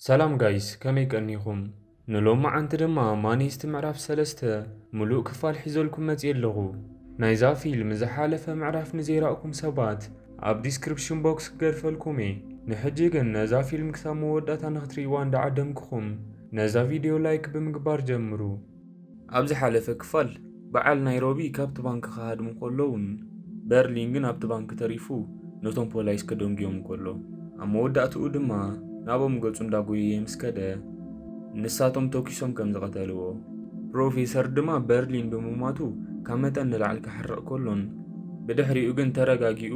ሰላም ጋይስ፣ ከመይ ቀኒኹም? ንሎማዓንቲ ድማ ማኒስት ምዕራፍ ሰለስተ ምሉእ ክፋል ሒዘልኩም መፅየ ኣለኹ። ናይዛ ፊልም ዝሓለፈ ምዕራፍ ንዘይረእኩም ሰባት ኣብ ዲስክሪፕሽን ቦክስ ክገድፈልኩም እየ። ንሕጂ ግን ነዛ ፊልም ክሳብ መወዳእታ ንክትርእይዋ እንዳዓደምኩኹም ነዛ ቪድዮ ላይክ ብምግባር ጀምሩ። ኣብ ዝሓለፈ ክፋል በዓል ናይሮቢ ካብቲ ባንክ ክሃድሙ ከለውን በርሊን ግን ኣብቲ ባንክ ተሪፉ ነቶም ፖላይስ ከደንጉዮም ከሎ ኣብ መወዳእትኡ ድማ ናቦም ገጹ እንዳጎየየ ምስ ከደ ንሳቶም ተኪሶም ከም ዝቐተልዎ ፕሮፌሰር ድማ በርሊን ብምማቱ ካብ መጠን ንላዕሊ ክሓርቕ ከሎን ብድሕሪኡ ግን ተረጋጊኡ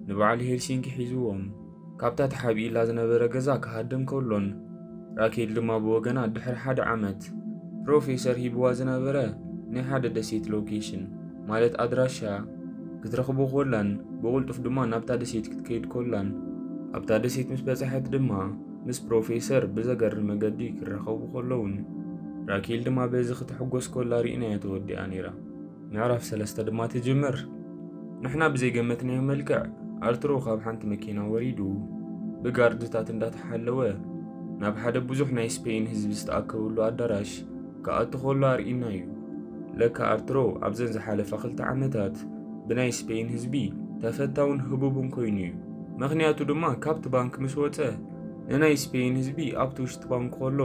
ንበዓል ሄልሲንኪ ሒዝዎም ካብታ ተሓቢእላ ዝነበረ ገዛ ክሃድም ከሎን ራኬል ድማ ብወገና ድሕሪ ሓደ ዓመት ፕሮፌሰር ሂብዋ ዝነበረ ናይ ሓደ ደሴት ሎኬሽን ማለት ኣድራሻ ክትረኽቦ ኮላን ብቕልጡፍ ድማ ናብታ ደሴት ክትከይድ ኮላን ኣብታ ደሴት ምስ በጻሐት ድማ ምስ ፕሮፌሰር ብዘገርም መገዲ ክራኸቡ ከለውን ራኬል ድማ በዚ ክትሕጎስ ኮላ ርኢናያ ተወዲኣ ነይራ። ምዕራፍ ሰለስተ ድማ ትጅምር። ንሕና ብዘይገመትናዮ መልክዕ ኣርትሮ ካብ ሓንቲ መኪና ወሪዱ ብጋርድታት እንዳተሓለወ ናብ ሓደ ብዙሕ ናይ ስፔን ህዝቢ ዝተኣከበሉ ኣዳራሽ ክኣቱ ከሎ ኣርኢና እዩ። ለካ ኣርትሮ ኣብዘን ዝሓለፋ ክልተ ዓመታት ብናይ ስፔን ህዝቢ ተፈታውን ህቡብን ኮይኑ እዩ። ምኽንያቱ ድማ ካብቲ ባንክ ምስ ወፀ ንናይ ስፔን ህዝቢ ኣብቲ ውሽጢ ባንክ ከሎ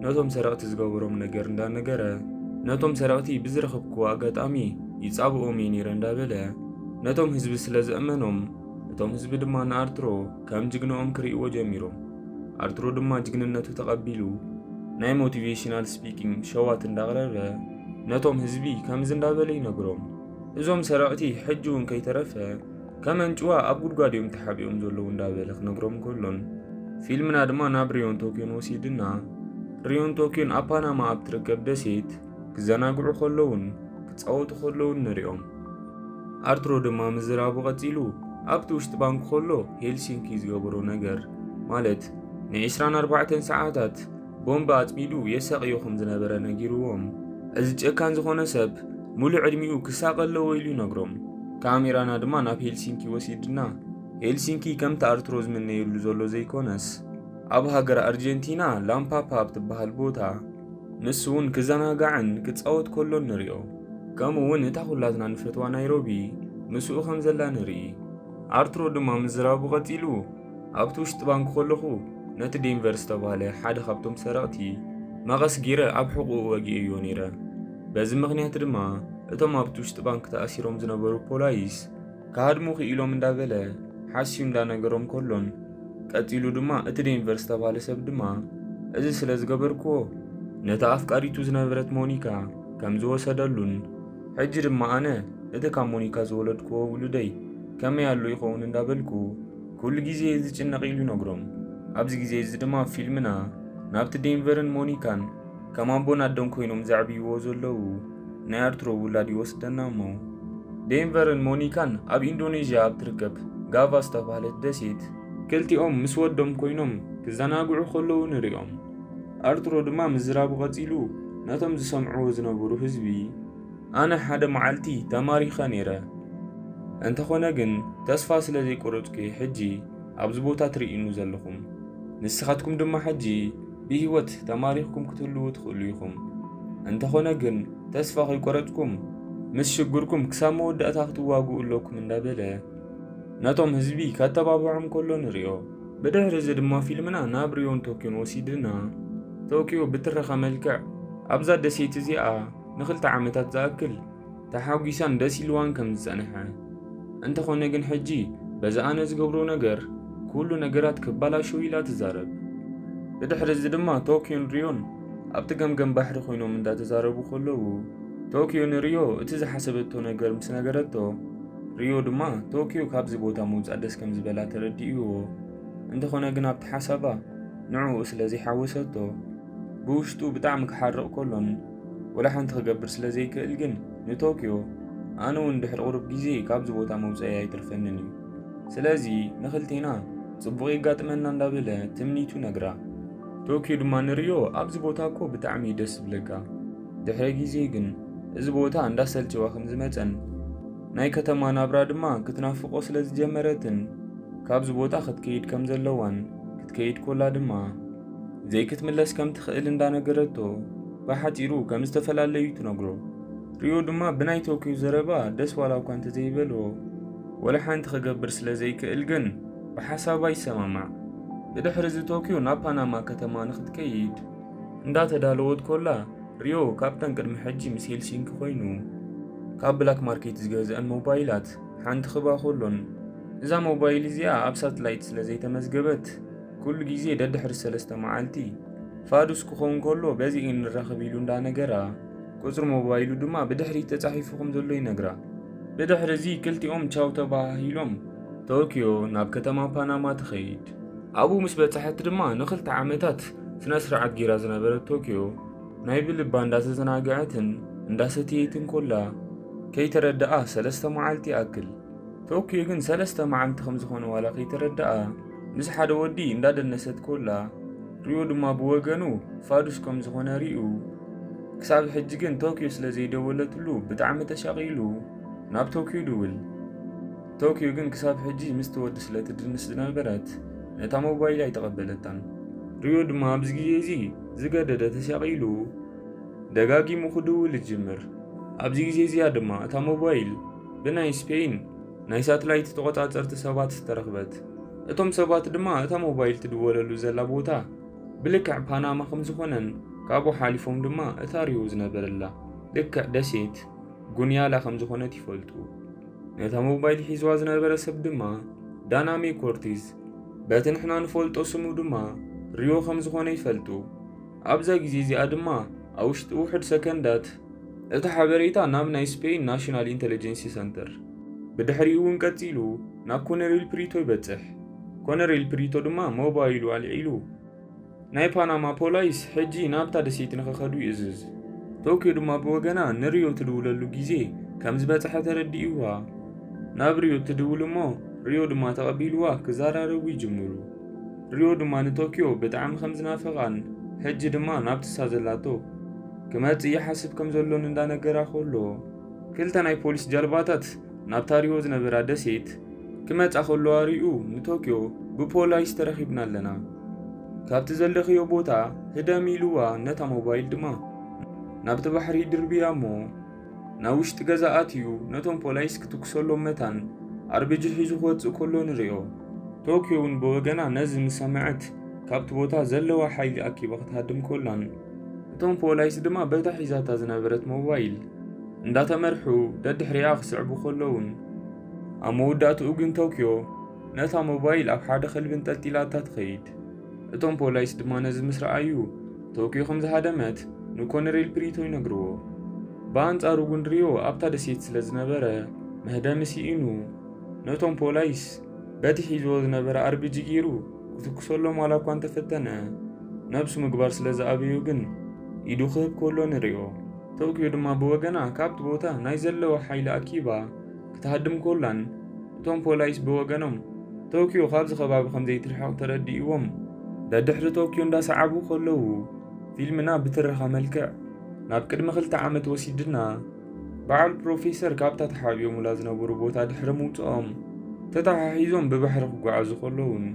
ነቶም ሰረቕቲ ዝገበሮም ነገር እንዳነገረ ነቶም ሰረቕቲ ብዝረኸብክዎ ኣጋጣሚ ይጻብኦም እየ ነይረ እንዳበለ ነቶም ህዝቢ ስለ ዘእመኖም እቶም ህዝቢ ድማ ንኣርትሮ ከም ጅግንኦም ክርእይዎ ጀሚሮም። ኣርትሮ ድማ ጅግንነቱ ተቐቢሉ ናይ ሞቲቬሽናል ስፒኪንግ ሸዋት እንዳቕረበ ነቶም ህዝቢ ከምዚ እንዳበለ ይነግሮም። እዞም ሰረቕቲ ሕጂ እውን ከይተረፈ ከመንጭዋ ኣብ ጉድጓድ እዮም ተሓቢኦም ዘለዉ እንዳበለ ክነግሮም ከሎን ፊልምና ድማ ናብ ሪዮን ቶኪዮን ወሲድና ሪዮን ቶኪዮን ኣብ ፓናማ ኣብ ትርከብ ደሴት ክዘናግዑ ከለውን ክጻወቱ ከለውን ንሪኦም። ኣርትሮ ድማ ምዝራቡ ቀጺሉ ኣብቲ ውሽጢ ባንክ ከሎ ሄልሲንኪ ዝገበሮ ነገር ማለት ን24 ሰዓታት ቦምብ ኣጽሚዱ የሳቕዮ ከም ዝነበረ ነጊርዎም። እዚ ጨካን ዝኾነ ሰብ ሙሉእ ዕድሚኡ ክሳቐ ኣለዎ ኢሉ ይነግሮም። ካሜራና ድማ ናብ ሄልሲንኪ ወሲድና ሄልሲንኪ ከምቲ ኣርትሮ ዝምነየሉ ዘሎ ዘይኮነስ ኣብ ሃገር ኣርጀንቲና ላምፓፓ ኣብ ትበሃል ቦታ ንሱ እውን ክዘናጋዕን ክጻወት ከሎን ንሪኦ። ከምኡ እውን እታ ኩላትና ንፈትዋ ናይሮቢ ምስኡ ከም ዘላ ንርኢ። ኣርትሮ ድማ ምዝራቡ ቀጺሉ ኣብቲ ውሽጢ ባንክ ከለኹ ነቲ ዴንቨር ዝተባህለ ሓደ ካብቶም ሰረቕቲ መቐስ ጊረ ኣብ ሕቑኡ ወጊኤዮ ነይረ። በዚ ምኽንያት ድማ እቶም ኣብቲ ውሽጢ ባንክ ተኣሲሮም ዝነበሩ ፖላይስ ክሃድሙ ክኢሎም እንዳበለ ሓስዩ እንዳነገሮም ከሎን ቀጺሉ ድማ እቲ ዴንቨር ዝተባህለ ሰብ ድማ እዚ ስለ ዝገበርክዎ ነታ ኣፍቃሪቱ ዝነበረት ሞኒካ ከም ዝወሰደሉን ሕጂ ድማ ኣነ እቲ ካብ ሞኒካ ዝወለድክዎ ውሉደይ ከመይ ኣሎ ይኸውን እንዳበልኩ ኩሉ ግዜ ዝጭነቕ ኢሉ ይነግሮም። ኣብዚ ግዜ እዚ ድማ ፊልምና ናብቲ ዴንቨርን ሞኒካን ከም ኣቦን ኣደን ኮይኖም ዘዕብይዎ ዘለዉ ናይ ኣርትሮ ውላድ ይወስደና እሞ ዴንቨርን ሞኒካን ኣብ ኢንዶኔዥያ ኣብ ትርከብ ጋቫ ዝተባህለት ደሴት ክልቲኦም ምስ ወዶም ኮይኖም ክዘናግዑ ከለዉ ንሪኦም። ኣርትሮ ድማ ምዝራቡ ቀጺሉ ነቶም ዝሰምዕዎ ዝነበሩ ህዝቢ ኣነ ሓደ መዓልቲ ተማሪኸ ነይረ። እንተኾነ ግን ተስፋ ስለ ዘይቆረጽኩ ሕጂ ኣብዚ ቦታ ትርእዩኒ ዘለኹም። ንስኻትኩም ድማ ሕጂ ብህይወት ተማሪኽኩም ክትህልዉ ትኽእሉ ኢኹም። እንተኾነ ግን ተስፋ ከይቆረጽኩም ምስ ሽግርኩም ክሳብ መወዳእታ ክትዋግኡ ኣለኩም እንዳበለ ነቶም ህዝቢ ከተባብዖም ከሎ ንሪኦ። ብድሕሪ እዚ ድማ ፊልምና ናብ ሪዮን ቶኪዮን ወሲድና ቶኪዮ ብትረኻ መልክዕ ኣብዛ ደሴት እዚኣ ንኽልተ ዓመታት ዝኣክል ተሓጒሳን ደስ ኢልዋን ከም ዝጸንሐ እንተኾነ ግን ሕጂ በዚ ኣነ ዝገብሮ ነገር ኩሉ ነገራት ክባላሸው ኢላ ትዛረብ። ብድሕሪ እዚ ድማ ቶኪዮን ሪዮን ኣብቲ ገምገም ባሕሪ ኮይኖም እንዳተዛረቡ ከለዉ ቶኪዮ ንሪዮ እቲ ዝሓሰበቶ ነገር ምስ ነገረቶ ሪዮ ድማ ቶኪዮ ካብዚ ቦታ ምውጻእ ደስ ከም ዝበላ ተረዲእዎ። እንተኾነ ግን ኣብቲ ሓሳባ ንዕኡ ስለ ዘይሓወሰቶ ብውሽጡ ብጣዕሚ ክሓርቕ ከሎን ወላ ሓንቲ ክገብር ስለ ዘይክእል ግን ንቶኪዮ ኣነ እውን ድሕሪ ቁሩብ ግዜ ካብዚ ቦታ መውፀኢ ኣይትርፈንን እዩ። ስለዚ ንኽልቴና ጽቡቕ የጋጥመና እንዳበለ ትምኒቱ ነግራ። ቶኪዮ ድማ ንሪዮ ኣብዚ ቦታ እኮ ብጣዕሚ እዩ ደስ ዝብለካ። ድሕሪ ግዜ ግን እዚ ቦታ እንዳሰልቸዋ ከም ዝመጸን ናይ ከተማ ናብራ ድማ ክትናፍቆ ስለ ዝጀመረትን ካብዚ ቦታ ክትከይድ ከም ዘለዋን ክትከይድ ኮላ ድማ ዘይክትምለስ ከም ትኽእል እንዳነገረቶ ብሓጺሩ ከም ዝተፈላለዩ ትነግሮ። ሪዮ ድማ ብናይ ቶኪዮ ዘረባ ደስ ዋላ እኳ እንተዘይበሎ፣ ወላ ሓንቲ ክገብር ስለ ዘይክእል ግን ብሓሳባ ይሰማማዕ። ብድሕሪ እዚ ቶኪዮ ናብ ፓናማ ከተማ ንኽትከይድ እንዳተዳለወት ኮላ፣ ሪዮ ካብተን ቅድሚ ሕጂ ምስ ሄልሲንኪ ኮይኑ ካብ ብላክ ማርኬት ዝገዝአን ሞባይላት ሓንቲ ክባ ኮሎን፣ እዛ ሞባይል እዚኣ ኣብ ሳትላይት ስለ ዘይተመዝገበት፣ ኩሉ ግዜ ደድሕሪ ሰለስተ መዓልቲ ፋዱስ ክኸውን ከሎ በዚ ንራኸብ ኢሉ እንዳነገራ፣ ቁጽሪ ሞባይሉ ድማ ብድሕሪት ተጻሒፉ ከም ዘሎ ይነግራ። ብድሕሪ እዚ ክልቲኦም ቻው ተባሃሂሎም ቶኪዮ ናብ ከተማ ፓናማ ትኸይድ። ኣብኡ ምስ በጻሐት ድማ ንኽልተ ዓመታት ስነ ስርዓት ጌራ ዝነበረት ቶኪዮ ናይ ብልባ እንዳተዘናግዐትን እንዳሰተየትን ኮላ ከይተረድኣ ሰለስተ መዓልቲ ይኣክል። ቶኪዮ ግን ሰለስተ መዓልቲ ከም ዝኾነ ዋላ ከይተረድኣ ምስ ሓደ ወዲ እንዳደነሰት ኮላ ሪዮ ድማ ብወገኑ ፋዱስ ከም ዝኾነ ሪኡ። ክሳብ ሕጂ ግን ቶኪዮ ስለ ዘይደወለትሉ ብጣዕሚ ተሻቒሉ ናብ ቶኪዮ ድውል። ቶኪዮ ግን ክሳብ ሕጂ ምስቲ ወዲ ስለ ትድንስ ዝነበረት ነታ ሞባይል ኣይተቐበለታን። ሪዮ ድማ ኣብዚ ግዜ እዚ ዝገደደ ተሻቒሉ ደጋጊሙ ክድውል ይጅምር። ኣብዚ ግዜ እዚኣ ድማ እታ ሞባይል ብናይ ስፔይን ናይ ሳትላይት ተቖጻጸርቲ ሰባት ተረኽበት። እቶም ሰባት ድማ እታ ሞባይል ትድወለሉ ዘላ ቦታ ብልክዕ ፓናማ ከም ዝኾነን ካብኡ ሓሊፎም ድማ እታ ሪዮ ዝነበረላ ልክዕ ደሴት ጉንያላ ከም ዝኾነት ይፈልጡ። ነታ ሞባይል ሒዝዋ ዝነበረ ሰብ ድማ ዳናሜ ኮርቲዝ፣ በቲ ንሕና ንፈልጦ ስሙ ድማ ሪዮ ከም ዝኾነ ይፈልጡ። ኣብዛ ግዜ እዚኣ ድማ ኣብ ውሽጢ ውሑድ ሰከንዳት እቲ ሓበሬታ ናብ ናይ ስፔይን ናሽናል ኢንተለጀንሲ ሰንተር፣ ብድሕሪኡ እውን ቀጺሉ ናብ ኮነሬል ፕሪቶ ይበጽሕ። ኮነሬል ፕሪቶ ድማ ሞባይሉ ኣልዒሉ ናይ ፓናማ ፖላይስ ሕጂ ናብታ ደሴት ንኽኸዱ ይእዝዝ። ቶኪዮ ድማ ብወገና ንሪዮ ትድውለሉ ግዜ ከም ዝበጽሐ ተረዲእዋ። ናብ ሪዮ ትድውል እሞ ሪዮ ድማ ተቐቢልዋ ክዘራረቡ ይጅምሩ። ሪዮ ድማ ንቶኪዮ ብጣዕሚ ከም ዝናፈቓን ሕጂ ድማ ናብቲ እሳ ዘላቶ ክመጽእ ይሓስብ ከም ዘሎን እንዳነገራ ከሎ፣ ክልተ ናይ ፖሊስ ጃልባታት ናብታ ሪዮ ዝነበራ ደሴት ክመጻ ከለዋ ሪኡ ንቶኪዮ ብፖላይስ ተረኺብና ኣለና፣ ካብቲ ዘለኽዮ ቦታ ህደም ኢልዋ ነታ ሞባይል ድማ ናብቲ ባሕሪ ድርብያ እሞ ናብ ውሽጢ ገዛ ኣትዩ ነቶም ፖላይስ ክትኩሰሎም መታን ኣርቢጂ ሒዙ ክወጽእ ከሎ ንሪኦ። ቶኪዮ እውን ብወገና ነዚ ምስ ሰምዐት ካብቲ ቦታ ዘለዋ ሓይሊ ኣኪባ ክትሃድም ከላን እቶም ፖላይስ ድማ በታ ሒዛታ ዝነበረት ሞባይል እንዳተመርሑ ደድሕሪኣ ክስዕቡ ከለውን ኣብ መወዳእትኡ ግን ቶኪዮ ነታ ሞባይል ኣብ ሓደ ከልቢ እንጠልጢላታ ትኸይድ። እቶም ፖላይስ ድማ ነዚ ምስ ረኣዩ ቶኪዮ ከም ዝሃደመት ንኮነሬል ፕሪቶ ይነግርዎ። ብኣንጻሩ ግን ሪዮ ኣብታ ደሴት ስለ ዝነበረ መህደሚ ስኢኑ ነቶም ፖላይስ በቲ ሒዝዎ ዝነበረ ኣርቢጂ ገይሩ ክትኩሰሎም ዋላ እኳ እንተፈተነ ነብሱ ምግባር ስለ ዝኣበዮ ግን ኢዱ ክህብ ከሎ ንሪኦ። ቶኪዮ ድማ ብወገና ካብቲ ቦታ ናይ ዘለዋ ሓይሊ ኣኪባ ክትሃድም ኮላን እቶም ፖላይስ ብወገኖም ቶኪዮ ካብዚ ከባቢ ከም ዘይትርሕቕ ተረዲእዎም ደድሕሪ ቶኪዮ እንዳሰዓቡ ከለዉ ፊልምና ብትረኻ መልክዕ ናብ ቅድሚ ክልተ ዓመት ወሲድና በዓል ፕሮፌሰር ካብታ ተሓቢኦሙላ ዝነበሩ ቦታ ድሕሪ ምውፅኦም ተተሓሒዞም ብባሕሪ ክጓዓዙ ከለውን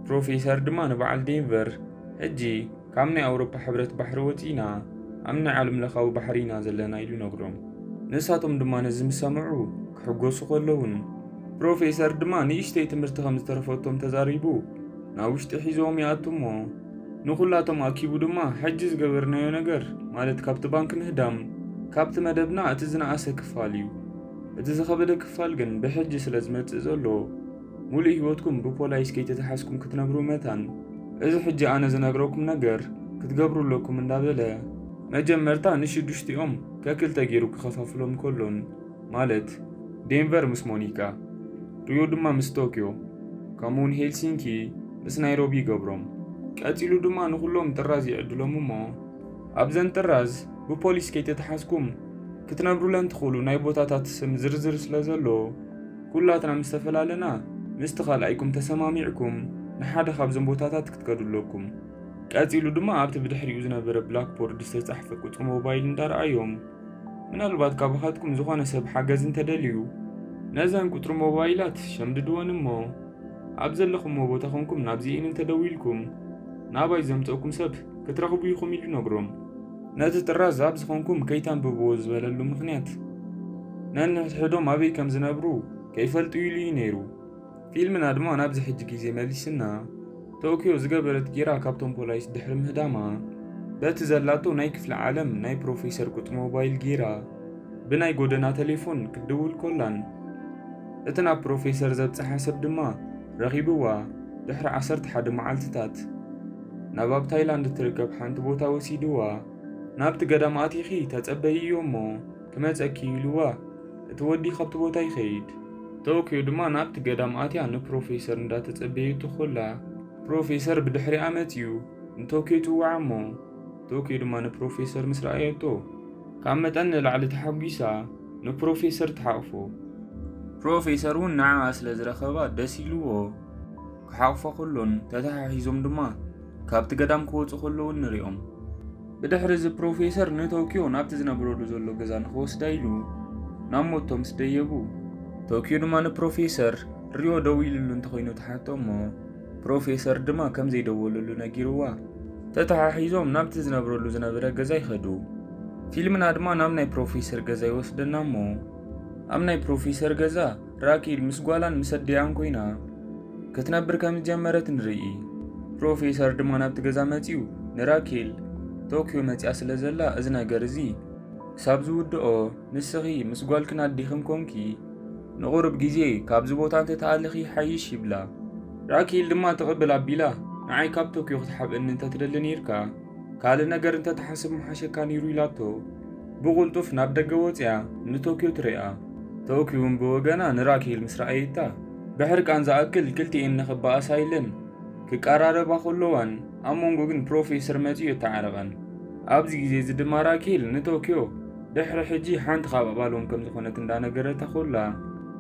ፕሮፌሰር ድማ ንበዓል ዴንቨር ሕጂ ካብ ናይ ኣውሮፓ ሕብረት ባሕሪ ወፂና ኣብ ናይ ዓለም ለኻዊ ባሕሪ ኢና ዘለና ኢሉ ነግሮም። ንሳቶም ድማ ነዚ ምስ ሰምዑ ክሕጎሱ ከለውን ፕሮፌሰር ድማ ንእሽተይ ትምህርቲ ከም ዝተረፈቶም ተዛሪቡ ናብ ውሽጢ ሒዞም ይኣቱ እሞ ንኹላቶም ኣኪቡ ድማ ሕጂ ዝገበርናዮ ነገር ማለት ካብቲ ባንክ ምህዳም ካብቲ መደብና እቲ ዝነኣሰ ክፋል እዩ። እቲ ዝኸበደ ክፋል ግን ብሕጂ ስለ ዝመጽእ ዘሎ ሙሉእ ህይወትኩም ብፖላይስ ከይተተሓዝኩም ክትነብሩ መታን እዚ ሕጂ ኣነ ዝነግረኩም ነገር ክትገብሩ ኣለኩም እንዳበለ መጀመርታ ንሽዱሽቲኦም ከክልተ ገይሩ ክኸፋፍሎም ከሎን ማለት ዴንቨር ምስ ሞኒካ፣ ሪዮ ድማ ምስ ቶኪዮ፣ ከምኡውን ሄልሲንኪ ምስ ናይሮቢ ይገብሮም። ቀጺሉ ድማ ንኹሎም ጥራዝ ይዕድሎም እሞ ኣብዘን ጥራዝ ብፖሊስ ከይተተሓዝኩም ክትነብሩለን ትኽእሉ ናይ ቦታታት ስም ዝርዝር ስለ ዘሎ ኩላትና ምስ ተፈላለና ምስቲ ካልኣይኩም ተሰማሚዕኩም ንሓደ ካብዞም ቦታታት ክትከዱ ኣለኩም። ቀጺሉ ድማ ኣብቲ ብድሕሪኡ ዝነበረ ብላክቦርድ ዝተጻሕፈ ቁጽሪ ሞባይል እንዳረኣዮም ምናልባት ካባኻትኩም ዝኾነ ሰብ ሓገዝ እንተደልዩ ነዘን ቁጽሪ ሞባይላት ሸምድድወን እሞ ኣብ ዘለኹምዎ ቦታ ኮንኩም ናብዚኤን እንተደዊልኩም ናባይ ዘምፀእኩም ሰብ ክትረኽቡ ኢኹም ኢሉ ነግሮም። ነቲ ጥራዝ ኣብ ዝኾንኩም ከይተንብብዎ ዝበለሉ ምኽንያት፣ ነንሕድሕዶም ኣበይ ከም ዝነብሩ ከይፈልጡ ኢሉ እዩ ነይሩ። ፊልምና ድማ ናብዚ ሕጂ ግዜ መሊስና። ቶኪዮ ዝገበረት ጌራ ካብቶም ፖላይስ ድሕሪ ምህዳማ፣ በቲ ዘላቶ ናይ ክፍለ ዓለም ናይ ፕሮፌሰር ቁጽ ሞባይል ጌራ ብናይ ጎደና ቴሌፎን ክትድውል ኮላን፣ እቲ ናብ ፕሮፌሰር ዘብጽሓ ሰብ ድማ ረኺብዋ። ድሕሪ ዓሰርተ ሓደ መዓልትታት ናብ ኣብ ታይላንድ እትርከብ ሓንቲ ቦታ ወሲድዋ። ናብቲ ገዳም ኣቲኺ ተጸበይዮ እሞ ክመጸኪ ኢልዋ። እቲ ወዲ ካብቲ ቦታ ይኸይድ። ቶኪዮ ድማ ናብቲ ገዳም ኣትያ ንፕሮፌሰር እንዳተጸበየቱ ኮላ፣ ፕሮፌሰር ብድሕሪኣ መጺኡ ንቶኪዮ ይጽውዓ እሞ፣ ቶኪዮ ድማ ንፕሮፌሰር ምስ ረኣየቶ፣ ካብ መጠን ንላዕሊ ተሓጒሳ ንፕሮፌሰር ትሓቕፎ። ፕሮፌሰር እውን ንዓኣ ስለ ዝረኸባ ደስ ኢልዎ ክሓቕፎ ከሎን ተተሓሒዞም ድማ ካብቲ ገዳም ክወጹ ከለዉ ንሪኦም። ብድሕሪ እዚ ፕሮፌሰር ንቶኪዮ ናብቲ ዝነብረሉ ዘሎ ገዛ ንኽወስዳ ኢሉ ናብ ሞቶ ምስ ደየቡ፣ ቶኪዮ ድማ ንፕሮፌሰር ሪዮ ደዊሉሉ እንተኾይኑ ትሓቶ እሞ፣ ፕሮፌሰር ድማ ከም ዘይደወለሉ ነጊርዋ። ተተሓሒዞም ናብቲ ዝነብረሉ ዝነበረ ገዛ ይኸዱ። ፊልምና ድማ ናብ ናይ ፕሮፌሰር ገዛ ይወስደና እሞ፣ ኣብ ናይ ፕሮፌሰር ገዛ ራኪል ምስ ጓላን ምስ ኣዲኣን ኮይና ክትነብር ከም ዝጀመረት ንርኢ። ፕሮፌሰር ድማ ናብቲ ገዛ መጺኡ ንራኪል፣ ቶኪዮ መጺኣ ስለ ዘላ፣ እዚ ነገር እዚ ክሳብ ዝውድኦ ንስኺ ምስ ጓልክን ኣዲኽን ኮንኪ ንቑሩብ ግዜ ካብዚ ቦታ እንተተኣለኺ ይሓይሽ ይብላ። ራኪል ድማ ትቕብል ኣቢላ፣ ንዓይ ካብ ቶኪዮ ክትሓብእኒ እንተትደሊ ነይርካ፣ ካልእ ነገር እንተትሓስብ ምሓሸካ ነይሩ ኢላቶ። ብቕልጡፍ ናብ ደገ ወጺኣ ንቶኪዮ ትሪኣ። ቶኪዮ እውን ብወገና ንራኪል ምስ ረኣየታ፣ ብሕርቃን ዝኣክል ክልቲኤን ንኽበኣሳ ኢለን ክቀራረባ ከለዋን፣ ኣብ መንጎ ግን ፕሮፌሰር መጺኡ የተዓረቐን። ኣብዚ ግዜ እዚ ድማ ራኪል ንቶኪዮ ድሕሪ ሕጂ ሓንቲ ካብ ኣባሎም ከም ዝኾነት እንዳነገረታ ኮላ፣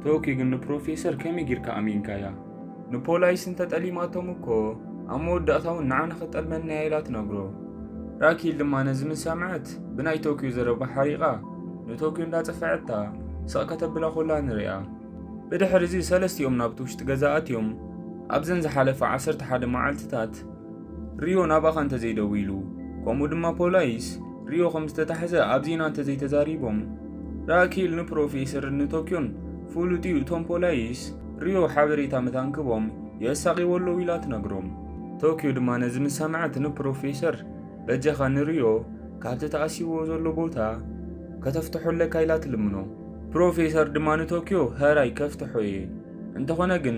ቶኪዮ ግን ንፕሮፌሰር ከመይ ጌርካ ኣሚንካያ? ንፖላይስ እንተጠሊማቶም እኮ ኣብ መወዳእታ እውን ንዓና ክጠልመና እያ ኢላ ትነግሮ። ራኪል ድማ ነዚ ምስ ሰምዐት ብናይ ቶኪዮ ዘረባ ሓሪቓ ንቶኪዮ እንዳጸፈዐታ ስቕ ከተብላ ኮላ ንሪኣ። ብድሕሪ እዚ ሰለስቲኦም ናብቲ ውሽጢ ገዛ ኣትዮም ኣብዘን ዝሓለፈ ዓሰርተ ሓደ መዓልትታት ሪዮ ናባኻ እንተዘይደዊሉ፣ ከምኡ ድማ ፖላይስ ሪዮ ከም ዝተታሕዘ ኣብ ዜና እንተዘይተዛሪቦም፣ ራኪል ንፕሮፌሰርን ንቶኪዮን ፍሉጥ እዩ፣ እቶም ፖላይስ ሪዮ ሓበሬታ ምታንክቦም የሳቒዎ ኣለዉ ኢላ ትነግሮም። ቶኪዮ ድማ ነዚ ምስ ሰምዐት ንፕሮፌሰር፣ በጃኻ ንሪዮ ካብቲ ተኣሲዎ ዘሎ ቦታ ከተፍትሖ ኣለካ ኢላ ትልምኖ። ፕሮፌሰር ድማ ንቶኪዮ፣ ሀራይ ከፍትሖ እየ፣ እንተኾነ ግን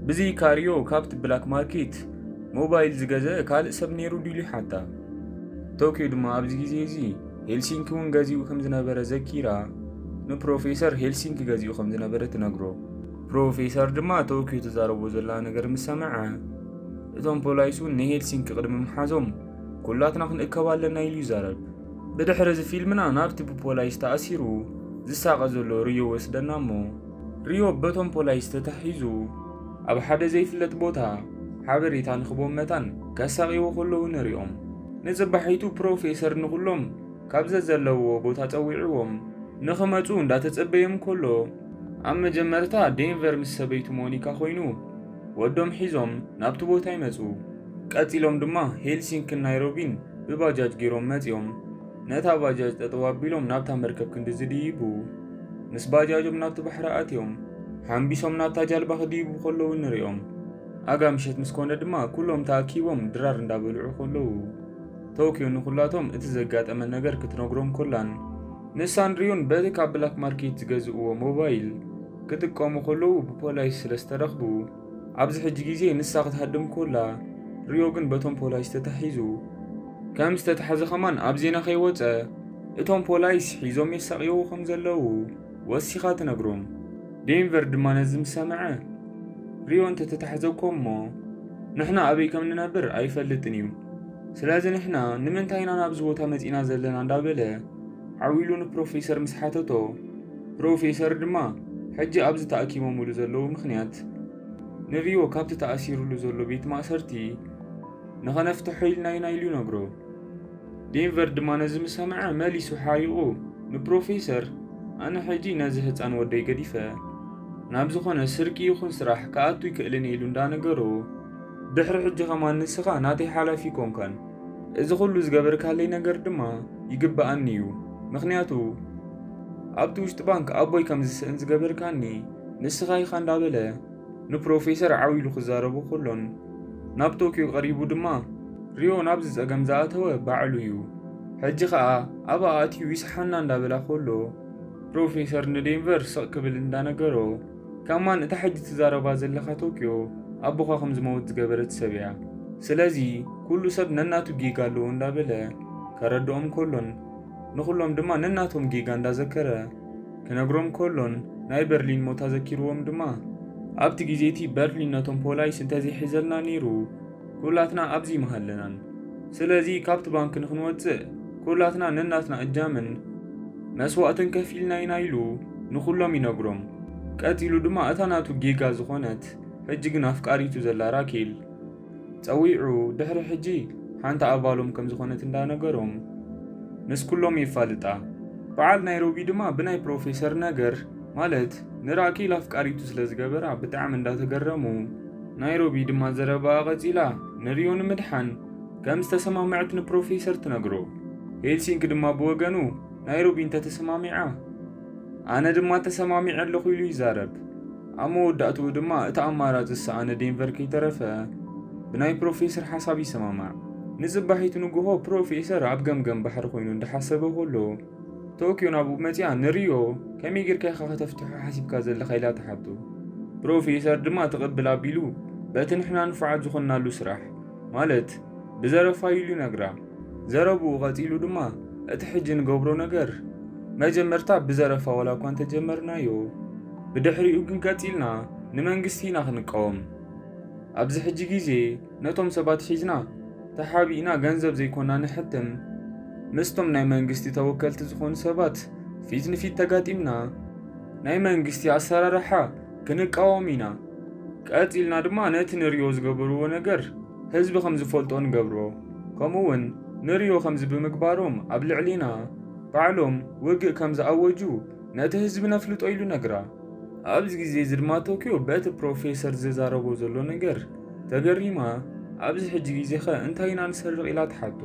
ብዘይካ ሪዮ ካብቲ ብላክ ማርኬት ሞባይል ዝገዘአ ካልእ ሰብ ነይሩ ድዩ ኢሉ ይሓታ። ቶኪዮ ድማ ኣብዚ ግዜ እዚ ሄልሲንኪ እውን ገዚኡ ከም ዝነበረ ዘኪራ፣ ንፕሮፌሰር ሄልሲንኪ ገዚኡ ከም ዝነበረ ትነግሮ። ፕሮፌሰር ድማ ቶኪዮ ትዛረቦ ዘላ ነገር ምስ ሰምዐ፣ እቶም ፖላይስ እውን ንሄልሲንኪ ቅድሚ ምሓዞም ኩላትና ክንእከብ ኣለና ኢሉ ይዛረብ። ብድሕሪ እዚ ፊልምና ናብቲ ብፖላይስ ተኣሲሩ ዝሳቐ ዘሎ ሪዮ ወስደና እሞ፣ ሪዮ በቶም ፖላይስ ተታሒዙ ኣብ ሓደ ዘይፍለጥ ቦታ ሓበሬታ ንኽቦም መታን ከሳቕይዎ ከለዉ ንሪኦም። ንጽባሒቱ ፕሮፌሰር ንኹሎም ካብ ዘዘለውዎ ቦታ ጸዊዕዎም ንኽመጹ እንዳተጸበዮም ከሎ፣ ኣብ መጀመርታ ዴንቨር ምስ ሰበይቱ ሞኒካ ኮይኑ ወዶም ሒዞም ናብቲ ቦታ ይመጹ። ቀጺሎም ድማ ሄልሲንክን ናይሮቢን ብባጃጅ ገይሮም መጺኦም ነታ ባጃጅ ጠጠው ኣቢሎም ናብታ መርከብ ክንዲ ዝድይቡ፣ ምስ ባጃጆም ናብቲ ባሕሪ ኣትዮም ሓምቢሶም ናብታ ጃልባ ክድይቡ ከለዉ ንሪኦም። ኣጋ ምሸት ምስ ኮነ ድማ ኩሎም ተኣኪቦም ድራር እንዳበልዑ ከለዉ፣ ቶኪዮ ንኹላቶም እቲ ዘጋጠመ ነገር ክትነግሮም ኮላን፣ ንሳን ሪዮን በቲ ካብ ብላክ ማርኬት ዝገዝእዎ ሞባይል ክጥቀሙ ከለዉ ብፖላይስ ስለ ዝተረኽቡ፣ ኣብዚ ሕጂ ግዜ ንሳ ክትሃድም ኮላ፣ ሪዮ ግን በቶም ፖላይስ ተታሒዙ ከም ዝተታሕዘ ከማን ኣብ ዜና ከይወጸ፣ እቶም ፖላይስ ሒዞም የሳቕይዎ ከም ዘለዉ ወሲኻ ትነግሮም። ዴንቨር ድማ ነዚ ምስ ሰምዐ፣ ሪዮ እንተተታሕዘ እኮ እሞ ንሕና ኣበይ ከም ንነብር ኣይፈልጥን እዩ። ስለዚ ንሕና ንምንታይ ኢና ናብዚ ቦታ መጺና ዘለና እንዳበለ ዓው ኢሉ ንፕሮፌሰር ምስ ሓተቶ፣ ፕሮፌሰር ድማ ሕጂ ኣብዚ ተኣኪቦምሉ ዘለዉ ምኽንያት ንሪዮ ካብቲ ተኣሲሩሉ ዘሎ ቤት ማእሰርቲ ንኸነፍትሖ ኢልና ኢና ኢሉ ይነግሮ። ዴንቨር ድማ ነዚ ምስ ሰምዐ መሊሱ ሓሪቑ ንፕሮፌሰር፣ ኣነ ሕጂ ነዚ ህጻን ወደይ ገዲፈ ናብ ዝኾነ ስርቂ ይኹን ስራሕ ክኣቱ ይክእልን ኢሉ እንዳነገሮ፣ ድሕሪ ሕጂ ከማን ንስኻ ናተይ ሓላፊ ኣይኮንካን። እዚ ኩሉ ዝገበርካለይ ነገር ድማ ይግብኣኒ እዩ። ምኽንያቱ ኣብቲ ውሽጢ ባንክ ኣቦይ ከም ዝስእን ዝገበርካኒ ንስኻ ኢኻ እንዳበለ ንፕሮፌሰር ዓው ኢሉ ክዛረቡ ከሎን ናብ ቶኪዮ ቀሪቡ ድማ ሪዮ ናብዚ ጸገም ዝኣተወ ባዕሉ እዩ። ሕጂ ኸኣ ኣብኣ ኣትዩ ይስሓና እንዳበላ ከሎ ፕሮፌሰር ንዴንቨር ስቕ ክብል እንዳነገሮ ከማን እታ ሕጂ ትዛረባ ዘለኻ ቶኪዮ ኣቦኻ ከም ዝመውት ዝገበረት ሰብ እያ። ስለዚ ኩሉ ሰብ ነናቱ ጌጋ ኣለዎ እንዳበለ ከረድኦም ከሎን ንኹሎም ድማ ነናቶም ጌጋ እንዳዘከረ ክነግሮም ከሎን ናይ በርሊን ሞት ኣዘኪርዎም ድማ ኣብቲ ግዜ እቲ በርሊን ነቶም ፖላይስ እንተዘይሒዘልና ነይሩ ኩላትና ኣብዚ ምሃለናን። ስለዚ ካብቲ ባንክ ንክንወጽእ ኩላትና ነናትና እጃምን መስዋእትን ከፊልና ኢና ኢሉ ንኹሎም ይነግሮም። ቀጺሉ ድማ እታ ናቱ ጌጋ ዝኾነት ሕጂ ግን ኣፍቃሪቱ ዘላ ራኬል ጸዊዑ ድሕሪ ሕጂ ሓንቲ ኣባሎም ከም ዝኾነት እንዳነገሮም ምስ ኩሎም የፋልጣ። በዓል ናይሮቢ ድማ ብናይ ፕሮፌሰር ነገር ማለት ንራኬል ኣፍቃሪቱ ስለ ዝገበራ ብጣዕሚ እንዳተገረሙ ናይሮቢ ድማ ዘረባኣ ቀጺላ ንሪዮ ንምድሓን ከም ዝተሰማምዐት ንፕሮፌሰር ትነግሮ። ሄልሲንክ ድማ ብወገኑ ናይሮቢ እንተተሰማሚዓ ኣነ ድማ ተሰማሚዐ ኣለኹ ኢሉ ይዛረብ። ኣብ መወዳእትኡ ድማ እቲ ኣማራጺ ዝሰኣነ ዴንቨር ከይተረፈ ብናይ ፕሮፌሰር ሓሳብ ይሰማማዕ። ንጽባሒቱ ንግሆ ፕሮፌሰር ኣብ ገምገም ባሕሪ ኮይኑ እንዳሓሰበ ከሎ ቶኪዮ ናብኡ መጺኣ ንሪዮ ከመይ ጌርካ ኢኻ ከተፍትሖ ሓሲብካ ዘለኻ ኢላ ትሓቶ። ፕሮፌሰር ድማ ትቕብል ኣቢሉ በቲ ንሕና ንፉዓት ዝኾንናሉ ስራሕ ማለት ብዘረፋ ኢሉ ይነግራ። ዘረብኡ ቀጺሉ ድማ እቲ ሕጂ ንገብሮ ነገር መጀመርታ ብዘረፋ ዋላ እኳ እንተጀመርናዮ ብድሕሪኡ ግን ቀጺልና ንመንግስቲ ኢና ክንቃወም። ኣብዚ ሕጂ ግዜ ነቶም ሰባት ሒዝና ተሓቢእና ገንዘብ ዘይኮና ንሕትም ምስቶም ናይ መንግስቲ ተወከልቲ ዝኾኑ ሰባት ፊት ንፊት ተጋጢምና ናይ መንግስቲ ኣሰራርሓ ክንቃወም ኢና። ቀጺልና ድማ ነቲ ንሪዮ ዝገበርዎ ነገር ህዝቢ ከም ዝፈልጦ ንገብሮ። ከምኡ እውን ንሪዮ ከምዚ ብምግባሮም ኣብ ልዕሊና ባዕሎም ውግእ ከም ዝኣወጁ ነቲ ህዝቢ ነፍልጦ ኢሉ ነግራ። ኣብዚ ግዜ እዚ ድማ ቶኪዮ በቲ ፕሮፌሰር ዝዛረቦ ዘሎ ነገር ተገሪማ ኣብዚ ሕጂ ግዜኸ እንታይ ኢና ንሰርቕ ኢላ ትሓቶ።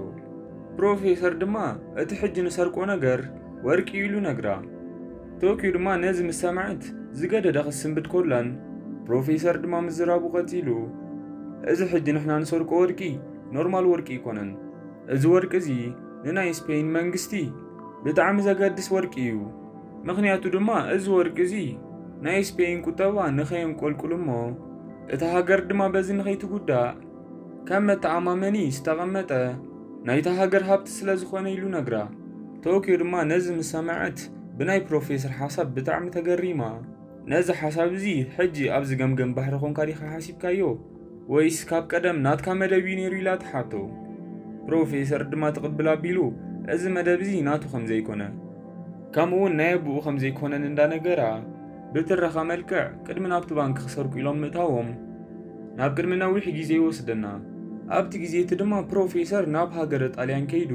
ፕሮፌሰር ድማ እቲ ሕጂ ንሰርቆ ነገር ወርቂ ኢሉ ነግራ። ቶኪዮ ድማ ነዚ ምስ ሰምዐት ዝገደደ ክስንብድ ኮላን ፕሮፌሰር ድማ ምዝራቡ ቀጺሉ እዚ ሕጂ ንሕና ንሰርቆ ወርቂ ኖርማል ወርቂ ኣይኮነን። እዚ ወርቂ እዚ ንናይ ስፔን መንግስቲ ብጣዕሚ ዘገድስ ወርቂ እዩ። ምኽንያቱ ድማ እዚ ወርቂ እዚ ናይ ስፔን ቁጠባ ንኸየንቆልቁል እሞ እታ ሃገር ድማ በዚ ንኸይትጉዳእ ከም መተኣማመኒ ዝተቐመጠ ናይታ ሃገር ሃብቲ ስለ ዝኾነ ኢሉ ነግራ። ቶኪዮ ድማ ነዚ ምስ ሰምዐት ብናይ ፕሮፌሰር ሓሳብ ብጣዕሚ ተገሪማ። ነዚ ሓሳብ እዚ ሕጂ ኣብዚ ገምገም ባሕሪ ኮንካ ዲኻ ሓሲብካዮ ወይስ ካብ ቀደም ናትካ መደብ እዩ ነይሩ ኢላ ትሓቶ። ፕሮፌሰር ድማ ትቕብል ኣቢሉ እዚ መደብ እዚ ናቱ ከም ዘይኮነ ከምኡ እውን ናይ ኣቦኡ ከም ዘይኮነን እንዳነገራ ብትረኻ መልክዕ ቅድሚ ናብቲ ባንክ ክሰርቁ ኢሎም ምእታዎም ናብ ቅድሚ ነዊሕ ግዜ ይወስደና። ኣብቲ ግዜ እቲ ድማ ፕሮፌሰር ናብ ሃገረ ጣልያን ከይዱ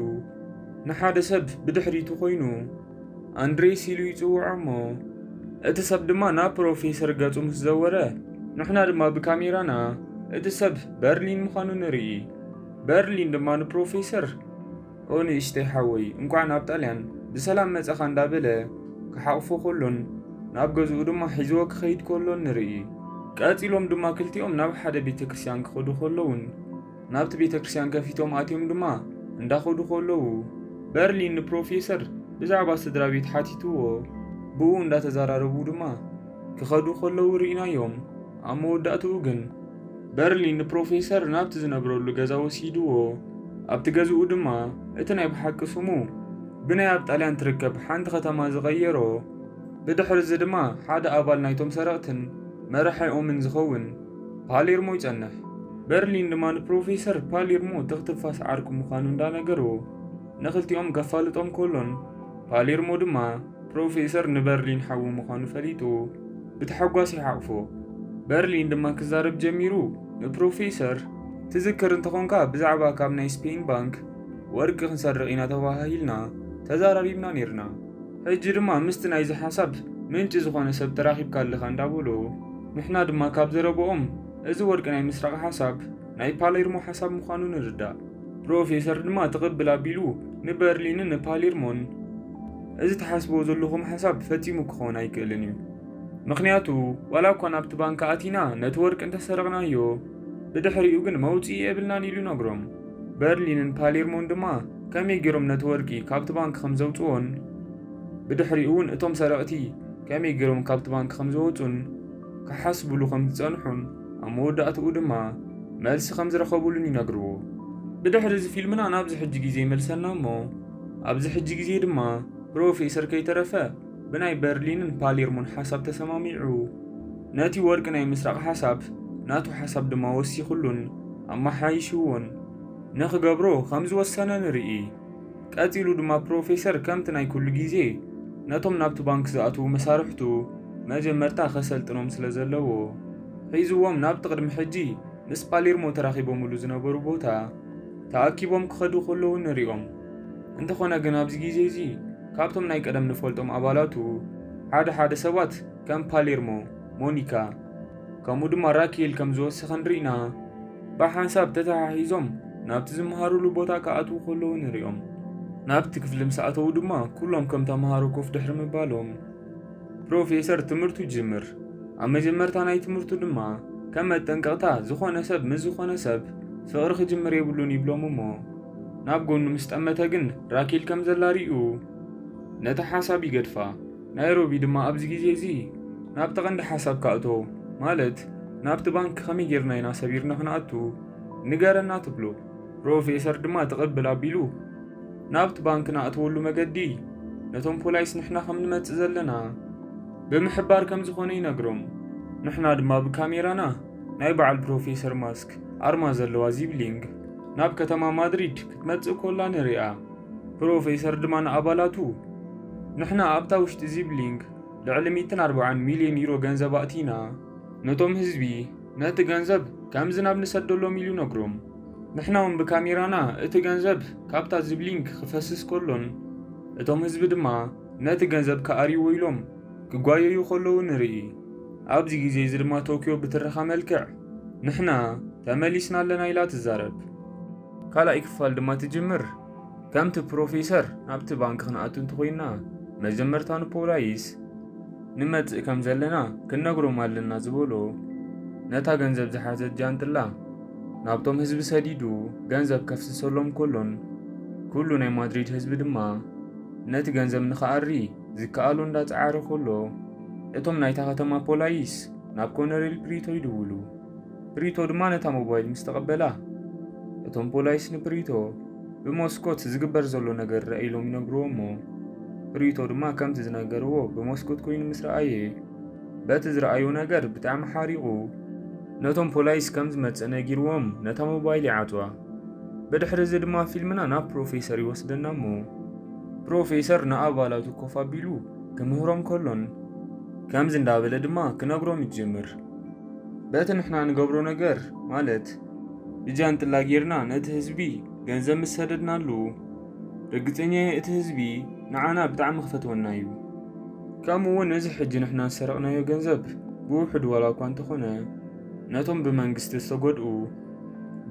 ንሓደ ሰብ ብድሕሪቱ ኮይኑ ኣንድሬስ ኢሉ ይጽውዖ እሞ እቲ ሰብ ድማ ናብ ፕሮፌሰር ገጹ ምስ ዘወረ ንሕና ድማ ብካሜራና እቲ ሰብ በርሊን ምዃኑ ንርኢ። በርሊን ድማ ንፕሮፌሰር ኦ ንእሽተይ ሓወይ እንኳዕ ናብ ጣልያን ብሰላም መጸኻ እንዳበለ ክሓቕፎ ከሎን ናብ ገዝኡ ድማ ሒዝዎ ክኸይድ ከሎን ንርኢ። ቀጺሎም ድማ ክልቲኦም ናብ ሓደ ቤተ ክርስቲያን ክኸዱ ከለውን ናብቲ ቤተ ክርስቲያን ከፊቶም ኣትዮም ድማ እንዳኸዱ ከለዉ በርሊን ንፕሮፌሰር ብዛዕባ ስድራ ቤት ሓቲትዎ ብኡ እንዳተዘራረቡ ድማ ክኸዱ ከለዉ ርኢናዮም። ኣብ መወዳእትኡ ግን በርሊን ንፕሮፌሰር ናብቲ ዝነብረሉ ገዛ ወሲድዎ ኣብቲ ገዝኡ ድማ እቲ ናይ ብሓቂ ስሙ ብናይ ኣብ ጣልያን ትርከብ ሓንቲ ከተማ ዝቐየሮ ብድሕሪ እዚ ድማ ሓደ ኣባል ናይቶም ሰረቕትን መራሒኦምን ዝኸውን ፓሌርሞ ይጸንሕ። በርሊን ድማ ንፕሮፌሰር ፓሌርሞ ትኽትፋስ ዓርኩ ምዃኑ እንዳነገሮ ንኽልቲኦም ከፋልጦም ከሎን ፓሌርሞ ድማ ፕሮፌሰር ንበርሊን ሓዉ ምዃኑ ፈሊጡ ብተሓጓስ ይሓቕፎ። በርሊን ድማ ክዛረብ ጀሚሩ ንፕሮፌሰር ትዝክር እንተኾንካ ብዛዕባ ካብ ናይ ስፔን ባንክ ወርቂ ክንሰርቕ ኢና ተባሃሂልና ተዛራሪብና ነይርና። ሕጂ ድማ ምስቲ ናይዚ ሓሳብ ምንጪ ዝኾነ ሰብ ተራኺብካ ኣለኻ እንዳበሎ ንሕና ድማ ካብ ዘረብኦም እዚ ወርቂ ናይ ምስራቕ ሓሳብ ናይ ፓሌርሞ ሓሳብ ምዃኑ ንርዳእ። ፕሮፌሰር ድማ ትቕብል ኣቢሉ ንበርሊንን ንፓሌርሞን፣ "እዚ ትሓስብዎ ዘለኹም ሓሳብ ፈጺሙ ክኸውን ኣይክእልን እዩ። ምኽንያቱ ዋላ እኳ ናብቲ ባንክ ኣቲና ነቲ ወርቂ እንተሰረቕናዮ፣ ብድሕሪኡ ግን መውጽኢ የብልናን" ኢሉ ይነግሮም። በርሊንን ፓሌርሞን ድማ ከመይ ገይሮም ነቲ ወርቂ ካብቲ ባንክ ከም ዘውጽዎን ብድሕሪኡ እውን እቶም ሰረቕቲ ከመይ ገይሮም ካብቲ ባንክ ከም ዝወጹን ክሓስብሉ ከም ዝጸንሑን ኣብ መወዳእትኡ ድማ መልሲ ከም ዝረኸቡሉን ይነግርዎ። ብድሕሪ እዚ ፊልምና ናብዚ ሕጂ ግዜ ይመልሰና እሞ ኣብዚ ሕጂ ግዜ ድማ ፕሮፌሰር ከይተረፈ ብናይ በርሊንን ፓሌርሞን ሓሳብ ተሰማሚዑ ነቲ ወርቂ ናይ ምስራቕ ሓሳብ ናቱ ሓሳብ ድማ ወሲኹሉን ኣመሓይሽዎን ንኽገብሮ ከም ዝወሰነ ንርኢ። ቀጺሉ ድማ ፕሮፌሰር ከምቲ ናይ ኩሉ ግዜ ነቶም ናብቲ ባንክ ዝኣትዉ መሳርሕቱ መጀመርታ ከሰልጥኖም ስለ ዘለዎ ሒዝዎም ናብቲ ቅድሚ ሕጂ ምስ ፓሌርሞ ተራኺቦምሉ ዝነበሩ ቦታ ተኣኪቦም ክኸዱ ከለዉ ንሪኦም። እንተኾነ ግን ኣብዚ ግዜ እዚ ካብቶም ናይ ቀደም ንፈልጦም ኣባላቱ ሓደ ሓደ ሰባት ከም ፓሌርሞ፣ ሞኒካ ከምኡ ድማ ራኬል ከም ዝወሰኸን ርኢና ብሓንሳብ ተተሓሒዞም ናብቲ ዝመሃሩሉ ቦታ ክኣትዉ ከለዉ ንሪኦም። ናብቲ ክፍሊ ምስ ኣተዉ ድማ ኩሎም ከም ተምሃሮ ኮፍ ድሕሪ ምባሎም ፕሮፌሰር ትምህርቱ ይጅምር። ኣብ መጀመርታ ናይ ትምህርቱ ድማ ከም መጠንቀቕታ ዝኾነ ሰብ ምስ ዝኾነ ሰብ ፍቕሪ ክጅምር የብሉን ይብሎም እሞ ናብ ጎኑ ምስ ጠመተ ግን ራኬል ከም ዘላ ሪኡ ነቲ ሓሳብ ይገድፋ። ናይሮቢ ድማ ኣብዚ ግዜ እዚ ናብቲ ቀንዲ ሓሳብ ካእቶ ማለት ናብቲ ባንክ ከመይ ጌርና ኢና ሰቢርና ክንኣቱ ንገረና ትብሎ። ፕሮፌሰር ድማ ትቕብል ኣቢሉ ናብቲ ባንክ ንኣትወሉ መገዲ ነቶም ፖላይስ ንሕና ከም ንመጽእ ዘለና ብምሕባር ከም ዝኾነ ይነግሮም። ንሕና ድማ ብካሜራና ናይ በዓል ፕሮፌሰር ማስክ ኣርማ ዘለዋ ዚብሊንግ ናብ ከተማ ማድሪድ ክትመጽእ ኮላ ንሪኣ። ፕሮፌሰር ድማ ንኣባላቱ ንሕና ኣብታ ውሽጢ ዚብሊንግ ልዕሊ ሚእትን ኣርባዓን ሚልዮን ዩሮ ገንዘብ ኣእቲና ነቶም ህዝቢ ነቲ ገንዘብ ከም ዝናብ ንሰደሎም ኢሉ ነግሮም። ንሕና እውን ብካሜራና እቲ ገንዘብ ካብታ ዚብሊንግ ክፈስስ ከሎን እቶም ህዝቢ ድማ ነቲ ገንዘብ ክኣርይዎ ኢሎም ክጓየዩ ከለዉ ንርኢ። ኣብዚ ግዜ እዚ ድማ ቶኪዮ ብትረኻ መልክዕ ንሕና ተመሊስና ኣለና ኢላ ትዛረብ። ካልኣይ ክፋል ድማ ትጅምር። ከምቲ ፕሮፌሰር ናብቲ ባንክ ክንኣቱ እንተኾይንና መጀመርታ ንፖላይስ ንመጽእ ከም ዘለና ክንነግሮም ኣለና ዝበሎ ነታ ገንዘብ ዝሓዘት ጃንጥላ ናብቶም ህዝቢ ሰዲዱ ገንዘብ ከፍስሰሎም ከሎን ኩሉ ናይ ማድሪድ ህዝቢ ድማ ነቲ ገንዘብ ንኽኣሪ ዝከኣሎ እንዳጸዓረ ከሎ እቶም ናይታ ከተማ ፖላይስ ናብ ኮነሬል ፕሪቶ ይድውሉ። ፕሪቶ ድማ ነታ ሞባይል ምስ ተቐበላ እቶም ፖላይስ ንፕሪቶ ብመስኮት ዝግበር ዘሎ ነገር ርአ ኢሎም ይነግርዎ እሞ ፕሪቶ ድማ ከምቲ ዝነገርዎ ብመስኮት ኮይኑ ምስ ረኣየ በቲ ዝረኣዮ ነገር ብጣዕሚ ሓሪቑ ነቶም ፖላይስ ከም ዝመጽእ ነጊርዎም ነታ ሞባይል ይዓጽዋ። ብድሕሪ እዚ ድማ ፊልምና ናብ ፕሮፌሰር ይወስደና እሞ ፕሮፌሰር ንኣባላቱ ኮፍ ኣቢሉ ክምህሮም ከሎን ከምዚ እንዳበለ ድማ ክነግሮም ይጅምር። በቲ ንሕና ንገብሮ ነገር ማለት ብጃንጥላ ጌርና ነቲ ህዝቢ ገንዘብ ምስ ሰደድናሉ ርግጸኛ እየ እቲ ህዝቢ ንዓና ብጣዕሚ ክፈትወና እዩ። ከምኡ እውን እዚ ሕጂ ንሕና ዝሰረቕናዮ ገንዘብ ብውሕዱ ዋላ እኳ እንተኾነ ነቶም ብመንግስቲ ዝተጎድኡ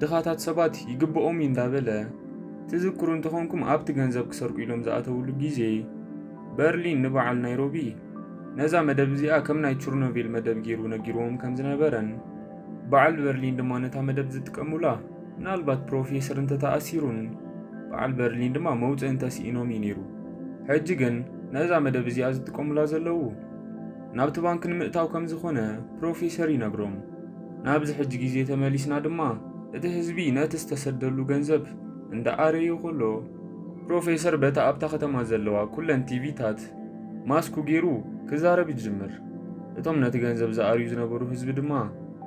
ድኻታት ሰባት ይግብኦም እዩ እንዳበለ ትዝክሩ እንተኾንኩም ኣብቲ ገንዘብ ክሰርቁ ኢሎም ዝኣተውሉ ግዜ በርሊን ንበዓል ናይሮቢ ነዛ መደብ እዚኣ ከም ናይ ቹርኖቪል መደብ ገይሩ ነጊርዎም ከም ዝነበረን በዓል በርሊን ድማ ነታ መደብ ዝጥቀሙላ ምናልባት ፕሮፌሰር እንተተኣሲሩን በዓል በርሊን ድማ መውፅኢ እንተስኢኖም እዩ ነይሩ። ሕጂ ግን ነዛ መደብ እዚኣ ዝጥቀሙላ ዘለዉ ናብቲ ባንክ ንምእታው ከም ዝኾነ ፕሮፌሰር ይነግሮም። ናብዚ ሕጂ ግዜ ተመሊስና ድማ እቲ ህዝቢ ነቲ ዝተሰደሉ ገንዘብ እንዳኣረዩ ከሎ ፕሮፌሰር በታ ኣብታ ከተማ ዘለዋ ኩለን ቲቪታት ማስኩ ገይሩ ክዛረብ ይጅምር። እቶም ነቲ ገንዘብ ዝኣርዩ ዝነበሩ ህዝቢ ድማ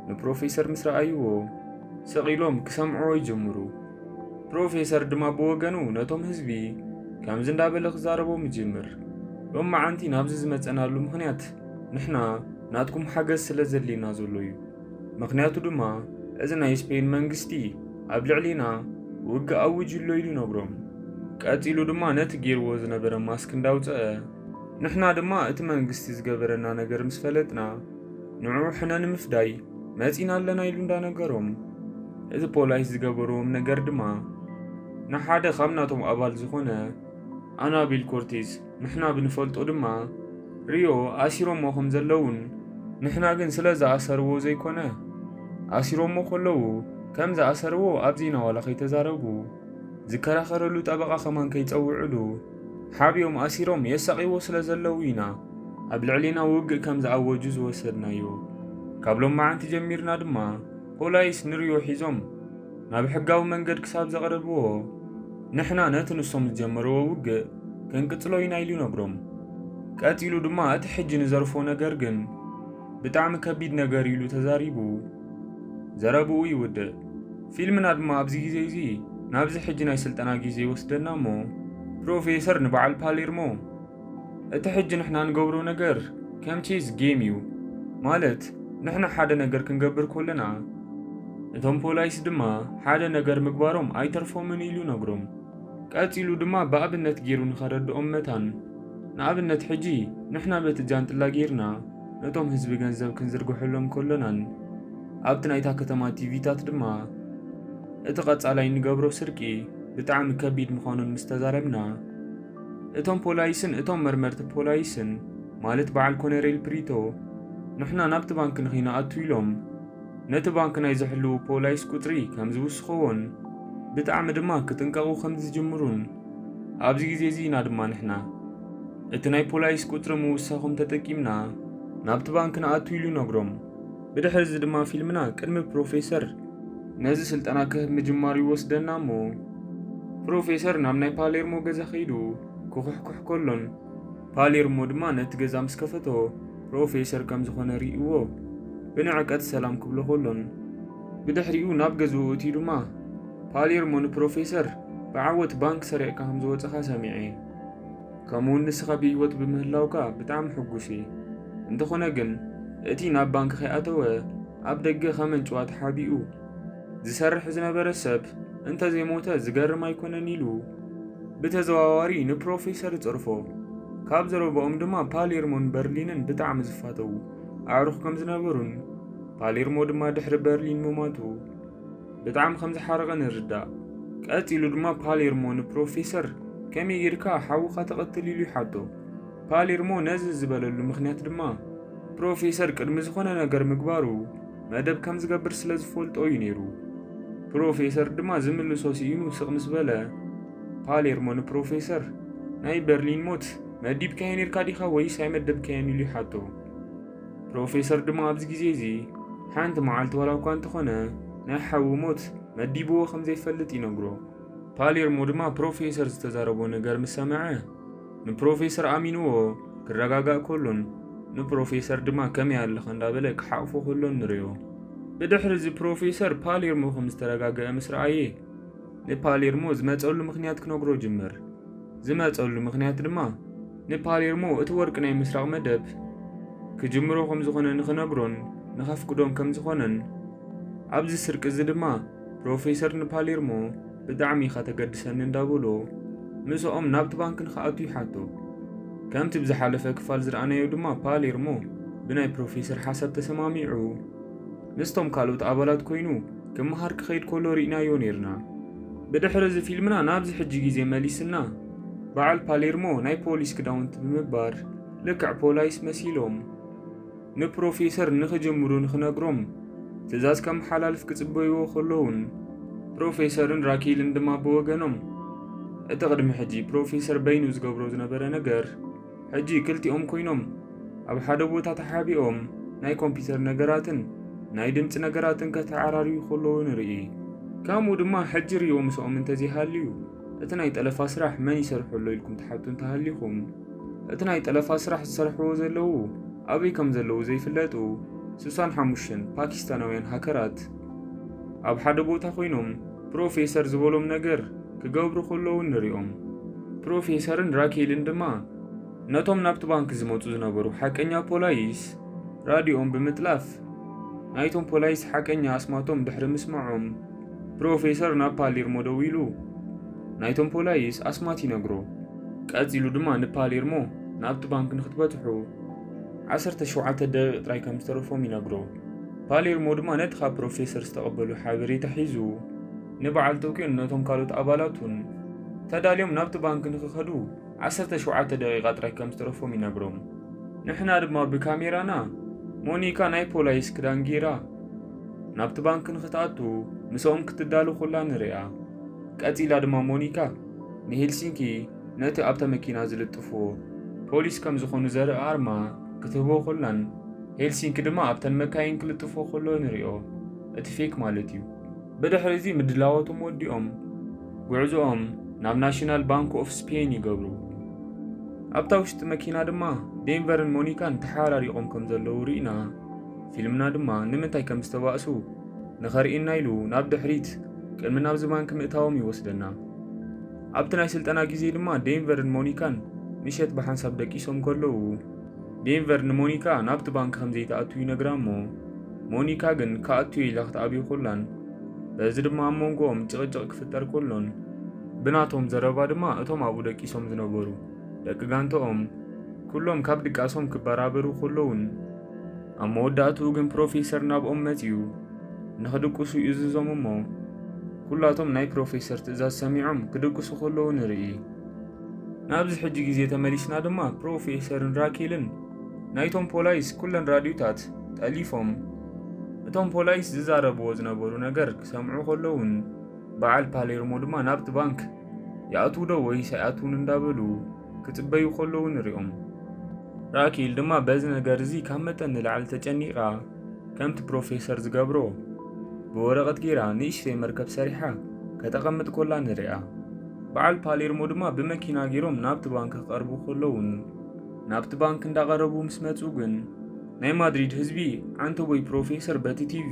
ንፕሮፌሰር ምስ ረኣይዎ ስቕ ኢሎም ክሰምዕዎ ይጅምሩ። ፕሮፌሰር ድማ ብወገኑ ነቶም ህዝቢ ከምዚ እንዳበለ ክዛረቦም ይጅምር። ሎማዓንቲ ናብዚ ዝመጸናሉ ምኽንያት ንሕና ናትኩም ሓገዝ ስለ ዘድልየና ዘሎ እዩ። ምኽንያቱ ድማ እዚ ናይ ስፔን መንግስቲ ኣብ ልዕሊና ውግእ ኣዊጁ ኣሎ ኢሉ ይነግሮም። ቀጺሉ ድማ ነቲ ገይርዎ ዝነበረ ማስክ እንዳውጸአ ንሕና ድማ እቲ መንግስቲ ዝገበረና ነገር ምስ ፈለጥና ንዕኡ ሕነ ንምፍዳይ መጺና ኣለና ኢሉ እንዳነገሮም እቲ ፖላይስ ዝገበርዎም ነገር ድማ ንሓደ ካብ ናቶም ኣባል ዝኾነ ኣናቢል ኮርቲዝ፣ ንሕና ብንፈልጦ ድማ ሪዮ፣ ኣሲሮሞ ከም ዘለውን፣ ንሕና ግን ስለ ዝኣሰርዎ ዘይኮነ፣ ኣሲሮሞ ከለዉ ከም ዝኣሰርዎ ኣብ ዜና ዋላ ከይተዛረቡ፣ ዝከራኸረሉ ጠበቓ ከማን ከይጸውዕሉ ሓቢኦም ኣሲሮም የሳቕይዎ ስለ ዘለዉ ኢና ኣብ ልዕሌና ውግእ ከም ዝኣወጁ ዝወሰድናዮ። ካብ ሎማዓንቲ ጀሚርና ድማ ፖላይስ ንሪዮ ሒዞም ናብ ሕጋዊ መንገድ ክሳብ ዘቕረብዎ፣ ንሕና ነቲ ንሶም ዝጀመርዎ ውግእ ክንቅጽሎ ኢና ኢሉ ይነግሮም። ቀጺሉ ድማ እቲ ሕጂ ንዘርፎ ነገር ግን ብጣዕሚ ከቢድ ነገር ኢሉ ተዛሪቡ ዘረብኡ ይውድእ። ፊልምና ድማ ኣብዚ ግዜ እዚ ናብዚ ሕጂ ናይ ስልጠና ግዜ ይወስደና እሞ፣ ፕሮፌሰር ንበዓል ፓሌርሞ፣ እቲ ሕጂ ንሕና ንገብሮ ነገር ከም ቼዝ ጌም እዩ። ማለት ንሕና ሓደ ነገር ክንገብር ከለና፣ እቶም ፖላይስ ድማ ሓደ ነገር ምግባሮም ኣይተርፎምን ኢሉ ነግሮም። ቀጺሉ ድማ ብኣብነት ገይሩ ንኸረድኦም መታን፣ ንኣብነት ሕጂ ንሕና በቲ ጃንጥላ ጌርና ነቶም ህዝቢ ገንዘብ ክንዝርግሐሎም ከሎናን፣ ኣብቲ ናይታ ከተማ ቲቪታት ድማ እቲ ቀጻላይ ንገብሮ ስርቂ ብጣዕሚ ከቢድ ምዃኑን ምስ ተዛረብና፣ እቶም ፖላይስን እቶም መርመርቲ ፖላይስን፣ ማለት በዓል ኮነሬል ፕሪቶ፣ ንሕና ናብቲ ባንክ ንኸይንኣቱ ኢሎም ነቲ ባንክ ናይ ዝሕልዉ ፖላይስ ቁጽሪ ከም ዝውስኽዎን ብጣዕሚ ድማ ክጥንቀቑ ከም ዝጅምሩን፣ ኣብዚ ግዜ እዚ ኢና ድማ ንሕና እቲ ናይ ፖላይስ ቁጽሪ ምውሳኾም ተጠቂምና ናብቲ ባንክ ንኣቱ ኢሉ ይነግሮም። ብድሕሪ እዚ ድማ ፊልምና ቅድሚ ፕሮፌሰር ነዚ ስልጠና ክህብ ምጅማሩ ይወስደና እሞ፣ ፕሮፌሰር ናብ ናይ ፓሌርሞ ገዛ ከይዱ ክኹሕኩሕ ከሎን፣ ፓሌርሞ ድማ ነቲ ገዛ ምስ ከፈቶ ፕሮፌሰር ከም ዝኾነ ርእይዎ ብንዕቀት ሰላም ክብሎ ከሎን፣ ብድሕሪኡ ናብ ገዝኡ እትዩ ድማ ፓሌርሞ ንፕሮፌሰር ብዓወት ባንክ ሰሪቕካ ከም ዝወጸኻ ሰሚዐ። ከምኡውን ንስኻ ብህይወት ብምህላውካ ብጣዕሚ ሕጉስ እየ። እንተኾነ ግን እቲ ናብ ባንክ ከይኣተወ ኣብ ደገ ከመንጭዋ ተሓቢኡ ዝሰርሕ ዝነበረ ሰብ እንተዘይሞተ ዝገርም ኣይኮነን ኢሉ ብተዘዋዋሪ ንፕሮፌሰር ይጸርፎ። ካብ ዘረባኦም ድማ ፓሌርሞን በርሊንን ብጣዕሚ ዝፋተዉ ኣዕሩኽ ከም ዝነበሩን ፓሌርሞ ድማ ድሕሪ በርሊን ምማቱ ብጣዕሚ ከም ዝሓረቐ ንርዳእ። ቀጺሉ ድማ ፓሌርሞ ንፕሮፌሰር ከመይ ጌርካ ሓውኻ ትቐትል ኢሉ ይሓቶ። ፓሌርሞ ነዚ ዝበለሉ ምኽንያት ድማ ፕሮፌሰር ቅድሚ ዝኾነ ነገር ምግባሩ መደብ ከም ዝገብር ስለ ዝፈልጦ እዩ ነይሩ። ፕሮፌሰር ድማ ዝምልሶ ስኢኑ ስቕ ምስ በለ፣ ፓሌርሞ ንፕሮፌሰር፣ ናይ በርሊን ሞት መዲብካዮ ነይርካ ዲኻ ወይስ ኣይመደብካዮን ኢሉ ይሓቶ። ፕሮፌሰር ድማ ኣብዚ ግዜ እዚ ሓንቲ መዓልቲ ዋላ እኳ እንተኾነ ናይ ሓዉ ሞት መዲብዎ ከም ዘይፈልጥ ይነግሮ። ፓሌርሞ ድማ ፕሮፌሰር ዝተዛረቦ ነገር ምስ ሰምዐ፣ ንፕሮፌሰር ኣሚንዎ ክረጋጋእ ከሎን፣ ንፕሮፌሰር ድማ ከመይ ኣለኻ እንዳበለ ክሓቕፎ ከሎን ንርእዮ። ብድሕሪ እዚ ፕሮፌሰር ፓሌርሞ ከም ዝተረጋገአ ምስ ረኣየ፣ ንፓሌርሞ ዝመጸሉ ምኽንያት ክነግሮ ጅምር። ዝመጸሉ ምኽንያት ድማ ንፓሌርሞ እቲ ወርቂ ናይ ምስራቕ መደብ ክጅምሮ ከም ዝኾነ ንኽነግሮን ንኸፍቅዶን ከም ዝኾነን፣ ኣብዚ ስርቂ እዚ ድማ ፕሮፌሰር ንፓሌርሞ ብጣዕሚ ኢኻ ተገድሰኒ እንዳበሎ ምስኦም ናብቲ ባንክ ንኽኣቱ ይሓቶ። ከምቲ ብዝሓለፈ ክፋል ዝረኣናዮ ድማ ፓሌርሞ ብናይ ፕሮፌሰር ሓሳብ ተሰማሚዑ ምስቶም ካልኦት ኣባላት ኮይኑ ክመሃር ክኸይድ ከሎ ርኢናዮ ነይርና። ብድሕሪ እዚ ፊልምና ናብዚ ሕጂ ግዜ መሊስና በዓል ፓሌርሞ ናይ ፖሊስ ክዳውንቲ ብምግባር ልክዕ ፖላይስ መሲሎም ንፕሮፌሰር ንኽጅምሩ ንኽነግሮም ትእዛዝ ከመሓላልፍ ክጽበይዎ ከለውን፣ ፕሮፌሰርን ራኬልን ድማ ብወገኖም እቲ ቅድሚ ሕጂ ፕሮፌሰር በይኑ ዝገብሮ ዝነበረ ነገር ሕጂ ክልቲኦም ኮይኖም ኣብ ሓደ ቦታ ተሓቢኦም ናይ ኮምፒውተር ነገራትን ናይ ድምፂ ነገራትን ከተዓራርዩ ከለዉ ንርኢ። ከምኡ ድማ ሕጂ ሪዮ ምስኦም እንተዘይሃልዩ እቲ ናይ ጠለፋ ስራሕ መን ይሰርሖ ኣሎ ኢልኩም ትሓቱ እንተሃሊኹም፣ እቲ ናይ ጠለፋ ስራሕ ዝሰርሕዎ ዘለዉ ኣበይ ከም ዘለዉ ዘይፍለጡ ስሳን ሓሙሽተን ፓኪስታናውያን ሃከራት ኣብ ሓደ ቦታ ኮይኖም ፕሮፌሰር ዝበሎም ነገር ክገብሩ ከለዉ ንሪኦም። ፕሮፌሰርን ራኬልን ድማ ነቶም ናብቲ ባንክ ዝመጹ ዝነበሩ ሓቀኛ ፖላይስ ራዲኦም ብምጥላፍ ናይቶም ፖላይስ ሓቀኛ ኣስማቶም ድሕሪ ምስማዖም ፕሮፌሰር ናብ ፓሌርሞ ደዊሉ ናይቶም ፖላይስ ኣስማት ይነግሮ። ቀጺሉ ድማ ንፓሌርሞ ናብቲ ባንክ ንክትበጽሑ ዓሰርተ ሸውዓተ ደቂቕ ጥራይ ከም ዝተረፎም ይነግሮ። ፓሌርሞ ድማ ነቲ ካብ ፕሮፌሰር ዝተቐበሉ ሓበሬታ ሒዙ ንበዓል ቶክዮን ነቶም ካልኦት ኣባላቱን ተዳልዮም ናብቲ ባንክ ንክኸዱ ዓሰርተ ሸውዓተ ደቂቓ ጥራይ ከም ዝተረፎም ይነግሮም። ንሕና ድማ ብካሜራና ሞኒካ ናይ ፖላይስ ክዳን ጌራ ናብቲ ባንክ ንክትኣቱ ምስኦም ክትዳሉ ኩላ ንሪኣ። ቀጺላ ድማ ሞኒካ ንሄልሲንኪ ነቲ ኣብታ መኪና ዝልጥፍዎ ፖሊስ ከም ዝኾኑ ዘርኢ ኣርማ ክትህቦ ኩላን ሄልሲንኪ ድማ ኣብተን መካይን ክልጥፎ ከሎ ንሪኦ። እቲ ፌክ ማለት እዩ። ብድሕሪ እዚ ምድላዋቶም ወዲኦም ጉዕዞኦም ናብ ናሽናል ባንክ ኦፍ ስፔን ይገብሩ። ኣብታ ውሽጢ መኪና ድማ ዴንቨርን ሞኒካን ተሓራሪቖም ከም ዘለዉ ርኢና፣ ፊልምና ድማ ንምንታይ ከም ዝተባእሱ ንኸርእየና ኢሉ ናብ ድሕሪት ቅድሚ ናብዚ ባንክ ምእታዎም ይወስደና። ኣብቲ ናይ ስልጠና ግዜ ድማ ዴንቨርን ሞኒካን ምሸት ብሓንሳብ ደቂሶም ከለዉ፣ ዴንቨር ንሞኒካ ናብቲ ባንክ ከም ዘይትኣቱ ይነግራ እሞ፣ ሞኒካ ግን ክኣቱ ኢላ ክትኣብዩ ኩላን፣ በዚ ድማ ኣብ መንጎኦም ጭቕጭቕ ክፍጠር ከሎን፣ ብናቶም ዘረባ ድማ እቶም ኣብኡ ደቂሶም ዝነበሩ ደቂ ጋንቶኦም ኩሎም ካብ ድቃሶም ክበራበሩ ከለውን፣ ኣብ መወዳእትኡ ግን ፕሮፌሰር ናብኦም መጺኡ ንኽድቅሱ ይእዝዞም እሞ፣ ኩላቶም ናይ ፕሮፌሰር ትእዛዝ ሰሚዖም ክድቅሱ ከለዉ ንርኢ። ናብዚ ሕጂ ግዜ ተመሊስና ድማ ፕሮፌሰርን ራኬልን ናይቶም ፖላይስ ኩለን ራድዮታት ጠሊፎም፣ እቶም ፖላይስ ዝዛረብዎ ዝነበሩ ነገር ክሰምዑ ከለውን፣ በዓል ፓሌርሞ ድማ ናብቲ ባንክ ይኣትዉ ዶ ወይስ ኣይኣትዉን እንዳበሉ ክጽበዩ ከለዉ ንሪኦም። ራኬል ድማ በዚ ነገር እዚ ካብ መጠን ንላዕሊ ተጨኒቓ፣ ከምቲ ፕሮፌሰር ዝገብሮ ብወረቐት ጌራ ንእሽተይ መርከብ ሰሪሓ ከተቐምጥ ኮላ ንሪኣ። በዓል ፓሌርሞ ድማ ብመኪና ጌሮም ናብቲ ባንክ ክቐርቡ ከለውን፣ ናብቲ ባንክ እንዳቐረቡ ምስ መጹ ግን፣ ናይ ማድሪድ ህዝቢ ዓንተቦይ ፕሮፌሰር በቲ ቲቪ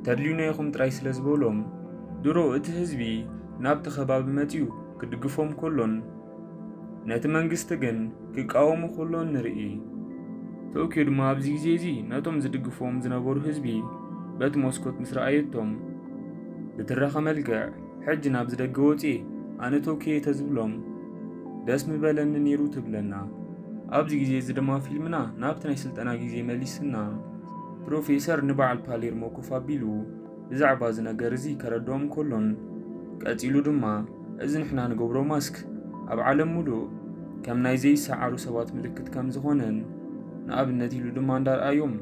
ተድልዩና ኢኹም ጥራይ ስለ ዝበሎም፣ ድሮ እቲ ህዝቢ ናብቲ ከባቢ መጺኡ ክድግፎም ከሎን፣ ነቲ መንግስቲ ግን ክቃወሙ ከሎን ንርኢ። ቶክዮ ድማ ኣብዚ ግዜ እዚ ነቶም ዝድግፍዎም ዝነበሩ ህዝቢ በቲ መስኮት ምስ ረኣየቶም፣ ብትራኸ መልክዕ፣ "ሕጂ ናብዚ ደገ ወጺኤ ኣነ ቶክዮ" ተዝብሎም፣ "ደስ ምበለኒ ነይሩ" ትብለና። ኣብዚ ግዜ እዚ ድማ ፊልምና ናብቲ ናይ ስልጠና ግዜ መሊስና፣ ፕሮፌሰር ንበዓል ፓሌርሞ ኮፍ ኣቢሉ ብዛዕባ እዚ ነገር እዚ ከረድኦም ከሎን፣ ቀጺሉ ድማ፣ "እዚ ንሕና ንገብሮ ማስክ ኣብ ዓለም ሙሉእ ከም ናይ ዘይሰዓሩ ሰባት ምልክት ከም ዝኾነን፣ ንኣብነት" ኢሉ ድማ እንዳርኣዮም፣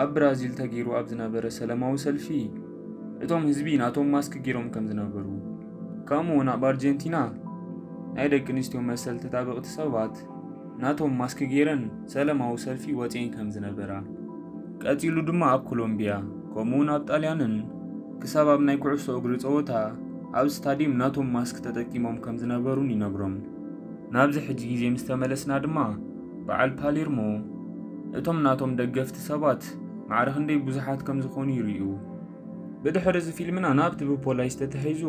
ኣብ ብራዚል ተገይሩ ኣብ ዝነበረ ሰላማዊ ሰልፊ፣ እቶም ህዝቢ ናቶም ማስክ ገይሮም ከም ዝነበሩ፣ ከምኡ እውን ኣብ ኣርጀንቲና ናይ ደቂ ኣንስትዮ መሰል ተጣበቕቲ ሰባት ናቶም ማስክ ገይረን ሰላማዊ ሰልፊ ወፂኤን ከም ዝነበራ፣ ቀፂሉ ድማ ኣብ ኮሎምቢያ፣ ከምኡ እውን ኣብ ጣልያንን ክሳብ ኣብ ናይ ኩዕሶ እግሪ ፀወታ ኣብ ስታዲየም ናቶም ማስክ ተጠቂሞም ከም ዝነበሩን ይነግሮም። ናብዚ ሕጂ ግዜ ምስ ተመለስና ድማ፣ በዓል ፓሌርሞ እቶም ናቶም ደገፍቲ ሰባት ማዕረ ክንደይ ብዙሓት ከም ዝኾኑ ይርእዩ። ብድሕሪ እዚ ፊልምና ናብቲ ብፖላይስ ተታሒዙ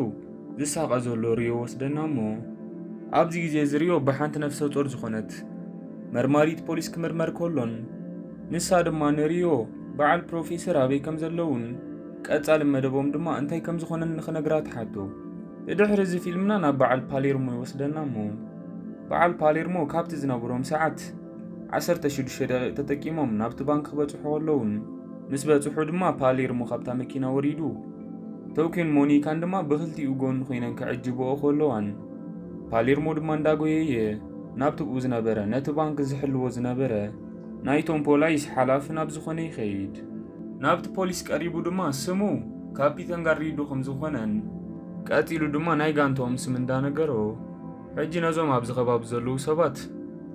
ዝሳቐ ዘሎ ሪዮ ወስደና እሞ፣ ኣብዚ ግዜ እዚ ሪዮ ብሓንቲ ነፍሰ ጡር ዝኾነት መርማሪት ፖሊስ ክምርመር ከሎን፣ ንሳ ድማ ንሪዮ በዓል ፕሮፌሰር ኣበይ ከም ዘለውን ቀጻሊ መደቦም ድማ እንታይ ከም ዝኾነን ንኽነግራ ትሓቶ። ብድሕሪ እዚ ፊልምና ናብ በዓል ፓሌርሞ ይወስደና እሞ፣ በዓል ፓሌርሞ ካብቲ ዝነበሮም ሰዓት ዓሰርተ ሽዱሽተ ደቂቕ ተጠቂሞም ናብቲ ባንክ ክበጽሑ ከለውን፣ ምስ በጽሑ ድማ ፓሌርሞ ካብታ መኪና ወሪዱ፣ ቶኪዮን ሞኒካን ድማ ብኽልቲኡ ጎኒ ኮይነን ክዕጅብኦ ከለዋን፣ ፓሌርሞ ድማ እንዳጎየየ ናብቲ ብኡ ዝነበረ፣ ነቲ ባንክ ዝሕልዎ ዝነበረ ናይቶም ፖላይስ ሓላፊ ናብ ዝኾነ ይኸይድ። ናብቲ ፖሊስ ቀሪቡ ድማ ስሙ ካፒተን ጋርሪዶ ከም ዝኾነን፣ ቀጺሉ ድማ ናይ ጋንታኦም ስም እንዳነገሮ፣ "ሕጂ ነዞም ኣብዚ ከባቢ ዘለዉ ሰባት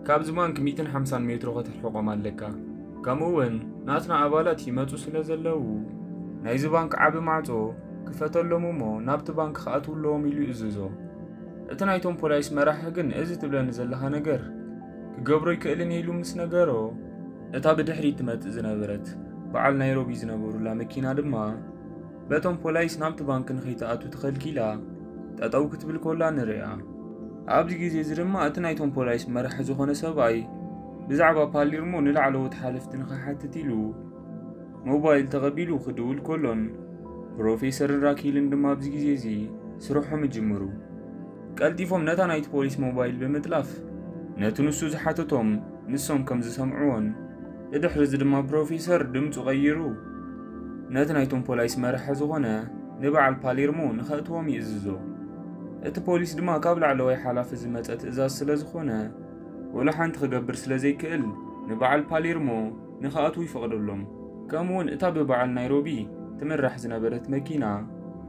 ካብዚ ባንክ ሚእትን ሓምሳን ሜትሮ ከተርሕቖም ኣለካ። ከምኡ እውን ናትና ኣባላት ይመጹ ስለ ዘለዉ፣ ናይዚ ባንክ ዓቢ ማዕጾ ክፈተሎም እሞ ናብቲ ባንክ ክኣትዉ ኣለዎም" ኢሉ ይእዝዞ። እቲ ናይቶም ፖላይስ መራሒ ግን፣ "እዚ ትብለኒ ዘለኻ ነገር ክገብሮ ይክእልን እየ" ኢሉ ምስ ነገሮ፣ እታ ብድሕሪት ትመጽእ ዝነበረት በዓል ናይሮቢ ዝነበሩላ መኪና ድማ በቶም ፖላይስ ናብቲ ባንክ ንኸይትኣቱ ተኸልኪላ ጠጠው ክትብል ኮላ ንሪኣ። ኣብዚ ግዜ እዚ ድማ እቲ ናይቶም ፖላይስ መራሒ ዝኾነ ሰብኣይ ብዛዕባ ፓሊርሞ ንላዕለዎት ሓለፍቲ ንኽሓትት ኢሉ ሞባይል ተቐቢሉ ክድውል ከሎን፣ ፕሮፌሰርን ራኪልን ድማ ኣብዚ ግዜ እዚ ስርሖም ይጅምሩ። ቀልጢፎም ነታ ናይቲ ፖሊስ ሞባይል ብምጥላፍ፣ ነቲ ንሱ ዝሓተቶም ንሶም ከም ዝሰምዕዎን፣ ብድሕሪ እዚ ድማ ፕሮፌሰር ድምጹ ቀይሩ፣ ነቲ ናይቶም ፖላይስ መራሒ ዝኾነ ንበዓል ፓሌርሞ ንኸእትዎም ይእዝዞ። እቲ ፖሊስ ድማ ካብ ላዕለዋይ ሓላፊ ዝመጸ ትእዛዝ ስለ ዝኾነ፣ ወላ ሓንቲ ክገብር ስለ ዘይክእል፣ ንበዓል ፓሌርሞ ንኸኣትዉ ይፈቕደሎም። ከምኡውን እታ ብበዓል ናይሮቢ ትምራሕ ዝነበረት መኪና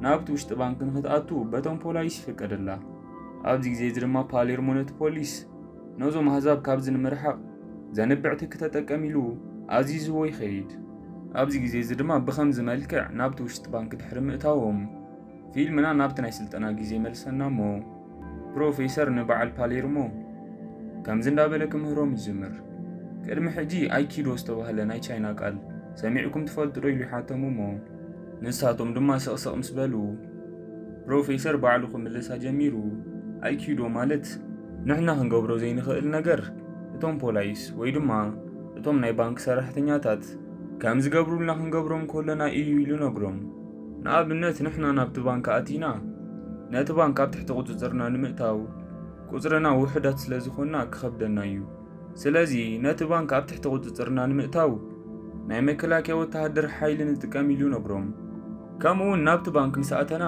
ናብቲ ውሽጢ ባንክ ንኽትኣቱ በቶም ፖላይስ ይፍቀደላ። ኣብዚ ግዜ እዚ ድማ ፓሌርሞ ነቲ ፖሊስ፣ ነዞም ኣህዛብ ካብዚ ንምርሓቕ ዘንብዕ ትኪ ተጠቀም ኢሉ ኣዚዝዎ ይኸይድ። ኣብዚ ግዜ እዚ ድማ ብኸምዚ መልክዕ ናብቲ ውሽጢ ባንክ ድሕሪ ምእታዎም፣ ፊልምና ናብቲ ናይ ስልጠና ግዜ መልሰና እሞ፣ ፕሮፌሰር ንበዓል ፓሌርሞ ከምዚ እንዳበለ ክምህሮም ይጅምር። ቅድሚ ሕጂ ኣይኪዶ ዝተባህለ ናይ ቻይና ቃል ሰሚዕኩም ትፈልጡ ዶ ኢሉ ይሓቶም እሞ፣ ንሳቶም ድማ ስቕስቕ ምስ በሉ፣ ፕሮፌሰር ባዕሉ ክምልሳ ጀሚሩ፣ ኣይኪዶ ማለት ንሕና ክንገብሮ ዘይንኽእል ነገር እቶም ፖላይስ ወይ ድማ እቶም ናይ ባንክ ሰራሕተኛታት ከም ዝገብሩልና ክንገብሮም ከለና እዩ ኢሉ ነግሮም። ንኣብነት ንሕና ናብቲ ባንክ ኣቲና ነቲ ባንክ ኣብ ትሕቲ ቁጽጽርና ንምእታው ቁጽርና ውሑዳት ስለ ዝኾንና ክኸብደና እዩ። ስለዚ ነቲ ባንክ ኣብ ትሕቲ ቁጽጽርና ንምእታው ናይ መከላከያ ወተሃደር ሓይሊ ንጥቀም ኢሉ ነግሮም። ከምኡ እውን ናብቲ ባንክ ምስ ኣተና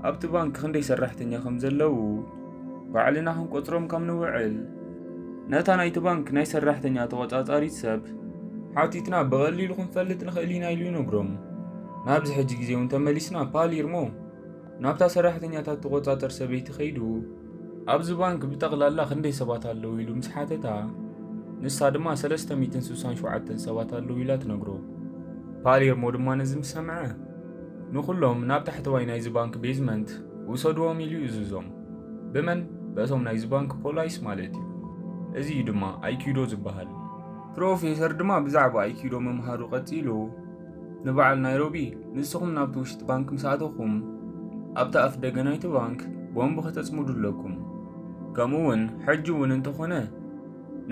ኣብቲ ባንክ ክንደይ ሰራሕተኛ ከም ዘለዉ ባዕልና ክንቆጽሮም ከም ንውዕል፣ ነታ ናይቲ ባንክ ናይ ሰራሕተኛ ተቖጻጻሪት ሰብ ሓቲትና ብቐሊሉ ክንፈልጥ ንኽእል ኢና ኢሉ ይነግሮም። ናብዚ ሕጂ ግዜ እውን ተመሊስና ፓሊርሞ ናብታ ሰራሕተኛታት ትቖጻጸር ሰበይቲ ከይዱ፣ ኣብዚ ባንክ ብጠቕላላ ክንደይ ሰባት ኣለዉ ኢሉ ምስ ሓተታ፣ ንሳ ድማ ሰለስተ ሚእትን ስሳን ሸውዓተን ሰባት ኣለዉ ኢላ ትነግሮ። ፓሌርሞ ድማ ነዚ ምስ ሰምዐ፣ ንኹሎም ናብ ታሕተዋይ ናይዚ ባንክ ቤዝመንት ውሰድዎም ኢሉ ይእዝዞም። ብመን? በቶም ናይዚ ባንክ ፖላይስ ማለት እዩ። እዚ እዩ ድማ ኣይኪዶ ዝበሃል። ፕሮፌሰር ድማ ብዛዕባ ኣይኪዶ ምምሃሩ ቀጺሉ፣ ንበዓል ናይሮቢ፣ ንስኹም ናብቲ ውሽጢ ባንክ ምስ ኣተኹም፣ ኣብቲ ኣፍ ደገ ናይቲ ባንክ ቦምብ ከተጽምዱ ኣለኩም። ከምኡ እውን ሕጂ እውን እንተኾነ፣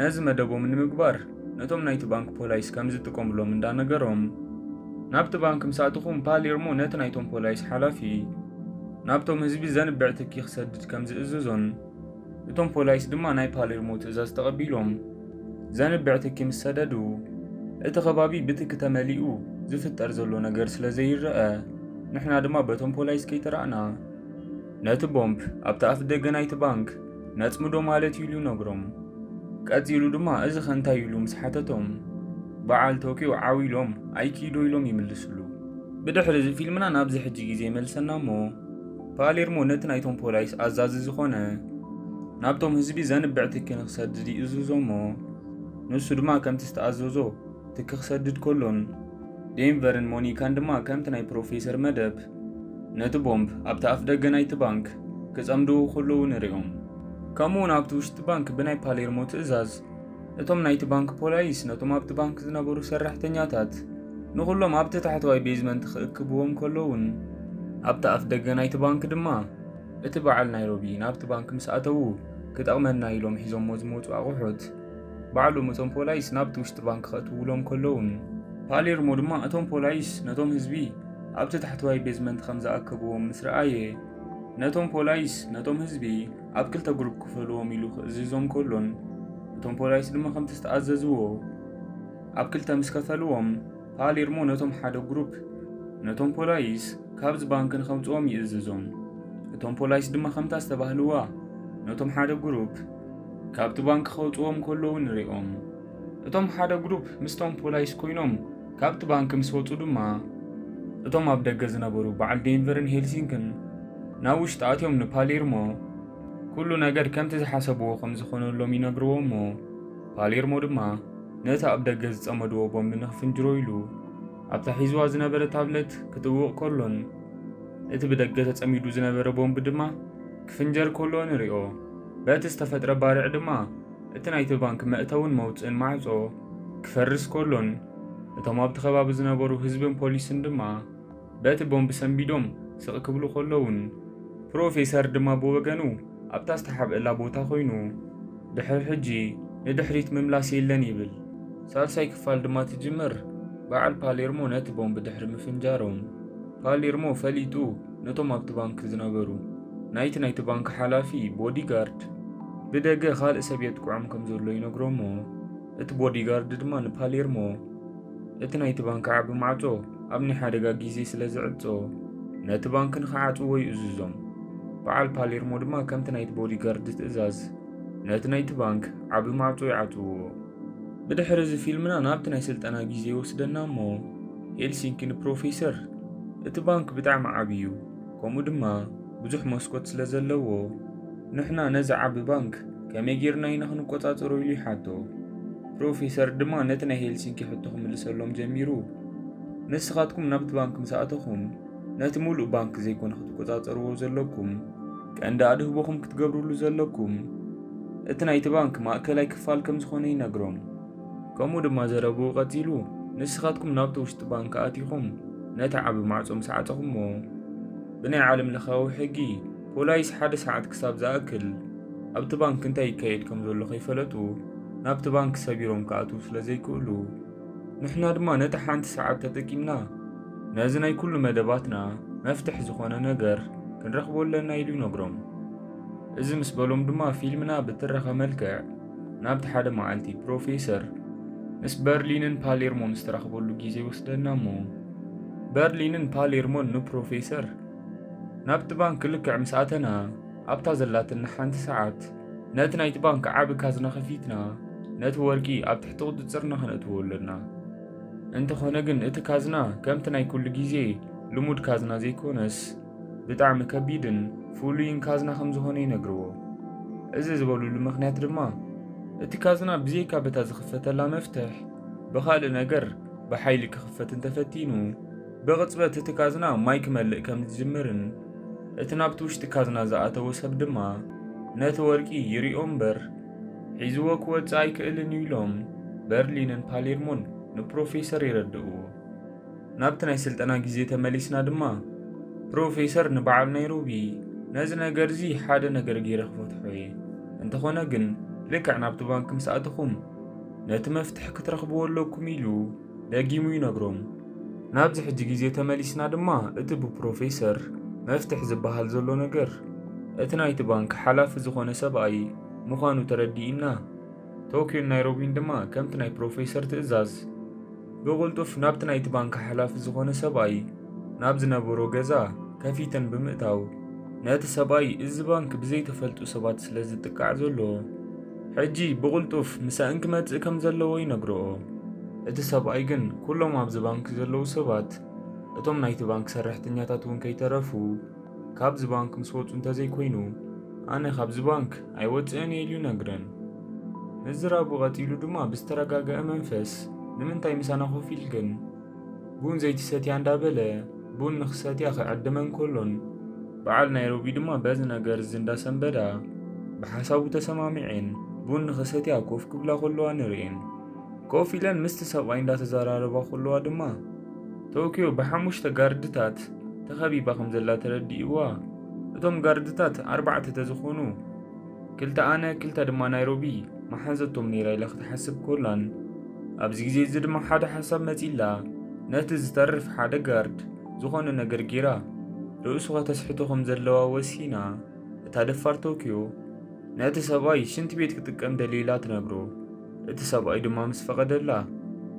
ነዚ መደቦም ንምግባር ነቶም ናይቲ ባንክ ፖላይስ ከም ዝጥቀሙሎም እንዳነገሮም፣ ናብቲ ባንክ ምስ ኣተኹም ፓሌርሞ ነቲ ናይቶም ፖላይስ ሓላፊ ናብቶም ህዝቢ ዘንብዕ ትኪ ክሰድድ ከም ዝእዝዞን፣ እቶም ፖላይስ ድማ ናይ ፓሌርሞ ትእዛዝ ተቐቢሎም ዘንብዕ ትኪ ምስ ሰደዱ፣ እቲ ከባቢ ብትኪ ተመሊኡ ዝፍጠር ዘሎ ነገር ስለ ዘይረኣ፣ ንሕና ድማ በቶም ፖላይስ ከይተራእና፣ ነቲ ቦምብ ኣብቲ ኣፍ ደገ ናይቲ ባንክ ነጽምዶ ማለት እዩ ኢሉ ነግሮም። ቀጺሉ ድማ እዚ ኸ እንታይ ኢሉ ምስ ሓተቶም፣ በዓል ቶኪዮ ዓው ኢሎም ኣይኪዶ ኢሎም ይምልስሉ። ብድሕሪ እዚ ፊልምና ናብዚ ሕጂ ግዜ ይመልሰና እሞ፣ ፓሌርሞ ነቲ ናይቶም ፖላይስ ኣዛዚ ዝኾነ ናብቶም ህዝቢ ዘንብዕ ትኪ ንኽሰድድ ይእዝዞ እሞ፣ ንሱ ድማ ከምቲ ዝተኣዘዞ ትኪ ክሰድድ ከሎን፣ ዴንቨርን ሞኒካን ድማ ከምቲ ናይ ፕሮፌሰር መደብ ነቲ ቦምብ ኣብቲ ኣፍ ደገ ናይቲ ባንክ ክጸምድዎ ከለዉ ንሪኦም። ከምኡ እውን ኣብቲ ውሽጢ ባንክ ብናይ ፓሌርሞ ትእዛዝ እቶም ናይቲ ባንክ ፖላይስ ነቶም ኣብቲ ባንክ ዝነበሩ ሰራሕተኛታት ንኹሎም ኣብቲ ታሕተዋይ ቤዝመንት ክእክብዎም ከለውን፣ ኣብቲ ኣፍ ደገ ናይቲ ባንክ ድማ እቲ በዓል ናይሮቢ ናብቲ ባንክ ምስ ኣተዉ ክጠቕመና ኢሎም ሒዞሞ ዝመጹ ኣቑሑት ባዕሎም እቶም ፖላይስ ናብቲ ውሽጢ ባንክ ከእትውሎም ከለውን፣ ፓሌርሞ ድማ እቶም ፖላይስ ነቶም ህዝቢ ኣብቲ ታሕተዋይ ቤዝመንት ከም ዝኣከብዎም ምስ ረኣየ፣ ነቶም ፖላይስ ነቶም ህዝቢ ኣብ ክልተ ግሩፕ ክፈልዎም ኢሉ ክእዝዞም ከሎን፣ እቶም ፖላይስ ድማ ከምቲ ዝተኣዘዝዎ ኣብ ክልተ ምስ ከፈልዎም፣ ፓሌርሞ ነቶም ሓደ ግሩፕ ነቶም ፖላይስ ካብዚ ባንክ ንኸውጽኦም ይእዝዞም። እቶም ፖላይስ ድማ ከምታ ዝተባህልዋ ነቶም ሓደ ግሩፕ ካብቲ ባንክ ከውጽዎም ከለዉ ንሪኦም። እቶም ሓደ ግሩፕ ምስቶም ፖላይስ ኮይኖም ካብቲ ባንክ ምስ ወጹ ድማ፣ እቶም ኣብ ደገ ዝነበሩ በዓል ዴንቨርን ሄልሲንክን ናብ ውሽጢ ኣትዮም ንፓሌርሞ ኩሉ ነገር ከምቲ ዝሓሰብዎ ከም ዝኾነሎም ይነግርዎ እሞ፣ ፓሌርሞ ድማ ነቲ ኣብ ደገ ዝጸመድዎ ቦምብ ንኽፍንጅሮ ኢሉ ኣብታ ሒዝዋ ዝነበረ ታብለት ክጥውቕ ከሎን፣ እቲ ብደገ ተጸሚዱ ዝነበረ ቦምብ ድማ ክፍንጀር ከሎ ንሪኦ። በቲ ዝተፈጥረ ባርዕ ድማ እቲ ናይቲ ባንክ መእተውን መውጽእን ማዕጾ ክፈርስ ከሎን፣ እቶም ኣብቲ ከባቢ ዝነበሩ ህዝብን ፖሊስን ድማ በቲ ቦምብ ሰንቢዶም ስቕ ክብሉ ከለውን፣ ፕሮፌሰር ድማ ብወገኑ ኣብታ ዝተሓብአላ ቦታ ኮይኑ፣ ድሕሪ ሕጂ ንድሕሪት ምምላስ የለን ይብል። ሳልሳይ ክፋል ድማ ትጅምር፣ በዓል ፓሌርሞ ነቲ ቦምብ ድሕሪ ምፍንጃሮም፣ ፓሌርሞ ፈሊጡ ነቶም ኣብቲ ባንክ ዝነበሩ ናይቲ ናይቲ ባንክ ሓላፊ ቦዲጋርድ ብደገ ካልእ ሰብ የጥቅዖም ከም ዘሎ ይነግሮሞ። እቲ ቦዲጋርድ ድማ ንፓሌርሞ እቲ ናይቲ ባንክ ዓቢ ማዕጾ ኣብ ናይ ሓደጋ ግዜ ስለ ዝዕጾ፣ ነቲ ባንክ ንኽዓጽዎ ይእዝዞም። በዓል ፓሌርሞ ድማ ከምቲ ናይቲ ቦዲጋርድ ትእዛዝ፣ ነቲ ናይቲ ባንክ ዓቢ ማዕጾ ይዓጽውዎ። ብድሕሪ እዚ ፊልምና ናብቲ ናይ ስልጠና ግዜ ይወስደና እሞ፣ ሄልሲንኪ ንፕሮፌሰር፣ "እቲ ባንክ ብጣዕሚ ዓቢ እዩ፣ ከምኡ ድማ ብዙሕ መስኮት ስለ ዘለዎ፣ ንሕና ነዚ ዓቢ ባንክ ከመይ ጌርና ኢና ክንቆጻጸሮ?" ኢሉ ይሓቶ። ፕሮፌሰር ድማ ነቲ ናይ ሄልሲንኪ ሕቶ ክምልሰሎም ጀሚሩ፣ "ንስኻትኩም ናብቲ ባንክ ምስ ኣተኹም፣ ነቲ ሙሉእ ባንክ ዘይኮነ ክትቆጻጸርዎ ዘለኩም፣ ቀንዲ ኣድህቦኹም ክትገብርሉ ዘለኩም፣ እቲ ናይቲ ባንክ ማእከላይ ክፋል ከም ዝኾነ ይነግሮም። ከምኡ ድማ ዘረብኡ ቀጺሉ፣ ንስኻትኩም ናብቲ ውሽጢ ባንክ ኣቲኹም፣ ነቲ ዓቢ ማዕጾ ምስ ዓጸኹሞ፣ ብናይ ዓለም ለኻዊ ሕጊ፣ ፖላይስ ሓደ ሰዓት ክሳብ ዝኣክል ኣብቲ ባንክ እንታይ ይካየድ ከም ዘሎ ከይፈለጡ፣ ናብቲ ባንክ ሰቢሮም ክኣትዉ ስለ ዘይክእሉ፣ ንሕና ድማ ነቲ ሓንቲ ሰዓት ተጠቂምና፣ ነዚ ናይ ኩሉ መደባትና መፍትሕ ዝኾነ ነገር ክንረኽቦ ኣለና" ኢሉ ይነግሮም። እዚ ምስ በሎም ድማ ፊልምና ብትረኻ መልክዕ ናብቲ ሓደ መዓልቲ ፕሮፌሰር ምስ በርሊንን ፓሌርሞን ዝተራኽበሉ ግዜ ይወስደና እሞ፣ በርሊንን ፓሌርሞን ንፕሮፌሰር፣ "ናብቲ ባንክ ልክዕ ምስ ኣተና፣ ኣብታ ዘላትና ሓንቲ ሰዓት፣ ነቲ ናይቲ ባንክ ዓቢ ካዝና ከፊትና፣ ነቲ ወርቂ ኣብ ትሕቲ ቁጽጽርና ከነእትዎ ኣለና። እንተኾነ ግን እቲ ካዝና ከምቲ ናይ ኩሉ ግዜ ልሙድ ካዝና ዘይኮነስ፣ ብጣዕሚ ከቢድን ፍሉይን ካዝና ከም ዝኾነ ይነግርዎ። እዚ ዝበሉሉ ምኽንያት ድማ፣ እቲ ካዝና ብዘይካ በታ ዝኽፈተላ መፍትሕ፣ ብኻልእ ነገር ብሓይሊ ክኽፈት እንተፈቲኑ፣ ብቕጽበት እቲ ካዝና ማይ ክመልእ ከም ዝጅምርን፣ እቲ ናብቲ ውሽጢ ካዝና ዝኣተወ ሰብ ድማ ነቲ ወርቂ ይሪኦ እምበር፣ ሒዝዎ ክወጽእ ኣይክእልን እዩ" ኢሎም በርሊንን ፓሌርሞን ንፕሮፌሰር የረድእዎ። ናብቲ ናይ ስልጠና ግዜ ተመሊስና ድማ፣ ፕሮፌሰር ንበዓል ናይሮቢ፣ "ነዚ ነገር እዚ ሓደ ነገር ገይረ ክፈትሖ እየ። እንተኾነ ግን፣ ልክዕ ናብቲ ባንክ ምስ ኣተኹም፣ ነቲ መፍትሕ ክትረኽብዎ ኣለኩም" ኢሉ ደጊሙ ይነግሮም። ናብዚ ሕጂ ግዜ ተመሊስና ድማ፣ እቲ ብፕሮፌሰር መፍትሕ ዝበሃል ዘሎ ነገር፣ እቲ ናይቲ ባንክ ሓላፊ ዝኾነ ሰብኣይ ምዃኑ ተረዲእና፣ ቶክዮን ናይሮቢን ድማ ከምቲ ናይ ፕሮፌሰር ትእዛዝ ብቕልጡፍ ናብቲ ናይቲ ባንክ ሓላፊ ዝኾነ ሰብኣይ ናብ ዝነበሮ ገዛ ከፊተን ብምእታው፣ ነቲ ሰብኣይ፣ "እዚ ባንክ ብዘይተፈልጡ ሰባት ስለ ዝጥቃዕ ዘሎ፣ ሕጂ ብቕልጡፍ ምሳእን ክመጽእ ከም ዘለዎ" ይነግርኦ። እቲ ሰብኣይ ግን ኩሎም ኣብዚ ባንክ ዘለዉ ሰባት፣ እቶም ናይቲ ባንክ ሰራሕተኛታት እውን ከይተረፉ፣ ካብዚ ባንክ ምስ ወጹ እንተዘይኮይኑ፣ ኣነ ካብዚ ባንክ ኣይወጽእን እየ ኢሉ ይነግረን። ምዝራቡ ቀጺሉ ድማ ብዝተረጋግአ መንፈስ፣ "ንምንታይ ምሳና ኮፍ ኢልክን? ቡን ዘይትሰትያ?" እንዳበለ ቡን ንኽሰትያ ክዕድመን ከሎን፣ በዓል ናይሮቢ ድማ በዚ ነገር እዚ እንዳሰንበዳ ብሓሳቡ ተሰማሚዐን ቡን ንኽሰትያ ኮፍ ክብላ ከለዋ ንርእየን። ኮፍ ኢለን ምስቲ ሰብኣይ እንዳተዘራረባ ከለዋ ድማ፣ ቶክዮ ብሓሙሽተ ጋርድታት ተኸቢባ ከም ዘላ ተረዲእዋ። እቶም ጋርድታት ኣርባዕተ ተዝኾኑ፣ ክልተ ኣነ፣ ክልተ ድማ ናይሮቢ መሓዘቶም ነይራ ኢላ ክትሓስብ ኮላን፣ ኣብዚ ግዜ እዚ ድማ ሓደ ሓሳብ መጺላ፣ ነቲ ዝተርፍ ሓደ ጋርድ ዝኾነ ነገር ጌራ፣ ርእሱ ከተስሕቶ ከም ዘለዋ ወሲና፣ እታ ደፋር ቶክዮ ነቲ ሰብኣይ ሽንቲ ቤት ክጥቀም ደልዩ ኢላ ትነግሮ። እቲ ሰብኣይ ድማ ምስ ፈቐደላ፣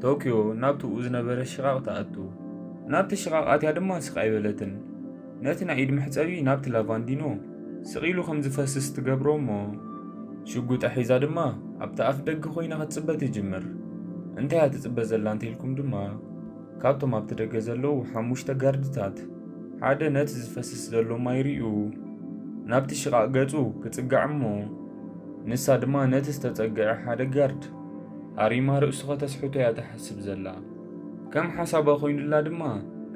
ቶክዮ ናብቲ ዝነበረ ሽቓቕ ትኣቱ። ናብቲ ሽቓቕ ኣትያ ድማ ስቕ ኣይበለትን። ነቲ ናይ ኢድ መሕጸቢ ናብቲ ላቫንዲኖ ስቕ ኢሉ ከም ዝፈስስ ትገብሮ እሞ፣ ሽጉጣ ሒዛ ድማ ኣብቲ ኣፍ ደገ ኮይና ክትጽበ ትጅምር። እንታይ እያ ትጽበ ዘላ እንተኢልኩም ድማ፣ ካብቶም ኣብቲ ደገ ዘለዉ ሓሙሽተ ጋርድታት ሓደ ነቲ ዝፈስስ ዘሎ ማይ ርእዩ ናብቲ ሽቓቕ ገጹ ክጽጋዕ እሞ፣ ንሳ ድማ ነቲ ዝተጸግዐ ሓደ ጋርድ ኣሪማ ርእሱ ከተስሕቶ እያ ትሓስብ ዘላ። ከም ሓሳባ ኮይኑላ ድማ፣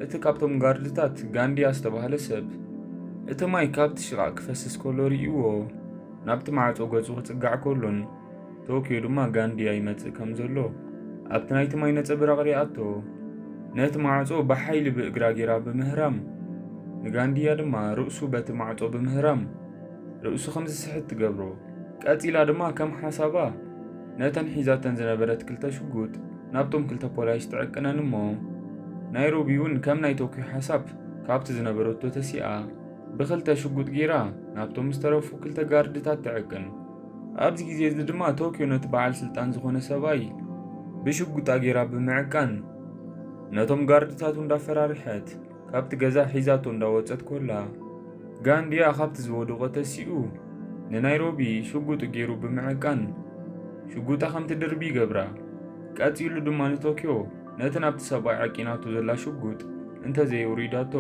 እቲ ካብቶም ጋርድታት ጋንድያ ዝተባህለ ሰብ፣ እቲ ማይ ካብቲ ሽቓቕ ክፈስስ ከሎ ርእይዎ፣ ናብቲ ማዕጾ ገጹ ክጽጋዕ ከሎን፣ ቶክዮ ድማ ጋንድያ ይመጽእ ከም ዘሎ ኣብቲ ናይቲ ማይ ነጸብራቕ ሪኣቶ። ነቲ ማዕጾ ብሓይሊ ብእግራ ጌራ ብምህራም፣ ንጋንድያ ድማ ርእሱ በቲ ማዕጾ ብምህራም ርእሱ ከም ዝስሕት ትገብሮ። ቀጺላ ድማ ከም ሓሳባ ነተን ሒዛተን ዝነበረት ክልተ ሽጉጥ ናብቶም ክልተ ፖላይስ ትዕቅነን እሞ፣ ናይሮቢ እውን ከም ናይ ቶክዮ ሓሳብ ካብቲ ዝነበረቶ ተሲኣ ብክልተ ሽጉጥ ጌራ ናብቶም ዝተረፉ ክልተ ጋርድታት ትዕቅን። ኣብዚ ግዜ እዚ ድማ ቶክዮ ነቲ በዓል ስልጣን ዝኾነ ሰብኣይ ብሽጉጣ ጌራ ብምዕቃን፣ ነቶም ጋርድታቱ እንዳፈራርሐት ካብቲ ገዛ ሒዛቶ እንዳወጸት ኮላ፣ ጋንድያ ካብቲ ዝወደቖ ተሲኡ ንናይሮቢ ሽጉጡ ገይሩ ብምዕቃን ሽጉጣ ከም ትድርቢ ይገብራ። ቀጺሉ ድማ ንቶኪዮ ነቲ ናብቲ ሰብኣይ ዓቂናቶ ዘላ ሽጉጥ እንተዘየውሪዳቶ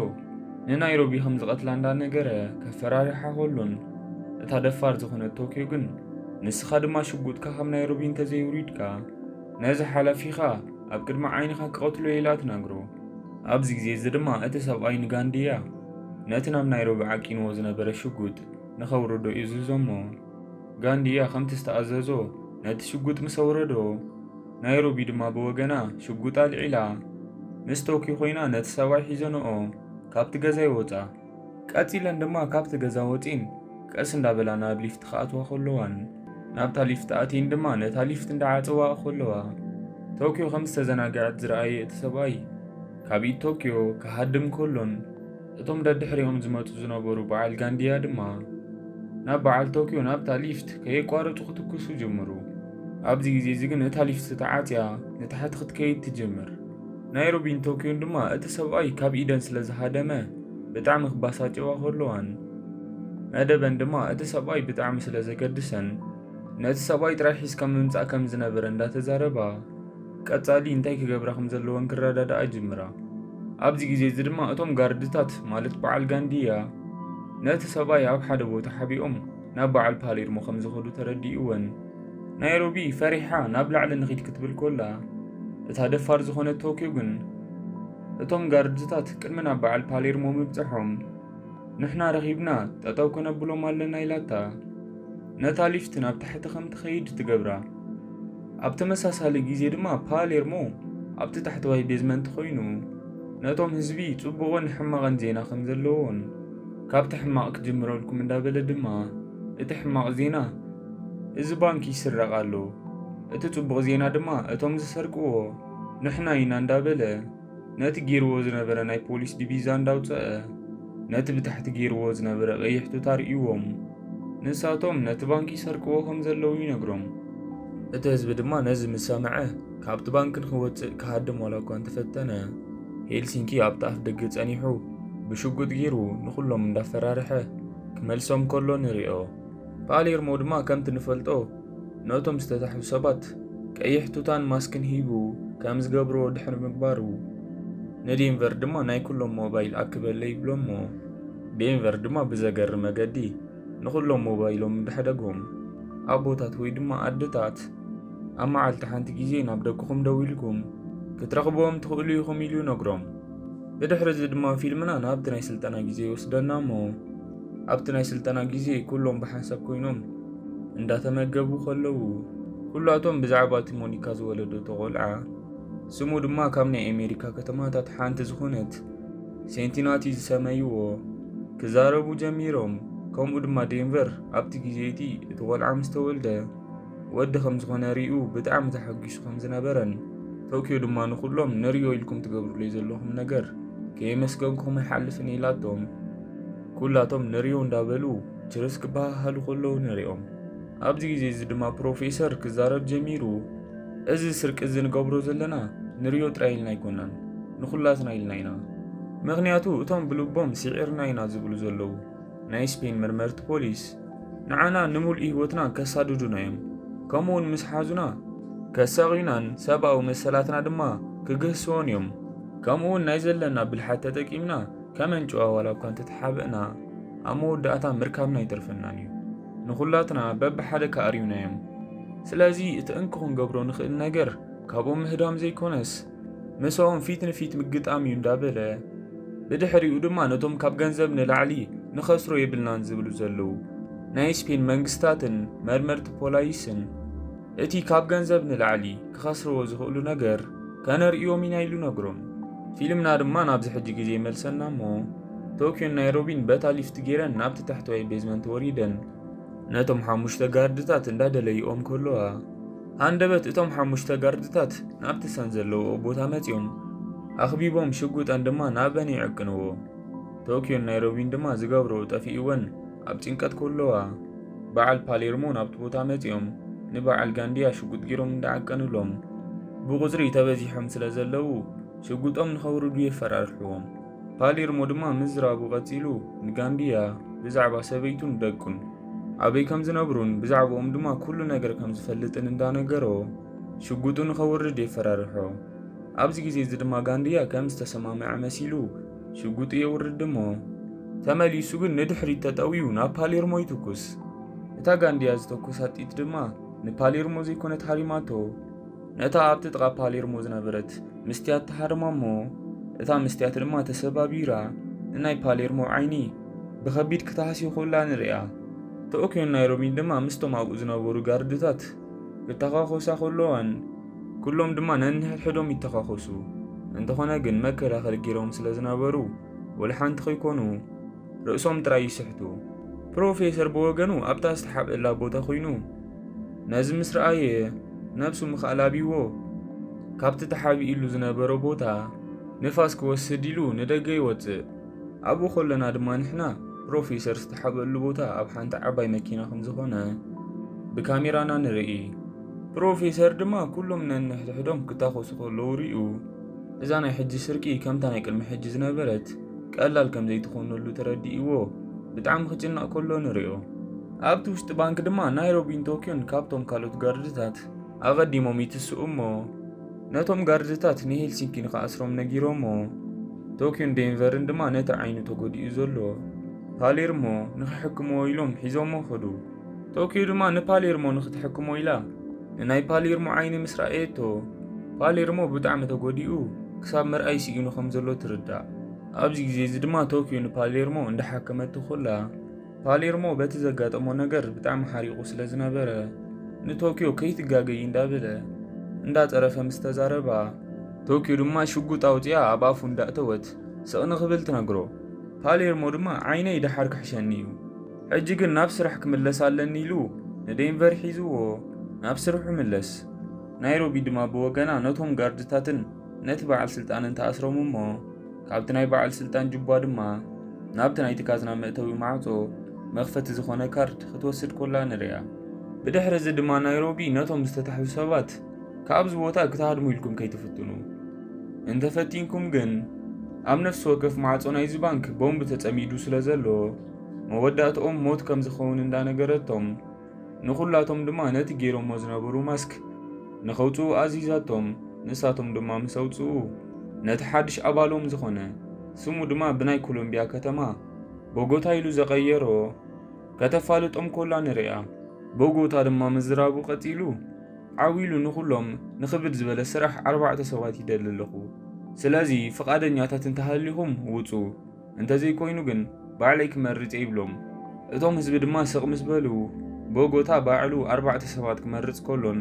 ንናይሮቢ ከም ዝቐትላ እንዳነገረ ከፈራርሓ ከሎን፣ እታ ደፋር ዝኾነት ቶኪዮ ግን ንስኻ ድማ ሽጉጥካ ካብ ናይሮቢ እንተዘይውሪድካ ነዚ ሓላፊኻ ኣብ ቅድሚ ዓይንኻ ክቐትሎ ኢላ ትነግሮ። ኣብዚ ግዜ እዚ ድማ እቲ ሰብኣይ ንጋንድያ ነቲ ናብ ናይሮቢ ዓቂንዎ ዝነበረ ሽጉጥ ንኸውርዶ ይእዝዞ እሞ፣ ጋንድያ ከምቲ ዝተኣዘዞ ነቲ ሽጉጥ ምስ ኣውረዶ፣ ናይሮቢ ድማ ብወገና ሽጉጥ ኣልዒላ ምስ ቶኪ ኮይና ነቲ ሰብኣይ ሒዘንኦ ካብቲ ገዛ ይወጻ። ቀጺለን ድማ ካብቲ ገዛ ወጺን ቀስ እንዳበላ ናብ ሊፍት ክኣትዋ ከለዋን ናብታ ሊፍት ኣትየን ድማ ነታ ሊፍት እንዳዓጸዋ ከለዋ ቶኪዮ ከም ዝተዘናግዐት ዝረኣየ እቲ ሰብኣይ ካብ ኢድ ቶኪዮ ክሃድም ከሎን እቶም ደድሕሪኦም ዝመጹ ዝነበሩ በዓል ጋንድያ ድማ ናብ በዓል ቶኪዮ ናብታ ሊፍት ከየቋረጹ ክትኩሱ ጀምሩ። ኣብዚ ግዜ እዚ ግን እታ ሊፍት ተዓጽያ ንታሕቲ ክትከይድ ትጅምር። ናይሮቢን ቶኪዮን ድማ እቲ ሰብኣይ ካብ ኢደን ስለ ዝሃደመ ብጣዕሚ ክባሳጨዋ ከለዋን መደበን ድማ እቲ ሰብኣይ ብጣዕሚ ስለ ዘገድሰን ነቲ ሰብኣይ ጥራይ ሒዝካ ምምጻእ ከም ዝነበረ እንዳተዛረባ ቀጻሊ እንታይ ክገብራ ከም ዘለወን ክረዳድኣ ጅምራ። ኣብዚ ግዜ እዚ ድማ እቶም ጋርድታት ማለት በዓል ጋንድያ ነቲ ሰብኣይ ኣብ ሓደ ቦታ ሓቢኦም ናብ በዓል ፓሌርሞ ከም ዝኸዱ ተረዲእወን ናይሮቢ ፈሪሓ ናብ ላዕሊ ንኺድ ክትብል ኮላ እታ ደፋር ዝኾነት ቶኪዮ ግን እቶም ጋርድታት ቅድሚ ናብ በዓል ፓሌርሞ ምብጽሖም ንሕና ረኺብና ጠጠው ከነብሎም ኣለና ኢላታ ነታ ሊፍት ናብ ታሕቲ ከም ትኸይድ ትገብራ። ኣብ ተመሳሳሊ ግዜ ድማ ፓሌርሞ ኣብቲ ታሕተዋይ ቤዝመንት ኮይኑ ነቶም ህዝቢ ጽቡቕን ሕማቕን ዜና ከም ዘለዎን ካብቲ ሕማቕ ክጅምረልኩም እንዳበለ ድማ እቲ ሕማቕ ዜና እዚ ባንክ ይስረቕ ኣሎ፣ እቲ ጽቡቕ ዜና ድማ እቶም ዝሰርቅዎ ንሕና ኢና እንዳበለ ነቲ ገይርዎ ዝነበረ ናይ ፖሊስ ዲቪዛ እንዳውፀአ ነቲ ብታሕቲ ገይርዎ ዝነበረ ቀይሕ ቱታ ርእይዎም ንሳቶም ነቲ ባንክ ይሰርቅዎ ከም ዘለዉ ይነግሮም። እቲ ህዝቢ ድማ ነዚ ምስ ሰምዐ ካብቲ ባንክ ንክወፅእ ክሃድም ዋላ እኳ እንተፈተነ ሄልሲንኪ ኣብቲ ኣፍ ደገ ፀኒሑ ብሽጉጥ ገይሩ ንኩሎም እንዳፈራርሐ ክመልሶም ከሎ ንሪኦ። ፓሌርሞ ድማ ከምቲ ንፈልጦ ነቶም ዝተታሕዙ ሰባት ቀይሕ ቱታን ማስክን ሂቡ ከም ዝገብርዎ ድሕሪ ምግባሩ ንዴንቨር ድማ ናይ ኩሎም ሞባይል ኣክበለይ ይብሎ እሞ ዴንቨር ድማ ብዘገርም መገዲ ንኩሎም ሞባይሎም እንዳሕደጎም ኣቦታት ወይ ድማ ኣደታት ኣብ መዓልቲ ሓንቲ ግዜ ናብ ደቅኹም ደዊልኩም ክትረኽብዎም ትኽእሉ ኢኹም ኢሉ ይነግሮም። ብድሕሪ እዚ ድማ ፊልምና ናብቲ ናይ ስልጠና ግዜ ይወስደና እሞ ኣብቲ ናይ ስልጠና ግዜ ኩሎም ብሓንሳብ ኮይኖም እንዳተመገቡ ከለዉ ኩላቶም ብዛዕባ እቲ ሞኒካ ዝወለደቶ ቆልዓ ስሙ ድማ ካብ ናይ ኣሜሪካ ከተማታት ሓንቲ ዝኾነት ሴንቲናቲ ዝሰመይዎ ክዛረቡ ጀሚሮም። ከምኡ ድማ ዴንቨር ኣብቲ ግዜ እቲ እቲ ቆልዓ ምስ ተወልደ ወዲ ከም ዝኾነ ሪኡ ብጣዕሚ ተሓጒሱ ከም ዝነበረን ቶኪዮ ድማ ንኹሎም ንሪኦ ኢልኩም ትገብሩለይ ዘለኹም ነገር ከየመስገንኩም ኣይሓልፍን ኢላቶም። ኩላቶም ንሪኦ እንዳበሉ ችርስ ክበሃሃሉ ከለዉ ንሪኦም። ኣብዚ ግዜ እዚ ድማ ፕሮፌሰር ክዛረብ ጀሚሩ፣ እዚ ስርቂ እዚ ንገብሮ ዘለና ንሪኦ ጥራይ ኢልና ኣይኮናን፣ ንኹላትና ኢልና ኢና። ምኽንያቱ እቶም ብልቦም ስዒርና ኢና ዝብሉ ዘለዉ ናይ ስፔን መርመርቲ ፖሊስ ንዓና ንምሉእ ህይወትና ከሳድዱና እዮም። ከምኡውን ምስ ሓዙና ከሳቕዩናን ሰብኣዊ መሰላትና ድማ ክግህስዎን እዮም። ከምኡውን ናይ ዘለና ብልሓት ተጠቂምና ከመንጭዋ ዋላ እኳ እንተተሓበእና ኣብ መወዳእታ ምርካብና ኣይተርፈናን እዩ። ንኹላትና በብሓደ ክኣርዩና እዮም። ስለዚ እቲ እንኮ ክንገብሮ ንኽእል ነገር ካብኦም ምህዳም ዘይኮነስ ምስኦም ፊት ንፊት ምግጣም እዩ እንዳበለ ብድሕሪኡ ድማ ነቶም ካብ ገንዘብ ንላዕሊ ንኸስሮ የብልናን ዝብሉ ዘለዉ ናይ ስፔን መንግስታትን መርመርቲ ፖላይስን እቲ ካብ ገንዘብ ንላዕሊ ክኸስርዎ ዝኽእሉ ነገር ከነርእዮም ኢና ኢሉ ነግሮም። ፊልምና ድማ ናብዚ ሕጂ ግዜ ይመልሰና እሞ ቶኪዮን ናይሮቢን በታ ሊፍት ገይረን ናብቲ ታሕተዋይ ቤዝመንት ወሪደን ነቶም ሓሙሽተ ጋርድታት እንዳደለይኦም ከለዋ ሃንደበት እቶም ሓሙሽተ ጋርድታት ናብቲ ሰን ዘለዎ ቦታ መጺኦም ኣኽቢቦም ሽጉጠን ድማ ናበን ይዕቅንዎ። ቶኪዮን ናይሮቢን ድማ ዝገብርኦ ጠፊእወን ኣብ ጭንቀት ከለዋ በዓል ፓሌርሞ ናብቲ ቦታ መጺኦም ንበዓል ጋንድያ ሽጉጥ ገይሮም እንዳዓቀንሎም ብቁጽሪ ተበዚሖም ስለ ዘለዉ ሽጉጦም ንኸውርዱ የፈራርሕዎም። ፓሌርሞ ድማ ምዝራቡ ቀጺሉ፣ ንጋንድያ ብዛዕባ ሰበይቱን ደቁን፣ ኣበይ ከም ዝነብሩን ብዛዕባኦም ድማ ኩሉ ነገር ከም ዝፈልጥን እንዳነገሮ፣ ሽጉጡ ንኸውርድ የፈራርሖ። ኣብዚ ግዜ እዚ ድማ ጋንድያ ከም ዝተሰማምዐ መሲሉ ሽጉጡ የውርድ እሞ፣ ተመሊሱ ግን ንድሕሪት ተጠውዩ ናብ ፓሌርሞ ይትኩስ። እታ ጋንድያ ዝተኮሳ ጥይት ድማ ንፓሌርሞ ዘይኮነት ሃሪማቶ፣ ነታ ኣብቲ ጥቓ ፓሌርሞ ዝነበረት መስትያት ተሃርማ እሞ፣ እታ መስትያት ድማ ተሰባቢራ፣ ንናይ ፓሌርሞ ዓይኒ ብኸቢድ ክትሃስዮ ከላ ንርእያ። ቶክዮን ናይሮቢን ድማ ምስቶም ኣብኡ ዝነበሩ ጋርድታት ክተኻኾሳ ከለዋን፣ ኩሎም ድማ ነንሕድሕዶም ይተኻኾሱ። እንተኾነ ግን መከላኸሊ ገይሮም ስለ ዝነበሩ፣ ወላ ሓንቲ ከይኮኑ ርእሶም ጥራይ ይስሕቱ። ፕሮፌሰር ብወገኑ ኣብታ ዝተሓብአላ ቦታ ኮይኑ ነዚ ምስ ረኣየ፣ ነብሱ ምኽኣል ኣብይዎ፣ ካብቲ ተሓቢእሉ ዝነበረ ቦታ ንፋስ ክወስድ ኢሉ ንደገ ይወጽእ። ኣብኡ ከለና ድማ ንሕና ፕሮፌሰር ዝተሓበሉ ቦታ ኣብ ሓንቲ ዓባይ መኪና ከም ዝኾነ ብካሜራና ንርኢ። ፕሮፌሰር ድማ ኩሎም ነንሕድሕዶም ክታኾሱ ከለዉ ርእዩ፣ እዛ ናይ ሕጂ ስርቂ ከምታ ናይ ቅድሚ ሕጂ ዝነበረት ቀላል ከም ዘይትኾነሉ ተረዲእዎ፣ ብጣዕሚ ክጭነቕ ከሎ ንርእዮ። ኣብቲ ውሽጢ ባንክ ድማ ናይሮቢን ቶክዮን ካብቶም ካልኦት ጋርድታት ኣቐዲሞም ይትስኡ እሞ፣ ነቶም ጋርድታት ንሄልሲንኪ ንኽኣስሮም ነጊሮሞ። ቶክዮን ዴንቨርን ድማ ነቲ ዓይኑ ተጎዲኡ ዘሎ ፓሌርሞ ንኽሕክምዎ ኢሎም ሒዞሞ ኸዱ። ቶክዮ ድማ ንፓሌርሞ ንኽትሕክሞ ኢላ ንናይ ፓሌርሞ ዓይኒ ምስ ረኣየቶ፣ ፓሌርሞ ብጣዕሚ ተጎዲኡ ክሳብ ምርኣይ ስኢኑ ከም ዘሎ ትርዳእ። ኣብዚ ግዜ እዚ ድማ ቶክዮ ንፓሌርሞ እንዳሓከመቶ ኸላ፣ ፓሌርሞ በቲ ዘጋጠሞ ነገር ብጣዕሚ ሓሪቑ ስለ ዝነበረ፣ ንቶክዮ ከይትጋገይ እንዳበለ እንዳጸረፈ ምስ ተዛረባ፣ ቶክዮ ድማ ሽጉጥ ኣውጺኣ ኣብ ኣፉ እንዳእተወት ስቕ ንኽብል ትነግሮ። ፓሌርሞ ድማ ዓይነይ ደሓር ክሕሸኒ እዩ፣ ሕጂ ግን ናብ ስራሕ ክምለስ ኣለኒ ኢሉ ንዴንቨር ሒዝዎ ናብ ስርሑ ምለስ። ናይሮቢ ድማ ብወገና ነቶም ጋርድታትን ነቲ በዓል ስልጣንን ተኣስሮም እሞ፣ ካብቲ ናይ በዓል ስልጣን ጁባ ድማ ናብቲ ናይቲ ካዝና መእተዊ ማዕጾ መኽፈቲ ዝኾነ ካርድ ክትወስድ ኮላ ንርእያ። ብድሕሪ እዚ ድማ ናይሮቢ ነቶም ዝተታሕዙ ሰባት ካብዚ ቦታ ክትሃድሙ ኢልኩም ከይትፍትኑ፣ እንተፈቲንኩም ግን ኣብ ነፍሲ ወከፍ ማዕጾ ናይዚ ባንክ ቦምብ ተጸሚዱ ስለ ዘሎ መወዳእትኦም ሞት ከም ዝኸውን እንዳነገረቶም፣ ንኹላቶም ድማ ነቲ ገይሮሞ ዝነበሩ ማስክ ንኸውጽኡ ኣዚዛቶም። ንሳቶም ድማ ምስ ኣውጽኡ፣ ነቲ ሓድሽ ኣባሎም ዝኾነ፣ ስሙ ድማ ብናይ ኮሎምቢያ ከተማ ቦጎታ ኢሉ ዘቐየሮ ከተፋልጦም ኮላ ንርእያ። ቦጎታ ድማ ምዝራቡ ቀጺሉ፣ ዓው ኢሉ ንኹሎም ንኽብድ ዝበለ ስራሕ ኣርባዕተ ሰባት ይደሊ ኣለኹ። ስለዚ ፍቓደኛታት እንተሃሊኹም ውጹ፣ እንተዘይኮይኑ ግን ባዕለይ ክመርጽ እየ ይብሎም። እቶም ህዝቢ ድማ ስቕ ምስ በሉ፣ ቦጎታ ባዕሉ ኣርባዕተ ሰባት ክመርጽ ከሎን፣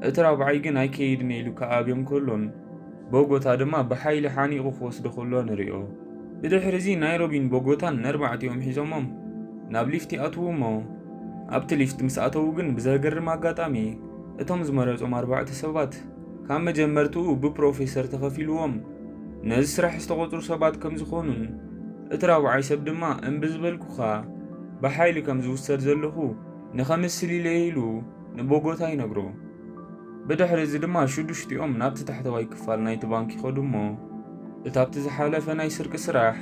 እቲ ራብዓይ ግን ኣይከይድን እየ ኢሉ ክኣብዮም ከሎን፣ ቦጎታ ድማ ብሓይሊ ሓኒቑ ክወስዶ ከሎ ንርእዮ። ብድሕሪ እዚ ናይሮቢን ቦጎታን ነርባዕቲኦም ሒዞሞም ናብ ሊፍት ይኣትዉ እሞ፣ ኣብቲ ሊፍት ምስ ኣተዉ ግን ብዘገርም ኣጋጣሚ እቶም ዝመረጾም ኣርባዕተ ሰባት ካብ መጀመርትኡ ብፕሮፌሰር ተኸፊልዎም ነዚ ስራሕ ዝተቖጽሩ ሰባት ከም ዝኾኑን፣ እቲ ራብዓይ ሰብ ድማ እምቢ ዝበልኩኻ ብሓይሊ ከም ዝውሰድ ዘለኹ ንኸምስል ኢለ ኢሉ ንቦጎታ ይነግሮ። ብድሕሪ እዚ ድማ ሽዱሽቲኦም ናብቲ ታሕተዋይ ክፋል ናይቲ ባንክ ይኸዱ እሞ፣ እታ ኣብቲ ዝሓለፈ ናይ ስርቂ ስራሕ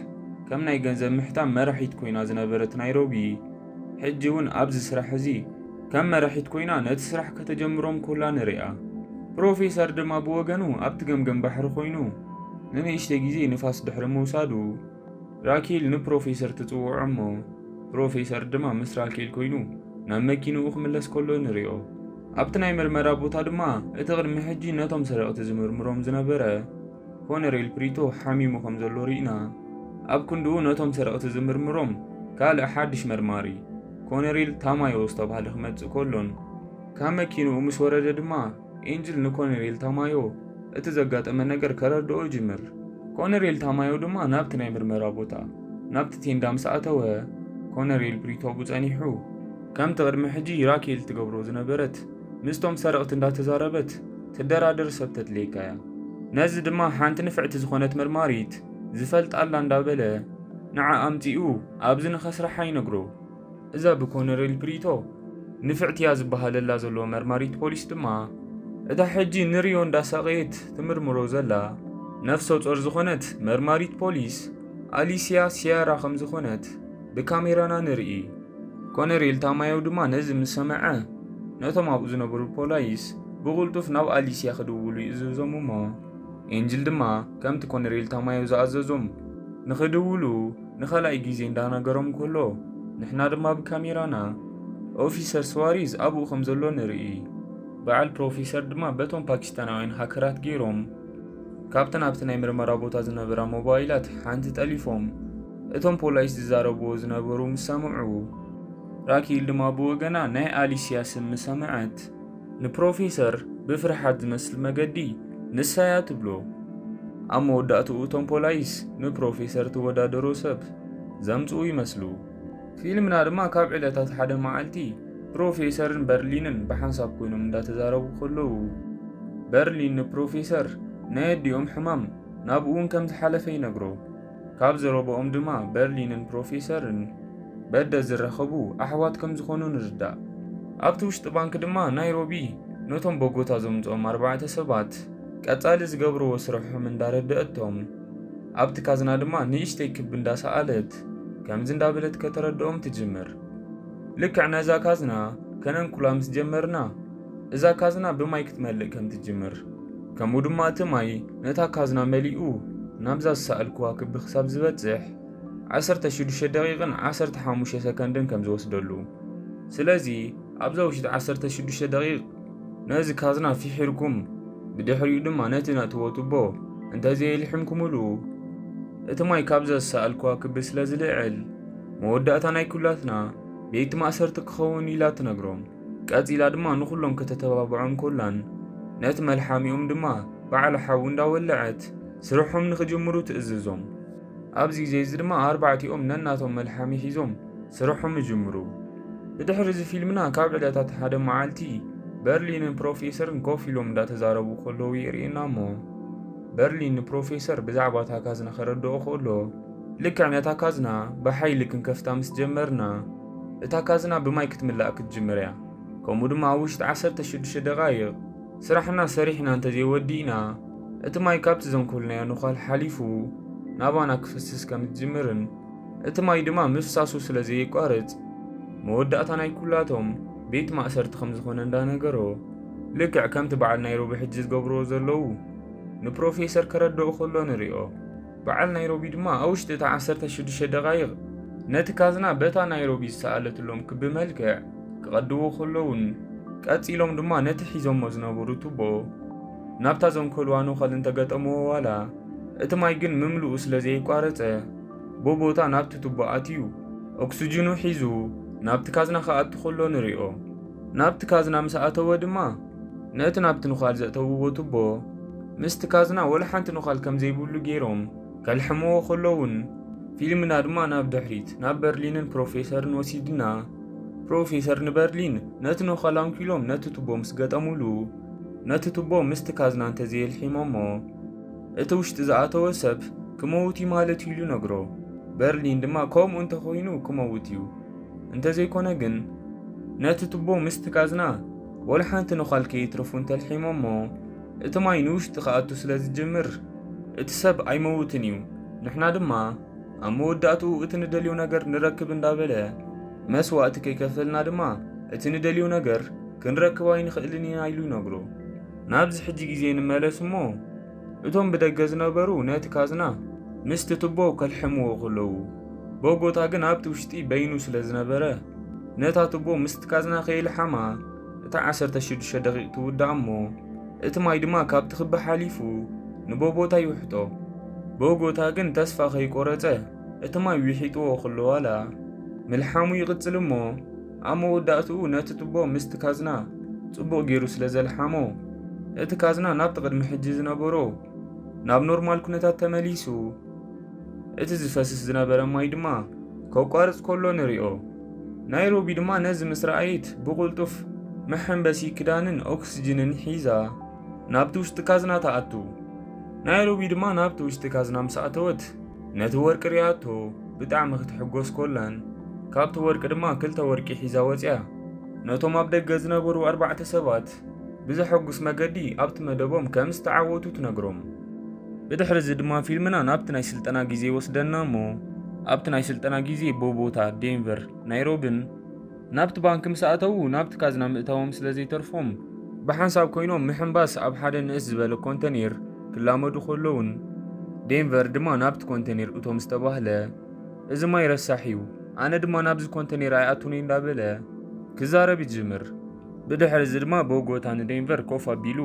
ከም ናይ ገንዘብ ምሕታም መራሒት ኮይና ዝነበረት ናይሮቢ፣ ሕጂ እውን ኣብዚ ስራሕ እዚ ከም መራሒት ኮይና ነቲ ስራሕ ከተጀምሮም ኮላ ንሪኣ። ፕሮፌሰር ድማ ብወገኑ ኣብቲ ገምገም ባሕሪ ኮይኑ ንንእሽተይ ግዜ ንፋስ ድሕሪ ምውሳዱ፣ ራኬል ንፕሮፌሰር ትጽውዖ እሞ፣ ፕሮፌሰር ድማ ምስ ራኬል ኮይኑ ናብ መኪንኡ ክምለስ ከሎ ንሪኦ። ኣብቲ ናይ ምርመራ ቦታ ድማ እቲ ቅድሚ ሕጂ ነቶም ሰረቕቲ ዝምርምሮም ዝነበረ ኮነሬል ፕሪቶ ሓሚሙ ከም ዘሎ ርኢና። ኣብ ክንድኡ ነቶም ሰረቕቲ ዝምርምሮም ካልእ ሓድሽ መርማሪ ኮነሬል ታማዮ ዝተባህለ ክመጽእ ከሎን፣ ካብ መኪንኡ ምስ ወረደ ድማ ኤንጅል ንኮነሬል ታማዮ እቲ ዘጋጠመ ነገር ከረድኦ ይጅምር። ኮነሬል ታማዮ ድማ ናብቲ ናይ ምርመራ ቦታ፣ ናብቲ ቴንዳ ምስ ኣተወ፣ ኮነሬል ፕሪቶ ብጸኒሑ ከምቲ ቅድሚ ሕጂ ራኬል ትገብሮ ዝነበረት ምስቶም ሰረቕቲ እንዳተዛረበት ትደራደር ሰብ ተድልየካ እያ። ነዚ ድማ ሓንቲ ንፍዕቲ ዝኾነት መርማሪት ዝፈልጣ ኣላ እንዳበለ ንዓ ኣምጺኡ ኣብዚ ንኸስርሓ ይነግሮ። እዛ ብኮነሬል ፕሪቶ ንፍዕቲ እያ ዝበሃለላ ዘሎ መርማሪት ፖሊስ ድማ እታ ሕጂ ንሪዮ እንዳሳቐየት ትምርምሮ ዘላ ነፍሰ ጾር ዝኾነት መርማሪት ፖሊስ ኣሊሲያ ሲያራ ከም ዝኾነት ብካሜራና ንርኢ። ኮነሬል ታማዮ ድማ ነዚ ምስ ሰምዐ፣ ነቶም ኣብኡ ዝነበሩ ፖላይስ ብቕልጡፍ ናብ ኣሊሲያ ክድውሉ ይእዝዞም እሞ፣ ኤንጅል ድማ ከምቲ ኮነሬል ታማዮ ዝኣዘዞም ንኽድውሉ ንኻልኣይ ግዜ እንዳነገሮም ከሎ፣ ንሕና ድማ ብካሜራና ኦፊሰር ስዋሪዝ ኣብኡ ከም ዘሎ ንርኢ። በዓል ፕሮፌሰር ድማ በቶም ፓኪስታናውያን ሃከራት ገይሮም ካብተን ኣብቲ ናይ ምርመራ ቦታ ዝነበራ ሞባይላት ሓንቲ ጠሊፎም፣ እቶም ፖላይስ ዝዛረብዎ ዝነበሩ ምስ ሰምዑ፣ ራኪል ድማ ብወገና ናይ ኣሊሲያ ስም ምስ ሰምዐት፣ ንፕሮፌሰር ብፍርሓት ዝመስል መገዲ ንሳያ ትብሎ። ኣብ መወዳእትኡ እቶም ፖላይስ ንፕሮፌሰር ትወዳደሮ ሰብ ዘምጽኡ ይመስሉ። ፊልምና ድማ ካብ ዕለታት ሓደ መዓልቲ ፕሮፌሰርን በርሊንን ብሓንሳብ ኮይኖም እንዳተዛረቡ ከለዉ፣ በርሊን ንፕሮፌሰር ናይ ኣዲኦም ሕማም ናብኡ እውን ከም ዝሓለፈ ይነግሮ። ካብ ዘረባኦም ድማ በርሊንን ፕሮፌሰርን በደ ዝራኸቡ ኣሕዋት ከም ዝኾኑ ንርዳእ። ኣብቲ ውሽጢ ባንክ ድማ ናይሮቢ ነቶም ቦጎታ ዘምጽኦም ኣርባዕተ ሰባት ቀጻሊ ዝገብርዎ ስርሖም እንዳረደአቶም፣ ኣብቲ ካዝና ድማ ንእሽተይ ክቢ እንዳሰኣለት ከምዚ እንዳበለት ከተረድኦም ትጅምር። ልክዕ ነዛ ካዝና ከነንኩላ ምስ ጀመርና፣ እዛ ካዝና ብማይ ክትመልእ ከም ትጅምር፣ ከምኡ ድማ እቲ ማይ ነታ ካዝና መሊኡ ናብዛ ዝሰኣልኩዋ ክቢ ክሳብ ዝበጽሕ ዓሰርተ ሽዱሽተ ደቂቕን ዓሰርተ ሓሙሽተ ሰከንድን ከም ዝወስደሉ። ስለዚ ኣብዛ ውሽጢ ዓሰርተ ሽዱሽተ ደቂቕ ነዚ ካዝና ፊሒርኩም፣ ብድሕሪኡ ድማ ነቲ ነእትዎ ቱቦ እንተዘየልሒምኩምሉ፣ እቲ ማይ ካብዛ ዝሰኣልኩዋ ክቢ ስለ ዝልዕል፣ መወዳእታ ናይ ኩላትና ቤት ማእሰርቲ ክኸውን ኢላ ትነግሮም። ቀጺላ ድማ ንኹሎም ከተተባብዖም ኮላን፣ ነቲ መልሓሚኦም ድማ ባዕላ ሓዊ እንዳወለዐት ስርሖም ንኽጅምሩ ትእዝዞም። ኣብዚ ግዜ እዚ ድማ ኣርባዕቲኦም ነናቶም መልሓሚ ሒዞም ስርሖም ይጅምሩ። ብድሕሪ እዚ ፊልምና ካብ ዕለታት ሓደ መዓልቲ በርሊንን ፕሮፌሰርን ኮፍ ኢሎም እንዳተዛረቡ ከለዉ የርእየና እሞ፣ በርሊን ንፕሮፌሰር ብዛዕባ እታ ካዝና ከረድኦ ከሎ፣ ልክዕ ነታ ካዝና ብሓይሊ ክንከፍታ ምስ ጀመርና፣ እታ ካዝና ብማይ ክትምላእ ክትጅምር እያ። ከምኡ ድማ ኣብ ውሽጢ ዓሰርተ ሽዱሽተ ደቓይቕ ስራሕና ሰሪሕና እንተዘይወዲእና፣ እቲ ማይ ካብቲ ዘንኮልናዮ ነዃል ሓሊፉ ናባና ክፍስስ ከም ዝጅምርን፣ እቲ ማይ ድማ ምፍሳሱ ስለ ዘየቋርጽ፣ መወዳእታ ናይ ኩላቶም ቤት ማእሰርቲ ከም ዝኾነ እንዳነገሮ፣ ልክዕ ከምቲ በዓል ናይሮቢ ሕጂ ዝገብርዎ ዘለዉ ንፕሮፌሰር ከረድኦ ከሎ ንሪኦ። በዓል ናይሮቢ ድማ ኣብ ውሽጢ እታ ዓሰርተ ሽዱሽተ ደቓይቕ ነቲ ካዝና በታ ናይሮቢ ዝሰኣለትሎም ክቢ መልክዕ ክቐድዎ ከለዉን፣ ቀጺሎም ድማ ነቲ ሒዞሞ ዝነበሩ ቱቦ ናብታ ዘንኮልዋ ነዃል እንተገጠምዎ ዋላ፣ እቲ ማይ ግን ምምልኡ ስለ ዘየቋረጸ፣ ብቦታ ናብቲ ቱቦ ኣትዩ ኦክስጅኑ ሒዙ ናብቲ ካዝና ክኣቱ ከሎ ንሪኦ። ናብቲ ካዝና ምስ ኣተወ ድማ፣ ነቲ ናብቲ ነዃል ዘእተውዎ ቱቦ ምስቲ ካዝና ወላ ሓንቲ ነዃል ከም ዘይብሉ ገይሮም ከልሕምዎ ከለዉን፣ ፊልምና ድማ ናብ ድሕሪት ናብ በርሊንን ፕሮፌሰርን ወሲድና፣ ፕሮፌሰር ንበርሊን ነቲ ነዃል ኣንኪሎም ነቲ ቱቦ ምስ ገጠሙሉ፣ ነቲ ቱቦ ምስቲ ካዝና እንተዘየልሒሞሞ፣ እቲ ውሽጢ ዝኣተወ ሰብ ክመውት እዩ ማለት እዩ ኢሉ ነግሮ። በርሊን ድማ ከምኡ እንተኾይኑ ክመውት እዩ፣ እንተዘይኮነ ግን ነቲ ቱቦ ምስቲ ካዝና ወላ ሓንቲ ነዃል ከይትረፉ እንተልሒሞሞ፣ እቲ ማይ ንውሽጢ ክኣቱ ስለ ዝጅምር፣ እቲ ሰብ ኣይመውትን እዩ። ንሕና ድማ ኣብ መወዳእትኡ እቲ ንደልዮ ነገር ንረክብ እንዳበለ፣ መስዋእቲ ከይከፈልና ድማ እቲ ንደልዮ ነገር ክንረክብ ኣይንኽእልን ኢና ኢሉ ይነግሮ። ናብዚ ሕጂ ግዜ ንመለስ እሞ፣ እቶም ብደገ ዝነበሩ ነቲ ካዝና ምስቲ ቱቦ ከልሕምዎ ከለዉ፣ ቦጎታ ግን ኣብቲ ውሽጢ በይኑ ስለ ዝነበረ፣ ነታ ቱቦ ምስቲ ካዝና ከየልሓማ እታ ዓሰርተ ሽዱሽተ ደቂቕ ትውዳእ እሞ፣ እቲ ማይ ድማ ካብቲ ክቢ ሓሊፉ ንቦቦታ ይውሕጦ። ቦጎታ ግን ተስፋ ከይቆረጸ እቲ ማይ ዊሒጥዎ ከሎ ዋላ ምልሓሙ ይቕጽል እሞ፣ ኣብ መወዳእትኡ ነቲ ቱቦ ምስቲ ካዝና ጽቡቕ ገይሩ ስለ ዘልሓሞ፣ እቲ ካዝና ናብቲ ቅድሚ ሕጂ ዝነበሮ ናብ ኖርማል ኩነታት ተመሊሱ፣ እቲ ዝፈስስ ዝነበረ ማይ ድማ ከቋርጽ ከሎ ንሪኦ። ናይሮቢ ድማ ነዚ ምስ ረኣየት ብቕልጡፍ መሐንበሲ ክዳንን ኦክስጅንን ሒዛ ናብቲ ውሽጢ ካዝና ትኣቱ። ናይሮቢ ድማ ናብቲ ውሽጢ ካዝና ምስ ኣተወት፣ ነቲ ወርቂ ሪኣቶ ብጣዕሚ ክትሕጎስ ኮላን፣ ካብቲ ወርቂ ድማ ክልተ ወርቂ ሒዛ ወጽያ። ነቶም ኣብ ደገ ዝነበሩ ኣርባዕተ ሰባት ብዘሐጉስ መገዲ ኣብቲ መደቦም ከም ዝተዓወቱ ትነግሮም። ብድሕሪ እዚ ድማ ፊልምና ናብቲ ናይ ስልጠና ግዜ ይወስደና እሞ፣ ኣብቲ ናይ ስልጠና ግዜ ቦጎታ፣ ዴንቨር፣ ናይሮብን ናብቲ ባንክ ምስ ኣተዉ ናብቲ ካዝና ምእታዎም ስለ ዘይተርፎም፣ ብሓንሳብ ኮይኖም ምሕንባስ ኣብ ሓደ ንእስ ዝበለ ኮንተኔር ክላመዱ ከለውን፣ ዴንቨር ድማ ናብቲ ኮንተኔር እቶም ዝተባህለ፣ እዚ ማይ ረሳሕ እዩ፣ ኣነ ድማ ናብዚ ኮንተኔር ኣይኣቱን እየ እንዳበለ ክዛረብ ይጅምር። ብድሕሪ እዚ ድማ ቦጎታ ንዴንቨር ኮፍ ኣቢሉ፣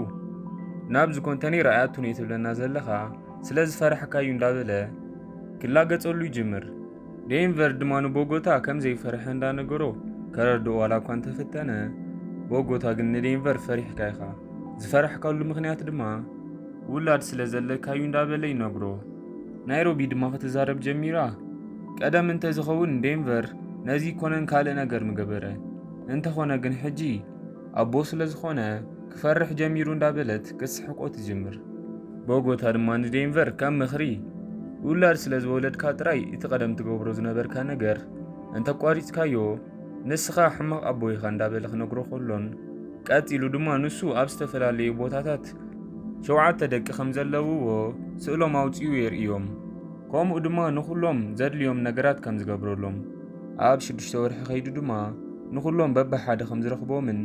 ናብዚ ኮንተኔር ኣይኣቱን እየ ትብለና ዘለኻ ስለ ዝፈራሕካ እዩ እንዳበለ ክላገጸሉ ይጅምር። ዴንቨር ድማ ንቦጎታ ከም ዘይፈርሐ እንዳነገሮ ከረድኦ ዋላ እኳ እንተፈተነ፣ ቦጎታ ግን ንዴንቨር ፈሪሕካ ኢኻ፣ ዝፈራሕካሉ ምኽንያት ድማ ውላድ ስለ ዘለካ እዩ እንዳበለ ይነግሮ። ናይሮቢ ድማ ክትዛረብ ጀሚራ። ቀደም እንተዝኸውን ዴንቨር ነዚ ይኮነን ካልእ ነገር ምገበረ። እንተኾነ ግን ሕጂ ኣቦ ስለ ዝኾነ ክፈርሕ ጀሚሩ እንዳበለት ክትስሕቆ ትጅምር። ቦጎታ ድማ ንዴንቨር ከም ምኽሪ፣ ውላድ ስለ ዝወለድካ ጥራይ እቲ ቀደም ትገብሮ ዝነበርካ ነገር እንተቋሪጽካዮ ንስኻ ሕማቕ ኣቦ ኢኻ እንዳበለ ክነግሮ ከሎን፣ ቀጺሉ ድማ ንሱ ኣብ ዝተፈላለዩ ቦታታት ሸውዓተ ደቂ ከም ዘለውዎ ስእሎም ኣውጺኡ የርእዮም። ከምኡ ድማ ንኹሎም ዘድልዮም ነገራት ከም ዝገብረሎም፣ ኣብ ሽዱሽተ ወርሒ ከይዱ ድማ ንኹሎም በብሓደ ከም ዝረኽቦምን፣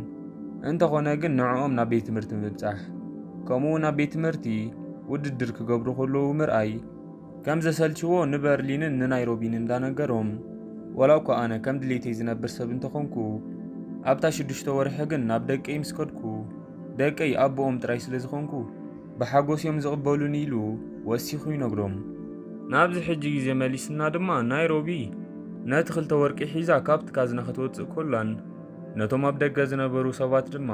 እንተኾነ ግን ንዕኦም ናብ ቤት ትምህርቲ ምብጻሕ፣ ከምኡ ናብ ቤት ትምህርቲ ውድድር ክገብሩ ከለዉ ምርኣይ ከም ዘሰልችዎ ንበርሊንን ንናይሮቢን እንዳነገሮም፣ ዋላ እኳ ኣነ ከም ድሌተይ ዝነብር ሰብ እንተኾንኩ፣ ኣብታ ሽዱሽተ ወርሒ ግን ናብ ደቀይ ምስ ከድኩ፣ ደቀይ ኣቦኦም ጥራይ ስለ ዝኾንኩ፣ ብሓጎስ እዮም ዝቕበሉኒ ኢሉ ወሲኹ ይነግሮም። ናብዚ ሕጂ ግዜ መሊስና ድማ ናይሮቢ ነቲ ክልተ ወርቂ ሒዛ ካብቲ ካዝና ክትወጽእ ኮላን፣ ነቶም ኣብ ደገ ዝነበሩ ሰባት ድማ፣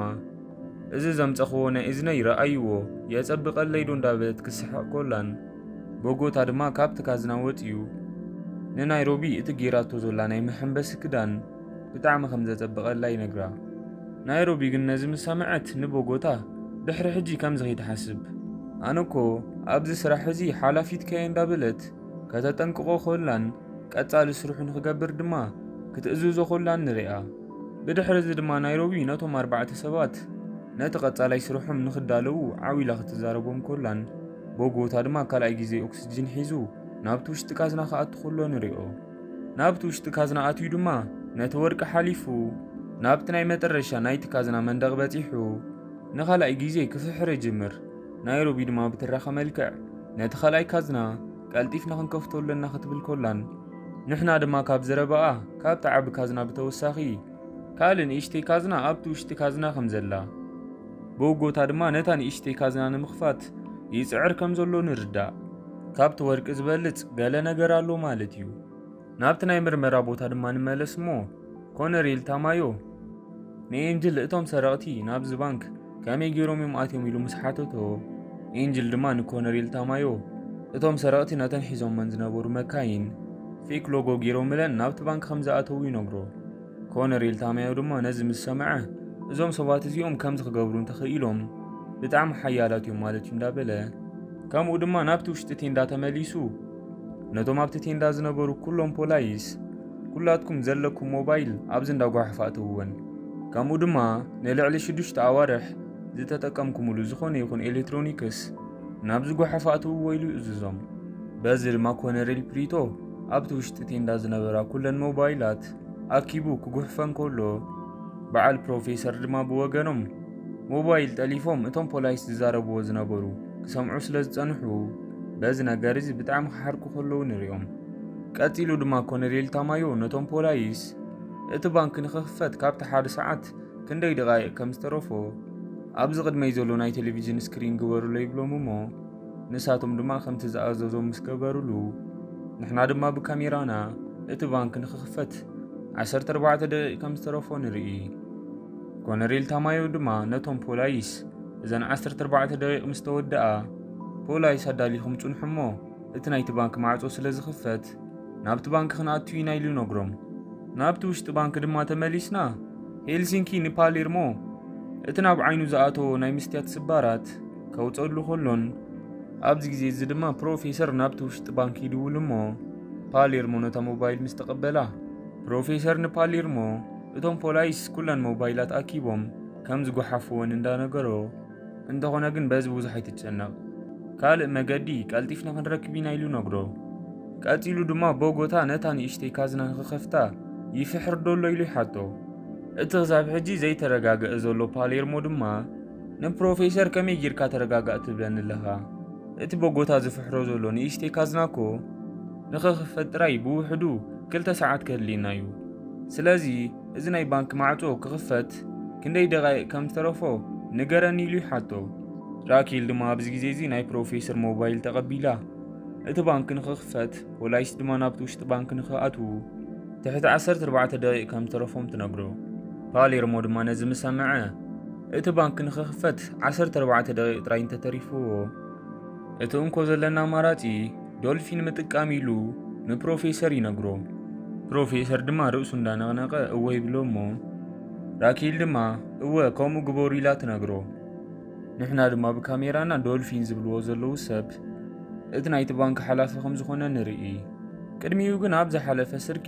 "እዚ ዘምጸኽዎ ናይ እዝነይ ረኣይዎ፣ የጸብቐለይ ዶ?" እንዳበለት ክስሕቕ ኮላን፣ ቦጎታ ድማ ካብቲ ካዝና ወጺኡ ንናይሮቢ እቲ ጌራቶ ዘላ ናይ መሐንበሲ ክዳን ብጣዕሚ ከም ዘጸብቐላ ይነግራ። ናይሮቢ ግን ነዚ ምስ ሰምዐት ንቦጎታ ድሕሪ ሕጂ ከምዚ ከይትሓስብ፣ "ኣነ እኮ ኣብዚ ስራሕ እዚ ሓላፊትካ እየ" እንዳበለት ከተጠንቅቖ ኮላን፣ ቀጻሊ ስርሑ ንክገብር ድማ ክትእዝዞ ኮላን ንሪኣ። ብድሕሪ እዚ ድማ ናይሮቢ ነቶም ኣርባዕተ ሰባት ነቲ ቀጻላይ ስርሖም ንክዳለዉ ዓው ኢላ ክትዛረቦም ኮላን፣ ቦጎታ ድማ ካልኣይ ግዜ ኦክስጅን ሒዙ ናብቲ ውሽጢ ካዝና ክኣቱ ከሎ ንሪኦ። ናብቲ ውሽጢ ካዝና ኣትዩ ድማ ነቲ ወርቂ ሓሊፉ ናብቲ ናይ መጠረሻ ናይቲ ካዝና መንደቕ በጺሑ ንኻልኣይ ግዜ ክፍሕር ይጅምር። ናይሮቢ ድማ ብትራኸ መልክዕ ነቲ ካልኣይ ካዝና ቀልጢፍና ክንከፍቶ ኣለና ክትብል ኮላን፣ ንሕና ድማ ካብ ዘረባኣ ካብቲ ዓቢ ካዝና ብተወሳኺ ካልእ ንእሽተይ ካዝና ኣብቲ ውሽጢ ካዝና ከም ዘላ፣ ብውጎታ ድማ ነታ ንእሽተይ ካዝና ንምኽፋት ይጽዕር ከም ዘሎ ንርዳእ። ካብቲ ወርቂ ዝበልጽ ገለ ነገር ኣሎ ማለት እዩ። ናብቲ ናይ ምርመራ ቦታ ድማ ንመለስ እሞ፣ ኮነሬል ታማዮ ንኤንጅል እቶም ሰረቕቲ ናብዚ ባንክ ከመይ ገይሮም እዮም ኣትዮም ኢሉ ምስ ሓተቶ፣ ኤንጅል ድማ ንኮነሬል ታማዮ እቶም ሰረቕቲ ነተን ሒዞመን ዝነበሩ መካይን ፌክ ሎጎ ገይሮምለን ናብቲ ባንክ ከም ዝኣተዉ ይነግሮ። ኮነሬል ታማዮ ድማ ነዚ ምስ ሰምዐ፣ እዞም ሰባት እዚኦም ከምዚ ክገብሩ እንተኽኢሎም ብጣዕሚ ሓያላት እዮም ማለት እዩ እንዳበለ፣ ከምኡ ድማ ናብቲ ውሽጢ ቴንዳ ተመሊሱ ነቶም ኣብቲ ቴንዳ ዝነበሩ ኩሎም ፖላይስ፣ "ኩላትኩም ዘለኩም ሞባይል ኣብዚ እንዳጓሓፍ ኣእተውወን፣ ከምኡ ድማ ንልዕሊ ሽዱሽተ ኣዋርሕ ዝተጠቀምኩምሉ ዝኾነ ይኹን ኤሌክትሮኒክስ ናብዚ ጓሓፍ ኣእትውዎ" ኢሉ ይእዝዞም። በዚ ድማ ኮነሬል ፕሪቶ ኣብቲ ውሽጢ ቴንዳ ዝነበራ ኩለን ሞባይላት ኣኪቡ ክጉሕፈን ከሎ፣ በዓል ፕሮፌሰር ድማ ብወገኖም ሞባይል ጠሊፎም እቶም ፖላይስ ዝዛረብዎ ዝነበሩ ክሰምዑ ስለ ዝጸንሑ፣ በዚ ነገር እዚ ብጣዕሚ ክሓርቁ ከለዉ ንሪኦም። ቀጺሉ ድማ ኮነሬል ታማዮ ነቶም ፖላይስ፣ እቲ ባንክ ንኽኽፈት ካብቲ ሓደ ሰዓት ክንደይ ደቓይቕ ከም ዝተረፎ፣ ኣብዚ ቅድመይ ዘሎ ናይ ቴሌቪዥን ስክሪን ግበሩሎ ይብሎም እሞ፣ ንሳቶም ድማ ከምቲ ዝኣዘዞም ምስ ገበሩሉ፣ ንሕና ድማ ብካሜራና እቲ ባንክ ንኽኽፈት ዓሰርተ ኣርባዕተ ደቂቕ ከም ዝተረፎ ንርኢ። ኮነሬል ታማዮ ድማ ነቶም ፖላይስ፣ "እዘን ዓሰርተ ኣርባዕተ ደቂቕ ምስ ተወድኣ፣ ፖላይስ ኣዳሊኹም ጽንሑ እሞ፣ እቲ ናይቲ ባንክ ማዕጾ ስለ ዝኽፈት፣ ናብቲ ባንክ ክንኣቱ ኢና" ኢሉ ይነግሮም። ናብቲ ውሽጢ ባንክ ድማ ተመሊስና፣ ሄልሲንኪ ንፓሌርሞ እቲ ናብ ዓይኑ ዝኣተዎ ናይ መስትያት ስባራት ከውጸሉ ከሎን፣ ኣብዚ ግዜ እዚ ድማ ፕሮፌሰር ናብቲ ውሽጢ ባንክ ይድውል እሞ፣ ፓሌርሞ ነታ ሞባይል ምስ ተቐበላ፣ ፕሮፌሰር ንፓሌርሞ እቶም ፖላይስ ኩለን ሞባይላት ኣኪቦም ከም ዝጓሓፍወን እንዳነገሮ፣ "እንተኾነ ግን በዚ ብዙሕ ኣይትጨነቕ፣ ካልእ መገዲ ቀልጢፍና ክንረክብ ኢና ኢሉ ነግሮ። ቀጺሉ ድማ ቦጎታ ነታ ንእሽተይ ካዝና ንኽኸፍታ ይፍሕር ዶ ኣሎ ኢሉ ይሓቶ። እቲ ክሳብ ሕጂ ዘይተረጋገአ ዘሎ ፓሌርሞ ድማ ንፕሮፌሰር ከመይ ጌርካ ተረጋጋእ ትብለኒ ኣለኻ? እቲ ቦጎታ ዝፍሕሮ ዘሎ ንእሽተይ ካዝና እኮ ንኽኽፈት ጥራይ ብውሕዱ ክልተ ሰዓት ከድልየና እዩ። ስለዚ እዚ ናይ ባንክ ማዕጾ ክኽፈት ክንደይ ደቓይቕ ከም ዝተረፎ ንገረኒ ኢሉ ይሓቶ። ራኪል ድማ ኣብዚ ግዜ እዚ ናይ ፕሮፌሰር ሞባይል ተቐቢላ እቲ ባንክ ንኽኽፈት ፖላይስ ድማ ናብቲ ውሽጢ ባንክ ንኽኣትዉ ትሕቲ ዓሰርተ ኣርባዕተ ደቂቕ ከም ዝተረፎም ትነግሮ። ፓሌርሞ ድማ ነዚ ምስ ሰምዐ እቲ ባንክ ንኽኽፈት ዓሰርተ ኣርባዕተ ደቂቕ ጥራይ እንተተሪፍዎ እቲ እንኮ ዘለና ኣማራጺ ዶልፊን ምጥቃም ኢሉ ንፕሮፌሰር ይነግሮ። ፕሮፌሰር ድማ ርእሱ እንዳነቕነቐ እወ ይብሎ እሞ ራኪል ድማ እወ ከምኡ ግበሩ ኢላ ትነግሮ። ንሕና ድማ ብካሜራና ዶልፊን ዝብልዎ ዘለዉ ሰብ እቲ ናይቲ ባንክ ሓላፊ ከም ዝኾነ ንርኢ። ቅድሚኡ ግን ኣብ ዝሓለፈ ስርቂ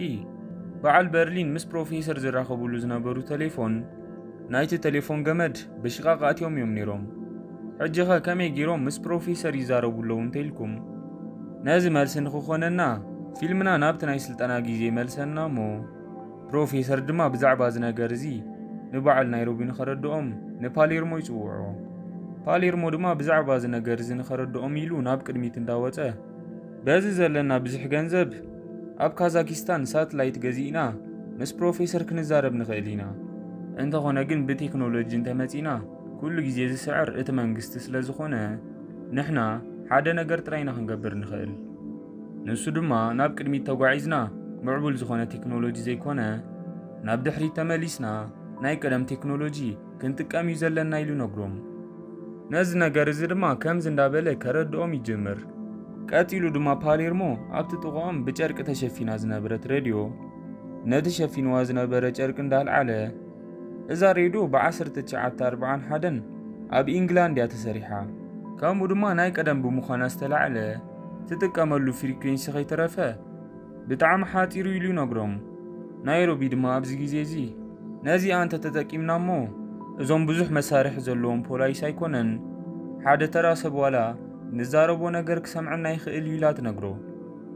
በዓል በርሊን ምስ ፕሮፌሰር ዝራኸብሉ ዝነበሩ ቴሌፎን ናይቲ ቴሌፎን ገመድ ብሽቓቕ ኣትዮም እዮም ነይሮም። ሕጂኸ ከመይ ገይሮም ምስ ፕሮፌሰር ይዛረቡ ኣለዉ እንተኢልኩም ነዚ መልሲ ንኽኾነና ፊልምና ናብቲ ናይ ስልጠና ግዜ መልሰና እሞ ፕሮፌሰር ድማ ብዛዕባ እዚ ነገር እዚ ንበዓል ናይሮቢ ንኸረድኦም ንፓሌርሞ ይጽውዖ። ፓሌርሞ ድማ ብዛዕባ እዚ ነገር እዚ ንኸረድኦም ኢሉ ናብ ቅድሚት እንዳወጸ በዚ ዘለና ብዙሕ ገንዘብ ኣብ ካዛኪስታን ሳትላይት ገዚእና ምስ ፕሮፌሰር ክንዛረብ ንኽእል ኢና። እንተኾነ ግን ብቴክኖሎጂ እንተመጺና ኩሉ ግዜ ዝስዕር እቲ መንግስቲ ስለ ዝኾነ ንሕና ሓደ ነገር ጥራይ ኢና ክንገብር ንኽእል። ንሱ ድማ ናብ ቅድሚት ተጓዒዝና ምዕቡል ዝኾነ ቴክኖሎጂ ዘይኮነ ናብ ድሕሪት ተመሊስና ናይ ቀደም ቴክኖሎጂ ክንጥቀም እዩ ዘለና ኢሉ ነግሮም። ነዚ ነገር እዚ ድማ ከምዚ እንዳበለ ከረድኦም ይጅምር። ቀጺሉ ድማ ፓሌርሞ ኣብቲ ጥቕኦም ብጨርቂ ተሸፊና ዝነበረት ሬድዮ ነቲ ሸፊንዋ ዝነበረ ጨርቂ እንዳልዓለ እዛ ሬድዮ ብ1941 ኣብ ኢንግላንድ እያ ተሰሪሓ። ከምኡ ድማ ናይ ቀደም ብምዃና ዝተላዕለ ትጥቀመሉ ፍሪኩንሲ ከይተረፈ ብጣዕሚ ሓጺሩ ኢሉ ይነግሮም። ናይሮቢ ድማ ኣብዚ ግዜ እዚ ነዚኣ እንተ ተጠቂምና እሞ እዞም ብዙሕ መሳርሒ ዘለዎም ፖላይስ ኣይኮነን ሓደ ተራ ሰብ ዋላ ንዛረቦ ነገር ክሰምዐና ይኽእል እዩ ኢላ ትነግሮ።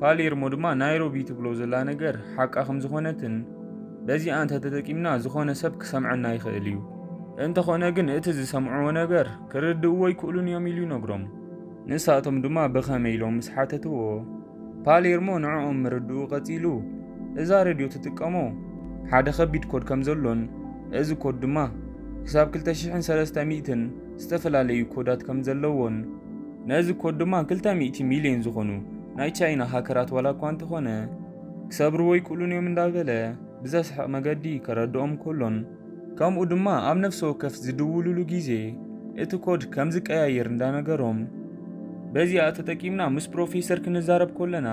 ፓሌርሞ ድማ ናይሮቢ ትብሎ ዘላ ነገር ሓቃ ከም ዝኾነትን በዚኣ እንተ ተጠቂምና ዝኾነ ሰብ ክሰምዐና ይኽእል እዩ። እንተኾነ ግን እቲ ዝሰምዕዎ ነገር ክርድእዎ ኣይክእሉን እዮም ኢሉ ይነግሮም። ንሳቶም ድማ ብኸመይ ኢሎም ምስ ሓተትዎ ፓሌርሞ ንዕኦም ምርድኡ ቀጺሉ እዛ ሬድዮ ትጥቀሞ ሓደ ከቢድ ኮድ ከም ዘሎን እዚ ኮድ ድማ ክሳብ ክልተ ሽሕን ሰለስተ ሚእትን ዝተፈላለዩ ኮዳት ከም ዘለዎን ነዚ ኮድ ድማ ክልተ ሚእቲ ሚልዮን ዝኾኑ ናይ ቻይና ሃከራት ዋላ እኳ እንተኾነ ክሰብርዎ ኣይክእሉን እዮም እንዳበለ ብዘስሕቕ መገዲ ከረድኦም ከሎን ከምኡ ድማ ኣብ ነፍሲ ወከፍ ዝድውሉሉ ግዜ እቲ ኮድ ከም ዝቀያየር እንዳነገሮም በዚኣ ተጠቂምና ምስ ፕሮፌሰር ክንዛረብ ከለና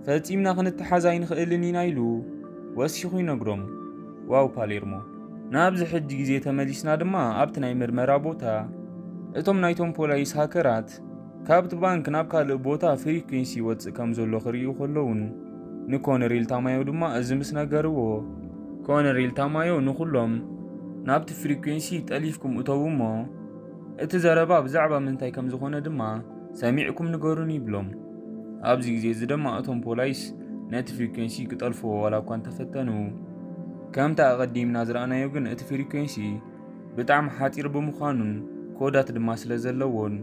ፈጺምና ክንተሓዝ ኣይንኽእልን ኢና ኢሉ ወሲኹ ይነግሮም። ዋው ፓሌርሞ። ናብዚ ሕጂ ግዜ ተመሊስና ድማ ኣብቲ ናይ ምርመራ ቦታ እቶም ናይቶም ፖላይስ ሃከራት ካብቲ ባንክ ናብ ካልእ ቦታ ፍሪኩንሲ ይወጽእ ከም ዘሎ ክርእዩ ከለውን ንኮነሬል ታማዮ ድማ እዚ ምስ ነገርዎ ኮነሬል ታማዮ ንኹሎም ናብቲ ፍሪኩንሲ ጠሊፍኩም እተዉ እሞ እቲ ዘረባ ብዛዕባ ምንታይ ከም ዝኾነ ድማ ሰሚዕኩም ንገሩኒ ይብሎም። ኣብዚ ግዜ እዚ ድማ እቶም ፖላይስ ነቲ ፍሪኩንሲ ክጠልፍዎ ዋላ እኳ እንተፈተኑ ከምቲ ኣቐዲምና ዝረኣናዮ ግን እቲ ፍሪኩንሲ ብጣዕሚ ሓጺር ብምዃኑን ኮዳት ድማ ስለ ዘለዎን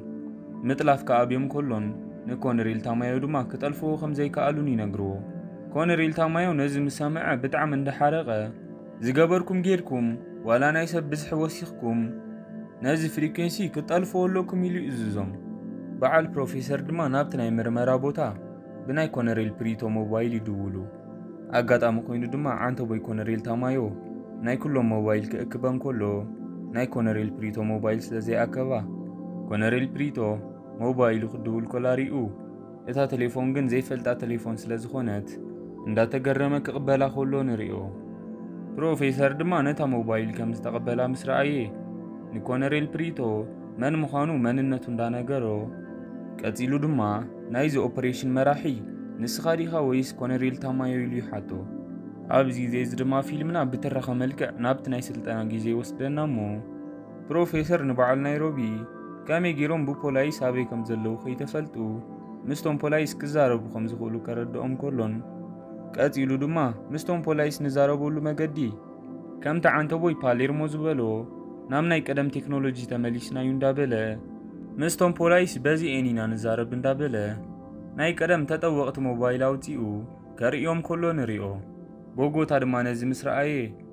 ምጥላፍ ክኣብዮም ከሎን ንኮነሬል ታማዮ ድማ ክጠልፍዎ ከም ዘይከኣሉን ይነግርዎ። ኮነሬል ታማዮ ነዚ ምስ ሰምዐ ብጣዕሚ እንዳሓረቐ ዝገበርኩም ጌርኩም ዋላ ናይ ሰብ ብዝሒ ወሲኽኩም ነዚ ፍሪኩንሲ ክትጠልፍዎ ኣለኩም ኢሉ ይእዝዞም። በዓል ፕሮፌሰር ድማ ናብቲ ናይ ምርመራ ቦታ ብናይ ኮነሬል ፕሪቶ ሞባይል ይድውሉ። ኣጋጣሚ ኮይኑ ድማ ዓንተቦይ ኮነሬል ታማዮ ናይ ኩሎም ሞባይል ክእክበን ከሎ ናይ ኮነሬል ፕሪቶ ሞባይል ስለ ዘይኣከባ ኮነሬል ፕሪቶ ሞባይሉ ክድውል ከላ ሪኡ እታ ቴሌፎን ግን ዘይፈልጣ ቴሌፎን ስለ ዝኾነት እንዳተገረመ ክቕበላ ከሎ ንሪኦ። ፕሮፌሰር ድማ ነታ ሞባይል ከም ዝተቐበላ ምስ ረኣየ ንኮነሬል ፕሪቶ መን ምዃኑ መንነቱ እንዳነገሮ ቀጺሉ ድማ ናይዚ ኦፕሬሽን መራሒ ንስኻ ዲኻ ወይስ ኮነሬል ታማዮ ኢሉ ይሓቶ። ኣብዚ ግዜ እዚ ድማ ፊልምና ብትረኻ መልክዕ ናብቲ ናይ ስልጠና ግዜ ይወስደና እሞ ፕሮፌሰር ንበዓል ናይሮቢ ከመይ ገይሮም ብፖላይስ ኣበይ ከም ዘለዉ ከይተፈልጡ ምስቶም ፖላይስ ክዛረቡ ከም ዝኽእሉ ከረድኦም ከሎን፣ ቀጺሉ ድማ ምስቶም ፖላይስ ንዛረበሉ መገዲ ከምቲ ዓንተቦይ ፓሌርሞ ዝበሎ ናብ ናይ ቀደም ቴክኖሎጂ ተመሊስናዩ እንዳበለ ምስቶም ፖላይስ በዚኤን ኢና ንዛረብ እንዳበለ ናይ ቀደም ተጠወቕቲ ሞባይል ኣውጺኡ ከርእዮም ከሎ ንሪኦ። ቦጎታ ድማ ነዚ ምስ ረኣየ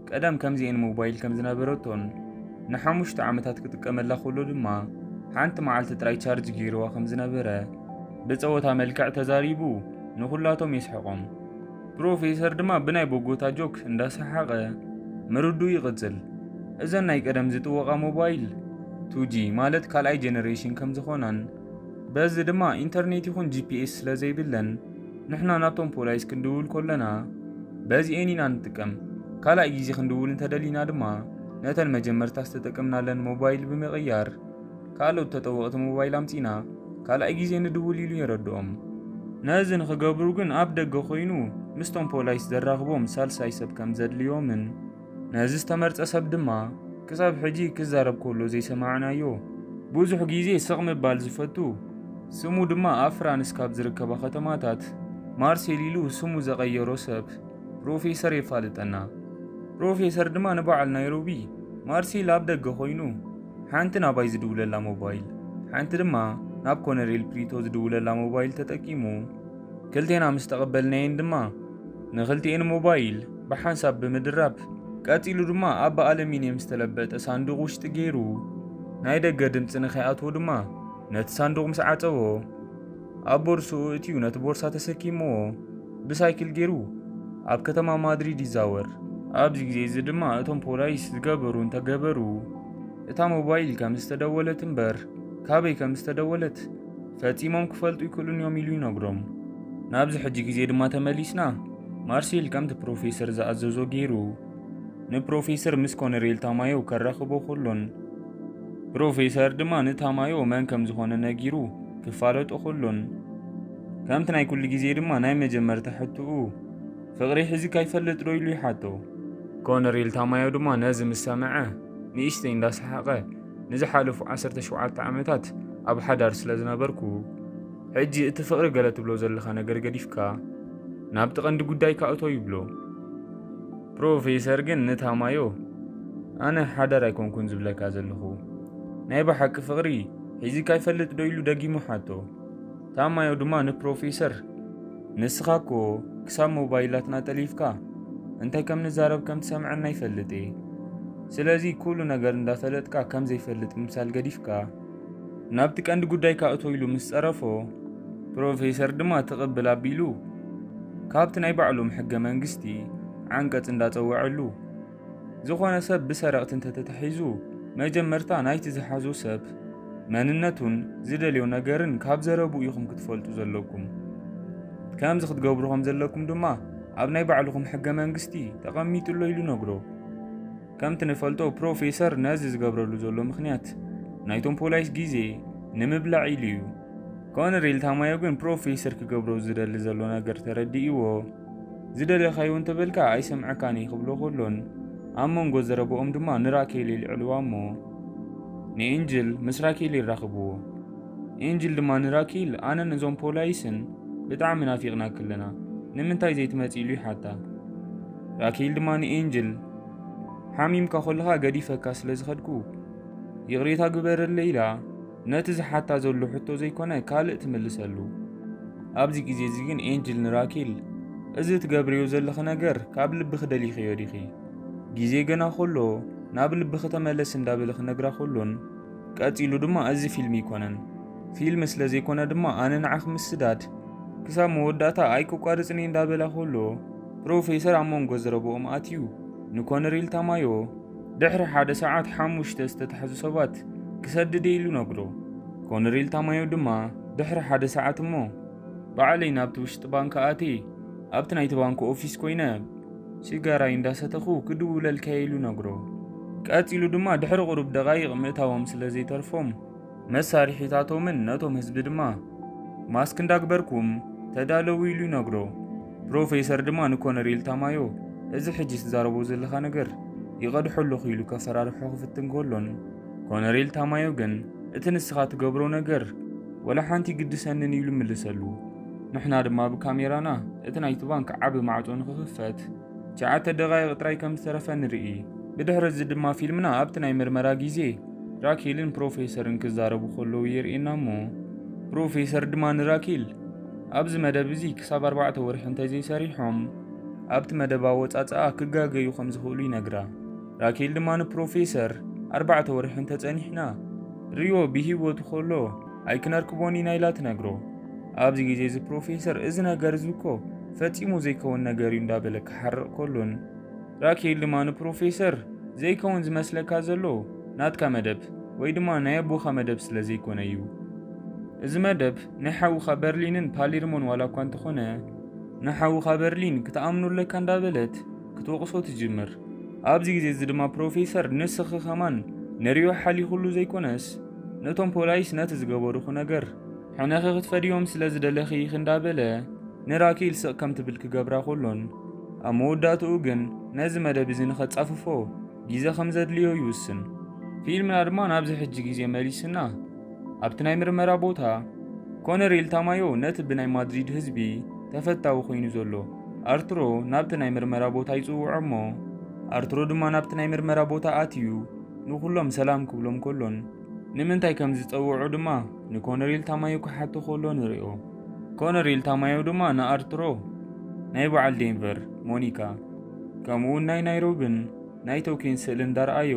ቀደም ከምዚኤን ሞባይል ከም ዝነበረቶን ንሓሙሽተ ዓመታት ክጥቀመላ ከሎ ድማ ሓንቲ መዓልቲ ጥራይ ቻርጅ ገይርዋ ከም ዝነበረ ብጸወታ መልክዕ ተዛሪቡ ንኹላቶም የስሕቖም። ፕሮፌሰር ድማ ብናይ ቦጎታ ጆክ እንዳሰሓቐ ምርዱ ይቕጽል። እዘን ናይ ቀደም ዝጥወቓ ሞባይል ቱ ጂ ማለት ካልኣይ ጀነሬሽን ከም ዝኾናን በዚ ድማ ኢንተርኔት ይኹን ጂ ፒ ኤስ ስለ ዘይብለን ንሕና ናብቶም ፖላይስ ክንድውል ከለና በዚኤን ኢና ንጥቀም። ካልኣይ ግዜ ክንድውል እንተደሊና ድማ ነተን መጀመርታ ዝተጠቀምናለን ሞባይል ብምቕያር ካልኦት ተጠወቕቲ ሞባይል ኣምጺና ካልኣይ ግዜ ንድውል ኢሉ የረድኦም። ነዚ ንኽገብሩ ግን ኣብ ደገ ኮይኑ ምስቶም ፖላይስ ዘራኽቦም ሳልሳይ ሰብ ከም ዘድልዮምን ነዚ ዝተመርጸ ሰብ ድማ ክሳብ ሕጂ ክዛረብ ከሎ ዘይሰማዕናዮ ብዙሕ ግዜ ስቕ ምባል ዝፈቱ ስሙ ድማ ኣብ ፍራንስ ካብ ዝርከባ ከተማታት ማርሴል ኢሉ ስሙ ዘቐየሮ ሰብ ፕሮፌሰር የፋልጠና። ፕሮፌሰር ድማ ንበዓል ናይሮቢ ማርሴል ኣብ ደገ ኮይኑ ሓንቲ ናባይ ዝድውለላ ሞባይል ሓንቲ ድማ ናብ ኮነሬል ፕሪቶ ዝድውለላ ሞባይል ተጠቂሙ ክልቴና ምስ ተቐበልናየን ድማ ንኽልቲኤን ሞባይል ብሓንሳብ ብምድራብ ቀጺሉ ድማ ኣብ ብኣለሚንየም ዝተለበጠ ሳንዱቕ ውሽጢ ገይሩ ናይ ደገ ድምፂ ንኸይኣትዎ ድማ ነቲ ሳንዱቕ ምስ ዓጸዎ ኣብ ቦርስኡ እትዩ ነቲ ቦርሳ ተሰኪምዎ ብሳይክል ገይሩ ኣብ ከተማ ማድሪድ ይዛወር። ኣብዚ ግዜ እዚ ድማ እቶም ፖላይስ ዝገበሩ እንተገበሩ እታ ሞባይል ከም ዝተደወለት እምበር ካበይ ከም ዝተደወለት ፈጺሞም ክፈልጡ ይክእሉን እዮም ኢሉ ይነግሮም። ናብዚ ሕጂ ግዜ ድማ ተመሊስና ማርሴል ከምቲ ፕሮፌሰር ዝኣዘዞ ገይሩ ንፕሮፌሰር ምስ ኮነሬል ታማዮ ከራኽቦ ከሎን ፕሮፌሰር ድማ ንታማዮ መን ከም ዝኾነ ነጊሩ ክፋለጦ ከሎን ከምቲ ናይ ኩሉ ግዜ ድማ ናይ መጀመርታ ሕትኡ ፍቕሪ ሒዙ ካይፈልጥ ዶ ኢሉ ይሓቶ። ኮነሬል ታማዮ ድማ ነዚ ምስ ሰምዐ ንእሽተይ እንዳሰሓቐ ንዝሓለፉ ዓሰርተ ሸውዓተ ዓመታት ኣብ ሓዳር ስለ ዝነበርኩ ሕጂ እቲ ፍቕሪ ገለ ትብሎ ዘለኻ ነገር ገዲፍካ ናብቲ ቀንዲ ጉዳይ ካእቶ ይብሎ። ፕሮፌሰር ግን ንታማዮ ኣነ ሓዳር ኣይኮንኩን ዝብለካ ዘለኹ ናይ ብሓቂ ፍቕሪ ሒዝካ ይፈልጥ ዶ ኢሉ ደጊሙ ሓቶ። ታማዮ ድማ ንፕሮፌሰር ንስኻ እኮ ክሳብ ሞባይላትና ጠሊፍካ እንታይ ከም ንዛረብ ከም ትሰምዐና ይፈልጥ እየ። ስለዚ ኩሉ ነገር እንዳፈለጥካ ከም ዘይፈልጥ ምምሳል ገዲፍካ ናብቲ ቀንዲ ጉዳይ ካእቶ ኢሉ ምስ ጸረፎ ፕሮፌሰር ድማ ትቕብል ኣቢሉ ካብቲ ናይ ባዕሎም ሕገ መንግስቲ ዓንቀጽ እንዳጸወዐሉ ዝኾነ ሰብ ብሰረቕቲ እንተተታሒዙ መጀመርታ ናይቲ ዝሓዞ ሰብ መንነቱን ዝደልዮ ነገርን ካብ ዘረብኡ ኢኹም ክትፈልጡ ዘለኩም። ከምዚ ክትገብሩ ከም ዘለኩም ድማ ኣብ ናይ ባዕልኹም ሕገ መንግስቲ ተቐሚጡ ኣሎ ኢሉ ነግሮ። ከምቲ ንፈልጦ ፕሮፌሰር ነዚ ዝገብረሉ ዘሎ ምኽንያት ናይቶም ፖላይስ ግዜ ንምብላዕ ኢሉ እዩ። ኮነሬል ታማዮ ግን ፕሮፌሰር ክገብሮ ዝደሊ ዘሎ ነገር ተረዲእዎ ዝደለኻዮ እንተበልካ ኣይሰምዐካን እየ ክብሎ ከሎን ኣብ መንጎ ዘረብኦም ድማ ንራኬል የልዕልዋ እሞ ንኤንጅል ምስ ራኬል የራኽብዎ። ኤንጅል ድማ ንራኬል ኣነን እዞም ፖላይስን ብጣዕሚ ናፊቕናኪ ኣለና ንምንታይ ዘይትመጺ ኢሉ ይሓታ። ራኬል ድማ ንኤንጅል ሓሚምካ ከለኻ ገዲፈካ ስለ ዝኸድኩ ይቕሬታ ግበረለይ ኢላ ነቲ ዝሓታ ዘሎ ሕቶ ዘይኮነ ካልእ ትምልሰሉ። ኣብዚ ግዜ እዚ ግን ኤንጅል ንራኬል እዚ ትገብርዮ ዘለኺ ነገር ካብ ልብኺ ደሊኽዮ ዲኺ? ግዜ ገና ከሎ ናብ ልብኺ ተመለስ እንዳበለ ክነግራ ከሎን ቀጺሉ ድማ እዚ ፊልም ኣይኮነን ፊልም ስለ ዘይኮነ ድማ ኣነ ንዓኺ ምስዳድ ክሳብ መወዳእታ ኣይክቋርጽን እየ እንዳበላ ከሎ ፕሮፌሰር ኣብ መንጎ ዘረብኦም ኣትዩ ንኮነሬል ታማዮ ድሕሪ ሓደ ሰዓት ሓሙሽተ ዝተታሕዙ ሰባት ክሰድድ እየ ኢሉ ነግሮ። ኮነሬል ታማዮ ድማ ድሕሪ ሓደ ሰዓት እሞ ባዕለይ ናብቲ ውሽጢ ባንክ ኣትየ ኣብቲ ናይቲ ባንክ ኦፊስ ኮይነ ሽጋራይ እንዳሰተኹ ክድውለልካ እየ ኢሉ ነግሮ። ቀጺሉ ድማ ድሕሪ ቁሩብ ደቓይቕ ምእታዎም ስለ ዘይተርፎም መሳርሒታቶምን ነቶም ህዝቢ ድማ ማስክ እንዳግበርኩም ተዳለዉ ኢሉ ይነግሮ። ፕሮፌሰር ድማ ንኮነሬል ታማዮ እዚ ሕጂ ትዛረቦ ዘለኻ ነገር ይቐድሖ ኣለኹ ኢሉ ከፈራርሖ ክፍትን ከሎን ኮነሬል ታማዮ ግን እቲ ንስኻ ትገብሮ ነገር ወላ ሓንቲ ግድሰንን ኢሉ ምልሰሉ። ንሕና ድማ ብካሜራና እቲ ናይቲ ባንክ ዓቢ ማዕጾ ንኽኽፈት ትሽዓተ ደቓይቕ ጥራይ ከም ዝተረፈ ንርኢ። ብድሕሪ እዚ ድማ ፊልምና ኣብቲ ናይ ምርመራ ግዜ ራኬልን ፕሮፌሰርን ክዛረቡ ከለዉ የርእየና እሞ፣ ፕሮፌሰር ድማ ንራኬል፣ "ኣብዚ መደብ እዚ ክሳብ ኣርባዕተ ወርሒ እንተዘይሰሪሖም፣ ኣብቲ መደብ ኣወጻጽኣ ክጋገዩ ከም ዝኽእሉ" ይነግራ። ራኬል ድማ ንፕሮፌሰር፣ "ኣርባዕተ ወርሒ እንተጸኒሕና፣ ሪዮ ብህይወቱ ከሎ ኣይክነርክቦን ኢና" ኢላ ትነግሮ። ኣብዚ ግዜ እዚ ፕሮፌሰር፣ "እዚ ነገር እዚ እኮ ፈጺሙ ዘይከውን ነገር እዩ" እንዳበለ ክሓርቕ ከሎን፣ ራኬል ድማ ንፕሮፌሰር፣ "ዘይከውን ዝመስለካ ዘሎ ናትካ መደብ ወይ ድማ ናይ ኣቦኻ መደብ ስለ ዘይኮነ እዩ። እዚ መደብ ናይ ሓውኻ በርሊንን ፓሌርሞን ዋላ እኳ እንተኾነ፣ ንሓውኻ በርሊን ክትኣምኖ ኣለካ" እንዳበለት ክትወቕሶ ትጅምር። ኣብዚ ግዜ እዚ ድማ ፕሮፌሰር፣ "ንስኺ ከማን ንሪዮ ሓሊኹሉ ዘይኮነስ ነቶም ፖላይስ ነቲ ዝገበሩኺ ነገር ሕነኺ ክትፈድዮም ስለ ዝደለኺ ኢኺ" እንዳበለ ንራኬል ስቕ ከም ትብል ክገብራ ከሎን፣ ኣብ መወዳእትኡ ግን ነዚ መደብ እዚ ንኸጻፍፎ ግዜ ከም ዘድልዮ ይውስን። ፊልምና ድማ ናብዚ ሕጂ ግዜ መሊስና፣ ኣብቲ ናይ ምርመራ ቦታ ኮነሬል ታማዮ ነቲ ብናይ ማድሪድ ህዝቢ ተፈታዊ ኮይኑ ዘሎ ኣርትሮ ናብቲ ናይ ምርመራ ቦታ ይጽውዖ እሞ፣ ኣርትሮ ድማ ናብቲ ናይ ምርመራ ቦታ ኣትዩ ንኹሎም ሰላም ክብሎም ከሎን፣ ንምንታይ ከም ዝጸውዖ ድማ ንኮነሬል ታማዮ ክሓቶ ከሎ ንሪኦ። ኮነሬል ታማዮ ድማ ንኣርትሮ፣ ናይ በዓል ዴንቨር፣ ሞኒካ፣ ከምኡውን ናይ ናይሮቢን ናይ ቶኪዮን ስእሊ እንዳረኣዮ፣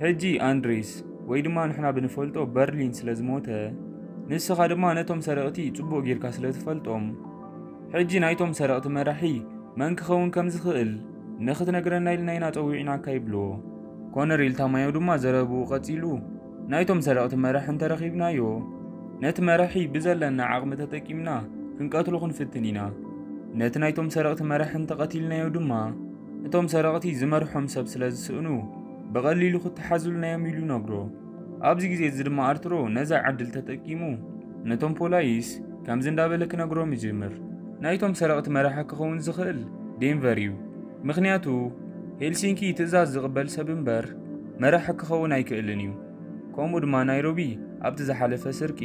"ሕጂ ኣንድሬስ ወይ ድማ ንሕና ብንፈልጦ በርሊን ስለ ዝሞተ፣ ንስኻ ድማ ነቶም ሰረቕቲ ጽቡቕ ጌርካ ስለ ትፈልጦም፣ ሕጂ ናይቶም ሰረቕቲ መራሒ መን ክኸውን ከም ዝኽእል ንኽትነግረና ኢልና ኢና ጸዊዕናካ" ይብልዎ። ኮነሬል ታማዮ ድማ ዘረብኡ ቀጺሉ፣ "ናይቶም ሰረቕቲ መራሒ እንተረኺብናዮ፣ ነቲ መራሒ ብዘለና ዓቕሚ ተጠቂምና ክንቀትሎ ክንፍትን ኢና። ነቲ ናይቶም ሰረቕቲ መራሒ እንተቐቲልናዮ ድማ፣ እቶም ሰረቕቲ ዝመርሖም ሰብ ስለ ዝስእኑ፣ ብቐሊሉ ክተሓዙልና እዮም" ኢሉ ይነግሮ። ኣብዚ ግዜ እዚ ድማ ኣርትሮ ነዛ ዕድል ተጠቂሙ፣ ነቶም ፖላይስ ከምዚ እንዳበለ ክነግሮም ይጅምር፣ "ናይቶም ሰረቕቲ መራሒ ክኸውን ዝኽእል ዴንቨር እዩ። ምኽንያቱ ሄልሲንኪ ትእዛዝ ዝቕበል ሰብ እምበር መራሒ ክኸውን ኣይክእልን እዩ። ከምኡ ድማ ናይሮቢ ኣብቲ ዝሓለፈ ስርቂ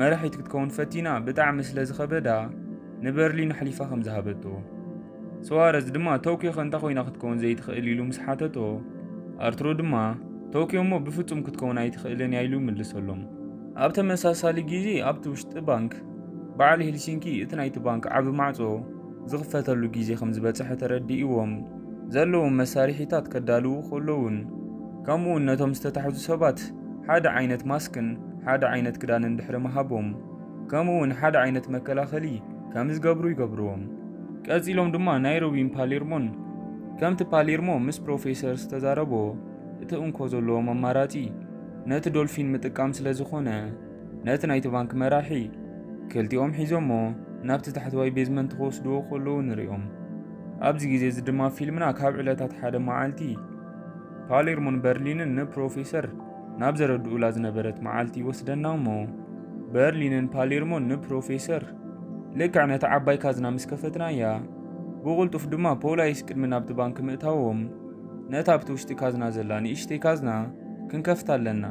መራሒት ክትከውን ፈቲና ብጣዕሚ ስለ ዝኸበዳ ንበርሊን ኣሕሊፋ ከም ዝሃበቶ። ሱዋረዝ ድማ ቶኪዮ ከ እንታይ ኮይና ክትከውን ዘይትኽእል?" ኢሉ ምስ ሓተቶ፣ ኣርትሮ ድማ፣ "ቶኪዮ እሞ ብፍጹም ክትከውን ኣይትኽእልን እያ" ኢሉ ይምልሰሎም። ኣብ ተመሳሳሊ ግዜ ኣብቲ ውሽጢ ባንክ በዓል ሄልሲንኪ እቲ ናይቲ ባንክ ዓቢ ማዕጾ ዝኽፈተሉ ግዜ ከም ዝበጽሐ ተረዲእዎም፣ ዘለዎም መሳርሒታት ከዳልዉ ከለዉን፣ ከምኡውን ነቶም ዝተታሕዙ ሰባት ሓደ ዓይነት ማስክን ሓደ ዓይነት ክዳንን ድሕሪ ምሃቦም፣ ከምኡውን ሓደ ዓይነት መከላኸሊ ከም ዝገብሩ ይገብርዎም። ቀጺሎም ድማ ናይሮቢን ፓሌርሞን፣ ከምቲ ፓሌርሞ ምስ ፕሮፌሰር ዝተዛረቦ፣ እቲ እንኮ ዘለዎም ኣማራጺ ነቲ ዶልፊን ምጥቃም ስለ ዝኾነ፣ ነቲ ናይቲ ባንክ መራሒ ክልቲኦም ሒዞሞ ናብቲ ታሕተዋይ ቤዝመንት ክወስድዎ ከለዉ ንሪኦም። ኣብዚ ግዜ እዚ ድማ ፊልምና ካብ ዕለታት ሓደ መዓልቲ ፓሌርሞን በርሊንን ንፕሮፌሰር ናብ ዘረድኡላ ዝነበረት መዓልቲ ይወስደና እሞ፣ በርሊንን ፓሌርሞን ንፕሮፌሰር፣ "ልክዕ ነታ ዓባይ ካዝና ምስ ከፈትናያ፣ ብቕልጡፍ ድማ ፖላይስ ቅድሚ ናብቲ ባንክ ምእታዎም፣ ነታ ኣብቲ ውሽጢ ካዝና ዘላ ንእሽተይ ካዝና ክንከፍታ ኣለና።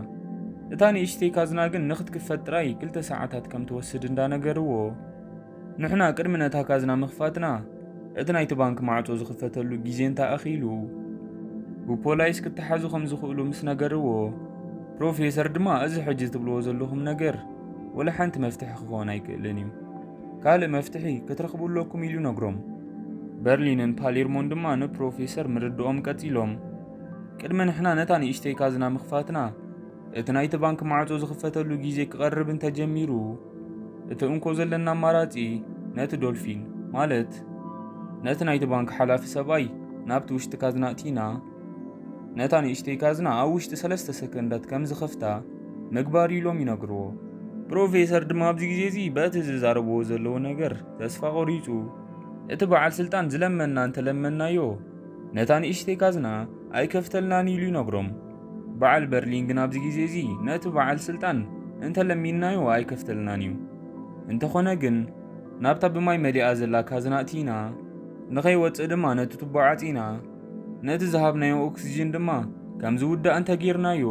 እታ ንእሽተይ ካዝና ግን ንኽትክፈት ጥራይ ክልተ ሰዓታት ከም ትወስድ እንዳነገርዎ፣ ንሕና ቅድሚ ነታ ካዝና ምኽፋትና፣ እቲ ናይቲ ባንክ ማዕጾ ዝኽፈተሉ ግዜ እንተኣኺሉ፣ ብፖላይስ ክተሓዙ ከም ዝኽእሉ ምስ ነገርዎ፣ ፕሮፌሰር ድማ እዚ ሕጂ ትብልዎ ዘለኹም ነገር ወላ ሓንቲ መፍትሒ ክኸውን ኣይክእልን እዩ። ካልእ መፍትሒ ክትረኽቡ ኣለኩም" ኢሉ ነግሮም። በርሊንን ፓሌርሞን ድማ ንፕሮፌሰር ምርድኦም ቀጺሎም፣ "ቅድሚ ንሕና ነታ ንእሽተይ ካዝና ምኽፋትና፣ እቲ ናይቲ ባንክ ማዕጾ ዝኽፈተሉ ግዜ ክቐርብ እንተጀሚሩ፣ እቲ እንኮ ዘለና ኣማራጺ ነቲ ዶልፊን፣ ማለት ነቲ ናይቲ ባንክ ሓላፊ ሰብኣይ ናብቲ ውሽጢ ካዝና እቲና፣ ነታ ንእሽተይ ካዝና ኣብ ውሽጢ ሰለስተ ሰከንዳት ከም ዝኸፍታ ምግባር" ኢሎም ይነግርዎ። ፕሮፌሰር ድማ ኣብዚ ግዜ እዚ በቲ ዝዛረብዎ ዘለዉ ነገር ተስፋ ቆሪጹ፣ "እቲ በዓል ስልጣን ዝለመና እንተለመናዮ፣ ነታ ንእሽተይ ካዝና ኣይከፍተልናን" ኢሉ ይነግሮም። በዓል በርሊን ግን ኣብዚ ግዜ እዚ ነቲ በዓል ስልጣን እንተለሚንናዮ ኣይከፍተልናን እዩ። እንተኾነ ግን ናብታ ብማይ መሊኣ ዘላ ካዝና እቲና፣ ንኸይወጽእ ድማ ነቲ ቱቦ ዓጺና፣ ነቲ ዝሃብናዮ ኦክስጅን ድማ ከም ዝውዳእ እንተጌርናዮ፣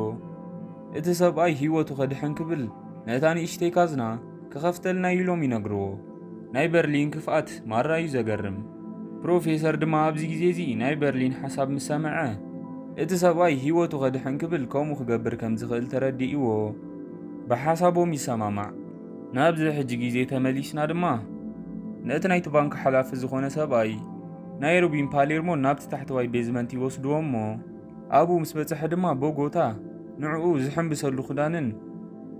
እቲ ሰብኣይ ህይወቱ ከድሕን ክብል ነታ ንእሽተይ ካዝና ክኸፍተልና ኢሎም ይነግርዎ። ናይ በርሊን ክፍኣት ማራ እዩ ዘገርም። ፕሮፌሰር ድማ ኣብዚ ግዜ እዚ ናይ በርሊን ሓሳብ ምስ ሰምዐ፣ እቲ ሰብኣይ ህይወቱ ከድሕን ክብል ከምኡ ክገብር ከም ዝኽእል ተረዲእዎ ብሓሳቦም ይሰማማዕ። ናብዚ ሕጂ ግዜ ተመሊስና ድማ ነቲ ናይቲ ባንክ ሓላፊ ዝኾነ ሰብኣይ ናይሮቢን ፓሌርሞን ናብቲ ታሕተዋይ ቤዝመንት ይወስድዎ እሞ ኣብኡ ምስ በጽሐ ድማ ቦጎታ ንዕኡ ዝሕንብሰሉ ክዳንን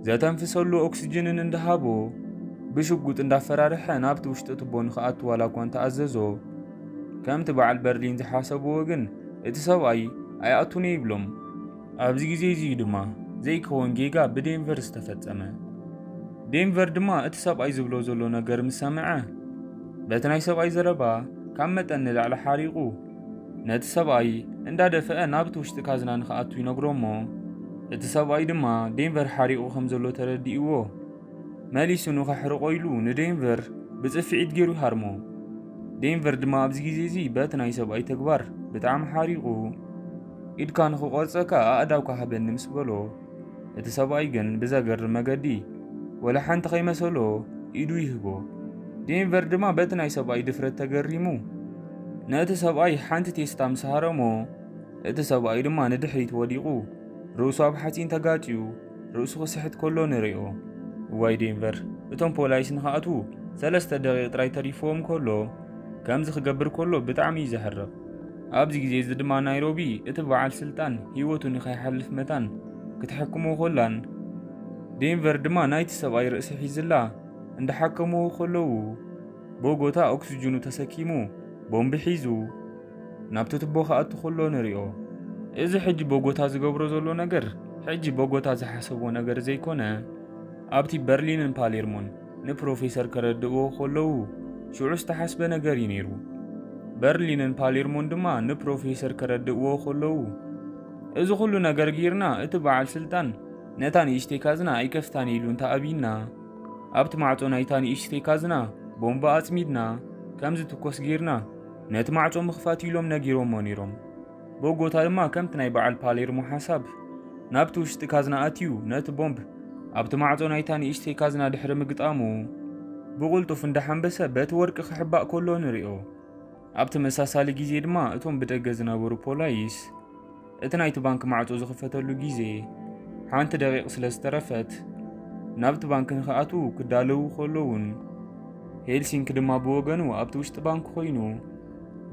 ዘተንፍሰሉ ኦክስጅንን እንዳሃቦ ብሽጉጥ እንዳፈራርሐ ናብቲ ውሽጢ ቱቦ ንኽኣቱ ዋላ እኳ እንተኣዘዞ፣ ከምቲ በዓል በርሊን ዝሓሰብዎ ግን እቲ ሰብኣይ ኣይኣቱን እየ ይብሎም። ኣብዚ ግዜ እዚ እዩ ድማ ዘይከውን ጌጋ ብዴንቨር ዝተፈጸመ። ዴንቨር ድማ እቲ ሰብኣይ ዝብሎ ዘሎ ነገር ምስ ሰምዐ፣ በቲ ናይ ሰብኣይ ዘረባ ካብ መጠን ንላዕሊ ሓሪቑ ነቲ ሰብኣይ እንዳደፈአ ናብቲ ውሽጢ ካዝና ንኽኣቱ ይነግሮ እሞ፣ እቲ ሰብኣይ ድማ ዴንቨር ሓሪቑ ከም ዘሎ ተረዲእዎ፣ መሊሱ ንኸሕርቆ ኢሉ ንዴንቨር ብጽፍዒት ገይሩ ይሃርሞ። ዴንቨር ድማ ኣብዚ ግዜ እዚ በቲ ናይ ሰብኣይ ተግባር ብጣዕሚ ሓሪቑ፣ "ኢድካ ንኽቆርጸካ ኣእዳውካ ሃበኒ" ምስ በሎ፣ እቲ ሰብኣይ ግን ብዘገርም መገዲ ወላ ሓንቲ ከይመሰሎ ኢዱ ይህቦ። ዴንቨር ድማ በቲ ናይ ሰብኣይ ድፍረት ተገሪሙ፣ ነቲ ሰብኣይ ሓንቲ ቴስታ ምስ ሃረሞ፣ እቲ ሰብኣይ ድማ ንድሕሪት ወዲቑ፣ ርእሱ ኣብ ሓጺን ተጋጭዩ፣ ርእሱ ክስሕት ከሎ ንርእዮ። እዋይ ዴንቨር፣ እቶም ፖላይስ ንኽኣትዉ ሰለስተ ደቂቕ ጥራይ ተሪፍዎም ከሎ፣ ከምዚ ክገብር ከሎ ብጣዕሚ እዩ ዘሕርቕ። ኣብዚ ግዜ እዚ ድማ ናይሮቢ እቲ በዓል ስልጣን ህይወቱ ንኸይሓልፍ መታን ክትሕክሞ ከላን፣ ዴንቨር ድማ ናይቲ ሰብኣይ ርእሲ ሒዝላ እንዳሓከምዎ ከለዉ፣ ቦጎታ ኦክስጅኑ ተሰኪሙ ቦምቢ ሒዙ ናብቲ ቱቦ ክኣቱ ከሎ ንሪኦ። እዚ ሕጂ ቦጎታ ዝገብሮ ዘሎ ነገር፣ ሕጂ ቦጎታ ዝሓሰቦ ነገር ዘይኮነ፣ ኣብቲ በርሊንን ፓሌርሞን ንፕሮፌሰር ከረድእዎ ከለዉ ሽዑ ዝተሓስበ ነገር እዩ ነይሩ። በርሊንን ፓሌርሞን ድማ ንፕሮፌሰር ከረድእዎ ከለዉ፣ "እዚ ኩሉ ነገር ጌርና፣ እቲ በዓል ስልጣን ነታ ንእሽተይ ካዝና ኣይከፍታን ኢሉ እንተኣብይና፣ ኣብቲ ማዕጾ ናይታ ንእሽተይ ካዝና ቦምባ ኣጽሚድና፣ ከም ዝትኮስ ጌርና፣ ነቲ ማዕጾ ምኽፋት" ኢሎም ነጊሮሞ ነይሮም። ቦጎታ ድማ ከምቲ ናይ በዓል ፓሌርሞ ሓሳብ ናብቲ ውሽጢ ካዝና ኣትዩ ነቲ ቦምብ ኣብቲ ማዕጾ ናይታ ንእሽተይ ካዝና ድሕሪ ምግጣሙ፣ ብቕልጡፍ እንዳሓንበሰ በቲ ወርቂ ክሕባእ ከሎ ንሪኦ። ኣብ ተመሳሳሊ ግዜ ድማ እቶም ብደገ ዝነበሩ ፖላይስ እቲ ናይቲ ባንክ ማዕጾ ዝኽፈተሉ ግዜ ሓንቲ ደቂቕ ስለ ዝተረፈት፣ ናብቲ ባንክ ንኽኣትዉ ክዳለዉ ከለዉን፣ ሄልሲንክ ድማ ብወገኑ ኣብቲ ውሽጢ ባንክ ኮይኑ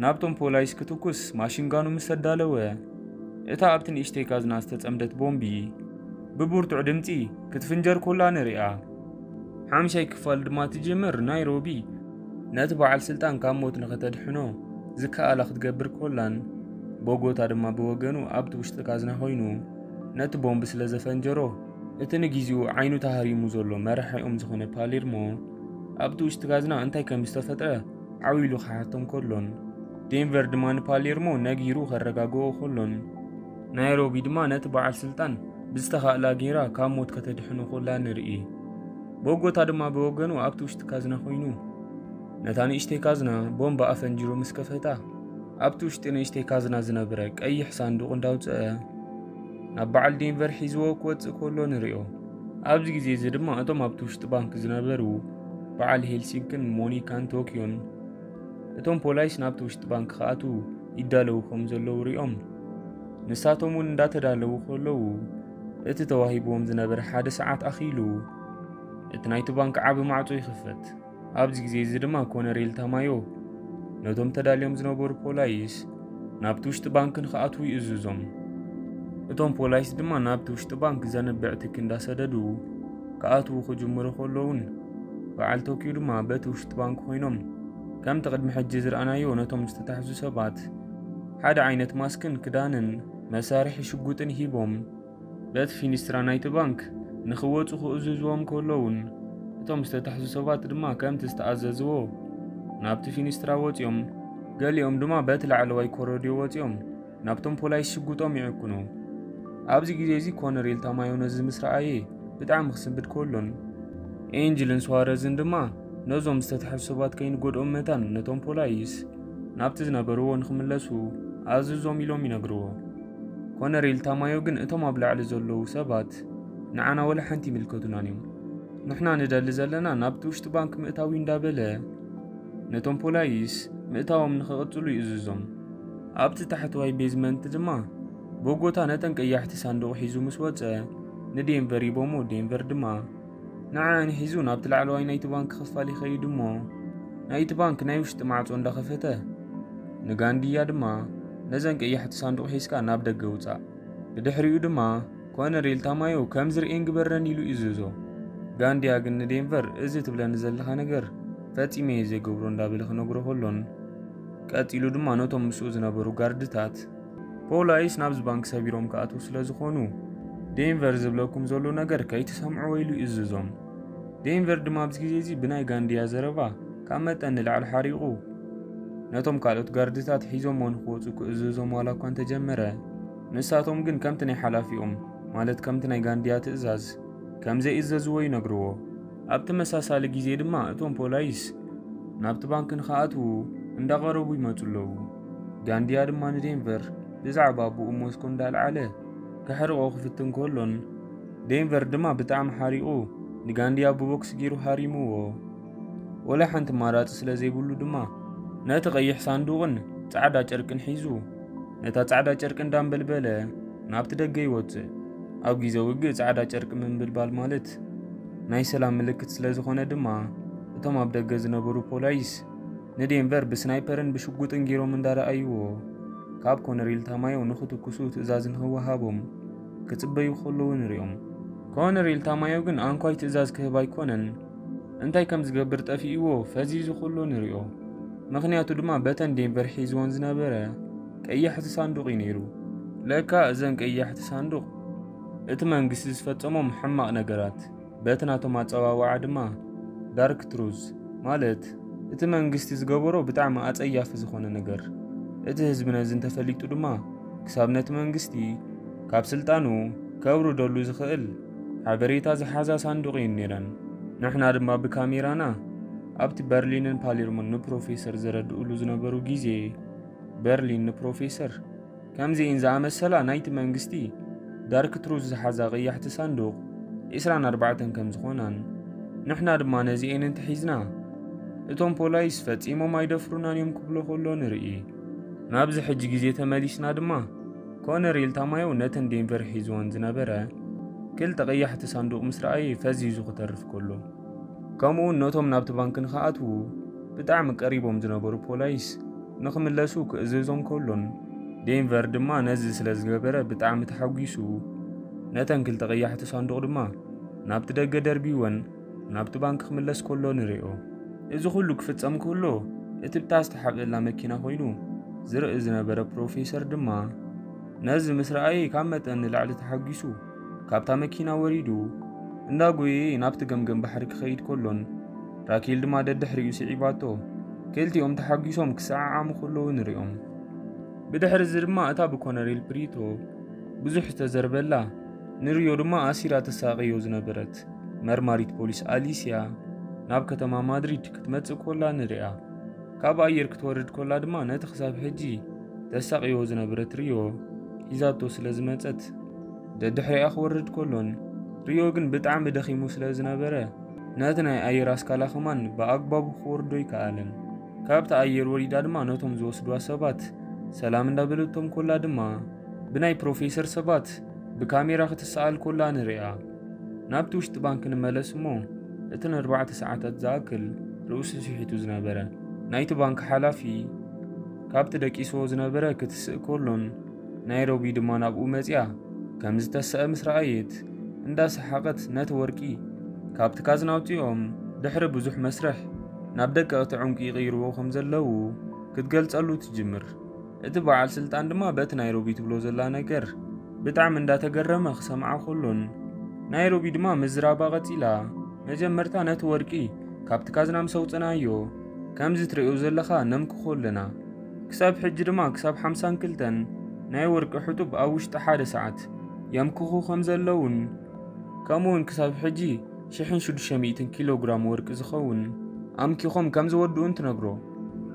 ናብቶም ፖላይስ ክትኩስ ማሽንጋኑ ምስ ኣዳለወ፣ እታ ኣብቲ ንእሽተይ ካዝና ዝተጸምደት ቦምቢ ብብርቱዕ ድምጺ ክትፍንጀር ኮላ ንሪኣ። ሓምሻይ ክፋል ድማ ትጅምር። ናይሮቢ ነቲ በዓል ስልጣን ካብ ሞት ንኸተድሕኖ ዝከኣላ ክትገብር ኮላን፣ ቦጎታ ድማ ብወገኑ ኣብቲ ውሽጢ ካዝና ኮይኑ ነቲ ቦምብ ስለ ዘፈንጀሮ፣ እቲ ንግዜኡ ዓይኑ ተሃሪሙ ዘሎ መራሒኦም ዝኾነ ፓሌርሞ ኣብቲ ውሽጢ ካዝና እንታይ ከም ዝተፈጥረ ዓው ኢሉ ክሓቶም ከሎን፣ ዴንቨር ድማ ንፓሌርሞ ነጊሩ ከረጋግኦ ከሎን፣ ናይሮቢ ድማ ነቲ በዓል ስልጣን ብዝተኻእላ ጌራ ካብ ሞት ከተድሕኖ ኮላ ንርኢ። ቦጎታ ድማ ብወገኑ ኣብቲ ውሽጢ ካዝና ኮይኑ ነታ ንእሽተይ ካዝና ቦምባ ኣፈንጂሩ ምስ ከፈታ፣ ኣብቲ ውሽጢ ንእሽተይ ካዝና ዝነበረ ቀይሕ ሳንዱቕ እንዳውጽአ ናብ በዓል ዴንቨር ሒዝዎ ክወጽእ ከሎ ንሪኦ። ኣብዚ ግዜ እዚ ድማ እቶም ኣብቲ ውሽጢ ባንክ ዝነበሩ በዓል ሄልሲንክን ሞኒካን ቶኪዮን እቶም ፖላይስ ናብቲ ውሽጢ ባንክ ክኣትዉ ይዳለዉ ከም ዘለዉ ሪኦም፣ ንሳቶም እውን እንዳተዳለዉ ከለዉ፣ እቲ ተዋሂብዎም ዝነበረ ሓደ ሰዓት ኣኺሉ፣ እቲ ናይቲ ባንክ ዓቢ ማዕጾ ይኽፈት። ኣብዚ ግዜ እዚ ድማ ኮነሬል ታማዮ ነቶም ተዳልዮም ዝነበሩ ፖላይስ ናብቲ ውሽጢ ባንክ ንኽኣትዉ ይእዝዞም። እቶም ፖላይስ ድማ ናብቲ ውሽጢ ባንክ ዘንብዕ ትኪ እንዳሰደዱ ክኣትዉ ክጅምሩ ከለዉን፣ በዓል ቶኪዮ ድማ በቲ ውሽጢ ባንክ ኮይኖም፣ ከምቲ ቅድሚ ሕጂ ዝረኣናዮ ነቶም ዝተታሕዙ ሰባት ሓደ ዓይነት ማስክን ክዳንን መሳርሒ ሽጉጥን ሂቦም፣ በቲ ፊኒስትራ ናይቲ ባንክ ንኽወጹ ክእዝዝዎም ከለዉን፣ እቶም ዝተታሕዙ ሰባት ድማ ከምቲ ዝተኣዘዝዎ ናብቲ ፊኒስትራ ወጺኦም፣ ገሊኦም ድማ በቲ ላዕለዋይ ኮረድዮ ወጺኦም ናብቶም ፖላይስ ሽጉጦም ይዕኩኑ። ኣብዚ ግዜ እዚ ኮነሬል ታማዮ ነዚ ምስ ረኣየ ብጣዕሚ ክስንብድ ከሎን፣ ኤንጅልን ስዋረዝን ድማ ነዞም ዝተታሕዙ ሰባት ከይንጎድኦም መታን ነቶም ፖላይስ ናብቲ ዝነበርዎ ንኽምለሱ ኣዝዞም ኢሎም ይነግርዎ። ኮነሬል ታማዮ ግን እቶም ኣብ ላዕሊ ዘለዉ ሰባት ንዓና ወላ ሓንቲ ይምልከቱናን እዮም። ንሕና ንደሊ ዘለና ናብቲ ውሽጢ ባንክ ምእታዊ እንዳበለ ነቶም ፖላይስ ምእታዎም ንኽቕጽሉ ይእዝዞም። ኣብቲ ታሕተዋይ ቤዝመንት ድማ ቦጎታ ነተን ቀያሕቲ ሳንዱቕ ሒዙ ምስ ወጸ ንዴንቨር ይቦሞ። ዴንቨር ድማ ንዓን ሒዙ ናብቲ ላዕለዋይ ናይቲ ባንክ ክፋል ይኸይድ እሞ ናይቲ ባንክ ናይ ውሽጢ ማዕጾ እንዳኸፈተ ንጋንድያ ድማ ነዘን ቀያሕቲ ሳንዱቕ ሒዝካ ናብ ደገ ውጻእ። ብድሕሪኡ ድማ ኮነሬል ታማዮ ከም ዝርእየን ግበረን ኢሉ ይእዝዞ። ጋንድያ ግን ንዴንቨር እዚ ትብለኒ ዘለኻ ነገር ፈጺመ እየ ዘይገብሮ እንዳበለ ክነግሮ ከሎን ቀጺሉ ድማ ነቶም ምስኡ ዝነበሩ ጋርድታት ፖላይስ ናብዚ ባንክ ሰቢሮም ክኣትዉ ስለ ዝኾኑ ዴንቨር ዝብለኩም ዘሎ ነገር ከይትሰምዕዎ ኢሉ ይእዝዞም። ዴንቨር ድማ ኣብዚ ግዜ እዚ ብናይ ጋንድያ ዘረባ ካብ መጠን ንላዕሊ ሓሪቑ ነቶም ካልኦት ጋርድታት ሒዞሞ ንክወፁ ክእዝዞም ዋላ እኳ እንተጀመረ ንሳቶም ግን ከምቲ ናይ ሓላፊኦም ማለት ከምቲ ናይ ጋንድያ ትእዛዝ ከም ዘይእዘዝዎ ይነግርዎ። ኣብ ተመሳሳሊ ግዜ ድማ እቶም ፖላይስ ናብቲ ባንክ ንክኣትዉ እንዳቐረቡ ይመፁ ኣለዉ። ጋንድያ ድማ ንዴንቨር ብዛዕባ ኣቦኡ ሞስኮ እንዳልዓለ ከሕርቆ ክፍትን ከሎን ዴንቨር ድማ ብጣዕሚ ሓሪቑ ንጋንድያ ብቦክስ ገይሩ ሃሪምዎ። ወላ ሓንቲ ማራፂ ስለ ዘይብሉ ድማ ነቲ ቀይሕ ሳንዱቕን ፃዕዳ ጨርቅን ሒዙ ነታ ፃዕዳ ጨርቂ እንዳንበልበለ ናብቲ ደገ ይወፅእ። ኣብ ግዜ ውግእ ፃዕዳ ጨርቂ ምንብልባል ማለት ናይ ሰላም ምልክት ስለ ዝኾነ ድማ እቶም ኣብ ደገ ዝነበሩ ፖላይስ ንዴንቨር ብስናይፐርን ብሽጉጥን ገይሮም እንዳረኣይዎ ካብ ኮነሬል ታማዮ ንኽትኩሱ ትእዛዝ ንኽወሃቦም ክጽበዩ ከለዉ ንሪኦም። ኮነሬል ታማዮ ግን ኣንኳይ ትእዛዝ ክህብ ኣይኮነን እንታይ ከም ዝገብር ጠፊእዎ ፈዚዙ ከሎ ንሪኦ። ምኽንያቱ ድማ በተን ዴንቨር ሒዝወን ዝነበረ ቀያሕቲ ሳንዱቕ እዩ ነይሩ። ለካ እዘን ቀያሕቲ ሳንዱቕ እቲ መንግስቲ ዝፈጸሞም ሕማቕ ነገራት በቲ ናቶም ኣጸዋውዓ ድማ ዳርክ ትሩዝ ማለት እቲ መንግስቲ ዝገበሮ ብጣዕሚ ኣጸያፊ ዝኾነ ነገር እቲ ህዝቢ ነዚ እንተፈሊጡ ድማ ክሳብ ነቲ መንግስቲ ካብ ስልጣኑ ከውርደሉ ዝኽእል ሓበሬታ ዝሓዛ ሳንዱቕ እየን ነይረን። ንሕና ድማ ብካሜራና ኣብቲ በርሊንን ፓሌርሞን ንፕሮፌሰር ዘረድእሉ ዝነበሩ ግዜ በርሊን ንፕሮፌሰር ከምዚኤን ዝኣመሰላ ናይቲ መንግስቲ ዳርክ ትሩዝ ዝሓዛ ቀያሕቲ ሳንዱቕ ዒስራን ኣርባዕተን ከም ዝኾናን ንሕና ድማ ነዚኤን እንተሒዝና እቶም ፖላይስ ፈጺሞም ኣይደፍሩናን እዮም ክብሎ ከሎ ንርኢ። ናብዚ ሕጂ ግዜ ተመሊስና ድማ ኮነሬል ታማዮ ነተን ዴንቨር ሒዝወን ዝነበረ ክልተ ቀያሕቲ ሳንዱቕ ምስ ረኣየ ፈዚዙ ክተርፍ ከሎ ከምኡውን ነቶም ናብቲ ባንክ ንኽኣትዉ ብጣዕሚ ቀሪቦም ዝነበሩ ፖላይስ ንኽምለሱ ክእዝዞም ከሎን ዴንቨር ድማ ነዚ ስለ ዝገበረ ብጣዕሚ ተሓጒሱ ነተን ክልተ ቀያሕቲ ሳንዱቕ ድማ ናብቲ ደገ ደርቢወን ናብቲ ባንክ ክምለስ ከሎ ንሪኦ። እዚ ኩሉ ክፍጸም ከሎ እቲ ብታ ዝተሓብእላ መኪና ኮይኑ ዝርኢ ዝነበረ ፕሮፌሰር ድማ ነዚ ምስ ረኣየ ካብ መጠን ንላዕሊ ተሓጒሱ ካብታ መኪና ወሪዱ እንዳጎየየ ናብቲ ገምገም ባሕሪ ክኸይድ ከሎን ራኬል ድማ ደድሕሪኡ ስዒባቶ ክልቲኦም ተሓጒሶም ክሰዓዓሙ ከለዉ ንሪኦም። ብድሕሪ እዚ ድማ እታ ብኮነሬል ፕሪቶ ብዙሕ ዝተዘርበላ ንሪዮ ድማ ኣሲራ ተሳቕዮ ዝነበረት መርማሪት ፖሊስ ኣሊስያ ናብ ከተማ ማድሪድ ክትመጽእ ኮላ ንሪኣ። ካብ ኣየር ክትወርድ ኮላ ድማ ነቲ ክሳብ ሕጂ ተሳቕዮ ዝነበረት ሪዮ ሒዛቶ ስለ ዝመጸት ደድሕሪኣ ክወርድ ኮሎን ሪዮ ግን ብጣዕሚ ደኺሙ ስለ ዝነበረ ነቲ ናይ ኣየር ኣስካላ ከማን ብኣግባቡ ክወርዶ ኣይከኣለን። ካብቲ ኣየር ወሪዳ ድማ ነቶም ዝወስድዋ ሰባት ሰላም እንዳበለቶም ኮላ ድማ ብናይ ፕሮፌሰር ሰባት ብካሜራ ክትሰኣል ኮላ ንሪኣ። ናብቲ ውሽጢ ባንክ ንመለስ እሞ እቲ ንኣርባዕተ ሰዓታት ዝኣክል ርእሱ ስሒቱ ዝነበረ ናይቲ ባንክ ሓላፊ ካብቲ ደቂስዎ ዝነበረ ክትስእ ከሎን ናይሮቢ ድማ ናብኡ መጺኣ ከም ዝተሰአ ምስ ረኣየት እንዳሰሓቐት ነቲ ወርቂ ካብቲ ካዝና ኣውጺኦም ድሕሪ ብዙሕ መስርሕ ናብ ደቀቕቲ ዕንቁ ይቕይርዎ ከም ዘለዉ ክትገልጸሉ ትጅምር። እቲ በዓል ስልጣን ድማ በቲ ናይሮቢ ትብሎ ዘላ ነገር ብጣዕሚ እንዳተገረመ ክሰምዓ ከሎን ናይሮቢ ድማ ምዝራባ ቀጺላ መጀመርታ ነቲ ወርቂ ካብቲ ካዝና ምስ ኣውጸናዮ ከምዚ ትርእዮ ዘለኻ ነምክኾ ኣለና። ክሳብ ሕጂ ድማ ክሳብ ሓምሳን ክልተን ናይ ወርቂ ሕጡብ ኣብ ውሽጢ ሓደ ሰዓት የምክኹ ከም ዘለውን ከምኡውን ክሳብ ሕጂ ሽሕን ሽዱሽተ ሚእትን ኪሎ ግራም ወርቂ ዝኸውን ኣምኪኾም ከም ዝወድኡን ትነግሮ።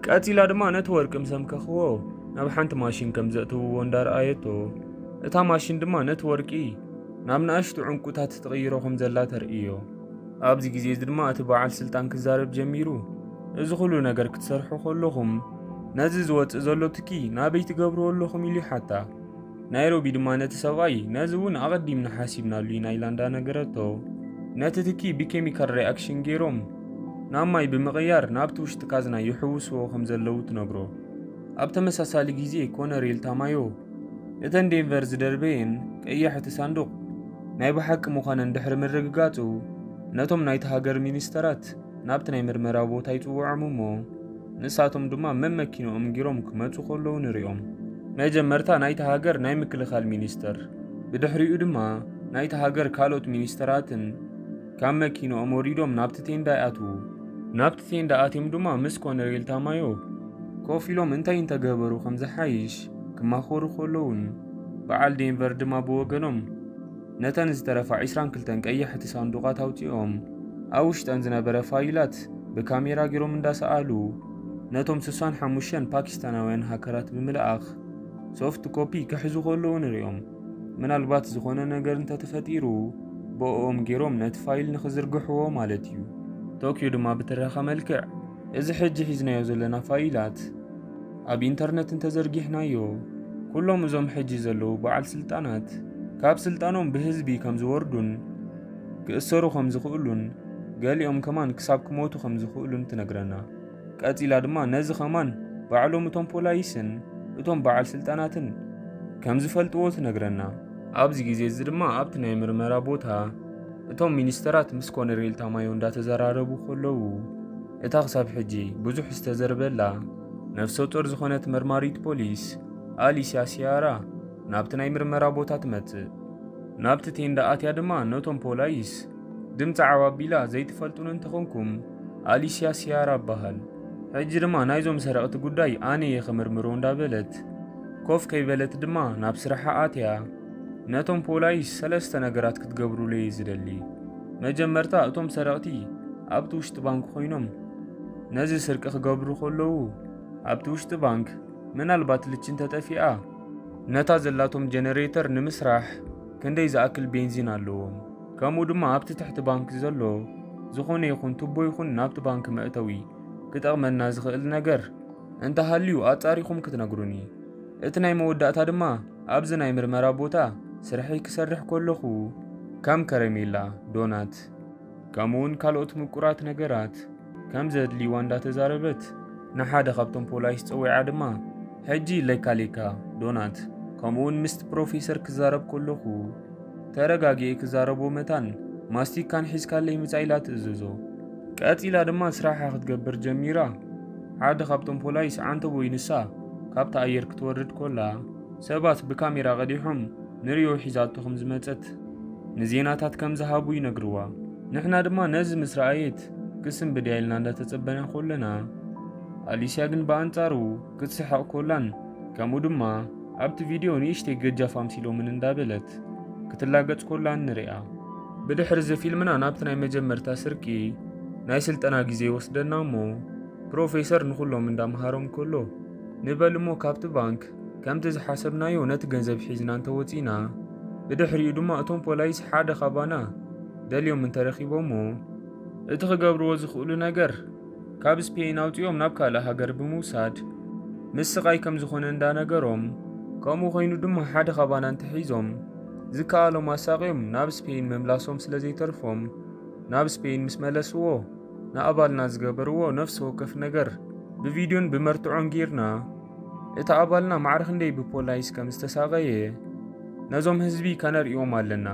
ቀጺላ ድማ ነቲ ወርቂ ምስ ኣምከኽዎ ናብ ሓንቲ ማሽን ከም ዘእትውዎ እንዳረኣየቶ እታ ማሽን ድማ ነቲ ወርቂ ናብ ንኣሽቱ ዕንቁታት ትቕይሮ ከም ዘላ ተርእዮ። ኣብዚ ግዜ እዚ ድማ እቲ በዓል ስልጣን ክዛረብ ጀሚሩ። እዚ ኩሉ ነገር ክትሰርሑ ከለኹም ነዚ ዝወጽእ ዘሎ ትኪ ናበይ ትገብርዎ ኣለኹም ኢሉ ይሓታ። ናይሮቢ ድማ ነቲ ሰብኣይ ነዚ እውን ኣቐዲምና ሓሲብናሉ ኢና ኢላ እንዳነገረቶ፣ ነቲ ትኪ ብኬሚካል ሪኣክሽን ገይሮም ናብ ማይ ብምቕያር ናብቲ ውሽጢ ካዝና ይሕውስዎ ከም ዘለዉ ትነግሮ። ኣብ ተመሳሳሊ ግዜ ኮነሬል ታማዮ እተን ዴንቨር ዝደርበየን ቀያሕቲ ሳንዱቕ ናይ ብሓቂ ምዃነን ድሕሪ ምርግጋጹ፣ ነቶም ናይቲ ሃገር ሚኒስተራት ናብቲ ናይ ምርመራ ቦታ ይጽውዖም እሞ፣ ንሳቶም ድማ መመኪንኦም ጊሮም ክመጹ ከለዉ ንሪኦም። መጀመርታ ናይቲ ሃገር ናይ ምክልኻል ሚኒስተር፣ ብድሕሪኡ ድማ ናይቲ ሃገር ካልኦት ሚኒስተራትን ካብ መኪንኦም ወሪዶም ናብቲ ቴንዳ ይኣትዉ። ናብቲ ቴንዳ ኣትዮም ድማ ምስ ኮነሬል ታማዮ ኮፍ ኢሎም እንታይ እንተገበሩ ከም ዝሓይሽ ክማኸሩ ከለዉን፣ በዓል ዴንቨር ድማ ብወገኖም ነተን ዝተረፋ ዒስራን ክልተን ቀያሕቲ ሳንዱቓት ኣውጺኦም ኣብ ውሽጠን ዝነበረ ፋይላት ብካሜራ ገይሮም እንዳሰኣሉ ነቶም ስሳን ሓሙሽተን ፓኪስታናውያን ሃከራት ብምልኣኽ ሶፍት ኮፒ ክሕዙ ከለዉ ንሪኦም። ምናልባት ዝኾነ ነገር እንተተፈጢሩ ብኦም ገይሮም ነቲ ፋይል ንኽዝርግሕዎ ማለት እዩ። ቶኪዮ ድማ ብትረኻ መልክዕ፣ እዚ ሕጂ ሒዝናዮ ዘለና ፋይላት ኣብ ኢንተርነት እንተዘርጊሕናዮ፣ ኩሎም እዞም ሕጂ ዘለዉ በዓል ስልጣናት ካብ ስልጣኖም ብህዝቢ ከም ዝወርዱን ክእሰሩ ከም ዝኽእሉን ገሊኦም ከማን ክሳብ ክሞቱ ከም ዝኽእሉን ትነግረና። ቀጺላ ድማ ነዚ ከማን ባዕሎም እቶም ፖላይስን እቶም በዓል ስልጣናትን ከም ዝፈልጥዎ ትነግረና። ኣብዚ ግዜ እዚ ድማ ኣብቲ ናይ ምርመራ ቦታ እቶም ሚኒስተራት ምስ ኮነሬል ታማዮ እንዳተዘራረቡ ከለዉ፣ እታ ክሳብ ሕጂ ብዙሕ ዝተዘርበላ ነፍሰ ጡር ዝኾነት መርማሪት ፖሊስ ኣሊስያ ሲያራ ናብቲ ናይ ምርመራ ቦታ ትመጽእ። ናብቲ ቴንዳ ኣትያ ድማ ነቶም ፖላይስ ድምፂ ዓው ኣቢላ፣ ዘይትፈልጡኒ እንተኾንኩም ኣሊስያ ሲያራ እበሃል። ሕጂ ድማ ናይዞም ሰረቕቲ ጉዳይ ኣነ እየ ክምርምሮ እንዳበለት ኮፍ ከይበለት ድማ ናብ ስራሓ ኣትያ። ነቶም ፖላይስ ሰለስተ ነገራት ክትገብሩለይ እየ ዝደሊ። መጀመርታ እቶም ሰረቕቲ ኣብቲ ውሽጢ ባንክ ኮይኖም ነዚ ስርቂ ክገብሩ ከለዉ ኣብቲ ውሽጢ ባንክ ምናልባት ልቺ እንተጠፊኣ ነታ ዘላቶም ጀነሬተር ንምስራሕ ክንደይ ዝኣክል ቤንዚን ኣለዎም። ከምኡ ድማ ኣብቲ ትሕቲ ባንክ ዘሎ ዝኾነ ይኹን ቱቦ ይኹን ናብቲ ባንክ መእተዊ ክጠቕመና ዝኽእል ነገር እንተሃልዩ ኣጻሪኹም ክትነግሩኒ። እቲ ናይ መወዳእታ ድማ ኣብዚ ናይ ምርመራ ቦታ ስርሐይ ክሰርሕ ከለኹ ከም ከረሜላ፣ ዶናት፣ ከምኡውን ካልኦት ምቁራት ነገራት ከም ዘድልይዋ እንዳተዛረበት ንሓደ ካብቶም ፖላይስ ጸዊዓ ድማ፣ ሕጂ ሌካ ሌካ፣ ዶናት፣ ከምኡውን ምስቲ ፕሮፌሰር ክዛረብ ከለኹ ተረጋጊኤ ክዛረቦ መታን ማስቲካን ሒዝካለይ ምጻእ ኢላ ትእዝዞ። ቀጺላ ድማ ስራሓ ክትገብር ጀሚራ። ሓደ ካብቶም ፖላይስ ዓንተቦይ ንሳ ካብቲ ኣየር ክትወርድ ኮላ ሰባት ብካሜራ ቀዲሖም ንሪዮ ሒዛቶ ከም ዝመጸት ንዜናታት ከም ዝሃቡ ይነግርዋ። ንሕና ድማ ነዚ ምስ ረኣየት ክስንብድ እያ ኢልና እንዳተጸበና ኮለና፣ ኣሊስያ ግን ብኣንጻሩ ክትስሕቕ ኮላን ከምኡ ድማ ኣብቲ ቪድዮ ንእሽተይ ገጃፍ ኣምሲሎምን እንዳበለት ክትላገጽ ኮላን ንሪኣ። ብድሕሪ እዚ ፊልምና ናብቲ ናይ መጀመርታ ስርቂ ናይ ስልጠና ግዜ ይወስደና እሞ ፕሮፌሰር ንኹሎም እንዳምሃሮም ከሎ፣ ንበል እሞ ካብቲ ባንክ ከምቲ ዝሓሰብናዮ ነቲ ገንዘብ ሒዝና እንተወጺና፣ ብድሕሪኡ ድማ እቶም ፖላይስ ሓደ ካባና ደልዮም እንተረኺቦሞ፣ እቲ ክገብርዎ ዝኽእሉ ነገር ካብ ስፔን ኣውጺኦም ናብ ካልእ ሃገር ብምውሳድ ምስ ስቓይ ከም ዝኾነ እንዳነገሮም፣ ከምኡ ኮይኑ ድማ ሓደ ካባና እንተሒዞም ዝከኣሎም ኣሳቕዮም ናብ ስፔን ምምላሶም ስለ ዘይተርፎም፣ ናብ ስፔን ምስ መለስዎ ንኣባልና ዝገበርዎ ነፍሲ ወከፍ ነገር ብቪድዮን ብመርትዖን ጌርና፣ እቲ ኣባልና ማዕረ ክንደይ ብፖላይስ ከም ዝተሳቐየ ነዞም ህዝቢ ከነርእዮም ኣለና።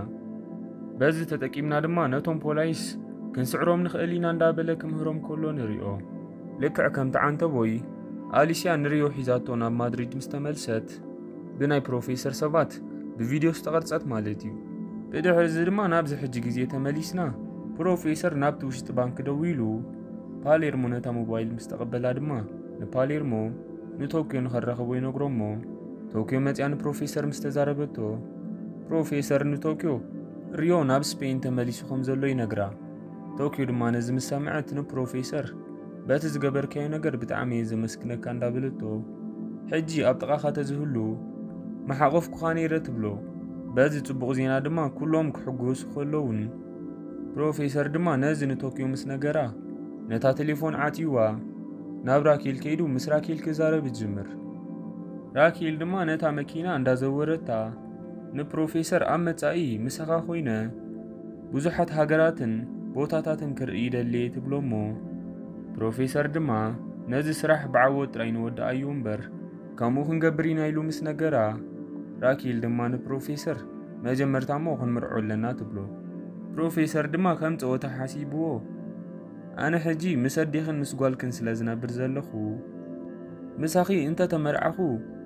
በዚ ተጠቂምና ድማ ነቶም ፖላይስ ክንስዕሮም ንኽእል ኢና እንዳበለ ክምህሮም ከሎ ንሪኦ። ልክዕ ከምቲ ዓንተቦይ ኣሊስያ ንሪዮ ሒዛቶ ናብ ማድሪድ ምስ ተመልሰት፣ ብናይ ፕሮፌሰር ሰባት ብቪድዮ ዝተቐርጸት ማለት እዩ። ብድሕሪ እዚ ድማ ናብዚ ሕጂ ግዜ ተመሊስና፣ ፕሮፌሰር ናብቲ ውሽጢ ባንክ ደዊሉ ፓሌርሞ ነታ ሞባይል ምስ ተቐበላ ድማ ንፓሌርሞ ንቶኪዮ ንኸራኸቦ ይነግሮ እሞ፣ ቶኪዮ መጽያ ንፕሮፌሰር ምስ ተዛረበቶ፣ ፕሮፌሰር ንቶኪዮ ሪዮ ናብ ስፔን ተመሊሱ ከም ዘሎ ይነግራ። ቶኪዮ ድማ ነዚ ምስ ሰምዐት ንፕሮፌሰር በቲ ዝገበርካዮ ነገር ብጣዕሚ እየ ዘመስግነካ እንዳበለቶ፣ ሕጂ ኣብ ጥቓኻ ተዝህሉ መሓቖፍኩኻ ነይረ ትብሎ። በዚ ጽቡቕ ዜና ድማ ኩሎም ክሕጎሱ ከለዉን፣ ፕሮፌሰር ድማ ነዚ ንቶክዮ ምስ ነገራ፣ ነታ ቴሌፎን ዓትዩዋ ናብ ራኬል ከይዱ ምስ ራኬል ክዛረብ ይጅምር። ራኬል ድማ ነታ መኪና እንዳዘወረታ ንፕሮፌሰር ኣብ መጻኢ ምሳኻ ኮይነ ብዙሓት ሃገራትን ቦታታትን ክርኢ ይደሊ እየ ትብሎ እሞ፣ ፕሮፌሰር ድማ ነዚ ስራሕ ብዓወት ጥራይ ንወድኣዮ እምበር ከምኡ ክንገብር ኢና ኢሉ ምስ ነገራ፣ ራኬል ድማ ንፕሮፌሰር መጀመርታ እሞ ክንምርዖ ኣለና ትብሎ። ፕሮፌሰር ድማ ከም ጸወታ ሓሲብዎ፣ ኣነ ሕጂ ምስ ኣዴኽን ምስ ጓልክን ስለ ዝነብር ዘለኹ፣ ምሳኺ እንተ ተመርዓኹ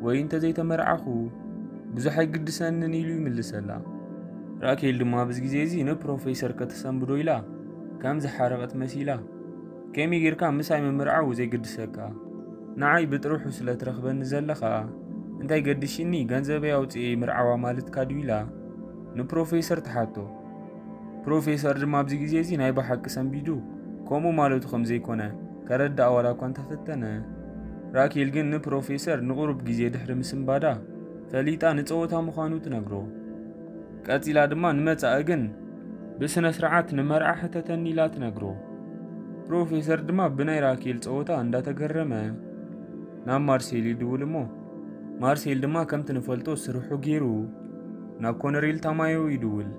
ወይ እንተ ዘይተመርዓኹ ብዙሕ ኣይግድሰንን ኢሉ ይምልሰላ። ራኬል ድማ ኣብዚ ግዜ እዚ ንፕሮፌሰር ከተሰንብዶ ኢላ ከም ዝሓረቐት መሲላ፣ ከመይ ጌርካ ምሳይ ምምርዓው ዘይግድሰካ? ንዓይ ብጥርሑ ስለ ትረኽበኒ ዘለኻ እንታይ ገድሽኒ፣ ገንዘበይ ኣውፅኤ ምርዓዋ ማለትካ ድዩ ኢላ ንፕሮፌሰር ትሓቶ። ፕሮፌሰር ድማ ኣብዚ ግዜ እዚ ናይ ብሓቂ ሰንቢዱ ከምኡ ማለቱ ከም ዘይኮነ ከረድኣ ዋላ እኳ እንተፈተነ፣ ራኬል ግን ንፕሮፌሰር ንቑሩብ ግዜ ድሕሪ ምስንባዳ ፈሊጣ ንጸወታ ምዃኑ ትነግሮ። ቀጺላ ድማ ንመጻኢ ግን ብስነ ስርዓት ንመርዓ ሕተተኒ ኢላ ትነግሮ። ፕሮፌሰር ድማ ብናይ ራኬል ጸወታ እንዳተገረመ ናብ ማርሴል ይድውል እሞ፣ ማርሴል ድማ ከምቲ ንፈልጦ ስርሑ ገይሩ ናብ ኮነሬል ታማዮ ይድውል።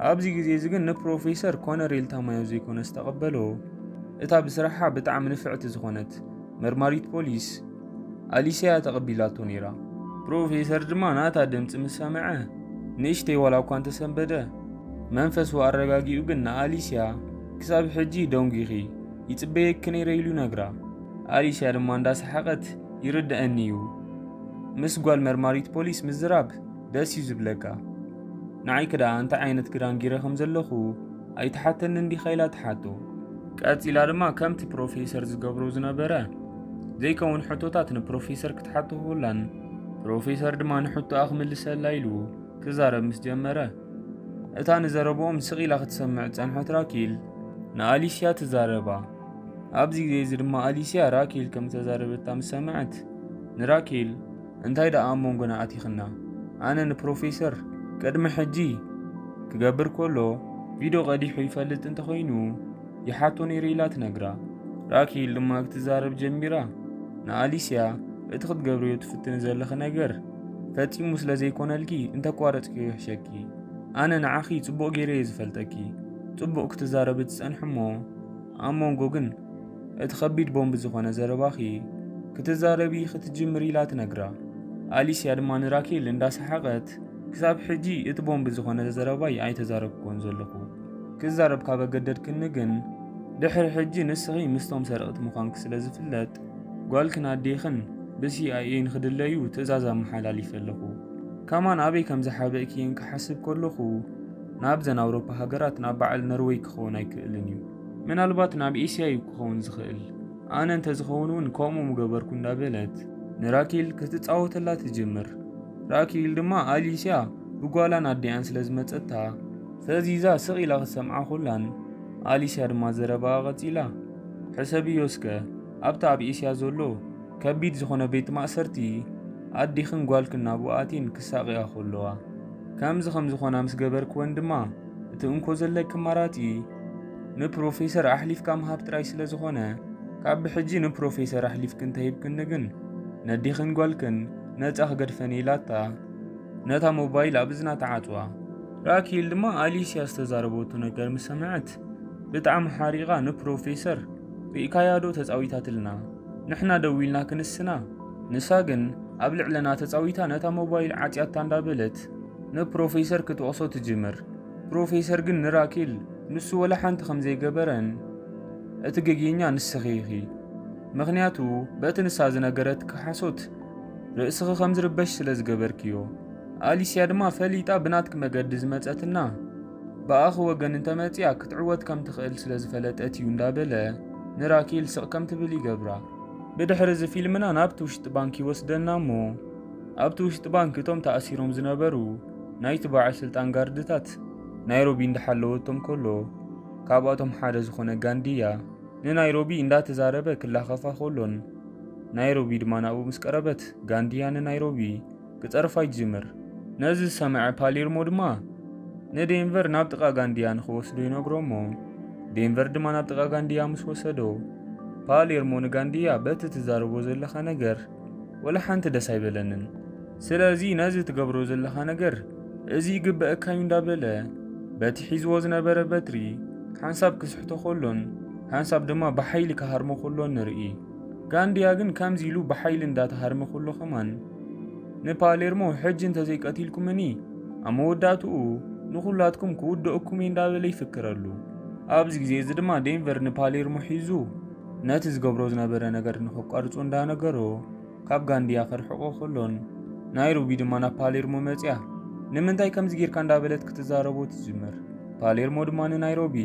ኣብዚ ግዜ እዚ ግን ንፕሮፌሰር ኮነሬል ታማዮ ዘይኮነ ዝተቐበሎ፣ እታ ብስራሓ ብጣዕሚ ንፍዕቲ ዝኾነት መርማሪት ፖሊስ ኣሊስያ ተቐቢላቶ ነይራ። ፕሮፌሰር ድማ ናታ ድምፂ ምስ ሰምዐ ንእሽተይ ዋላ እኳ እንተሰንበደ፣ መንፈሱ ኣረጋጊኡ ግን ንኣሊስያ ክሳብ ሕጂ ደንጒኺ ይጽበየኪ ነይረ ኢሉ ይነግራ። ኣሊስያ ድማ እንዳሰሓቐት ይርድኣኒ እዩ፣ ምስ ጓል መርማሪት ፖሊስ ምዝራብ ደስ እዩ ዝብለካ። ንዓይ ክደኣ እንታይ ዓይነት ክዳን ጊረ ከም ዘለኹ ኣይትሓተንን ዲኻ ኢላ ትሓቶ። ቀጺላ ድማ ከምቲ ፕሮፌሰር ዝገብሮ ዝነበረ ዘይከውን ሕቶታት ንፕሮፌሰር ክትሓቶ ክብላን ፕሮፌሰር ድማ ንሕቶኣ ክምልሰላ ኢሉ ክዛረብ ምስ ጀመረ፣ እታ ንዘረብኦም ስቕ ኢላ ክትሰምዕ ዝጸንሐት ራኬል ንኣሊስያ ትዛረባ። ኣብዚ ግዜ እዚ ድማ ኣሊስያ ራኬል ከም ዝተዛረበታ ምስ ሰምዐት፣ ንራኬል እንታይ ደኣ ኣብ መንጎና ኣቲኽና? ኣነ ንፕሮፌሰር ቅድሚ ሕጂ ክገብር ከሎ ቪድዮ ቀዲሑ ይፈልጥ እንተኾይኑ ይሓቶ ነይረ ኢላ ትነግራ። ራኬል ድማ ክትዛረብ ጀሚራ፣ ንኣሊስያ እቲ ክትገብርዮ ትፍትኒ ዘለኺ ነገር ፈጺሙ ስለ ዘይኮነልኪ እንተቋረጽክዮ ይሕሸኪ። ኣነ ንዓኺ ጽቡቕ ገይረ እየ ዝፈልጠኪ። ጽቡቕ ክትዛረቢ ትጸንሒ እሞ ኣብ መንጎ ግን እቲ ከቢድ ቦምብ ዝኾነ ዘረባኺ ክትዛረቢ ክትጅምር ኢላ ትነግራ። ኣሊስያ ድማ ንራኬል እንዳሰሓቐት ክሳብ ሕጂ እቲ ቦምብ ዝኾነ ዘረባይ ኣይተዛረብኩዎን ዘለኹ። ክዛረብ ካብ ኣገደድክኒ ግን ድሕሪ ሕጂ ንስኺ ምስቶም ሰረቕቲ ምዃንኪ ስለ ዝፍለጥ ጓልክን ኣዴኽን ብሲኣይኤ ንኽድለዩ ትእዛዝ ኣመሓላሊፈ ኣለኹ። ከማን ኣበይ ከም ዝሓበእክየን ክሓስብ ከለኹ ናብዘን ኣውሮፓ ሃገራት ናብ በዓል ኖርወይ ክኸውን ኣይክእልን እዩ። ምናልባት ናብ ኤስያ እዩ ክኸውን ዝኽእል። ኣነ እንተዝኸውን እውን ከምኡ ምገበርኩ እንዳበለት ንራኬል ክትጻወተላ ትጅምር። ራኬል ድማ ኣሊስያ ብጓላን ኣዲኣን ስለ ዝመጸታ ፈዚዛ ስቕ ኢላ ክትሰምዓ ኮላን ኣሊስያ ድማ ዘረባኣ ቀጺላ፣ ሕሰብዮ እስከ ኣብቲ ኣብ ኤስያ ዘሎ ከቢድ ዝኾነ ቤት ማእሰርቲ ኣዴኽን ጓልክን ናብኡ ኣትየን ክሳቐያ ከለዋ ከምዚ ከም ዝኾና ምስ ገበርክወን ድማ እቲ እንኮ ዘለኪ ኣማራጺ ንፕሮፌሰር ኣሕሊፍካ ምሃብ ጥራይ ስለ ዝኾነ ካብ ብሕጂ ንፕሮፌሰር ኣሕሊፍኪ እንተሂብክኒ ግን ነዴኽን ጓልክን ነጻ ክገድፈን ኢላታ ነታ ሞባይል ኣብ እዝና ተዓጽዋ። ራኪል ድማ ኣሊስያ ዝተዛረበቶ ነገር ምስ ሰምዐት ብጣዕሚ ሓሪቓ ንፕሮፌሰር ሪእካያ ዶ ተጻዊታትልና ንሕና ደዊልና ክንስና ንሳ ግን ኣብ ልዕለና ተጻዊታ ነታ ሞባይል ዓጽያታ እንዳበለት ንፕሮፌሰር ክትወቕሶ ትጅምር። ፕሮፌሰር ግን ንራኪል ንሱ ወላ ሓንቲ ከም ዘይገበረን እቲ ገግየኛ ንስኺ ኢኺ። ምኽንያቱ በቲ ንሳ ዝነገረትኪ ሓሶት ርእስኺ ከም ዝርበሽ ስለ ዝገበርክዮ። ኣሊስያ ድማ ፈሊጣ ብናትኪ መገዲ ዝመጸትና ብኣኺ ወገን እንተመጺኣ ክትዕወት ከም ትኽእል ስለ ዝፈለጠት እዩ እንዳበለ ንራኪል ስቕ ከም ትብል ይገብራ። ብድሕሪ እዚ ፊልምና ናብቲ ውሽጢ ባንክ ይወስደና እሞ ኣብቲ ውሽጢ ባንክ እቶም ተኣሲሮም ዝነበሩ ናይቲ በዓል ስልጣን ጋርድታት ናይሮቢ እንዳሓለወቶም ከሎ ካብኣቶም ሓደ ዝኾነ ጋንድያ ንናይሮቢ እንዳተዛረበ ክላኸፋ ከሎን ናይሮቢ ድማ ናብኡ ምስ ቀረበት ጋንድያ ንናይሮቢ ክጸርፋ ይጅምር። ነዚ ዝሰምዐ ፓሌርሞ ድማ ንዴንቨር ናብ ጥቓ ጋንድያ ንኽወስዶ ይነግሮ እሞ፣ ዴንቨር ድማ ናብ ጥቓ ጋንድያ ምስ ወሰዶ፣ ፓሌርሞ ንጋንድያ በቲ ትዛረቦ ዘለኻ ነገር ወላ ሓንቲ ደስ ኣይበለንን። ስለዚ ነዚ ትገብሮ ዘለኻ ነገር እዚ ይግበአካ እዩ እንዳበለ በቲ ሒዝዎ ዝነበረ በትሪ ሓንሳብ ክስሕቶ ከሎን ሓንሳብ ድማ ብሓይሊ ክሃርሞ ከሎን ንርኢ። ጋንድያ ግን ከምዚ ኢሉ ብሓይሊ እንዳተሃርመ ከሎ ከማን ንፓሌርሞ ሕጂ እንተዘይቀቲልኩምኒ ኣብ መወዳእትኡ ንኹላትኩም ክውደአኩም እየ እንዳበለ ይፍክረሉ። ኣብዚ ግዜ እዚ ድማ ዴንቨር ንፓሌርሞ ሒዙ ነቲ ዝገብሮ ዝነበረ ነገር ንኸቋርጾ እንዳነገሮ ካብ ጋንድያ ከርሕቆ ከሎን ናይሮቢ ድማ ናብ ፓሌርሞ መጽያ ንምንታይ ከምዚ ጌርካ እንዳበለት ክትዛረቦ ትጅምር። ፓሌርሞ ድማ ንናይሮቢ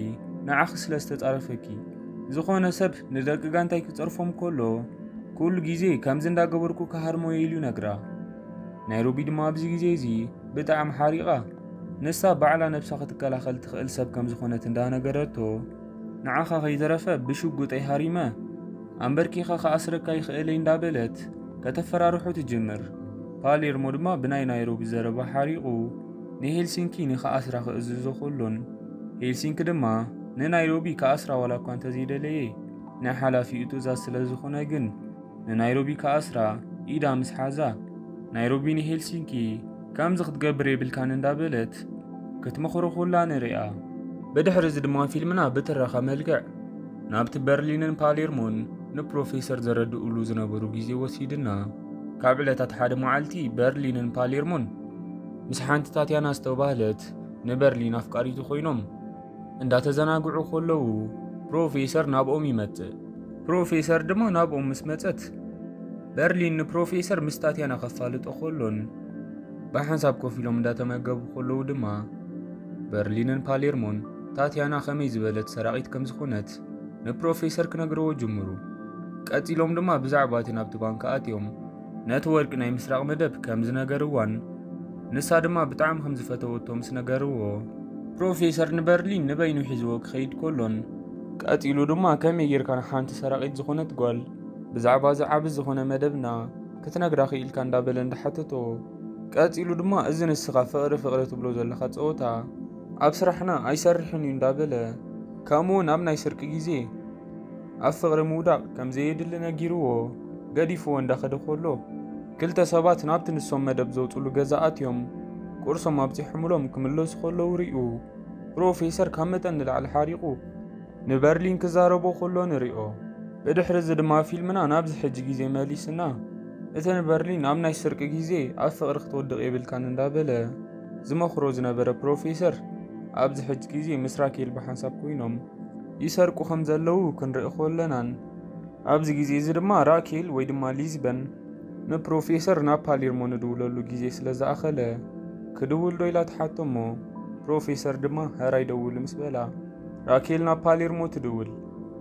ንዓኺ ስለ ዝተጻረፈኪ ዝኾነ ሰብ ንደቂ ጋንታይ ክጸርፎም ከሎ ኩሉ ግዜ ከምዚ እንዳገበርኩ ክሃርሞ እየ ኢሉ ይነግራ። ናይሮቢ ድማ ኣብዚ ግዜ እዚ ብጣዕሚ ሓሪቓ ንሳ ባዕላ ነብሳ ክትከላኸል ትኽእል ሰብ ከም ዝኾነት እንዳነገረቶ ንዓኻ ከይተረፈ ብሽጉጠይ ሃሪመ ኣንበርኪኻ ክኣስረካ ይኽእለይ እንዳበለት ከተፈራርሖ ትጅምር። ፓሌርሞ ድማ ብናይ ናይሮቢ ዘረባ ሓሪቑ ንሄልሲንኪ ንኽኣስራ ክእዝዞ ከሎን ሄልሲንኪ ድማ ንናይሮቢ ክኣስራ ዋላ እኳ እንተዘይደለየ ናይ ሓላፊኡ ትእዛዝ ስለ ዝኾነ ግን ንናይሮቢ ክኣስራ ኢዳ ምስ ሓዛ ናይሮቢ ንሄልሲንኪ ከምዚ ክትገብር የብልካን እንዳበለት ክትመኽሮ ኩላ ንሪኣ። ብድሕሪ እዚ ድማ ፊልምና ብትረኻ መልክዕ ናብቲ በርሊንን ፓሌርሞን ንፕሮፌሰር ዘረድኡሉ ዝነበሩ ግዜ ወሲድና። ካብ ዕለታት ሓደ መዓልቲ በርሊንን ፓሌርሞን ምስ ሓንቲ ታትያና ዝተባህለት ንበርሊን ኣፍቃሪቱ ኮይኖም እንዳተዘናግዑ ከለዉ ፕሮፌሰር ናብኦም ይመጽእ። ፕሮፌሰር ድማ ናብኦም ምስ መጸት በርሊን ንፕሮፌሰር ምስ ታትያና ከፋልጦ ከሎን ብሓንሳብ ኮፍ ኢሎም እንዳተመገቡ ከለዉ ድማ በርሊንን ፓሌርሞን ታትያና ከመይ ዝበለት ሰራቒት ከም ዝኾነት ንፕሮፌሰር ክነግርዎ ጅምሩ። ቀጺሎም ድማ ብዛዕባ እቲ ናብቲ ባንክ ኣትዮም ነቲ ወርቂ ናይ ምስራቕ መደብ ከም ዝነገርዋን ንሳ ድማ ብጣዕሚ ከም ዝፈተወቶ ምስ ነገርዎ ፕሮፌሰር ንበርሊን ንበይኑ ሒዝዎ ክኸይድ ከሎን ቀጺሉ ድማ ከመይ ጌርካ ንሓንቲ ሰራቒት ዝኾነት ጓል ብዛዕባ እዚ ዓቢ ዝኾነ መደብና ክትነግራ ክኢልካ እንዳበለ እንዳሓተቶ ቀጺሉ ድማ እዚ ንስኻ ፍቕሪ ፍቕሪ ትብሎ ዘለኻ ጸወታ ኣብ ስራሕና ኣይሰርሕን እዩ እንዳበለ ከምኡ እውን ኣብ ናይ ስርቂ ግዜ ኣብ ፍቕሪ ምውዳቕ ከም ዘየድሊ ነጊርዎ ገዲፍዎ እንዳኸደ ከሎ ክልተ ሰባት ናብቲ ንሶም መደብ ዘውፅሉ ገዛ ኣትዮም ቁርሶም ኣብፂሖምሎም ክምለሱ ከለዉ ሪኡ ፕሮፌሰር ካብ መጠን ንላዕሊ ሓሪቑ ንበርሊን ክዛረቦ ከሎ ንሪኦ። ብድሕሪ እዚ ድማ ፊልምና ናብዚ ሕጂ ግዜ መሊስና እቲ ንበርሊን ኣብ ናይ ስርቂ ግዜ ኣብ ፍቕሪ ክትወድቕ የብልካን እንዳበለ ዝመኽሮ ዝነበረ ፕሮፌሰር ኣብዚ ሕጂ ግዜ ምስ ራኬል ብሓንሳብ ኮይኖም ይሰርቁ ከም ዘለዉ ክንርኢ ከለናን ኣብዚ ግዜ እዚ ድማ ራኬል ወይ ድማ ሊዝበን ንፕሮፌሰር ናብ ፓሌርሞ ንድውለሉ ግዜ ስለ ዝኣኸለ ክድውል ዶ ኢላ ትሓቶ እሞ ፕሮፌሰር ድማ ሕራይ ደውል ምስ በላ ራኬል ናብ ፓሌርሞ ትድውል።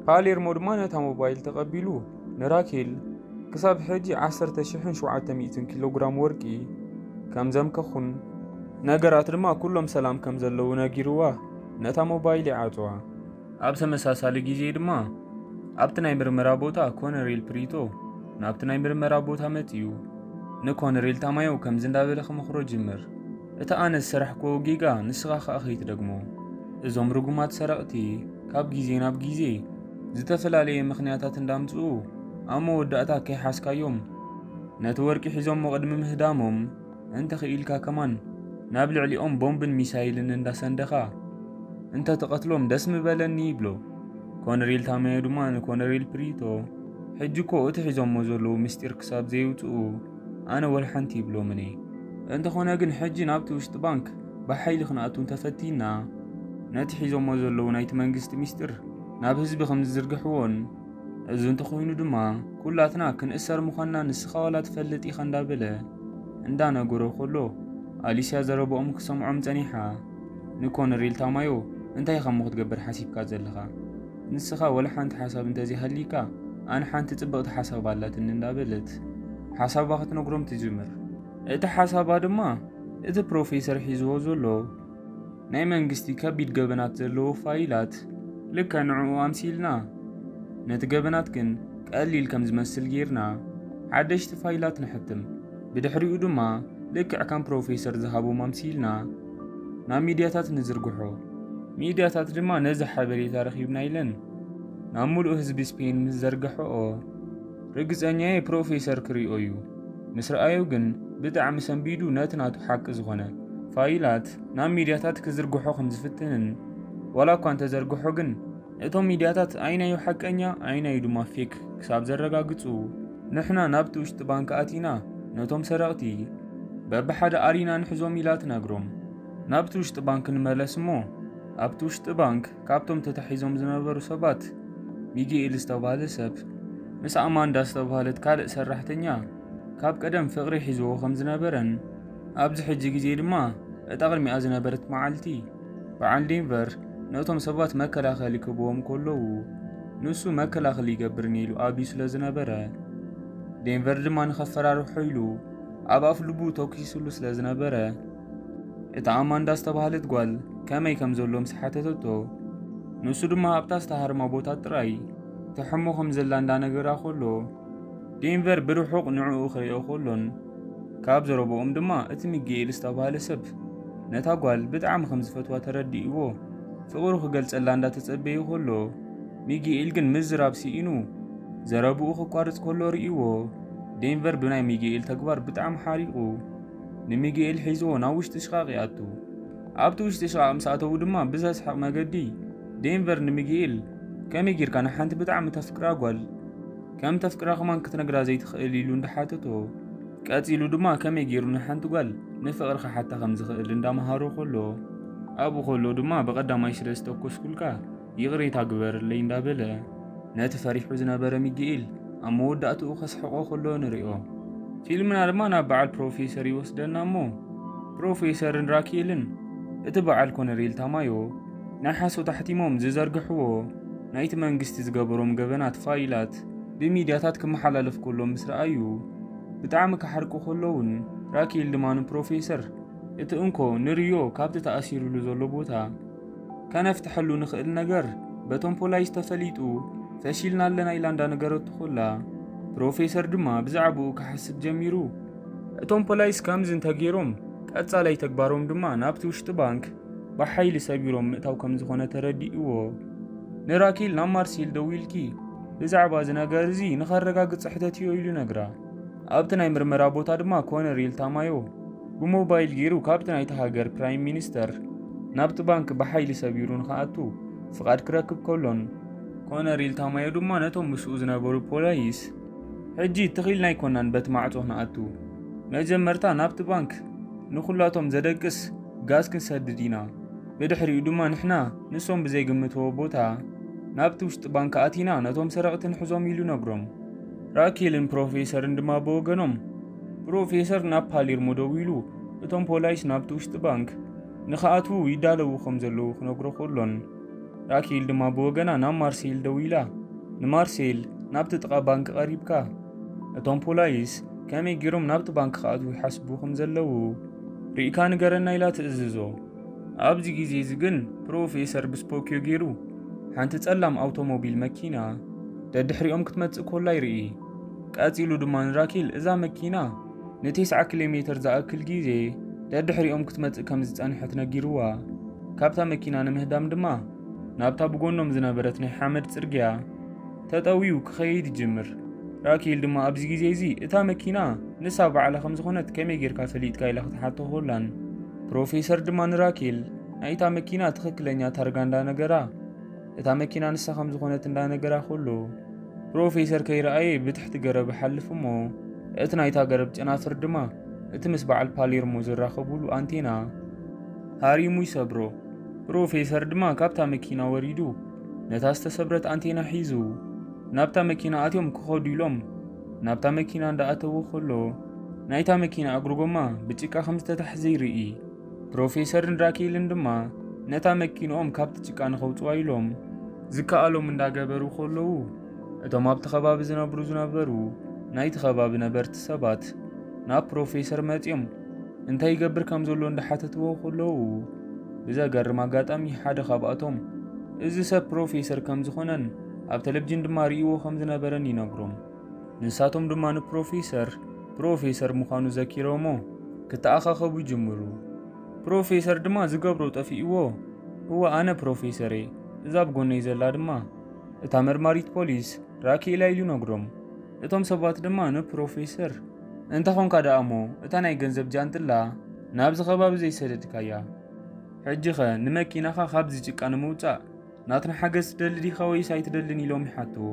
ፓሌርሞ ድማ ነታ ሞባይል ተቐቢሉ ንራኬል ክሳብ ሕጂ ዓሰርተ ሽሕን ሸውዓተ ሚእትን ኪሎ ግራም ወርቂ ከም ዘምከኹን ነገራት ድማ ኩሎም ሰላም ከም ዘለዉ ነጊርዋ ነታ ሞባይል ይዓጽዋ። ኣብ ተመሳሳሊ ግዜ ድማ ኣብቲ ናይ ምርመራ ቦታ ኮነሬል ፕሪቶ ናብቲ ናይ ምርመራ ቦታ መጺኡ ንኮነሬል ታማዮ ከምዚ እንዳበለ ክመኽሮ ጅምር። እቲ ኣነ ዝሰራሕክዎ ጌጋ ንስኻ ከኣ ከይትደግሞ። እዞም ርጉማት ሰረቕቲ ካብ ግዜ ናብ ግዜ ዝተፈላለየ ምኽንያታት እንዳምጽኡ ኣብ መወዳእታ ከይሓዝካዮም ነቲ ወርቂ ሒዞሞ ቅድሚ ምህዳሞም እንተኽኢልካ ከማን ናብ ልዕሊኦም ቦምብን ሚሳይልን እንዳሰንደኻ እንተትቐትሎም ደስ ምበለኒ ይብሎ። ኮነሬል ታማዮ ድማ ንኮነሬል ፕሪቶ ሕጂ እኮ እቲ ሒዞሞ ዘለዉ ምስጢር ክሳብ ዘየውፅኡ ኣነ ወላ ሓንቲ ይብሎምን እየ። እንተኾነ ግን ሕጂ ናብቲ ውሽጢ ባንክ ብሓይሊ ክንኣቱ እንተፈቲና ነቲ ሒዞሞ ዘለዉ ናይቲ መንግስቲ ምስጢር ናብ ህዝቢ ከም ዝዝርግሕዎን እዚ እንተኾይኑ ድማ ኩላትና ክንእሰር ምዃንና ንስኻ ዋላ ትፈልጥ ኢኻ እንዳበለ እንዳነገሮ ከሎ ኣሊስያ ዘረብኦም ክሰምዖም ጸኒሓ። ንኮነሬል ታማዮ እንታይ ኢኻ እሞ ክትገብር ሓሲብካ ዘለኻ? ንስኻ ወላ ሓንቲ ሓሳብ እንተዘይሃልይካ ኣነ ሓንቲ ጽብቕቲ ሓሳብ ኣላትኒ እንዳበለት ሓሳባ ክትነግሮም ትጅምር። እቲ ሓሳባ ድማ እቲ ፕሮፌሰር ሒዝዎ ዘሎ ናይ መንግስቲ ከቢድ ገበናት ዘለዎ ፋይላት ልክዕ ንዕኡ ኣምሲልና ነቲ ገበናት ግን ቀሊል ከም ዝመስል ጌርና ሓደሽቲ ፋይላት ንሕትም። ብድሕሪኡ ድማ ልክዕ ከም ፕሮፌሰር ዝሃቦም ኣምሲልና ናብ ሚድያታት ንዝርግሖ። ሚድያታት ድማ ነዚ ሓበሬታ ረኺብና ኢለን ናብ ሙሉእ ህዝቢ ስፔን ምስ ዘርግሐኦ፣ ርግጸኛየ ፕሮፌሰር ክሪኦ እዩ። ምስ ረኣዮ ግን ብጣዕሚ ሰንቢዱ ነቲ ናቱ ሓቂ ዝኾነ ፋይላት ናብ ሚድያታት ክዝርግሖ ከም ዝፍትንን፣ ዋላ እኳ እንተዘርግሖ ግን እቶም ሚድያታት ኣይናዩ ሓቀኛ ኣይናዩ ድማ ፌክ ክሳብ ዘረጋግጹ፣ ንሕና ናብቲ ውሽጢ ባንክ ኣቲና ነቶም ሰረቕቲ በብሓደ ኣሪና ንሕዞም ኢላ ትነግሮም። ናብቲ ውሽጢ ባንክ ንመለስ እሞ፣ ኣብቲ ውሽጢ ባንክ ካብቶም ተታሒዞም ዝነበሩ ሰባት ሚጌኤል ዝተባህለ ሰብ ምስ ኣማንዳ ዝተባህለት ካልእ ሰራሕተኛ ካብ ቀደም ፍቕሪ ሒዝዎ ከም ዝነበረን ኣብዚ ሕጂ ግዜ ድማ እታ ቅድሚኣ ዝነበረት መዓልቲ በዓል ዴንቨር ነቶም ሰባት መከላኸሊ ክህብዎም ከለዉ ንሱ መከላኸሊ ይገብር ኢሉ ኣብዩ ስለ ዝነበረ፣ ዴንቨር ድማ ንኸፈራርሖ ኢሉ ኣብ ኣፍ ልቡ ተኩሱሉ ስለ ዝነበረ፣ እታ ኣማንዳ ዝተባህለት ጓል ከመይ ከም ዘሎ ምስ ሓተተቶ፣ ንሱ ድማ ኣብታ ዝተሃርማ ቦታ ጥራይ ትሕሞ ከም ዘላ እንዳነገራ ከሎ፣ ዴንቨር ብርሑቕ ንዕኡ ክርእዮ ከሎን ካብ ዘረብኦም ድማ እቲ ሚጌኤል ዝተባህለ ሰብ ነታ ጓል ብጣዕሚ ከም ዝፈትዋ ተረዲእዎ፣ ፍቕሩ ክገልጸላ እንዳተጸበየ ከሎ፣ ሚጌኤል ግን ምዝራብ ስኢኑ ዘረብኡ ክቋርጽ ከሎ ርእይዎ፣ ዴንቨር ብናይ ሚጌኤል ተግባር ብጣዕሚ ሓሪቑ ንሚጌኤል ሒዝዎ ናብ ውሽጢ ሽቓቕ ይኣቱ። ኣብቲ ውሽጢ ሽቓቕ ምስ ኣተዉ ድማ ብዘስሕቕ መገዲ ዴንቨር ንሚጌኤል፣ "ከመይ ጌርካ ንሓንቲ ብጣዕሚ ተፍቅራ ጓል ከም ተፍቅራ ከማን ክትነግራ ዘይትኽእል?" ኢሉ እንዳሓተቶ፣ ቀጺሉ ድማ ከመይ ጌሩ ንሓንቲ ጓል ንፍቕሪ ክሓታ ከም ዝኽእል እንዳመሃሮ ከሎ፣ ኣብኡ ከሎ ድማ ብቐዳማይ ስለ ዝተኮስኩልካ ይቕሬታ ግበርለይ እንዳበለ ነቲ ፈሪሑ ዝነበረ ሚጌኤል ኣብ መወዳእትኡ ከስሕቖ ከሎ ንሪኦ። ፊልምና ድማ ናብ በዓል ፕሮፌሰር ይወስደና እሞ፣ ፕሮፌሰርን ራኬልን እቲ በዓል ኮነሬል ታማዮ ናይ ሓሶት ኣሕቲሞም ዝዘርግሕዎ ናይቲ መንግስቲ ዝገበሮም ገበናት ፋይላት ብሚድያታት ክመሓላለፍ ከሎ ምስ ረኣዩ ብጣዕሚ ክሓርቁ ከለውን፣ ራኬል ድማ ንፕሮፌሰር እቲ እንኮ ንርዮ ካብቲ ተኣሲሩሉ ዘሎ ቦታ ከነፍትሐሉ ንኽእል ነገር በቶም ፖላይስ ተፈሊጡ ፈሺልና ኣለና ኢላ እንዳነገረቱ ከላ፣ ፕሮፌሰር ድማ ብዛዕባኡ ክሓስብ ጀሚሩ። እቶም ፖላይስ ከምዚ እንተገይሮም፣ ቀጻላይ ተግባሮም ድማ ናብቲ ውሽጢ ባንክ ብሓይሊ ሰቢሮም ምእታው ከም ዝኾነ ተረዲእዎ። ንራኬል ናብ ማርሴል ደዊልኪ ብዛዕባ እዚ ነገር እዚ ንኸረጋግጽ ሕተትዮ ኢሉ ነግራ። ኣብቲ ናይ ምርመራ ቦታ ድማ ኮነሬል ታማዮ ብሞባይል ገይሩ ካብቲ ናይቲ ሃገር ፕራይም ሚኒስተር ናብቲ ባንክ ብሓይሊ ሰቢሩ ንኽኣቱ ፍቓድ ክረክብ ከሎን፣ ኮነሬል ታማዮ ድማ ነቶም ምስኡ ዝነበሩ ፖላይስ፣ "ሕጂ ትኺልና ኣይኮናን በቲ ማዕጾ ክንኣቱ። መጀመርታ ናብቲ ባንክ ንኹላቶም ዘደቅስ ጋዝ ክንሰድድ ኢና። ብድሕሪኡ ድማ ንሕና ንሶም ብዘይግምትዎ ቦታ ናብቲ ውሽጢ ባንክ ኣቲና ነቶም ሰረቕቲ ንሕዞም" ኢሉ ነግሮም። ራኬልን ፕሮፌሰርን ድማ ብወገኖም፣ ፕሮፌሰር ናብ ፓሌርሞ ደዊሉ እቶም ፖላይስ ናብቲ ውሽጢ ባንክ ንኽኣትዉ ይዳለዉ ከም ዘለዉ ክነግሮ ከሎን፣ ራኬል ድማ ብወገና ናብ ማርሴል ደዊላ፣ ንማርሴል ናብቲ ጥቓ ባንክ ቀሪብካ፣ እቶም ፖላይስ ከመይ ገይሮም ናብቲ ባንክ ክኣትዉ ይሓስቡ ከም ዘለዉ ርኢካ ንገረና ኢላ ትእዝዞ። ኣብዚ ግዜ እዚ ግን ፕሮፌሰር ብስፖኪዮ ገይሩ ሓንቲ ጸላም ኣውቶሞቢል መኪና ደድሕሪኦም ክትመጽእ ኮላ ይርኢ። ቀጺሉ ድማ ንራኬል እዛ መኪና ንቴስዓ ኪሎ ሜተር ዝኣክል ግዜ ደድሕሪኦም ክትመጽእ ከም ዝጸንሐት ነጊርዋ። ካብታ መኪና ንምህዳም ድማ ናብታ ብጎኖም ዝነበረት ናይ ሓመድ ጽርግያ ተጠውዩ ክኸይድ ይጅምር። ራኬል ድማ ኣብዚ ግዜ እዚ እታ መኪና ንሳ ባዕላ ከም ዝኾነት ከመይ ጌርካ ፈሊጥካ ኢላ ክትሓቶ ኮላን፣ ፕሮፌሰር ድማ ንራኬል ናይታ መኪና ትኽክለኛ ታርጋ እንዳነገራ፣ እታ መኪና ንሳ ከም ዝኾነት እንዳነገራ ኮሎ፣ ፕሮፌሰር ከይረኣየ ብትሕቲ ገረብ ይሓልፍ እሞ፣ እቲ ናይታ ገረብ ጨናፍር ድማ እቲ ምስ በዓል ፓሌርሞ ዝራኸቡሉ ኣንቴና ሃሪሙ ይሰብሮ። ፕሮፌሰር ድማ ካብታ መኪና ወሪዱ ነታ ዝተሰብረት ኣንቴና ሒዙ ናብታ መኪና ኣትዮም ክኸዱ ኢሎም ናብታ መኪና እንዳኣተዉ ከሎ፣ ናይታ መኪና እግሪ ጎማ ብጭቃ ከም ዝተታሕዘ ይርኢ። ፕሮፌሰርን ራኬልን ድማ ነታ መኪንኦም ካብቲ ጭቃ ንኸውጽዋ ኢሎም ዝከኣሎም እንዳገበሩ ከለዉ፣ እቶም ኣብቲ ከባቢ ዝነብሩ ዝነበሩ ናይቲ ከባቢ ነበርቲ ሰባት ናብ ፕሮፌሰር መጺኦም እንታይ ይገብር ከም ዘሎ እንዳሓተትዎ ከለዉ፣ ብዘገርም ኣጋጣሚ ሓደ ካብኣቶም እዚ ሰብ ፕሮፌሰር ከም ዝኾነን ኣብ ቴሌቪዥን ድማ ርእይዎ ከም ዝነበረን ይነግሮም። ንሳቶም ድማ ንፕሮፌሰር ፕሮፌሰር ምዃኑ ዘኪሮሞ፣ ክተኣኻኸቡ ይጅምሩ። ፕሮፌሰር ድማ ዝገብሮ ጠፊእዎ። እወ፣ ኣነ ፕሮፌሰር እየ፣ እዛ ኣብ ጎነይ ዘላ ድማ እታ መርማሪት ፖሊስ ራኬላ ኢሉ ነግሮም። እቶም ሰባት ድማ ንፕሮፌሰር፣ "እንተ ኾንካ ደኣ እሞ እታ ናይ ገንዘብ ጃንጥላ ናብዚ ከባቢ ዘይሰደድካያ፣ ሕጂኸ ንመኪናኻ ካብዚ ጭቃ ንምውጻእ ናትና ሓገዝ ትደሊ ዲኻ ወይስ ኣይትደልን?" ኢሎም ይሓትዎ።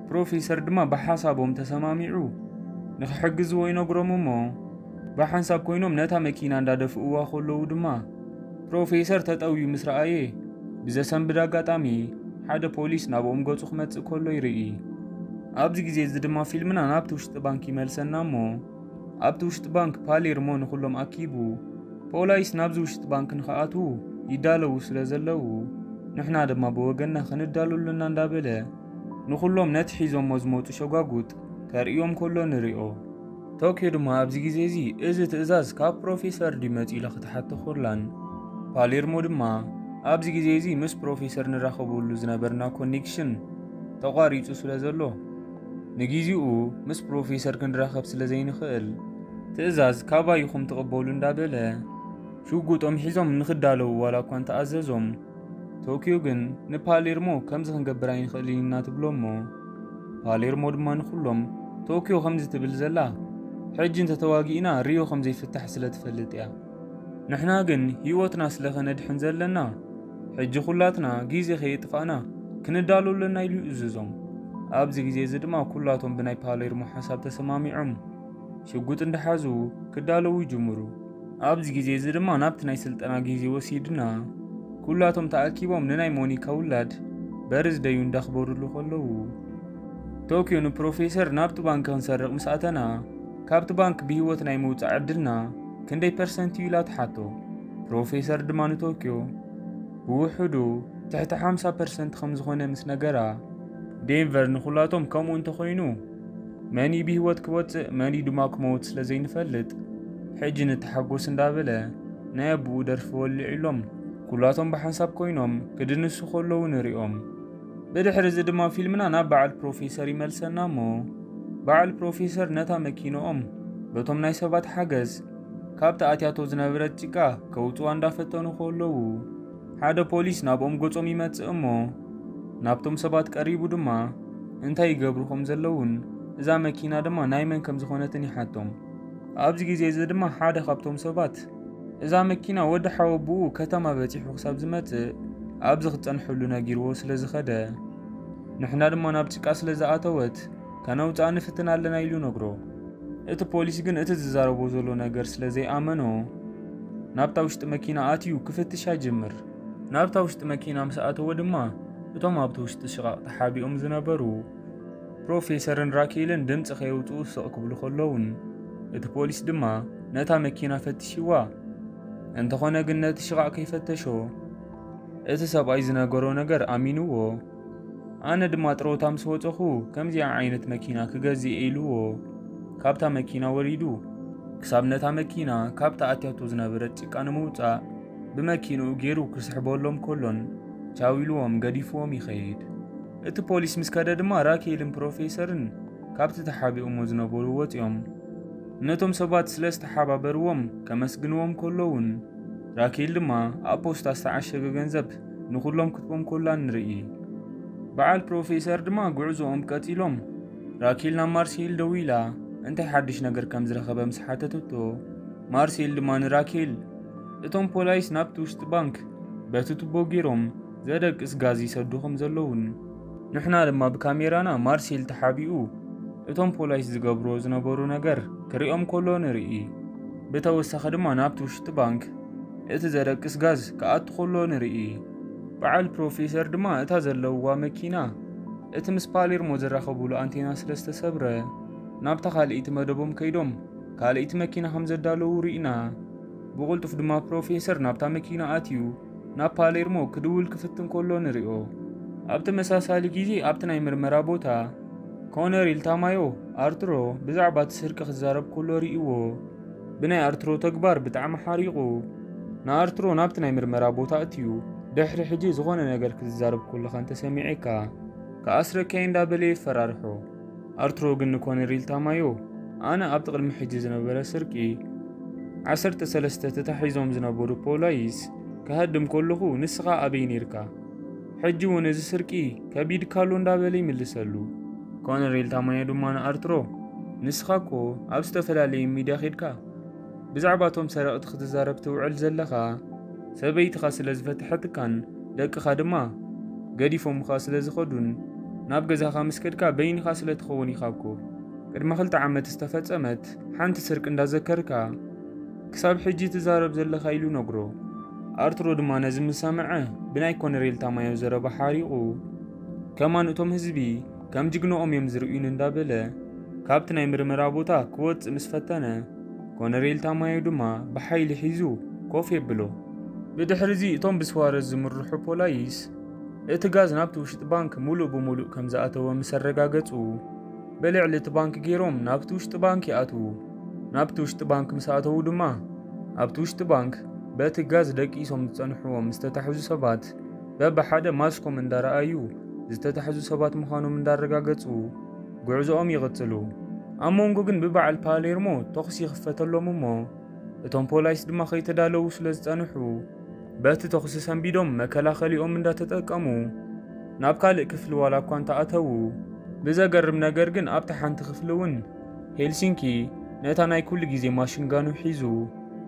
ፕሮፌሰር ድማ ብሓሳቦም ተሰማሚዑ ንኽሕግዝዎ ይነግሮም እሞ፣ ብሓንሳብ ኮይኖም ነታ መኪና እንዳደፍእዋ ከለዉ ድማ፣ ፕሮፌሰር ተጠውዩ ምስ ረኣየ፣ ብዘሰንብድ ኣጋጣሚ ሓደ ፖሊስ ናብኦም ገጹ ክመጽእ ከሎ ይርኢ። ኣብዚ ግዜ እዚ ድማ ፊልምና ናብቲ ውሽጢ ባንክ ይመልሰና እሞ፣ ኣብቲ ውሽጢ ባንክ ፓሌርሞ ንኹሎም ኣኪቡ፣ ፖላይስ ናብዚ ውሽጢ ባንክ ንኽኣትዉ ይዳለዉ ስለ ዘለዉ፣ ንሕና ድማ ብወገንና ክንዳሎ ኣለና እንዳበለ፣ ንኹሎም ነቲ ሒዞሞ ዝመጹ ሸጓጉጥ ከርእዮም ከሎ ንሪኦ። ቶኪዮ ድማ ኣብዚ ግዜ እዚ፣ "እዚ ትእዛዝ ካብ ፕሮፌሰር ድዩ መጺኡ?" ኢላ ክትሓቶ ከላን፣ ፓሌርሞ ድማ፣ "ኣብዚ ግዜ እዚ ምስ ፕሮፌሰር ንራኸበሉ ዝነበርና ኮኔክሽን ተቋሪጹ ስለ ዘሎ፣ ንግዜኡ ምስ ፕሮፌሰር ክንራኸብ ስለ ዘይንኽእል፣ ትእዛዝ ካባይ ኢኹም ትቕበሉ" እንዳበለ፣ ሽጉጦም ሒዞም ንኽዳለዉ ዋላ እኳ እንተኣዘዞም፣ ቶኪዮ ግን ንፓሌርሞ፣ "ከምዚ ክንገብር ኣይንኽእልን ኢና" ትብሎ እሞ፣ ፓሌርሞ ድማ ንኹሎም፣ "ቶኪዮ ከምዚ ትብል ዘላ፣ ሕጂ እንተተዋጊእና ሪዮ ከም ዘይፍታሕ ስለ ትፈልጥ እያ። ንሕና ግን ህይወትና ስለ ከነድሕን ዘለና፣ ሕጂ ኩላትና ግዜ ከየጥፋእና ክንዳሎ ኣለና" ኢሉ ይእዝዞም። ኣብዚ ግዜ እዚ ድማ ኩላቶም ብናይ ፓሌርሞ ሓሳብ ተሰማሚዖም ሽጉጥ እንዳሓዙ ክዳለዉ ይጅምሩ። ኣብዚ ግዜ እዚ ድማ ናብቲ ናይ ስልጠና ግዜ ወሲድና፣ ኩላቶም ተኣኪቦም ንናይ ሞኒካ ውላድ በርዝደዩ እንዳኽበሩሉ ከለዉ፣ ቶኪዮ ንፕሮፌሰር፣ "ናብቲ ባንክ ክንሰርቕ ምስ ኣተና፣ ካብቲ ባንክ ብህይወት ናይ ምውጻእ ዕድልና ክንደይ ፐርሰንት እዩ?" ኢላ ትሓቶ። ፕሮፌሰር ድማ ንቶኪዮ ብውሕዱ ትሕቲ ሓምሳ ፐርሰንት ከም ዝኾነ ምስ ነገራ፣ ዴንቨር ንኹላቶም ከምኡ እንተኾይኑ፣ መን እዩ ብህይወት ክወጽእ፣ መን እዩ ድማ ክመውት ስለ ዘይንፈልጥ፣ ሕጂ ንተሓጎስ እንዳበለ ናይ ኣቦኡ ደርፊ ወሊዑሎም፣ ኩላቶም ብሓንሳብ ኮይኖም ክድንሱ ከለዉ ንሪኦም። ብድሕሪ እዚ ድማ ፊልምና ናብ በዓል ፕሮፌሰር ይመልሰና እሞ፣ በዓል ፕሮፌሰር ነታ መኪንኦም በቶም ናይ ሰባት ሓገዝ ካብቲ ኣትያቶ ዝነበረት ጭቃ ከውጽዋ እንዳፈተኑ ከለዉ፣ ሓደ ፖሊስ ናብኦም ገጾም ይመጽእ እሞ፣ ናብቶም ሰባት ቀሪቡ ድማ እንታይ ይገብሩ ከም ዘለውን እዛ መኪና ድማ ናይ መን ከም ዝኾነትን ይሓቶም። ኣብዚ ግዜ እዚ ድማ ሓደ ካብቶም ሰባት፣ "እዛ መኪና ወዲ ሓወቦኡ ከተማ በጺሑ ክሳብ ዝመጽእ ኣብዚ ክጸንሐሉ ነጊርዎ ስለ ዝኸደ፣ ንሕና ድማ ናብ ጭቃ ስለ ዝኣተወት ከነውጽኣ ንፍትን ኣለና" ኢሉ ነግሮ። እቲ ፖሊስ ግን እቲ ዝዛረቦ ዘሎ ነገር ስለ ዘይኣመኖ፣ ናብታ ውሽጢ መኪና ኣትዩ ክፍትሻ ጅምር። ናብታ ውሽጢ መኪና ምስ ኣተወ ድማ፣ እቶም ኣብቲ ውሽጢ ሽቓቕ ተሓቢኦም ዝነበሩ ፕሮፌሰርን ራኬልን ድምጺ ከየውጽኡ ስቕ ክብሉ ከለዉን፣ እቲ ፖሊስ ድማ ነታ መኪና ፈቲሽዋ። እንተኾነ ግን ነቲ ሽቓቕ ከይፈተሾ፣ እቲ ሰብኣይ ዝነገሮ ነገር ኣሚንዎ። ኣነ ድማ ጥሮታ ምስ ወጸኹ ከምዚኣ ዓይነት መኪና ክገዝእ እየ ኢልዎ፣ ካብታ መኪና ወሪዱ፣ ክሳብ ነታ መኪና ካብታ ኣትያቶ ዝነበረት ጭቃ ንምውጻእ ብመኪንኡ ገይሩ ክስሕበሎም ከሎን ቻው ኢልዎም ገዲፍዎም ይኸይድ። እቲ ፖሊስ ምስ ከደ ድማ ራኬልን ፕሮፌሰርን ካብቲ ተሓቢኦሞ ዝነበሩ ወጺኦም። ነቶም ሰባት ስለ ዝተሓባበርዎም ከመስግንዎም ከለውን፣ ራኬል ድማ ኣብ ፖስታ ዝተዓሸገ ገንዘብ ንኹሎም ክትቦም ኮላ ንርኢ። በዓል ፕሮፌሰር ድማ ጉዕዞኦም ቀጺሎም። ራኬል ናብ ማርሴል ደዊላ እንታይ ሓድሽ ነገር ከም ዝረኸበ ምስ ሓተተቶ፣ ማርሴል ድማ ንራኬል፣ እቶም ፖላይስ ናብቲ ውሽጢ ባንክ በቲ ቱቦ ገይሮም ዘደቅስ ጋዝ ይሰዱ ከም ዘለውን፣ ንሕና ድማ ብካሜራና ማርሴል ተሓቢኡ እቶም ፖላይስ ዝገብርዎ ዝነበሩ ነገር ክሪኦም ከሎ ንርኢ። ብተወሳኺ ድማ ናብቲ ውሽጢ ባንክ እቲ ዘደቅስ ጋዝ ክኣቱ ከሎ ንርኢ። በዓል ፕሮፌሰር ድማ እታ ዘለውዋ መኪና እቲ ምስ ፓሌርሞ ዝራኸቡሉ ኣንቴና ስለ ዝተሰብረ፣ ናብታ ካልኣይቲ መደቦም ከይዶም ካልኣይቲ መኪና ከም ዘዳለዉ ርኢና። ብቕልጡፍ ድማ ፕሮፌሰር ናብታ መኪና ኣትዩ ናብ ፓሌርሞ ክድውል ክፍትን ከሎ ንሪኦ። ኣብ ተመሳሳሊ ግዜ ኣብቲ ናይ ምርመራ ቦታ ኮነሪል ታማዮ ኣርትሮ ብዛዕባ እቲ ስርቂ ክዛረብ ከሎ ርኢዎ። ብናይ ኣርትሮ ተግባር ብጣዕሚ ሓሪቑ፣ ንኣርትሮ ናብቲ ናይ ምርመራ ቦታ ኣትዩ፣ "ድሕሪ ሕጂ ዝኾነ ነገር ክትዛረብ ከለኻ እንተሰሚዐካ፣ ክኣስረካ እየ" እንዳበለ የፈራርሖ። ኣርትሮ ግን ንኮነሪል ታማዮ፣ "ኣነ ኣብቲ ቅድሚ ሕጂ ዝነበረ ስርቂ ዓሰርተ ሰለስተ ተታሒዞም ዝነበሩ ፖላይስ፣ "ክሃድም ከለኹ ንስኻ ኣበይ ነይርካ? ሕጂ እውን እዚ ስርቂ ከቢድካ ኣሎ?" እንዳበለ ይምልሰሉ። ኮነሬል ታማዮ ድማ ንኣርትሮ፣ "ንስኻ እኮ ኣብ ዝተፈላለየ ሚድያ ኬድካ ብዛዕባ እቶም ሰረቕቲ ክትዛረብ ትውዕል ዘለኻ፣ ሰበይትኻ ስለ ዝፈትሐትካን ደቅኻ ድማ ገዲፎምኻ ስለ ዝኸዱን ናብ ገዛኻ ምስ ከድካ በይንኻ ስለ ትኸውን ኢኻ እኮ ቅድሚ ክልተ ዓመት ዝተፈጸመት ሓንቲ ስርቂ እንዳዘከርካ ክሳብ ሕጂ ትዛረብ ዘለኻ?" ኢሉ ነግሮ። ኣርትሮ ድማ ነዚ ምስ ሰምዐ ብናይ ኮነሬል ታማዮ ዘረባ ሓሪቑ፣ "ከማን እቶም ህዝቢ ከም ጅግንኦም እዮም ዝርእዩን" እንዳበለ ካብቲ ናይ ምርመራ ቦታ ክወጽእ ምስ ፈተነ፣ ኮነሬል ታማዮ ድማ ብሓይሊ ሒዙ ኮፍ የብሎ። ብድሕሪ እዚ እቶም ብስዋረዝ ዝምርሑ ፖላይስ እቲ ጋዝ ናብቲ ውሽጢ ባንክ ሙሉእ ብሙሉእ ከም ዝኣተወ ምስ ኣረጋገጹ፣ ብልዕሊ እቲ ባንክ ገይሮም ናብቲ ውሽጢ ባንክ ይኣትዉ። ናብቲ ውሽጢ ባንክ ምስ ኣተዉ ድማ፣ ኣብቲ ውሽጢ ባንክ በቲ ጋዝ ደቂሶም ዝጸንሕዎም ዝተታሕዙ ሰባት በብሓደ ማስኮም እንዳረኣዩ ዝተታሕዙ ሰባት ምዃኖም እንዳረጋገጹ ጉዕዞኦም ይቕጽሉ። ኣብ መንጎ ግን ብበዓል ፓሌርሞ ተኹሲ ይኽፈተሎም እሞ፣ እቶም ፖላይስ ድማ ከይተዳለዉ ስለ ዝጸንሑ፣ በቲ ተኹሲ ሰንቢዶም መከላኸሊኦም እንዳተጠቀሙ ናብ ካልእ ክፍሊ ዋላ እኳ እንተኣተዉ፣ ብዘገርም ነገር ግን ኣብታ ሓንቲ ክፍሊ እውን ሄልሲንኪ ነታ ናይ ኩሉ ግዜ ማሽንጋኑ ሒዙ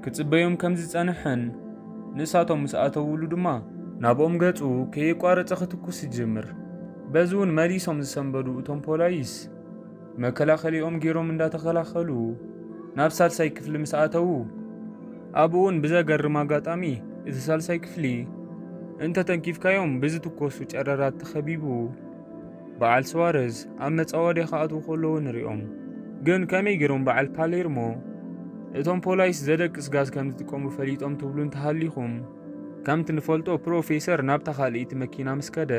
ክጽበዮም ከም ዝጸንሐን፣ ንሳቶም ምስ ኣተውሉ ድማ ናብኦም ገጹ ከየቋረጸ ክትኩስ ይጅምር። በዚ እውን መሊሶም ዝሰንበዱ እቶም ፖላይስ መከላኸሊኦም ገይሮም እንዳተኸላኸሉ ናብ ሳልሳይ ክፍሊ ምስ ኣተዉ፣ ኣብኡ እውን ብዘገርም ኣጋጣሚ እቲ ሳልሳይ ክፍሊ እንተተንኪፍካዮም ብዝትኮሱ ጨረራት ተኸቢቡ በዓል ስዋረዝ ኣብ መጻወድያ ክኣትዉ ከለዉ ንሪኦም። ግን ከመይ ገይሮም በዓል ፓሌርሞ እቶም ፖላይስ ዘደቅስ ጋዝ ከም ዝጥቀሙ ፈሊጦም ትብሉ እንተሃሊኹም፣ ከምቲ ንፈልጦ ፕሮፌሰር ናብታ ካልኣይቲ መኪና ምስ ከደ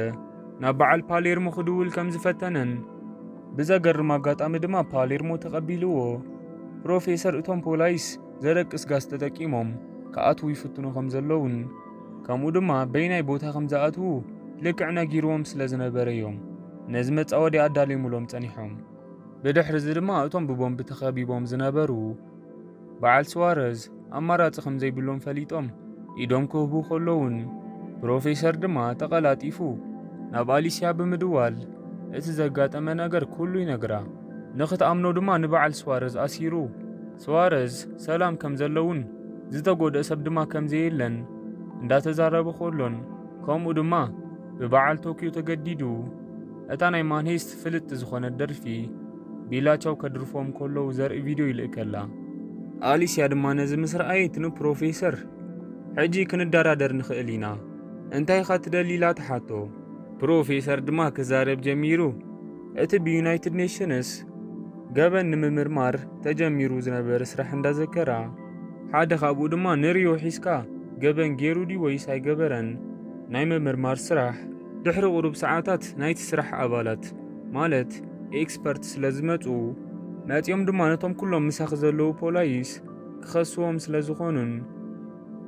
ናብ በዓል ፓሌርሞ ክድውል ከም ዝፈተነን ብዘገርም ኣጋጣሚ ድማ ፓሌርሞ ተቐቢልዎ። ፕሮፌሰር እቶም ፖላይስ ዘደቅስ ጋዝ ተጠቂሞም ክኣትዉ ይፍትኑ ከም ዘለውን ከምኡ ድማ በይናይ ቦታ ከም ዝኣትዉ ልክዕ ነጊርዎም ስለ ዝነበረ እዮም ነዚ መጻወድያ ኣዳልዮምሎም ጸኒሖም። ብድሕሪ እዚ ድማ እቶም ብቦምብ ተኸቢቦም ዝነበሩ በዓል ስዋረዝ ኣማራጺ ከም ዘይብሎም ፈሊጦም ኢዶም ክህቡ ከለውን ፕሮፌሰር ድማ ተቐላጢፉ ናብ ኣሊስያ ብምድዋል እቲ ዘጋጠመ ነገር ኩሉ ይነግራ። ንኽትኣምኖ ድማ ንበዓል ስዋረዝ ኣሲሩ ስዋረዝ ሰላም ከም ዘለውን ዝተጎድአ ሰብ ድማ ከም ዘየለን እንዳተዛረበ ከሎን ከምኡ ድማ ብበዓል ቶኪዮ ተገዲዱ እታ ናይ ማንሄስት ፍልጥቲ ዝኾነት ደርፊ ቢላቻው ከድርፎም ከለዉ ዘርኢ ቪድዮ ይልእከላ። ኣሊስያ ድማ ነዚ ምስ ረኣየት ንፕሮፌሰር፣ "ሕጂ ክንደራደር ንኽእል ኢና፣ እንታይ ኢኻ ትደሊ?" ኢላ ትሓቶ። ፕሮፌሰር ድማ ክዛረብ ጀሚሩ፣ "እቲ ብዩናይትድ ኔሽንስ ገበን ንምምርማር ተጀሚሩ ዝነበረ ስራሕ እንዳዘከራ፣ ሓደ ካብኡ ድማ ንሪዮ ሒዝካ ገበን ገይሩ ድዩ ወይስ ኣይገበረን ናይ ምምርማር ስራሕ ድሕሪ ቁሩብ ሰዓታት ናይቲ ስራሕ ኣባላት ማለት ኤክስፐርት ስለ ዝመጹ፣ መጺኦም ድማ ነቶም ኩሎም ምሳኺ ዘለዉ ፖላይስ ክኸስዎም ስለ ዝኾኑን፣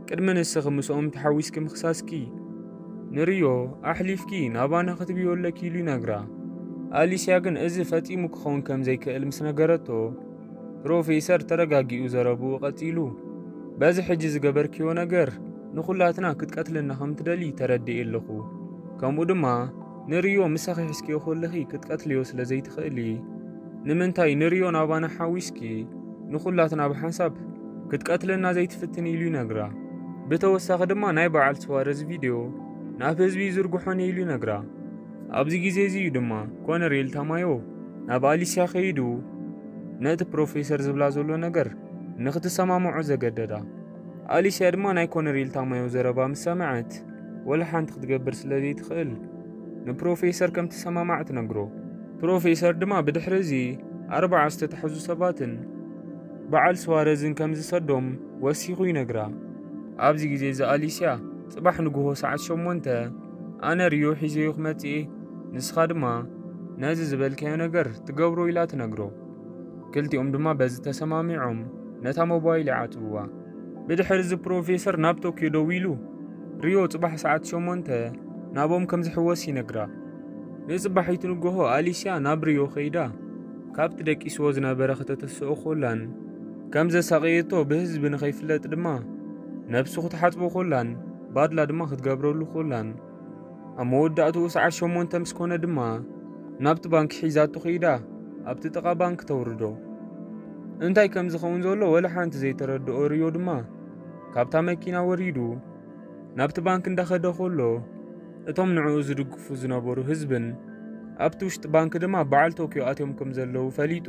ቅድሚ ንስኺ ምስኦም ተሓዊስኪ ምኽሳስኪ ንሪዮ ኣሕሊፍኪ ናባና ክትብዮ ኣለኪ" ኢሉ ይነግራ። ኣሊስያ ግን እዚ ፈጺሙ ክኸውን ከም ዘይክእል ምስ ነገረቶ፣ ፕሮፌሰር ተረጋጊኡ ዘረብኡ ቀጺሉ፣ "በዚ ሕጂ ዝገበርክዮ ነገር ንኹላትና ክትቀትልና ከም ትደሊ ተረዲኤ ኣለኹ። ከምኡ ድማ ንሪዮ ምሳኺ ሒዝክዮ ከለኺ ክትቀትልዮ ስለ ዘይትኽእሊ፣ ንምንታይ ንሪዮ ናባና ሓዊስኪ ንኹላትና ብሓንሳብ ክትቀትለና ዘይትፍትን?" ኢሉ ይነግራ። ብተወሳኺ ድማ ናይ በዓል ስዋረዝ ቪድዮ ናብ ህዝቢ ይዝርግሖን ኢሉ ይነግራ። ኣብዚ ግዜ እዚ እዩ ድማ ኮነሬል ታማዮ ናብ ኣሊስያ ከይዱ ነቲ ፕሮፌሰር ዝብላ ዘሎ ነገር ንኽትሰማምዖ ዘገደዳ። ኣሊስያ ድማ ናይ ኮነሬል ታማዮ ዘረባ ምስ ሰምዐት ወላ ሓንቲ ክትገብር ስለ ዘይትኽእል ንፕሮፌሰር ከም ትሰማማዕ ትነግሮ። ፕሮፌሰር ድማ ብድሕሪ እዚ ኣርባዓ ዝተታሕዙ ሰባትን በዓል ስዋረዝን ከም ዝሰዶም ወሲኹ ይነግራ። ኣብዚ ግዜ እዚ ኣሊስያ ጽባሕ ንግሆ ሰዓት ሸሞንተ ኣነ ሪዮ ሒዘዮ ክመጽእ እየ፣ ንስኻ ድማ ነዚ ዝበልካዮ ነገር ትገብሮ ኢላ ትነግሮ። ክልቲኦም ድማ በዚ ተሰማሚዖም ነታ ሞባይል ይዓጽውዋ። ብድሕሪ እዚ ፕሮፌሰር ናብ ቶክዮ ደዊሉ ሪዮ ጽባሕ ሰዓት ሸሞንተ ናብኦም ከም ዝሕወስ ይነግራ። ንጽባሒቱ ንግሆ ኣሊስያ ናብ ሪዮ ከይዳ ካብቲ ደቂስዎ ዝነበረ ከተተስኦ ኮላን ከም ዘሳቐየቶ ብህዝቢ ንኸይፍለጥ ድማ ነብሱ ክትሓጽቦ ኮላን ባድላ ድማ ክትገብረሉ ኮላን፣ ኣብ መወዳእትኡ ሰዓት ሸሞንተ ምስ ኮነ ድማ ናብቲ ባንክ ሒዛቶ ከይዳ ኣብቲ ጥቓ ባንክ ተውርዶ። እንታይ ከም ዝኸውን ዘሎ ወላ ሓንቲ ዘይተረድኦ ሪዮ ድማ ካብታ መኪና ወሪዱ ናብቲ ባንክ እንዳኸደ ከሎ፣ እቶም ንዕኡ ዝድግፉ ዝነበሩ ህዝብን ኣብቲ ውሽጢ ባንክ ድማ በዓል ቶኪዮ ኣትዮም ከም ዘለዉ ፈሊጡ፣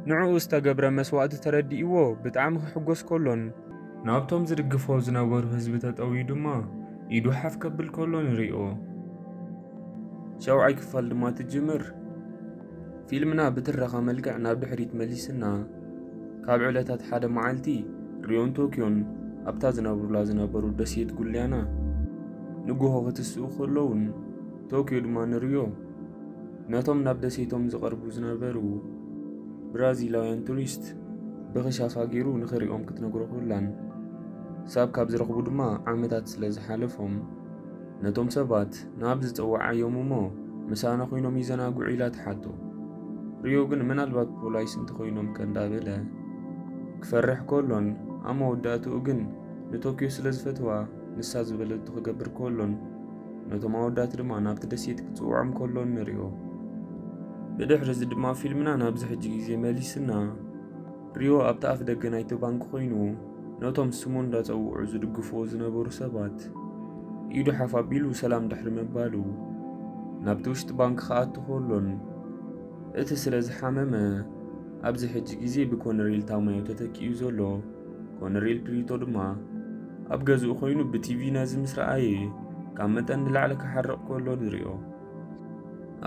ንዕኡ ዝተገብረ መስዋእቲ ተረዲእዎ ብጣዕሚ ክሕጎስ ከሎን፣ ናብቶም ዝድግፎ ዝነበሩ ህዝቢ ተጠውዩ ድማ ኢዱ ሓፍ ከብል ከሎ ንሪኦ። ሻውዓይ ክፋል ድማ ትጅምር። ፊልምና ብትረኻ መልክዕ ናብ ድሕሪት መሊስና፣ ካብ ዕለታት ሓደ መዓልቲ ሪዮን ቶኪዮን ኣብታ ዝነብሩላ ዝነበሩ ደሴት ጉልያና ንጉሆ ክትስኡ ከለውን፣ ቶኪዮ ድማ ንሪዮ ነቶም ናብ ደሴቶም ዝቐርቡ ዝነበሩ ብራዚላውያን ቱሪስት ብኽሻፋ ገይሩ ንኽሪኦም ክትነግሮ ከላን፣ ሳብ ካብ ዝረኽቡ ድማ ዓመታት ስለ ዝሓለፎም፣ ነቶም ሰባት ናብ ዝጸውዓዮም እሞ ምሳና ኮይኖም ይዘናግዑ ኢላ ትሓቶ። ሪዮ ግን ምናልባት ፖላይስ እንተኾይኖም ከ እንዳበለ ክፈርሕ ከሎን፣ ኣብ መወዳእትኡ ግን ንቶኪዮ ስለ ዝፈትዋ ንሳ ዝበለቶ ክገብር ከሎን፣ ነቶም ኣወዳት ድማ ናብቲ ደሴት ክጽውዖም ከሎን ንሪኦ። ብድሕሪ እዚ ድማ ፊልምና ናብዚ ሕጂ ግዜ መሊስና፣ ሪዮ ኣብቲ ኣፍ ደገ ናይቲ ባንክ ኮይኑ፣ ነቶም ስሙ እንዳጸውዑ ዝድግፍዎ ዝነበሩ ሰባት ኢዱ ሓፍ ኣቢሉ ሰላም ድሕሪ ምባሉ፣ ናብቲ ውሽጢ ባንክ ክኣቱ ከሎን፣ እቲ ስለ ዝሓመመ፣ ኣብዚ ሕጂ ግዜ ብኮነሬል ታማዮ ተተኪኡ ዘሎ ኮነሬል ፕሪቶ ድማ ኣብ ገዝኡ ኮይኑ ብቲቪ ነዚ ምስ ረኣየ፣ ካብ መጠን ንላዕሊ ክሓርቕ ከሎ ንሪኦ።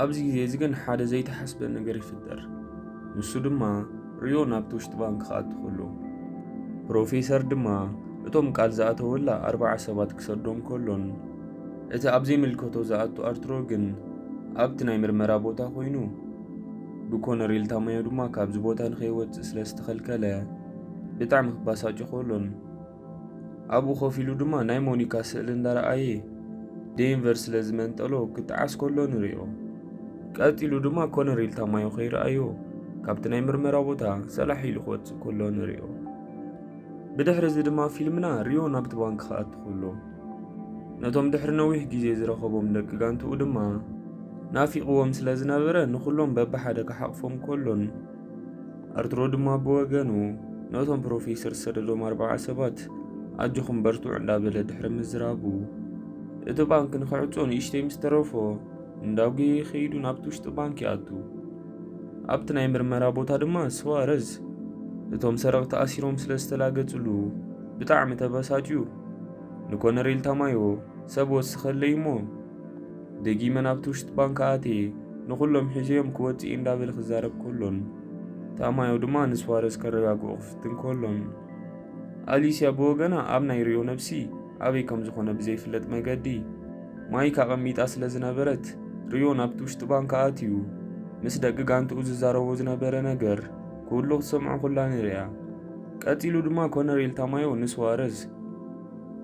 ኣብዚ ግዜ እዚ ግን ሓደ ዘይተሓስበ ነገር ይፍጠር። ንሱ ድማ ሪዮ ናብቲ ውሽጢ ባንክ ክኣቱ ከሎ፣ ፕሮፌሰር ድማ እቶም ቃል ዝኣተወላ ኣርባዓ ሰባት ክሰዶም ከሎን፣ እቲ ኣብ ዘይምልከቶ ዝኣቱ ኣርትሮ ግን ኣብቲ ናይ ምርመራ ቦታ ኮይኑ፣ ብኮነሬል ታማዮ ድማ ካብዚ ቦታ ንኸይወጽእ ስለ ዝተኸልከለ፣ ብጣዕሚ ክባሳጭ ከሎን፣ ኣብኡ ኮፍ ኢሉ ድማ ናይ ሞኒካ ስእሊ እንዳረኣየ፣ ዴንቨር ስለ ዝመንጠሎ ክጠዓስ ከሎ ንሪኦ። ቀጺሉ ድማ ኮነሬል ታማዮ ከይረኣዮ ካብቲ ናይ ምርመራ ቦታ ሰላሕ ኢሉ ክወጽእ ከሎ ንሪኦ። ብድሕሪ እዚ ድማ ፊልምና ሪዮ ናብቲ ባንክ ክኣቱ ከሎ፣ ነቶም ድሕሪ ነዊሕ ግዜ ዝረኸቦም ደቂ ጋንትኡ ድማ ናፊቕዎም ስለ ዝነበረ፣ ንኹሎም በብሓደ ክሓቕፎም ከሎን፣ ኣርትሮ ድማ ብወገኑ ነቶም ፕሮፌሰር ዝሰደዶም ኣርባዓ ሰባት ኣጆኹም በርትዑ እንዳበለ ድሕሪ ምዝራቡ፣ እቲ ባንክ ንኽዕጾ ንእሽተይ ምስ ተረፎ፣ እንዳጉየ ከይዱ ናብቲ ውሽጢ ባንክ ይኣቱ። ኣብቲ ናይ ምርመራ ቦታ ድማ ስዋረዝ እቶም ሰረቕቲ ኣሲሮም ስለ ዝተላገጽሉ ብጣዕሚ ተበሳጭዩ፣ ንኮነሬል ታማዮ ሰብ ወስኸለይ እሞ ደጊመ ናብቲ ውሽጢ ባንክ ኣትየ ንኹሎም ሒዘዮም ክወጽእ እየ እንዳበለ ክዛረብ ከሎን፣ ታማዮ ድማ ንስዋረዝ ከረጋግኦ ክፍትን ከሎን፣ ኣሊስያ ብወገና ኣብ ናይ ሪዮ ነብሲ ኣበይ ከም ዝኾነ ብዘይፍለጥ መገዲ ማይክ ኣቐሚጣ ስለ ዝነበረት፣ ሪዮ ናብቲ ውሽጢ ባንክ ኣትዩ ምስ ደቂ ጋንትኡ ዝዛረቦ ዝነበረ ነገር ኩሉ ክትሰምዖ ኩላ ንሪኣ። ቀጺሉ ድማ ኮነሬል ታማዮ ንስዋረዝ፣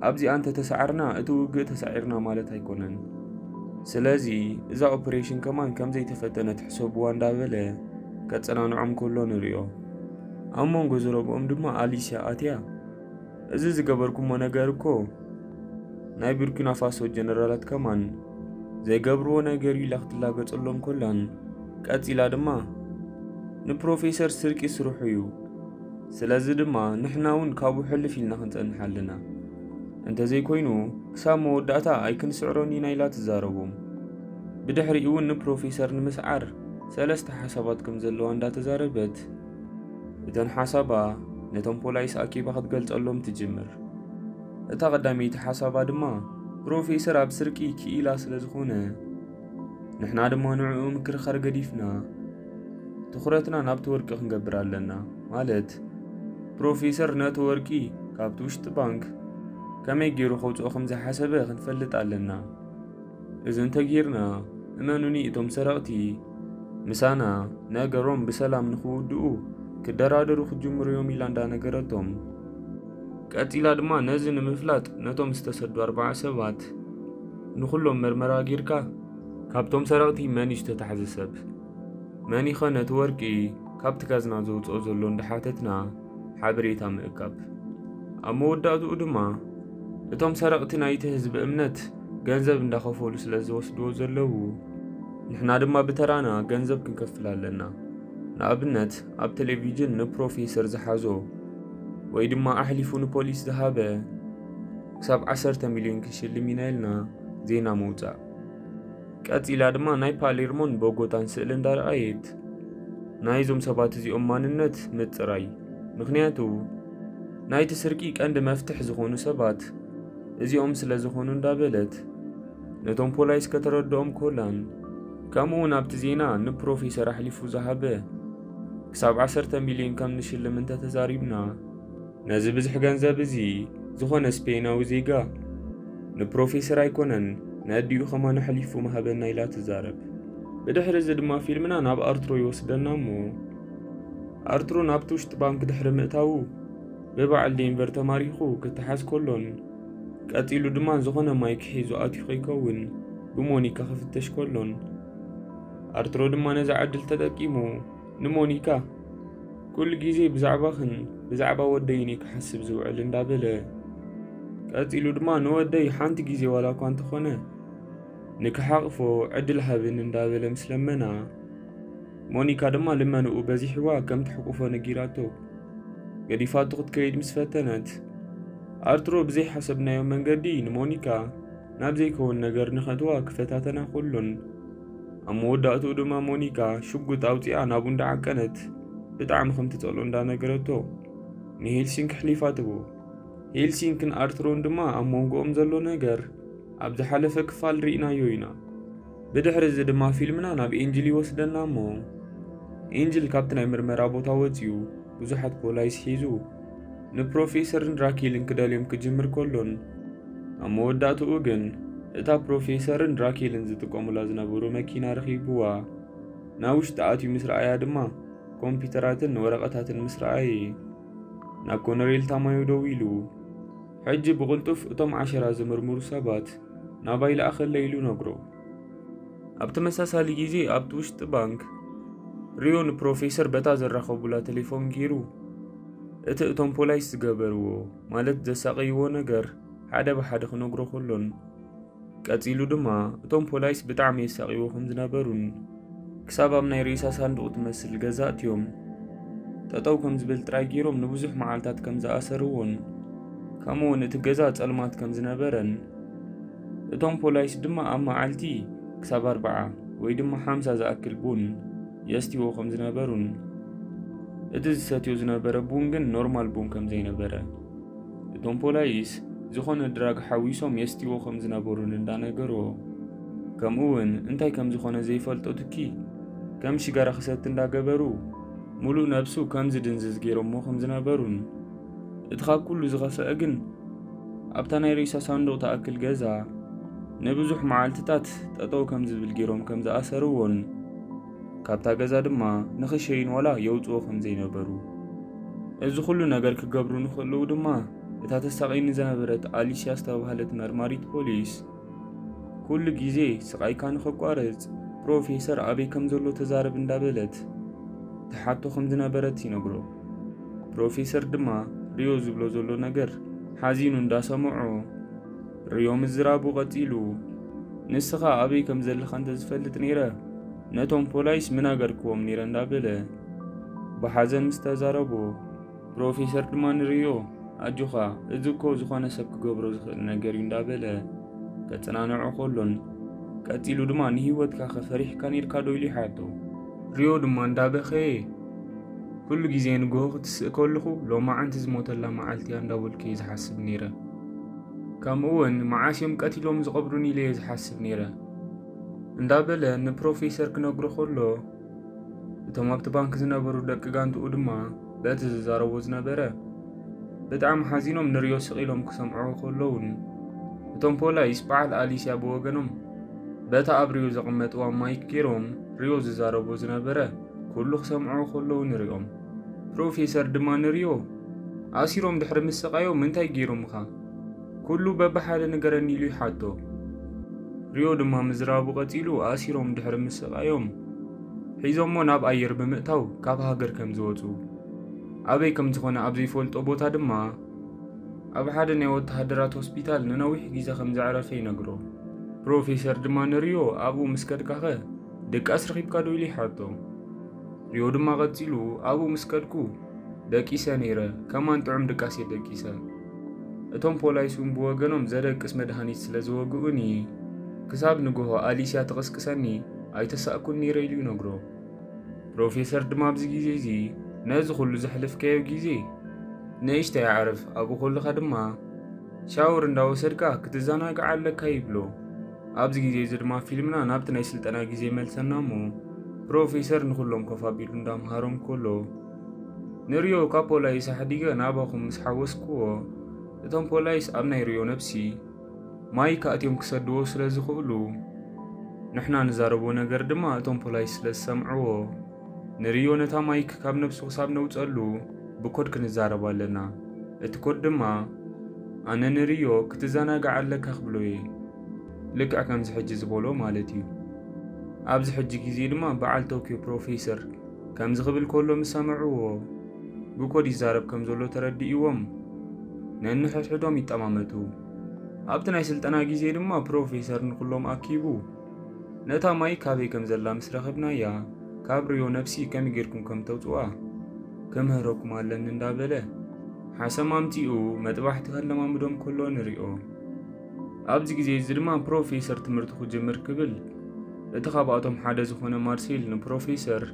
ኣብዚኣ እንተተሳዕርና እቲ ውግእ ተሳዒርና ማለት ኣይኮነን። ስለዚ እዛ ኦፕሬሽን ከማን ከም ዘይተፈተነት ሕሰብዋ እንዳበለ ከጸናንዖም ከሎ ንሪኦ። ኣብ መንጎ ዘረብኦም ድማ ኣሊስያ ኣትያ፣ እዚ ዝገበርኩሞ ነገር እኮ ናይ ቡርኪና ፋሶ ጀነራላት ከማን ዘይገብርዎ ነገር እዩ ኢላ ክትላገጸሎም ኮላን፣ ቀጺላ ድማ ንፕሮፌሰር ስርቂ ስርሑ እዩ። ስለዚ ድማ ንሕና እውን ካብኡ ሕልፍ ኢልና ክንጸንሕ ኣለና። እንተዘይኮይኑ ክሳብ መወዳእታ ኣይክንስዕሮን ኢና ኢላ ትዛረቦም። ብድሕሪኡ እውን ንፕሮፌሰር ንምስዓር ሰለስተ ሓሳባት ከም ዘለዋ እንዳተዛረበት፣ እተን ሓሳባ ነቶም ፖላይስ ኣኪባ ክትገልጸሎም ትጅምር። እታ ቀዳመይቲ ሓሳባ ድማ ፕሮፌሰር ኣብ ስርቂ ክኢላ ስለ ዝኾነ፣ ንሕና ድማ ንዕኡ ምክርኻር ገዲፍና ትኹረትና ናብቲ ወርቂ ክንገብር ኣለና። ማለት ፕሮፌሰር ነቲ ወርቂ ካብቲ ውሽጢ ባንክ ከመይ ገይሩ ከውፅኦ ከም ዝሓሰበ ክንፈልጥ ኣለና። እዚ እንተጌርና፣ እመኑኒ፣ እቶም ሰረቕቲ ምሳና ነገሮም ብሰላም ንኽውድኡ ክደራደሩ ክጅምሩ እዮም ኢላ እንዳነገረቶም፣ ቀጺላ ድማ ነዚ ንምፍላጥ ነቶም ዝተሰዱ ኣርባዓ ሰባት ንኹሎም መርመራ ጌርካ፣ ካብቶም ሰረቕቲ መን እዩ ዝተታሕዘ ሰብ? መን ይኸ ነቲ ወርቂ ካብቲ ካዝና ዘውጽኦ ዘሎ እንዳሓተትና፣ ሓበሬታ ምእካብ። ኣብ መወዳእትኡ ድማ እቶም ሰረቕቲ ናይቲ ህዝቢ እምነት ገንዘብ እንዳኸፈሉ ስለ ዝወስድዎ ዘለዉ፣ ንሕና ድማ ብተራና ገንዘብ ክንከፍል ኣለና። ንኣብነት ኣብ ቴሌቪዥን ንፕሮፌሰር ዝሓዞ ወይ ድማ ኣሕሊፉ ንፖሊስ ዝሃበ ክሳብ ዓሰርተ ሚልዮን ክንሽልም ኢና ኢልና ዜና ምውጻእ። ቀጺላ ድማ ናይ ፓሌርሞን ቦጎታን ስእሊ እንዳረኣየት ናይዞም ሰባት እዚኦም ማንነት ምጽራይ። ምኽንያቱ ናይቲ ስርቂ ቀንዲ መፍትሕ ዝኾኑ ሰባት እዚኦም ስለ ዝኾኑ እንዳበለት ነቶም ፖላይስ ከተረድኦም ኮላን፣ ከምኡ እውን ኣብቲ ዜና ንፕሮፌሰር ኣሕሊፉ ዝሃበ ክሳብ ዓሰርተ ሚልዮን ከም ንሽልም እንተተዛሪብና፣ ነዚ ብዝሕ ገንዘብ እዚ ዝኾነ ስፔናዊ ዜጋ ንፕሮፌሰር ኣይኮነን፣ ነዲኡ ከማን ኣሕሊፉ ምሃበና ኢላ ትዛረብ። ብድሕሪ እዚ ድማ ፊልምና ናብ ኣርትሮ ይወስደና እሞ፣ ኣርትሮ ናብቲ ውሽጢ ባንክ ድሕሪ ምእታዉ፣ ብበዓል ዴንቨር ተማሪኹ ክተሓዝ ከሎን፣ ቀጺሉ ድማ ዝኾነ ማይክ ሒዙ ኣትዩ ከይከውን ብሞኒካ ክፍተሽ ከሎን፣ ኣርትሮ ድማ ነዚ ዕድል ተጠቂሙ ንሞኒካ፣ "ኩሉ ግዜ ብዛዕባኽን ብዛዕባ ወደይን እየ ክሓስብ ዝውዕል" እንዳበለ፣ ቀጺሉ ድማ "ንወደይ ሓንቲ ግዜ ዋላ እኳ እንተኾነ ንክሓቕፎ ዕድል ሃብን" እንዳበለ ምስ ለመና፣ ሞኒካ ድማ ልመንኡ በዚሕዋ ከም ትሕቁፎ ነጊራቶ። ገዲፋቶ ክትከይድ ምስ ፈተነት፣ ኣርትሮ ብዘይሓሰብናዮ መንገዲ ንሞኒካ ናብ ዘይከውን ነገር ንኸእትዋ ክፈታተና ከሎን፣ ኣብ መወዳእትኡ ድማ ሞኒካ ሽጉጥ ኣውጺኣ ናብኡ እንዳዓቀነት ብጣዕሚ ከም ትጸልኦ እንዳነገረቶ ንሄልሲንክ ኣሕሊፋ ትቦ። ሄልሲንክን ኣርትሮን ድማ ኣብ መንጎኦም ዘሎ ነገር ኣብ ዝሓለፈ ክፋል ርኢናዮ ኢና። ብድሕሪ እዚ ድማ ፊልምና ናብ ኤንጅል ይወስደና እሞ፣ ኤንጅል ካብቲ ናይ ምርመራ ቦታ ወጺኡ ብዙሓት ፖላይስ ሒዙ ንፕሮፌሰርን ራኬልን ክደልዮም ክጅምር ከሎን፣ ኣብ መወዳእትኡ ግን እታ ፕሮፌሰርን ራኬልን ዝጥቀሙላ ዝነበሩ መኪና ረኺብዋ ናብ ውሽጢ ኣትዩ ምስ ረኣያ ድማ ኮምፒውተራትን ወረቐታትን ምስ ረኣየ ናብ ኮነሬል ታማዮ ደዊሉ፣ "ሕጂ ብቕልጡፍ እቶም ዓሸራ ዝምርምሩ ሰባት ናባይ ለኣኸለይ" ኢሉ ነግሮ። ኣብ ተመሳሳሊ ግዜ ኣብቲ ውሽጢ ባንክ ሪዮ ንፕሮፌሰር በታ ዘራኸቡላ ቴሌፎን ገይሩ እቲ እቶም ፖላይስ ዝገበርዎ ማለት ዘሳቐይዎ ነገር ሓደ ብሓደ ክነግሮ ከሎን፣ ቀጺሉ ድማ እቶም ፖላይስ ብጣዕሚ የሳቕይዎ ከም ዝነበሩን ክሳብ ኣብ ናይ ሬሳ ሳንዱቕ ትመስል ገዛ ኣትዮም ጠጠው ከም ዝብል ጥራይ ገይሮም ንብዙሕ መዓልታት ከም ዝኣሰርዎን ከምኡ እውን እቲ ገዛ ጸልማት ከም ዝነበረን እቶም ፖላይስ ድማ ኣብ መዓልቲ ክሳብ ኣርብዓ ወይ ድማ ሓምሳ ዝኣክል ቡን የስትይዎ ከም ዝነበሩን እቲ ዝሰትዮ ዝነበረ ቡን ግን ኖርማል ቡን ከም ዘይነበረ እቶም ፖላይስ ዝኾነ ድራግ ሓዊሶም የስትይዎ ከም ዝነበሩን እንዳነገሮ ከምኡ እውን እንታይ ከም ዝኾነ ዘይፈልጦ ትኪ ከም ሽጋራ ክሰቲ እንዳገበሩ ሙሉእ ነብሱ ከም ዝድንዝዝ ገይሮሞ ከም ዝነበሩን እቲ ካብ ኩሉ ዝኸፍአ ግን ኣብታ ናይ ሬሳ ሳንዱቕ ትኣክል ገዛ ንብዙሕ መዓልትታት ጠጠው ከም ዝብል ገይሮም ከም ዝኣሰርዎን ካብታ ገዛ ድማ ንኽሸይን ዋላ የውፅዎ ከም ዘይነበሩ እዚ ኩሉ ነገር ክገብሩ ንኽእልዉ ድማ እታ ተሳቒኒ ዝነበረት ኣሊስያ ዝተባህለት መርማሪት ፖሊስ ኩሉ ግዜ ስቓይካ ንኸቋርጽ ፕሮፌሰር ኣበይ ከም ዘሎ ተዛረብ እንዳበለት ትሓቶ ከም ዝነበረት ይነግሮ። ፕሮፌሰር ድማ ሪዮ ዝብሎ ዘሎ ነገር ሓዚኑ እንዳሰምዖ ሪዮ ምዝራቡ ቀጺሉ ንስኻ ኣበይ ከም ዘለኻ እንተዝፈልጥ ነይረ ነቶም ፖላይስ ምናገርክዎም ነይረ እንዳበለ ብሓዘን ምስ ተዛረቦ ፕሮፌሰር ድማ ንሪዮ ኣጆኻ እዚ እኮ ዝኾነ ሰብ ክገብሮ ዝኽእል ነገር እዩ እንዳበለ ከጸናንዖ ከሎን ቀጺሉ ድማ ንህይወትካ ከፈሪሕካ ነርካ ዶ ኢሉ ይሓቶ ሪዮ ድማ እንዳበኸየ ኩሉ ግዜ ንግሆ ክትስእ ከለኹ ሎማዓንቲ ዝሞተላ መዓልቲ እያ እንዳበልኩ እየ ዝሓስብ ነይረ ከምኡ እውን መዓስ እዮም ቀቲሎም ዝቐብሩን ኢለ እየ ዝሓስብ ነይረ እንዳበለ ንፕሮፌሰር ክነግሮ ከሎ እቶም ኣብቲ ባንክ ዝነበሩ ደቂ ጋንትኡ ድማ በቲ ዝዛረቦ ዝነበረ ብጣዕሚ ሓዚኖም ንሪዮ ስቕ ኢሎም ክሰምዕዎ ከለውን እቶም ፖላይስ በዓል ኣሊስያ ብወገኖም በታ ኣብ ሪዮ ዘቐመጥዋ ማይክ ገይሮም ሪዮ ዝዛረቦ ዝነበረ ኩሉ ክሰምዕዎ ከለዉ ንሪኦም ፕሮፌሰር ድማ ንሪዮ ኣሲሮም ድሕሪ ምስቓዮም እንታይ ገይሮምኻ ኩሉ በብሓደ ንገረኒ ኢሉ ይሓቶ ሪዮ ድማ ምዝራቡ ቀጺሉ ኣሲሮም ድሕሪ ምስቓዮም ሒዞሞ ናብ ኣየር ብምእታው ካብ ሃገር ከም ዝወጹ ኣበይ ከም ዝኾነ ኣብ ዘይፈልጦ ቦታ ድማ ኣብ ሓደ ናይ ወተሃደራት ሆስፒታል ንነዊሕ ግዜ ከም ዘዕረፈ ይነግሮ። ፕሮፌሰር ድማ ንሪዮ ኣብኡ ምስ ከድካኸ ድቃስ ረኺብካ ዶ ኢሉ ይሓቶ። ሪዮ ድማ ቀጺሉ ኣብኡ ምስ ከድኩ ደቂሰ ነይረ፣ ከማን ጥዑም ድቃስ እየ ደቂሰ። እቶም ፖላይስ እውን ብወገኖም ዘደቅስ መድሃኒት ስለ ዝወግኡኒ ክሳብ ንግሆ ኣሊስያ ትቕስቅሰኒ ኣይተሳእኩን ነይረ ኢሉ ይነግሮ። ፕሮፌሰር ድማ ኣብዚ ግዜ እዚ ነዚ ኩሉ ዘሕለፍካዮ ግዜ ንእሽተይ ኣዕርፍ፣ ኣብኡ ከለኻ ድማ ሻወር እንዳወሰድካ ክትዘናጋዕ ኣለካ ይብሎ። ኣብዚ ግዜ እዚ ድማ ፊልምና ናብቲ ናይ ስልጠና ግዜ ይመልሰና እሞ ፕሮፌሰር ንኹሎም ኮፍ ኣቢሉ እንዳምሃሮም ከሎ ንሪዮ ካብ ፖላይስ ኣሕዲገ ናባኹም ምስ ሓወስክዎ እቶም ፖላይስ ኣብ ናይ ሪዮ ነብሲ ማይክ ኣትዮም ክሰድዎ ስለ ዝኽእሉ ንሕና ንዛረቦ ነገር ድማ እቶም ፖላይስ ስለ ዝሰምዕዎ ንሪዮ ነታ ማይክ ካብ ነብሱ ክሳብ ነውፀሉ ብኮድ ክንዛረብ ኣለና። እቲ ኮድ ድማ ኣነ ንሪዮ ክትዘናጋዕ ኣለካ ክብሎ እየ። ልክዕ ከምዚ ሕጂ ዝበሎ ማለት እዩ። ኣብዚ ሕጂ ግዜ ድማ በዓል ቶኪዮ ፕሮፌሰር ከምዚ ክብል ከሎ ምስ ሰምዕዎ ብኮድ ይዛረብ ከም ዘሎ ተረዲእዎም ነንሕድሕዶም ይጠማመቱ። ኣብቲ ናይ ስልጠና ግዜ ድማ ፕሮፌሰር ንኩሎም ኣኪቡ ነታ ማይክ ካበይ ከም ዘላ ምስ ረኸብናያ ካብ ሪዮ ነብሲ ከመይ ጌርኩም ከም ተውፅዋ ክምህረኩም ኣለኒ እንዳበለ ሓሰም ኣምፂኡ መጥባሕቲ ከለማምዶም ከሎ ንሪኦ። ኣብዚ ግዜ እዚ ድማ ፕሮፌሰር ትምህርቱ ክጅምር ክብል እቲ ካብኣቶም ሓደ ዝኾነ ማርሴል ንፕሮፌሰር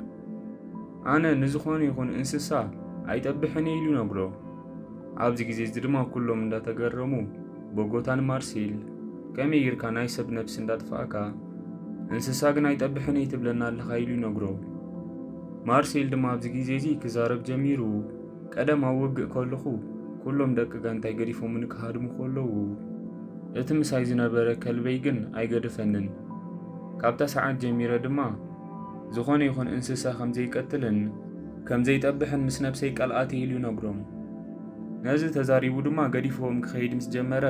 ኣነ ንዝኾነ ይኹን እንስሳ ኣይጠብሕን እየ ኢሉ ይነግሮ። ኣብዚ ግዜ እዚ ድማ ኩሎም እንዳተገረሙ ብጎታ ንማርሴል ከመይ ጌርካ ናይ ሰብ ነብሲ እንዳጥፋእካ እንስሳ ግን ኣይጠብሕን እየ ትብለና ኣለኻ ኢሉ ይነግሮ። ማርሴል ድማ ኣብዚ ግዜ እዚ ክዛረብ ጀሚሩ ቀደም ኣብ ውግእ ከለኹ ኩሎም ደቂ ጋንታይ ገዲፎምኒ ክሃድሙ ከለዉ እቲ ምሳይ ዝነበረ ከልበይ ግን ኣይገደፈንን። ካብታ ሰዓት ጀሚረ ድማ ዝኾነ ይኹን እንስሳ ከም ዘይቀትልን ከም ዘይጠብሕን ምስ ነብሰይ ቃል ኣትየ ኢሉ ይነግሮም። ነዚ ተዛሪቡ ድማ ገዲፍዎም ክኸይድ ምስ ጀመረ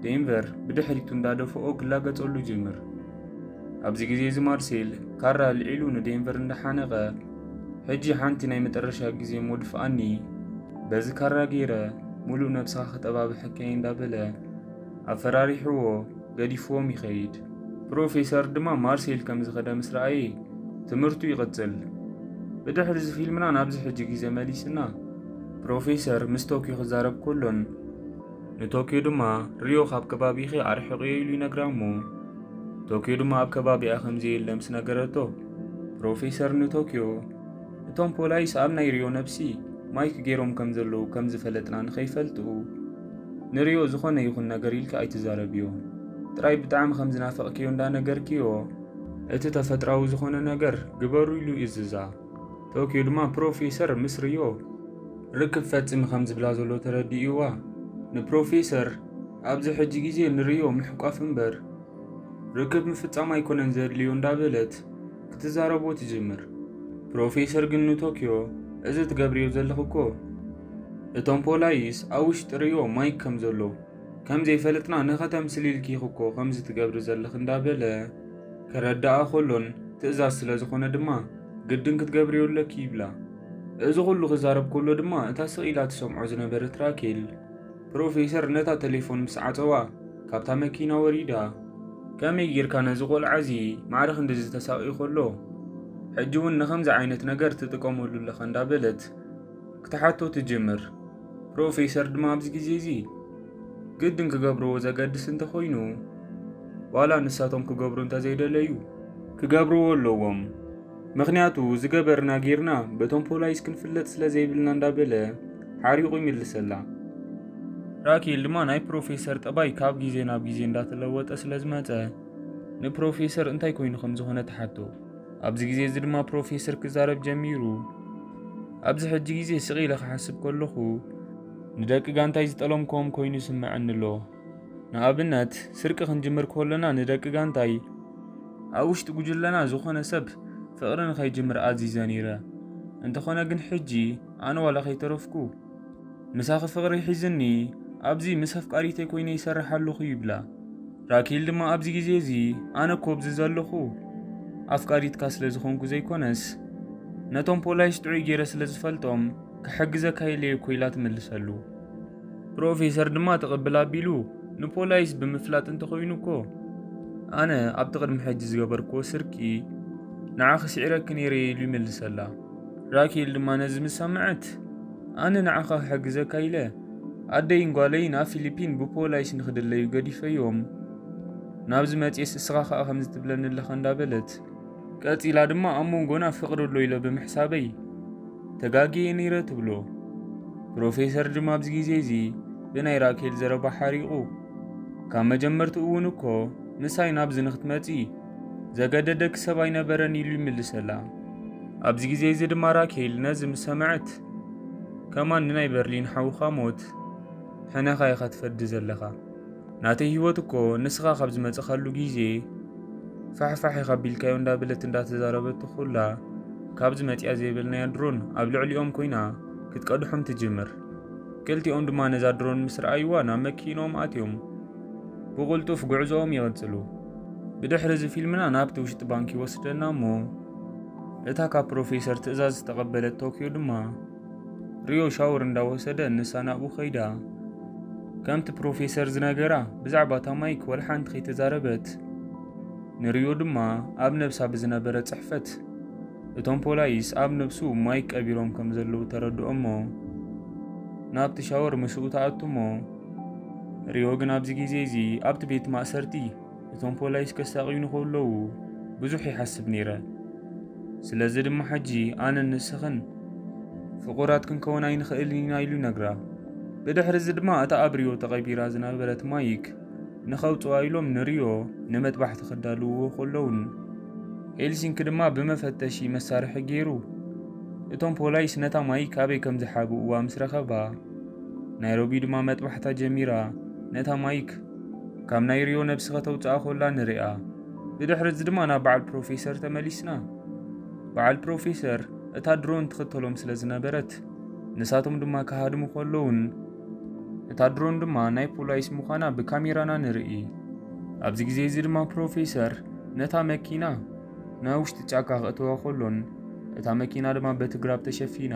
ዴንቨር ብድሕሪቱ እንዳደፍኦ ክላገጸሉ ይጅምር። ኣብዚ ግዜ እዚ ማርሴል ካራ ኣልዒሉ ንዴንቨር እንዳሓነቐ ሕጂ ሓንቲ ናይ መጠረሻ ግዜ እሞ ድፍኣኒ፣ በዚ ካራ ገይረ ሙሉእ ነብስኻ ክጠባብሐካ እየ እንዳበለ ኣፈራሪሕዎ ገዲፍዎም ይኸይድ። ፕሮፌሰር ድማ ማርሴል ከም ዝኸደ ምስ ረኣየ ትምህርቱ ይቕጽል። ብድሕሪ እዚ ፊልምና ናብዚ ሕጂ ግዜ መሊስና ፕሮፌሰር ምስ ቶኪዮ ክዛረብ ከሎን ንቶኪዮ ድማ ሪዮ ካብ ከባቢኺ ኣርሕቕዮ ኢሉ ይነግራ እሞ ቶኪዮ ድማ ኣብ ከባቢኣ ከም ዘየለ ምስ ነገረቶ ፕሮፌሰር ንቶኪዮ እቶም ፖላይስ ኣብ ናይ ሪዮ ነብሲ ማይክ ገይሮም ከም ዘለዉ ከም ዝፈለጥና ንኸይፈልጡ ንሪዮ ዝኾነ ይኹን ነገር ኢልኪ ኣይትዛረብዮ። ጥራይ ብጣዕሚ ከም ዝናፈቕክዮ እንዳነገርክዮ እቲ ተፈጥራዊ ዝኾነ ነገር ግበሩ ኢሉ ይእዝዛ። ቶኪዮ ድማ ፕሮፌሰር ምስ ሪዮ ርክብ ፈጽሚ ከም ዝብላ ዘሎ ተረዲእዋ ንፕሮፌሰር ኣብዚ ሕጂ ግዜ ንሪዮ ምሕቋፍ እምበር ርክብ ምፍጻም ኣይኮነን ዘድልዮ እንዳበለት ክትዛረቦ ትጅምር። ፕሮፌሰር ግን ንቶኪዮ እዚ ትገብርዮ ዘለኽ እኮ እቶም ፖላይስ ኣብ ውሽጢ ሪዮ ማይክ ከም ዘሎ ከም ዘይፈለጥና ንኸተምስል ኢልኪ ኢኺ እኮ ከምዚ ትገብሪ ዘለኽ እንዳበለ ከረድኣ ከሎን ትእዛዝ ስለ ዝኾነ ድማ ግድን ክትገብርዮ ኣለኪ ይብላ። እዚ ኩሉ ክዛረብ ከሎ ድማ እታ ስቕ ኢላ ትሰምዖ ዝነበረት ራኬል ፕሮፌሰር ነታ ቴሌፎን ምስ ዓጸዋ ካብታ መኪና ወሪዳ ከመይ ጌርካ ነዚ ቆልዓ እዚ ማዕረ ክንድዚ ተሳቕዩ ከሎ ሕጂ እውን ንኸምዚ ዓይነት ነገር ትጥቀመሉ ኣለኻ እንዳበለት ክትሓቶ ትጅምር። ፕሮፌሰር ድማ ኣብዚ ግዜ እዚ ግድን ክገብርዎ ዘገድስ እንተኾይኑ ዋላ ንሳቶም ክገብሩ እንተዘይደለዩ ክገብርዎ ኣለዎም። ምኽንያቱ ዝገበርና ጌርና በቶም ፖላይስ ክንፍለጥ ስለ ዘይብልና እንዳበለ ሓሪቑ ይምልሰላ። ራኬል ድማ ናይ ፕሮፌሰር ጠባይ ካብ ግዜ ናብ ግዜ እንዳተለወጠ ስለ ዝመጸ ንፕሮፌሰር እንታይ ኮይኑ ከም ዝኾነ ትሓቶ። ኣብዚ ግዜ እዚ ድማ ፕሮፌሰር ክዛረብ ጀሚሩ ኣብዚ ሕጂ ግዜ ስቕ ኢለ ክሓስብ ከለኹ ንደቂ ጋንታይ ዝጠለምክዎም ኮይኑ ይስምዐኒ ኣሎ። ንኣብነት ስርቂ ክንጅምር ከለና ንደቂ ጋንታይ ኣብ ውሽጢ ጉጅለና ዝኾነ ሰብ ፍቕሪ ንኸይጅምር ኣዚዘ ነይረ። እንተኾነ ግን ሕጂ ኣነ ዋላ ከይተረፍኩ ምሳኺ ፍቕሪ ሒዝኒ ኣብዚ ምስ ኣፍቃሪተይ ኮይነ ይሰርሕ ኣለኹ ይብላ። ራኬል ድማ ኣብዚ ግዜ እዚ ኣነ እኮ ኣብዚ ዘለኹ ኣፍቃሪትካ ስለ ዝኾንኩ ዘይኮነስ ነቶም ፖላይስ ጥዑይ ገይረ ስለ ዝፈልጦም ክሕግዘካ ኢለ እየ እኮ ኢላ ትምልሰሉ። ፕሮፌሰር ድማ ትቕብል ኣቢሉ ንፖላይስ ብምፍላጥ እንተኾይኑ እኮ ኣነ ኣብቲ ቅድሚ ሕጂ ዝገበርክዎ ስርቂ ንዓኺ ስዒረኪ ነይረ እየ ኢሉ ይምልሰላ። ራኬል ድማ ነዚ ምስ ሰምዐት ኣነ ንዓኻ ክሕግዘካ ኢለ ኣደይን ጓለይን ኣብ ፊሊፒን ብፖላይስ ንኽድለዩ ገዲፈዮም ናብዚ መጽኤስ እስኻ ኸኣ ከምዚ ትብለኒ ኣለኻ እንዳበለት ቀጺላ ድማ ኣብ መንጎና ፍቕሪ ኣሎ ኢለ ብምሕሳበይ ተጋግየ ነይረ ትብሎ። ፕሮፌሰር ድማ ኣብዚ ግዜ እዚ ብናይ ራኬል ዘረባ ሓሪቑ ካብ መጀመርትኡ እውን እኮ ምሳይ ናብዚ ንኽትመጺ ዘገደደኪ ሰብ ኣይነበረን ኢሉ ይምልሰላ። ኣብዚ ግዜ እዚ ድማ ራኬል ነዚ ምስ ሰምዐት ከማን ንናይ በርሊን ሓውኻ ሞት ሕነኻ ኢኻ ትፈዲ ዘለኻ። ናተይ ህይወት እኮ ንስኻ ካብ ዝመጽኻሉ ግዜ ፋሕፋሕ ኢኻ ቢልካዮ እንዳበለት እንዳተዛረበቶ ኩላ ካብዚ መጽያ ዘይበልናያ ድሮን ኣብ ልዕሊኦም ኮይና ክትቀድሖም ትጅምር። ክልቲኦም ድማ ነዛ ድሮን ምስ ረኣይዋ ናብ መኪኖም ኣትዮም ብቕልጡፍ ጉዕዞኦም ይቕጽሉ። ብድሕሪ እዚ ፊልምና ናብቲ ውሽጢ ባንክ ይወስደና እሞ እታ ካብ ፕሮፌሰር ትእዛዝ ዝተቐበለት ቶክዮ ድማ ሪዮ ሻወር እንዳወሰደ ንሳ ናብኡ ከይዳ ከምቲ ፕሮፌሰር ዝነገራ ብዛዕባ እታ ማይክ ወላ ሓንቲ ከይተዛረበት ንሪዮ ድማ ኣብ ነብሳ ብዝነበረ ጽሕፈት እቶም ፖላይስ ኣብ ነብሱ ማይክ ቀቢሮም ከም ዘለዉ ተረድኦ እሞ ናብቲ ሻወር ምስኡ ትኣቱ እሞ ሪዮ ግን ኣብዚ ግዜ እዚ ኣብቲ ቤት ማእሰርቲ እቶም ፖላይስ ከሳቕዩኒ ከለዉ ብዙሕ ይሓስብ ነይረ። ስለዚ ድማ ሕጂ ኣነን ንስኽን ፍቑራት ክንከውን ኣይንኽእልን ኢና ኢሉ ይነግራ። ብድሕሪ እዚ ድማ እታ ኣብ ሪዮ ተቐቢራ ዝነበረት ማይክ ንኸውፅዋ ኢሎም ንሪዮ ንመጥባሕቲ ክዳልውዎ ከለውን ሄልሲንኪ ድማ ብመፈተሺ መሳርሒ ገይሩ እቶም ፖላይስ ነታ ማይክ ኣበይ ከም ዝሓብእዋ ምስ ረኸባ ናይሮቢ ድማ መጥባሕታ ጀሚራ ነታ ማይክ ካብ ናይ ሪዮ ነብሲ ከተውፅኣ ኮላ ንሪኣ። ብድሕሪ እዚ ድማ ናብ በዓል ፕሮፌሰር ተመሊስና። በዓል ፕሮፌሰር እታ ድሮን ትኽተሎም ስለ ዝነበረት ንሳቶም ድማ ክሃድሙ ከለውን እታ ድሮን ድማ ናይ ፖላይስ ምዃና ብካሜራና ንርኢ። ኣብዚ ግዜ እዚ ድማ ፕሮፌሰር ነታ መኪና ናብ ውሽጢ ጫካ ክእተዋ ከሎን እታ መኪና ድማ በቲ ግራብ ተሸፊና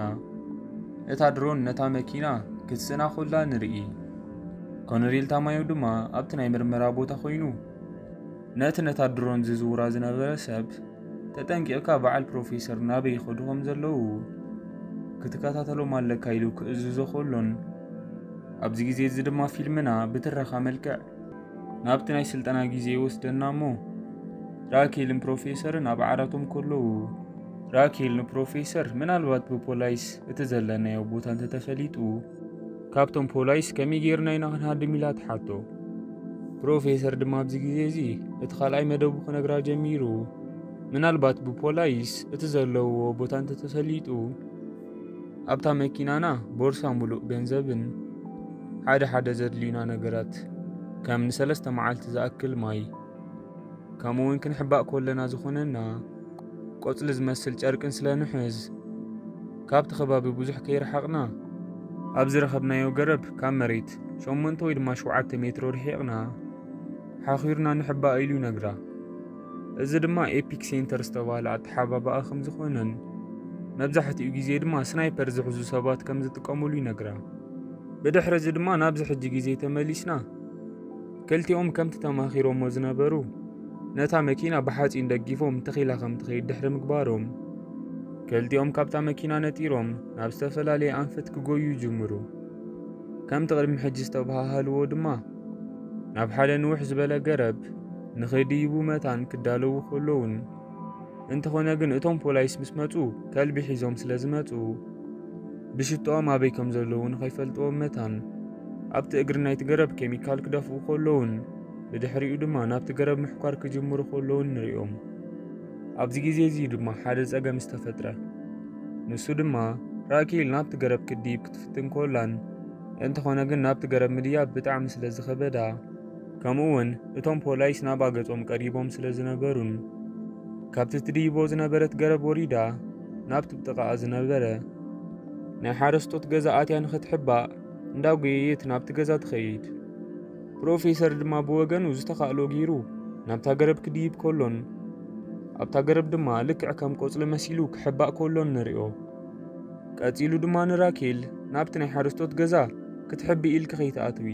እታ ድሮን ነታ መኪና ክትስእና ኮላ ንርኢ። ኮነሬል ታማዮ ድማ ኣብቲ ናይ ምርመራ ቦታ ኮይኑ ነቲ ነታ ድሮን ዝዝውራ ዝነበረ ሰብ ተጠንቂቕካ በዓል ፕሮፌሰር ናበይ ይኸዱ ከም ዘለዉ ክትከታተሎም ኣለካ ኢሉ ክእዝዞ ከሎን ኣብዚ ግዜ እዚ ድማ ፊልምና ብትረኻ መልክዕ ናብቲ ናይ ስልጠና ግዜ ይወስደና እሞ ራኬልን ፕሮፌሰርን ኣብ ዓራቶም ከለዉ ራኬል ንፕሮፌሰር ምናልባት ብፖላይስ እቲ ዘለናዮ ቦታ እንተተፈሊጡ ካብቶም ፖላይስ ከመይ ጌርና ኢና ክንሃድም ኢላ ትሓቶ። ፕሮፌሰር ድማ ኣብዚ ግዜ እዚ እቲ ካልኣይ መደቡ ክነግራ ጀሚሩ ምናልባት ብፖላይስ እቲ ዘለውዎ ቦታ እንተተፈሊጡ ኣብታ መኪናና ቦርሳ ሙሉእ ገንዘብን ሓደ ሓደ ዘድልዩና ነገራት ከም ንሰለስተ መዓልቲ ዝኣክል ማይ ከምኡ እውን ክንሕባእ ኮለና ዝኾነና ቆጽሊ ዝመስል ጨርቅን ስለ ንሕዝ ካብቲ ከባቢ ብዙሕ ከይረሓቕና ኣብ ዝረኸብናዮ ገረብ ካብ መሬት ሸሞንተ ወይ ድማ ሸውዓተ ሜትሮ ርሒቕና ሓኺርና ንሕባእ ኢሉ ይነግራ። እዚ ድማ ኤፒክ ሴንተር ዝተባህለ ኣተሓባባኣ ከም ዝኾነን መብዛሕትኡ ግዜ ድማ ስናይፐር ዝሕዙ ሰባት ከም ዝጥቀሙሉ ይነግራ። ብድሕሪ እዚ ድማ ናብዚ ሕጂ ግዜ ተመሊስና ክልቲኦም ከምቲ ተማኺሮሞ ዝነበሩ ነታ መኪና ብሓፂን ደጊፎም ተኺላ ከም ትኸይድ ድሕሪ ምግባሮም ክልቲኦም ካብታ መኪና ነጢሮም ናብ ዝተፈላለየ ኣንፈት ክጎዩ ይጅምሩ። ከምቲ ቅድሚ ሕጂ ዝተበሃሃልዎ ድማ ናብ ሓደ ንውሕ ዝበለ ገረብ ንኸይድይቡ መታን ክዳለዉ ከለውን እንተኾነ ግን እቶም ፖላይስ ምስ መፁ ከልቢ ሒዞም ስለ ዝመፁ ብሽቶኦም ኣበይ ከም ዘለዉ ንኸይፈልጥዎም መታን ኣብቲ እግሪ ናይቲ ገረብ ኬሚካል ክደፍኡ ከለውን ብድሕሪኡ ድማ ናብቲ ገረብ ምሕኳር ክጅምሩ ከለውን ንሪኦም። ኣብዚ ግዜ እዚ ድማ ሓደ ጸገም ዝተፈጥረ። ንሱ ድማ ራኬል ናብቲ ገረብ ክድይብ ክትፍትን ኮላን እንተኾነ ግን ናብቲ ገረብ ምድያብ ብጣዕሚ ስለ ዝኸበዳ ከምኡ እውን እቶም ፖላይስ ናብኣ ገጾም ቀሪቦም ስለ ዝነበሩን ካብቲ ትድይቦ ዝነበረት ገረብ ወሪዳ ናብቲ ብጥቓኣ ዝነበረ ናይ ሓረስቶት ገዛ ኣትያ ንኽትሕባእ እንዳጎየየት ናብቲ ገዛ ትኸይድ። ፕሮፌሰር ድማ ብወገኑ ዝተኻእሎ ገይሩ ናብታ ገረብ ክድይብ ከሎን ኣብታ ገረብ ድማ ልክዕ ከም ቆጽሊ መሲሉ ክሕባእ ከሎን ንሪኦ። ቀጺሉ ድማ ንራኬል ናብቲ ናይ ሓረስቶት ገዛ ክትሕቢ ኢልኪ ከይትኣትዊ።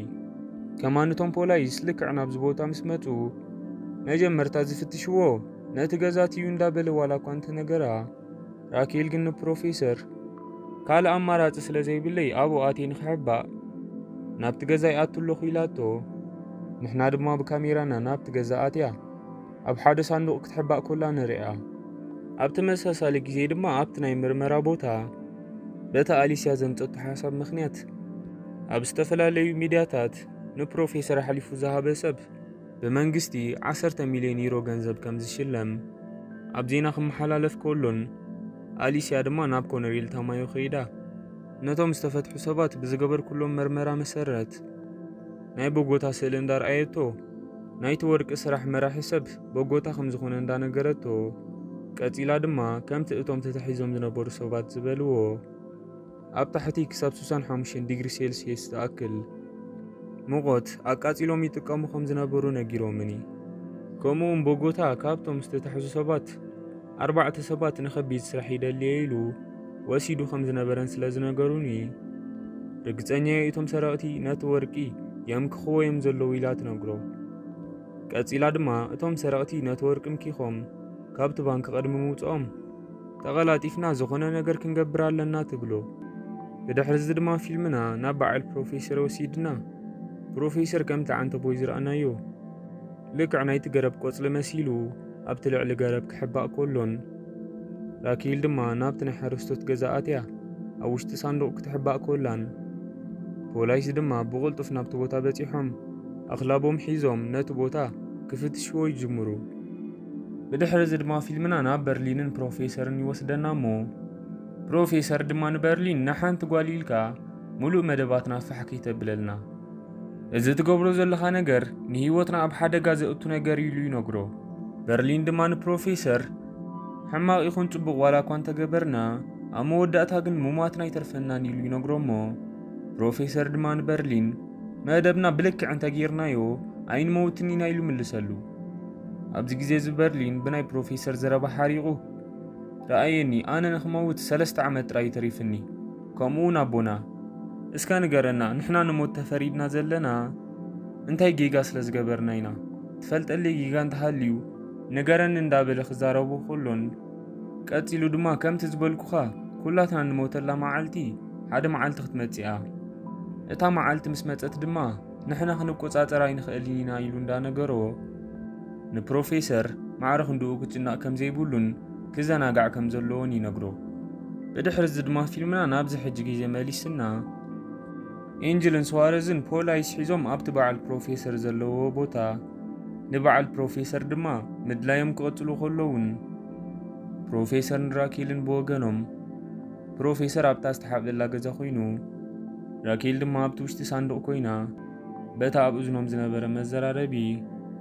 ከማን እቶም ፖላይስ ልክዕ ናብዚ ቦታ ምስ መጹ፣ መጀመርታ ዝፍትሽዎ ነቲ ገዛት እዩ እንዳበለ ዋላ እኳ እንተነገራ፣ ራኬል ግን ንፕሮፌሰር፣ ካልእ ኣማራጺ ስለ ዘይብለይ ኣብኡ ኣትየ ንኽሕባእ ናብቲ ገዛ ይኣቱ ኣለኹ ኢላቶ። ንሕና ድማ ብካሜራና ናብቲ ገዛ ኣትያ ኣብ ሓደ ሳንዱቕ ክትሕባእ ኮላ ንርእያ። ኣብ ተመሳሳሊ ግዜ ድማ ኣብቲ ናይ ምርመራ ቦታ በታ ኣሊስያ ዘምጸቱ ሓሳብ ምኽንያት ኣብ ዝተፈላለዩ ሚድያታት ንፕሮፌሰር ኣሕሊፉ ዝሃበ ሰብ ብመንግስቲ ዓሰርተ ሚልዮን ዩሮ ገንዘብ ከም ዝሽለም ኣብ ዜና ክመሓላለፍ ከሎን ኣሊስያ ድማ ናብ ኮነሬል ታማዮ ከይዳ ነቶም ዝተፈትሑ ሰባት ብዝገበርኩሎም መርመራ መሰረት ናይ ቦጎታ ስእሊ እንዳርኣየቶ ናይቲ ወርቂ ስራሕ መራሒ ሰብ ቦጎታ ከም ዝኾነ እንዳነገረቶ ቀጺላ ድማ ከምቲ እቶም ተታሒዞም ዝነበሩ ሰባት ዝበልዎ ኣብ ታሕቲ ክሳብ ሱሳን ሓሙሽተን ዲግሪ ሴልሲየስ ዝኣክል ሙቐት ኣቃጺሎም ይጥቀሙ ከም ዝነበሩ ነጊሮምኒ። ከምኡውን ቦጎታ ካብቶም ዝተታሕዙ ሰባት ኣርባዕተ ሰባት ንኸቢድ ስራሕ ይደልየ ኢሉ ወሲዱ ከም ዝነበረን ስለ ዝነገሩኒ ርግጸኛ እየ እቶም ሰረቕቲ ነቲ ወርቂ የምክኽዎ እዮም ዘለዉ ኢላ ትነግሮ። ቀጺላ ድማ እቶም ሰረቕቲ ነቲ ወርቂ ምኪኾም ካብቲ ባንክ ቅድሚ ምውፅኦም ተቐላጢፍና ዝኾነ ነገር ክንገብር ኣለና ትብሎ። ብድሕሪ እዚ ድማ ፊልምና ናብ በዓል ፕሮፌሰር ወሲድና ፕሮፌሰር ከምቲ ዓንተቦይ ዝረኣናዮ ልክዕ ናይቲ ገረብ ቆጽሊ መሲሉ ኣብቲ ልዕሊ ገረብ ክሕባእ ኮሎን ራኪል ድማ ናብቲ ናይ ሓረስቶት ገዛ ኣትያ ኣብ ውሽጢ ሳንዱቕ ክትሕባእ ኮላን ፖላይስ ድማ ብቕልጡፍ ናብቲ ቦታ በጺሖም ኣኽላቦም ሒዞም ነቲ ቦታ ክፍትሽዎ ይጅምሩ። ብድሕሪ እዚ ድማ ፊልምና ናብ በርሊንን ፕሮፌሰርን ይወስደና እሞ ፕሮፌሰር ድማ ንበርሊን ንሓንቲ ጓል ኢልካ ሙሉእ መደባትና ፋሕ ከይተብለልና፣ እዚ ትገብሮ ዘለኻ ነገር ንህይወትና ኣብ ሓደጋ ዘእቱ ነገር ኢሉ ይነግሮ። በርሊን ድማ ንፕሮፌሰር ሕማቕ ይኹን ጽቡቕ ዋላ እኳ እንተገበርና ኣብ መወዳእታ ግን ሙማትና ኣይተርፈናን ኢሉ ይነግሮ እሞ ፕሮፌሰር ድማ ንበርሊን መደብና ብልክዕ እንተጌርናዮ ኣይንመውትን ኢና ኢሉ ምልሰሉ። ኣብዚ ግዜ እዚ በርሊን ብናይ ፕሮፌሰር ዘረባ ሓሪቑ፣ ረኣየኒ፣ ኣነ ንኽመውት ሰለስተ ዓመት ጥራይ ተሪፍኒ። ከምኡ እውን ኣቦና፣ እስከ ንገረና፣ ንሕና ንሞት ተፈሪድና ዘለና እንታይ ጌጋ ስለ ዝገበርና ኢና? ትፈልጠለይ ጌጋ እንተሃልዩ ንገረኒ እንዳበለ ክዛረቦ ከሎን ቀጺሉ ድማ ከምቲ ዝበልኩኻ ኩላትና ንሞተላ መዓልቲ ሓደ መዓልቲ ክትመጽእ እያ። እታ መዓልቲ ምስ መጸት ድማ ንሕና ክንቆጻጸር ኣይንኽእልን ኢና ኢሉ እንዳነገሮ ንፕሮፌሰር ማዕረ ክንድኡ ክጭነቕ ከም ዘይብሉን ክዘናጋዕ ከም ዘለዎን ይነግሮ። ብድሕሪ እዚ ድማ ፊልምና ናብዚ ሕጂ ግዜ መሊስና ኤንጅልን ስዋረዝን ፖላይስ ሒዞም ኣብቲ በዓል ፕሮፌሰር ዘለዎ ቦታ ንበዓል ፕሮፌሰር ድማ ምድላዮም ክቐጽሉ ከለውን ፕሮፌሰር ንራኬልን ብወገኖም ፕሮፌሰር ኣብታ ዝተሓብለላ ገዛ ኮይኑ ራኬል ድማ ኣብቲ ውሽጢ ሳንዱቕ ኮይና በታ ኣብ እዝኖም ዝነበረ መዘራረቢ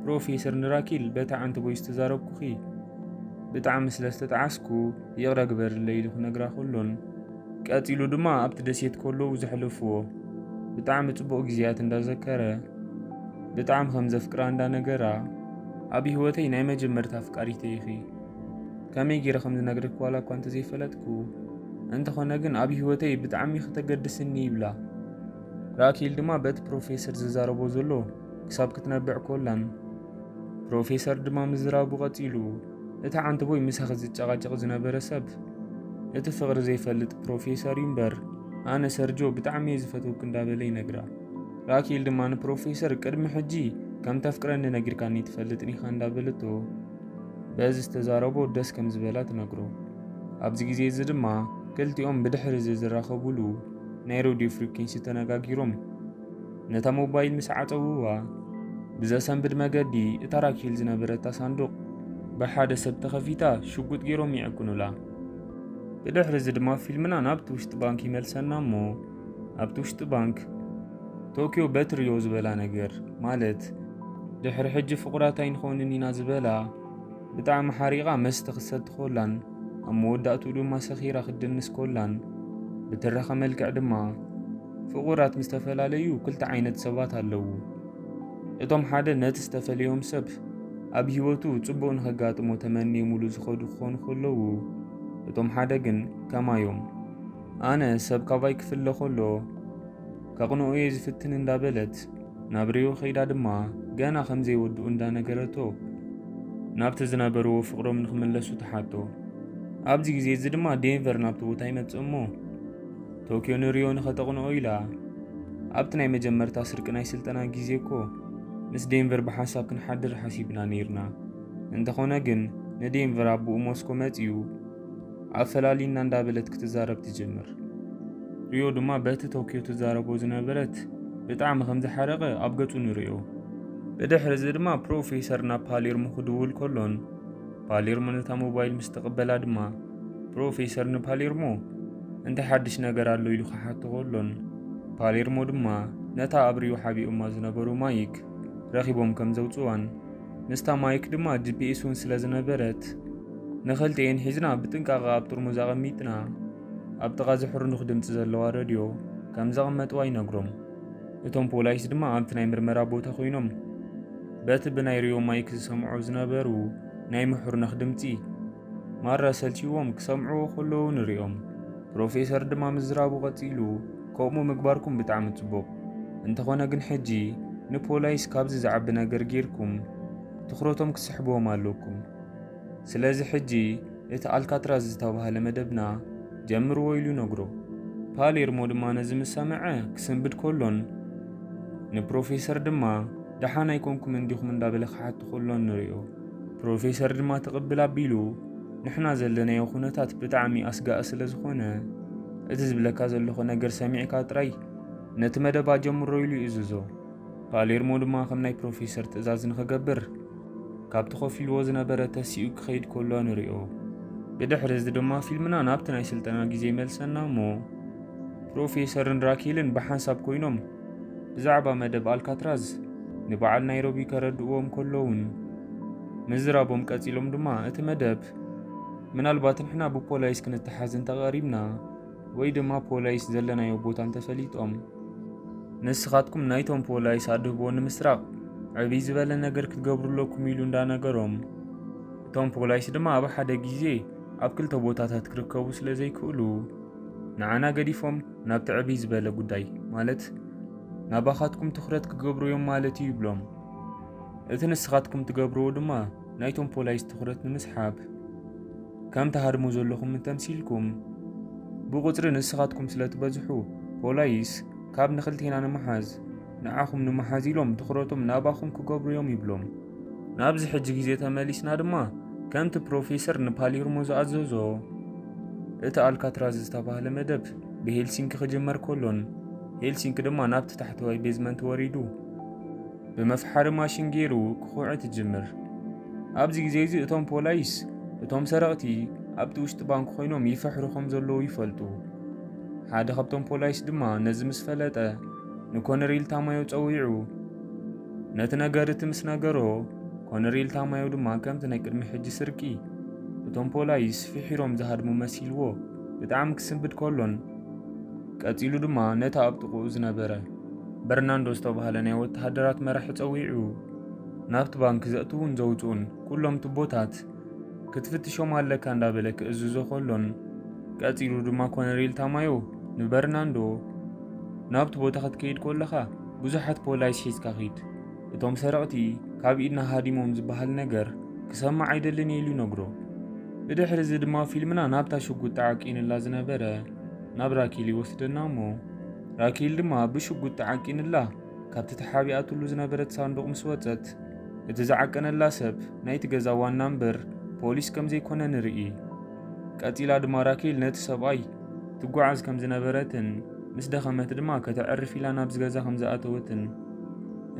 ፕሮፌሰር ንራኬል በታ ዓንተቦይ ዝተዛረብኩኺ ብጣዕሚ ስለ ዝተጠዓስኩ ይቕረ ግበርለይ ኢሉ ክነግራ ከሎን ቀጺሉ ድማ ኣብቲ ደሴት ከለዉ ዘሕለፍዎ ብጣዕሚ ጽቡቕ ግዜያት እንዳዘከረ ብጣዕሚ ከም ዘፍቅራ እንዳነገራ ኣብ ህይወተይ ናይ መጀመርታ ኣፍቃሪተይ ኢኺ። ከመይ ገይረ ከም ዝነግረኪ ዋላ እኳ እንተዘይፈለጥኩ እንተኾነ ግን ኣብ ህይወተይ ብጣዕሚ ኢኺ ተገድስኒ ይብላ። ራኬል ድማ በቲ ፕሮፌሰር ዝዛረቦ ዘሎ ክሳብ ክትነብዕ ኮላን ፕሮፌሰር ድማ ምዝራቡ ቀጺሉ እቲ ዓንተቦይ ምሳኺ ዝጨቓጨቕ ዝነበረ ሰብ እቲ ፍቕሪ ዘይፈልጥ ፕሮፌሰር እዩ እምበር ኣነ ሰርጆ ብጣዕሚ እየ ዝፈትወኪ እንዳበለ ይነግራ። ራኬል ድማ ንፕሮፌሰር ቅድሚ ሕጂ ከም ተፍቅረኒ ነጊርካኒ ትፈልጥን ኢኻ እንዳበለቶ በዚ ዝተዛረቦ ደስ ከም ዝበላ ትነግሮ። ኣብዚ ግዜ እዚ ድማ ክልቲኦም ብድሕሪ እዚ ዝራኸቡሉ ናይ ሬድዮ ፍሪኩንሲ ተነጋጊሮም ነታ ሞባይል ምስ ዓጸውዋ ብዘሰንብድ መገዲ እታ ራኬል ዝነበረታ ሳንዱቕ ብሓደ ሰብ ተኸፊታ ሽጉጥ ገይሮም ይዕቅኑላ። ብድሕሪ እዚ ድማ ፊልምና ናብቲ ውሽጢ ባንክ ይመልሰና እሞ ኣብቲ ውሽጢ ባንክ ቶኪዮ በትርዮ ዝበላ ነገር ማለት ድሕሪ ሕጂ ፍቑራት ኣይንኾንን ኢና ዝበላ ብጣዕሚ ሓሪቓ መስተ ክትሰቲ ኮላን ኣብ መወዳእትኡ ድማ ሰኺራ ክትድንስ ኮላን ብትረኻ መልክዕ ድማ ፍቑራት ምስ ተፈላለዩ ክልተ ዓይነት ሰባት ኣለዉ። እቶም ሓደ ነቲ ዝተፈለዮም ሰብ ኣብ ህይወቱ ጽቡቕ ንኸጋጥሞ ተመንዮምሉ ዝኸዱ ክኾኑ ከለዉ እቶም ሓደ ግን ከማዮም ኣነ ሰብ ካባይ ክፍለ ከሎ ከቕንኦ እየ ዝፍትን እንዳበለት ናብ ሪዮ ከይዳ ድማ ገና ከም ዘይወድኡ እንዳነገረቶ ናብቲ ዝነበርዎ ፍቕሮም ንክምለሱ ትሓቶ። ኣብዚ ግዜ እዚ ድማ ዴንቨር ናብቲ ቦታ ይመጽእ እሞ ቶኪዮ ንሪዮ ንኸተቕንኦ ኢላ ኣብቲ ናይ መጀመርታ ስርቂ ናይ ስልጠና ግዜ እኮ ምስ ዴንቨር ብሓንሳብ ክንሓድር ሓሲብና ነይርና። እንተኾነ ግን ንዴንቨር ኣቦኡ ሞስኮ መጺኡ ኣፈላሊና እንዳበለት ክትዛረብ ትጅምር። ሪዮ ድማ በቲ ቶኪዮ ትዛረቦ ዝነበረት ብጣዕሚ ከም ዝሓረቐ ኣብ ገጹ ንሪኦ። ብድሕሪ እዚ ድማ ፕሮፌሰር ናብ ፓሌርሞ ክድውል ከሎን ፓሌርሞ ነታ ሞባይል ምስ ተቐበላ ድማ ፕሮፌሰር ንፓሌርሞ እንታይ ሓድሽ ነገር ኣሎ ኢሉ ክሓቶ ከሎን ፓሌርሞ ድማ ነታ ኣብ ሪዮ ሓቢኦማ ዝነበሩ ማይክ ረኺቦም ከም ዘውጽዋን ምስታ ማይክ ድማ ጂፒኤስ እውን ስለ ዝነበረት ንኽልቲኤን ሒዝና ብጥንቃቐ ኣብ ጥርሙዝ ኣቐሚጥና ኣብ ጥቓ ዝሕርኑኽ ድምፂ ዘለዋ ረድዮ ከም ዘቐመጥዋ ይነግሮም። እቶም ፖላይስ ድማ ኣብቲ ናይ ምርመራ ቦታ ኮይኖም በቲ ብናይ ሪዮ ማይክ ዝሰምዖ ዝነበሩ ናይ ምሕርነኽ ድምፂ ማራ ሰልችዎም ክሰምዕዎ ከለዉ ንሪኦም። ፕሮፌሰር ድማ ምዝራቡ ቀፂሉ፣ ከምኡ ምግባርኩም ብጣዕሚ ፅቡቕ፣ እንተኾነ ግን ሕጂ ንፖላይስ ካብዚ ዝዓቢ ነገር ጌርኩም ትኹረቶም ክስሕብዎም ኣለኩም። ስለዚ ሕጂ እቲ ኣልካትራዝ ዝተባህለ መደብና ጀምርዎ ኢሉ ነግሮ። ፓሌርሞ ድማ ነዚ ምስ ሰምዐ ክስንብድ ከሎን ንፕሮፌሰር ድማ ደሓን ኣይኮንኩም እንዲኹም እንዳበለ ክሓቱ ከሎን ንሪኦ። ፕሮፌሰር ድማ ትቕብል ኣቢሉ ንሕና ዘለናዮ ኩነታት ብጣዕሚ ኣስጋኢ ስለ ዝኾነ እቲ ዝብለካ ዘለኹ ነገር ሰሚዕካ ጥራይ ነቲ መደብ ኣጀምሮ ኢሉ ይእዝዞ። ፓሌርሞ ድማ ከም ናይ ፕሮፌሰር ትእዛዝ ንኽገብር ካብቲ ኮፍ ኢልዎ ዝነበረ ተሲኡ ክኸይድ ከሎ ንሪኦ። ብድሕሪ እዚ ድማ ፊልምና ናብቲ ናይ ስልጠና ግዜ ይመልሰና እሞ ፕሮፌሰርን ራኬልን ብሓንሳብ ኮይኖም ብዛዕባ መደብ ኣልካትራዝ ንበዓል ናይሮቢ ከረድእዎም ከለውን ምዝራቦም ቀጺሎም ድማ እቲ መደብ ምናልባት ንሕና ብፖላይስ ክንተሓዝ እንተቐሪብና ወይ ድማ ፖላይስ ዘለናዮ ቦታ እንተፈሊጦም ንስኻትኩም ናይቶም ፖላይስ ኣድህቦ ንምስራቕ ዕብይ ዝበለ ነገር ክትገብሩ ኣለኩም ኢሉ እንዳነገሮም እቶም ፖላይስ ድማ ኣብ ሓደ ግዜ ኣብ ክልተ ቦታታት ክርከቡ ስለ ዘይክእሉ ንዓና ገዲፎም ናብቲ ዕብይ ዝበለ ጉዳይ ማለት ናባኻትኩም ትኹረት ክገብሩ እዮም ማለት እዩ ይብሎም። እቲ ንስኻትኩም ትገብርዎ ድማ ናይቶም ፖላይስ ትኹረት ንምስሓብ ከም ትሃድሙ ዘለኹም እንተምሲልኩም ብቁፅሪ ንስኻትኩም ስለ ትበዝሑ ፖላይስ ካብ ንኽልቴና ንምሓዝ ንዓኹም ንምሓዝ ኢሎም ትኹረቶም ናባኹም ክገብሩ እዮም ይብሎም። ናብዚ ሕጂ ግዜ ተመሊስና ድማ ከምቲ ፕሮፌሰር ንፓሌርሞ ዝኣዘዞ እቲ ኣልካትራዝ ዝተባህለ መደብ ብሄልሲንኪ ክጅመር ከሎን ሄልሲንኪ ድማ ናብቲ ታሕተዋይ ቤዝመንት ወሪዱ ብመፍሓሪ ማሽን ገይሩ ክኹዕት ይጅምር። ኣብዚ ግዜ እዚ እቶም ፖላይስ እቶም ሰረቕቲ ኣብቲ ውሽጢ ባንክ ኮይኖም ይፈሕሩ ከም ዘለዉ ይፈልጡ። ሓደ ካብቶም ፖላይስ ድማ ነዚ ምስ ፈለጠ ንኮነሬል ታማዮ ጸዊዑ ነቲ ነገር እቲ ምስ ነገሮ ኮነሬል ታማዮ ድማ ከምቲ ናይ ቅድሚ ሕጂ ስርቂ እቶም ፖላይስ ፍሒሮም ዝሃድሙ መሲልዎ ብጣዕሚ ክስንብድ ከሎን ቀጺሉ ድማ ነቲ ኣብ ጥቕኡ ዝነበረ በርናንዶ ዝተባህለ ናይ ወተሃደራት መራሒ ጸዊዑ ናብቲ ባንክ ዘእትዉን ዘውፅኡን ኩሎም ቱቦታት ክትፍትሾም ኣለካ እንዳበለ ክእዝዞ ከሎን ቀጺሉ ድማ ኮነሬል ታማዮ ንበርናንዶ ናብቲ ቦታ ክትከይድ ከለኻ ብዙሓት ፖላይስ ሒዝካ ኺድ፣ እቶም ሰረቕቲ ካብ ኢድና ሃዲሞም ዝበሃል ነገር ክሰምዕ ኣይደልን እየ ኢሉ ይነግሮ። ብድሕሪ እዚ ድማ ፊልምና ናብታ ሽጉጥ ተዓቂንላ ዝነበረ ናብ ራኪል ይወስደና እሞ ራኪል ድማ ብሽጉጥ ተዓቂንላ ካብቲ ተሓቢኣትሉ ዝነበረት ሳንዱቕ ምስ ወጸት እቲ ዝዓቀነላ ሰብ ናይቲ ገዛ ዋና እምበር ፖሊስ ከም ዘይኮነ ንርኢ። ቀጺላ ድማ ራኪል ነቲ ሰብኣይ ትጓዓዝ ከም ዝነበረትን ምስ ደኸመት ድማ ከተዕርፍ ኢላ ናብዚ ገዛ ከም ዝኣተወትን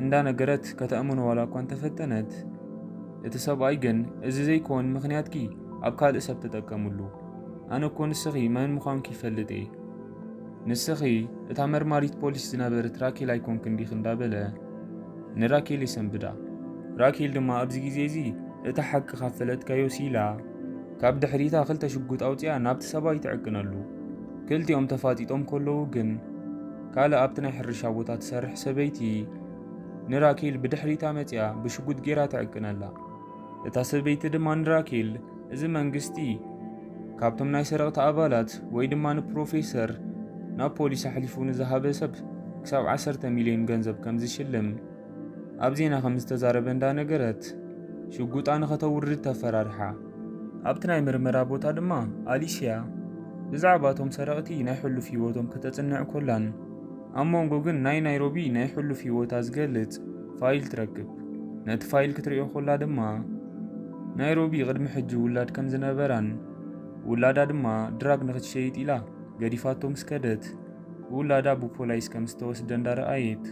እንዳነገረት ከተእምኖ ዋላ እኳ እንተፈተነት እቲ ሰብኣይ ግን እዚ ዘይኮን ምኽንያትኪ ኣብ ካልእ ሰብ ተጠቀምሉ። ኣነ እኮ ንስኺ መን ምዃንኪ ይፈልጥ እየ። ንስኺ እታ መርማሪት ፖሊስ ዝነበረት ራኬል ኣይኮንክን ዲኺ እንዳበለ ንራኬል ይሰንብዳ። ራኬል ድማ ኣብዚ ግዜ እዚ እቲ ሓቂ ካብ ፈለጥካዮ ሲላ ካብ ድሕሪታ ክልተ ሽጉጥ ኣውፂኣ ናብቲ ሰብኣይ ትዕቅነሉ። ክልቲኦም ተፋጢጦም ከለዉ ግን ካልእ ኣብቲ ናይ ሕርሻ ቦታ ትሰርሕ ሰበይቲ ንራኬል ብድሕሪታ መፂኣ ብሽጉጥ ጌራ ትዕቅነላ። እታ ሰበይቲ ድማ ንራኬል እዚ መንግስቲ ካብቶም ናይ ሰረቕቲ ኣባላት ወይ ድማ ንፕሮፌሰር ናብ ፖሊስ ኣሕሊፉ ንዝሃበ ሰብ ክሳብ ዓሰርተ ሚልዮን ገንዘብ ከም ዝሽልም ኣብ ዜና ከም ዝተዛረበ እንዳነገረት፣ ሽጉጣ ንኸተውርድ ተፈራርሓ። ኣብቲ ናይ ምርመራ ቦታ ድማ ኣሊስያ ብዛዕባ እቶም ሰረቕቲ ናይ ሕሉፍ ህይወቶም ከተጽንዕ ኮላን፣ ኣብ መንጎ ግን ናይ ናይሮቢ ናይ ሕሉፍ ህይወታ ዝገልጽ ፋይል ትረክብ። ነቲ ፋይል ክትርእዮ ኮላ ድማ፣ ናይሮቢ ቅድሚ ሕጂ ውላድ ከም ዝነበራን ውላዳ ድማ ድራግ ንኽትሸይጥ ኢላ ገዲፋቶ ምስ ከደት፣ ውላዳ ብፖላይስ ከም ዝተወስደ እንዳረኣየት፣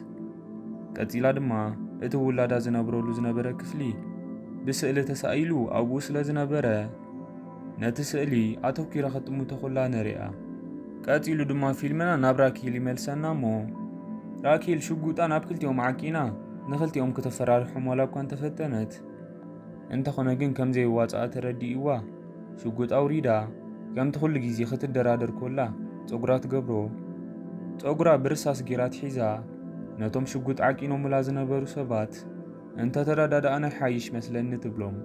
ቀጺላ ድማ እቲ ውላዳ ዝነብረሉ ዝነበረ ክፍሊ ብስእሊ ተሳኢሉ ኣብኡ ስለ ዝነበረ፣ ነቲ ስእሊ ኣተኲራ ክትጥምቶ ኮላ ንሪኣ። ቀጺሉ ድማ ፊልምና ናብ ራኪል ይመልሰና እሞ፣ ራኪል ሽጉጣ ናብ ክልቲኦም ዓቂና ንኽልቲኦም ክተፈራርሖም ዋላ እኳ እንተፈተነት፣ እንተኾነ ግን ከም ዘይዋጽኣ ተረዲእዋ፣ ሽጉጥ ኣውሪዳ፣ ከምቲ ኩሉ ግዜ ክትደራደር ኮላ፣ ጸጉራ ትገብሮ። ጸጉራ ብርሳስ ጌራ ትሒዛ፣ ነቶም ሽጉጥ ዓቂኖምላ ዝነበሩ ሰባት፣ "እንተተረዳዳእና ይሓይሽ መስለኒ" ትብሎም።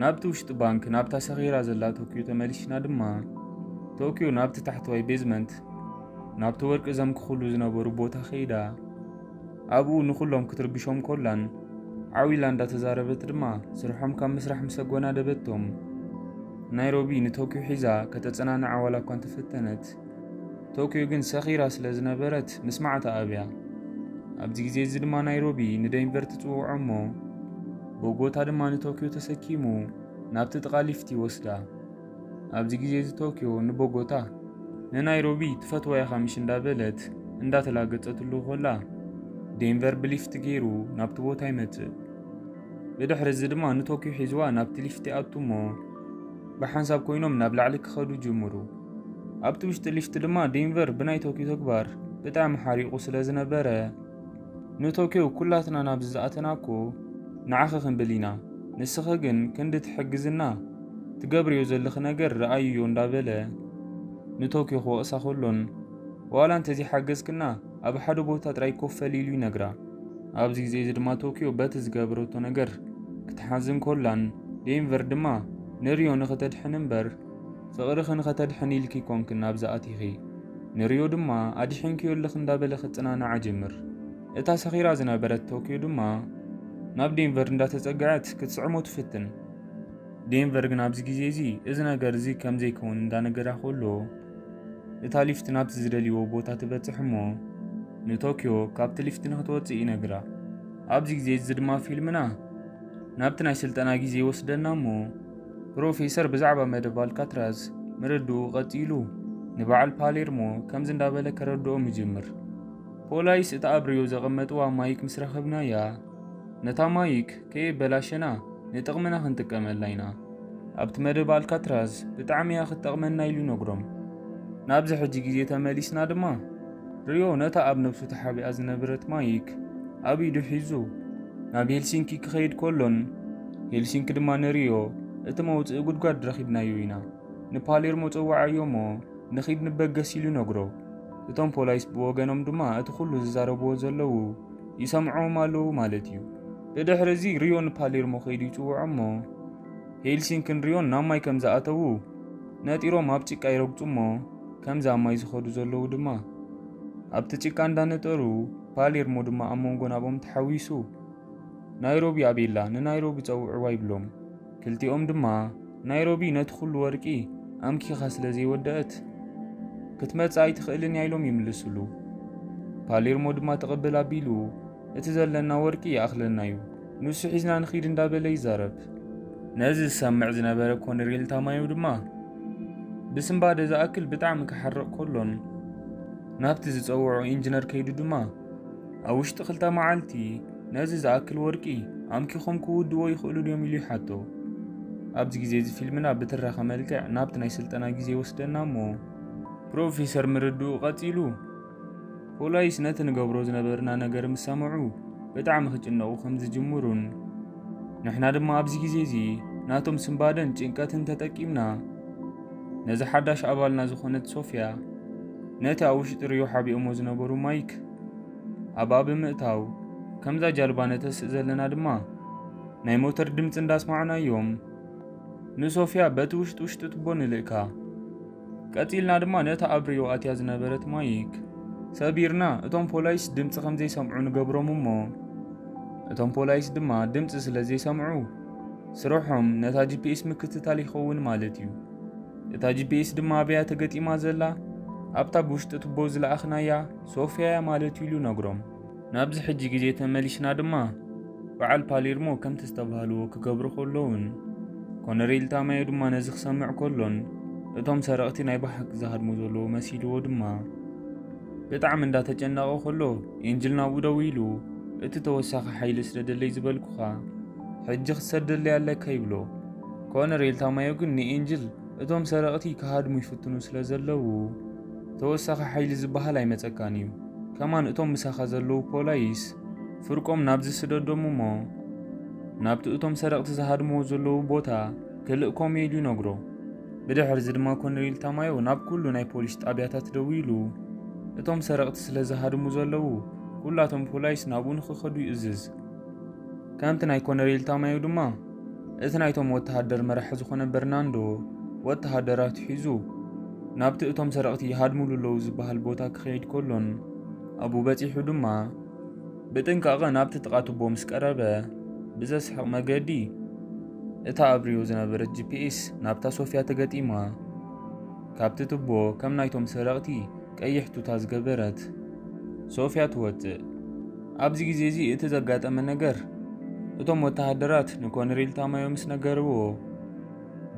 ናብቲ ውሽጢ ባንክ፣ ናብታ ሰኺራ ዘላ ቶክዮ ተመሊስና ድማ፣ ቶክዮ ናብቲ ታሕተዋይ ቤዝመንት፣ ናብቲ ወርቂ ዘምክኹሉ ዝነበሩ ቦታ ከይዳ፣ ኣብኡ ንኹሎም ክትርብሾም ኮላን፣ ዓው ኢላ እንዳተዛረበት ድማ፣ ስርሖም ካብ ምስራሕ ምስ ኣጎናደበቶም፣ ናይሮቢ ንቶክዮ ሒዛ ከተጸናንዓ ዋላ እኳ እንተፈተነት፣ ቶክዮ ግን ሰኺራ ስለ ዝነበረት ምስማዕ ተኣብያ። ኣብዚ ግዜ እዚ ድማ ናይሮቢ ንዴንቨር ትጽውዖ እሞ፣ ቦጎታ ድማ ንቶክዮ ተሰኪሙ ናብቲ ጥቓ ሊፍት ይወስዳ። ኣብዚ ግዜ እዚ ቶክዮ ንቦጎታ፣ "ንናይሮቢ ትፈትዋ ኢኻ ምሽ?" እንዳበለት እንዳተላገጸትሉ ኮላ፣ ዴንቨር ብሊፍት ገይሩ ናብቲ ቦታ ይመጽእ። ብድሕሪ እዚ ድማ ንቶክዮ ሒዝዋ ናብቲ ሊፍት ይኣቱ እሞ፣ ብሓንሳብ ኮይኖም ናብ ላዕሊ ክኸዱ ጅምሩ። ኣብቲ ውሽጢ ሊፍት ድማ ዴንቨር ብናይ ቶክዮ ተግባር ብጣዕሚ ሓሪቑ ስለ ዝነበረ፣ ንቶክዮ፣ "ኩላትና ናብዚ ዝኣተና እኮ ንዓኺ ክንብል ኢና፣ ንስኺ ግን ክንዲ ትሕግዝና ትገብርዮ ዘለኺ ነገር ረኣይዮ" እንዳበለ ንቶክዮ ክወቕሳ ከሎን፣ "ዋላ እንተዘይሓገዝክና ኣብ ሓደ ቦታ ጥራይ ኮፍ በሊ" ኢሉ ይነግራ። ኣብዚ ግዜ እዚ ድማ ቶክዮ በቲ ዝገበረቶ ነገር ክትሓዝን ኮላን፣ ዴንቨር ድማ ንሪዮ ንኽተድሕን እምበር ፍቕርኺ ንኸተድሕን ኢልኪ ኮንክን ናብዚ ኣቲኺ፣ ንሪዮ ድማ ኣድሒንክዮ ኣለኺ እንዳበለ ክጽናናዓ ጅምር። እታ ሰኺራ ዝነበረት ቶክዮ ድማ ናብ ዴንቨር እንዳተጸግዐት ክትስዕሞ ትፍትን። ዴንቨር ግን ኣብዚ ግዜ እዚ እዚ ነገር እዚ ከም ዘይከውን እንዳነገራ ከሎ፣ እታ ሊፍት ናብቲ ዝደልይዎ ቦታ ትበጽሕ እሞ፣ ንቶክዮ ካብቲ ሊፍት ንኽትወጽእ ይነግራ። ኣብዚ ግዜ እዚ ድማ ፊልምና ናብቲ ናይ ስልጠና ግዜ ይወስደና እሞ፣ ፕሮፌሰር ብዛዕባ መደብ ኣልካትራዝ ምርድኡ ቀጺሉ፣ ንበዓል ፓሌርሞ ከምዚ እንዳበለ ከረድኦም ይጅምር። "ፖላይስ እታ ኣብ ሪዮ ዘቐመጥዋ ማይክ ምስ ረኸብናያ፣ ነታ ማይክ ከየበላሸና ንጥቕምና ክንጥቀመላ ኢና። ኣብቲ መደብ ኣልካትራዝ ብጣዕሚ እያ ክትጠቕመና" ኢሉ ይነግሮም። ናብዚ ሕጂ ግዜ ተመሊስና ድማ፣ ሪዮ ነታ ኣብ ነብሱ ተሓቢኣ ዝነበረት ማይክ ኣብ ኢዱ ሒዙ ናብ ሄልሲንኪ ክኸይድ ከሎን፣ ሄልሲንኪ ድማ ንሪዮ፣ "እቲ መውጽኢ ጉድጓድ ረኺብናዮ ኢና፣ ንፓሌርሞ ጸውዓዮ እሞ ንኺድ ንበገስ" ኢሉ ይነግሮ። እቶም ፖላይስ ብወገኖም ድማ እቲ ኩሉ ዝዛረብዎ ዘለዉ ይሰምዕዎም ኣለዉ ማለት እዩ። ብድሕሪ እዚ ሪዮ ንፓሌርሞ ከይዱ ይጽውዖ እሞ፣ ሄልሲንክን ሪዮን ናብ ማይ ከም ዝኣተዉ ነጢሮም ኣብ ጭቃ ይረግጹ እሞ፣ ከምዚ ኣብ ማይ ዝኸዱ ዘለዉ ድማ፣ ኣብቲ ጭቃ እንዳነጠሩ፣ ፓሌርሞ ድማ ኣብ መንጎ ናብኦም ተሓዊሱ፣ "ናይሮቢ ኣቤላ፣ ንናይሮቢ ጸውዕዋ" ይብሎም። ክልቲኦም ድማ፣ "ናይሮቢ ነቲ ኩሉ ወርቂ ኣምኪኻ ስለ ዘይወደአት፣ ክትመጽእ ኣይትኽእልን እያ" ኢሎም ይምልስሉ። ፓሌርሞ ድማ ትቕብል ኣቢሉ፣ "እቲ ዘለና ወርቂ ይኣኽለና እዩ፣ ንሱ ሒዝና ንኺድ" እንዳበለ ይዛረብ። ነዚ ዝሰምዕ ዝነበረ ኮነሬል ታማዮ ድማ፣ ብስንባደ ዝኣክል ብጣዕሚ ክሓርቕ ከሎን፣ ናብቲ ዝጸውዖ ኢንጂነር ከይዱ ድማ፣ "ኣብ ውሽጢ ክልተ መዓልቲ ነዚ ዝኣክል ወርቂ ኣምኪኾም ክውድዎ ይኽእሉ ድዮም?" ኢሉ ይሓቶ። ኣብዚ ግዜ እዚ ፊልምና ብትረኻ መልክዕ ናብቲ ናይ ስልጠና ግዜ ይወስደና እሞ፣ ፕሮፌሰር ምርድኡ ቀጺሉ፣ ፖላይስ ነቲ ንገብሮ ዝነበርና ነገር ምስ ሰምዑ ብጣዕሚ ክጭነቑ ከም ዝጅምሩን፣ ንሕና ድማ ኣብዚ ግዜ እዚ ናቶም ስንባደን ጭንቀትን ተጠቂምና፣ ነዚ ሓዳሽ ኣባልና ዝኾነት ሶፍያ፣ ነቲ ኣብ ውሽጢ ሪዮ ሓቢኦሞ ዝነበሩ ማይክ ኣብኣ ብምእታው፣ ከምዛ ጃልባ ነተስእ ዘለና ድማ ናይ ሞተር ድምፂ እንዳስማዕናዮም፣ ንሶፍያ በቲ ውሽጢ ውሽጢ ቱቦ ንልእካ። ቀጺልና ድማ ነታ ኣብ ሪዮ ኣትያ ዝነበረት ማይክ ሰቢርና፣ እቶም ፖላይስ ድምጺ ከም ዘይሰምዑ ንገብሮም እሞ፣ እቶም ፖላይስ ድማ ድምጺ ስለ ዘይሰምዑ፣ ስርሖም ነታ ጂ ፒ ኤስ ምክትታል ይኸውን ማለት እዩ። እታ ጂ ፒ ኤስ ድማ ኣብያ ተገጢማ ዘላ፣ ኣብታ ብውሽጢ ቱቦ ዝለኣኽናያ ሶፍያ እያ ማለት እዩ ኢሉ ነግሮም። ናብዚ ሕጂ ግዜ ተመሊስና ድማ፣ በዓል ፓሌርሞ ከምቲ ዝተባህልዎ ክገብሩ ከለውን፣ ኮነሬል ታማዮ ድማ ነዚ ክሰምዕ ከሎን፣ እቶም ሰረቕቲ ናይ ብሓቂ ዝሃድሙ ዘለዉ መሲልዎ ድማ፣ ብጣዕሚ እንዳተጨነቐ ከሎ፣ ኤንጅል ናብኡ ደዊሉ፣ "እቲ ተወሳኺ ሓይሊ ስደደለይ ዝበልኩኻ፣ ሕጂ ክትሰደለይ ኣለካ" ይብሎ። ኮነሬል ታማዮ ግን ንኤንጅል፣ እቶም ሰረቕቲ ክሃድሙ ይፍትኑ ስለ ዘለዉ፣ "ተወሳኺ ሓይሊ ዝበሃል ኣይመጸካን እዩ። ከማን እቶም ምሳኻ ዘለዉ ፖላይስ ፍርቆም ናብዚ ስደዶም እሞ፣ ናብቲ እቶም ሰረቕቲ ዝሃድምዎ ዘለዉ ቦታ ክልእኮም እየ" ኢሉ ይነግሮ። ብድሕሪ እዚ ድማ ኮነሬል ታማዮ ናብ ኩሉ ናይ ፖሊስ ጣብያታት ደዊሉ፣ እቶም ሰረቕቲ ስለ ዝሃድሙ ዘለዉ፣ ኩላቶም ፖላይስ ናብኡ ንኽኸዱ ይእዝዝ። ከምቲ ናይ ኮነሬል ታማዮ ድማ፣ እቲ ናይቶም ወተሃደር መራሒ ዝኾነ በርናንዶ ወተሃደራት ሒዙ፣ ናብቲ እቶም ሰረቕቲ ይሃድሙሉ ኣለዉ ዝበሃል ቦታ ክኸይድ ከሎን፣ ኣብኡ በጺሑ ድማ፣ ብጥንቃቐ ናብቲ ጥቓ ቱቦ ምስ ቀረበ፣ ብዘስሕቕ መገዲ፣ እታ ኣብ ሪዮ ዝነበረት ጂ ፒ ኤስ ናብታ ሶፍያ ተገጢማ፣ ካብቲ ቱቦ ከም ናይቶም ሰረቕቲ ቀይሕ ቱታ ዝገበረት ሶፍያ ትወጽእ። ኣብዚ ግዜ እዚ እቲ ዘጋጠመ ነገር፣ እቶም ወተሃደራት ንኮነሬል ታማዮ ምስ ነገርዎ፣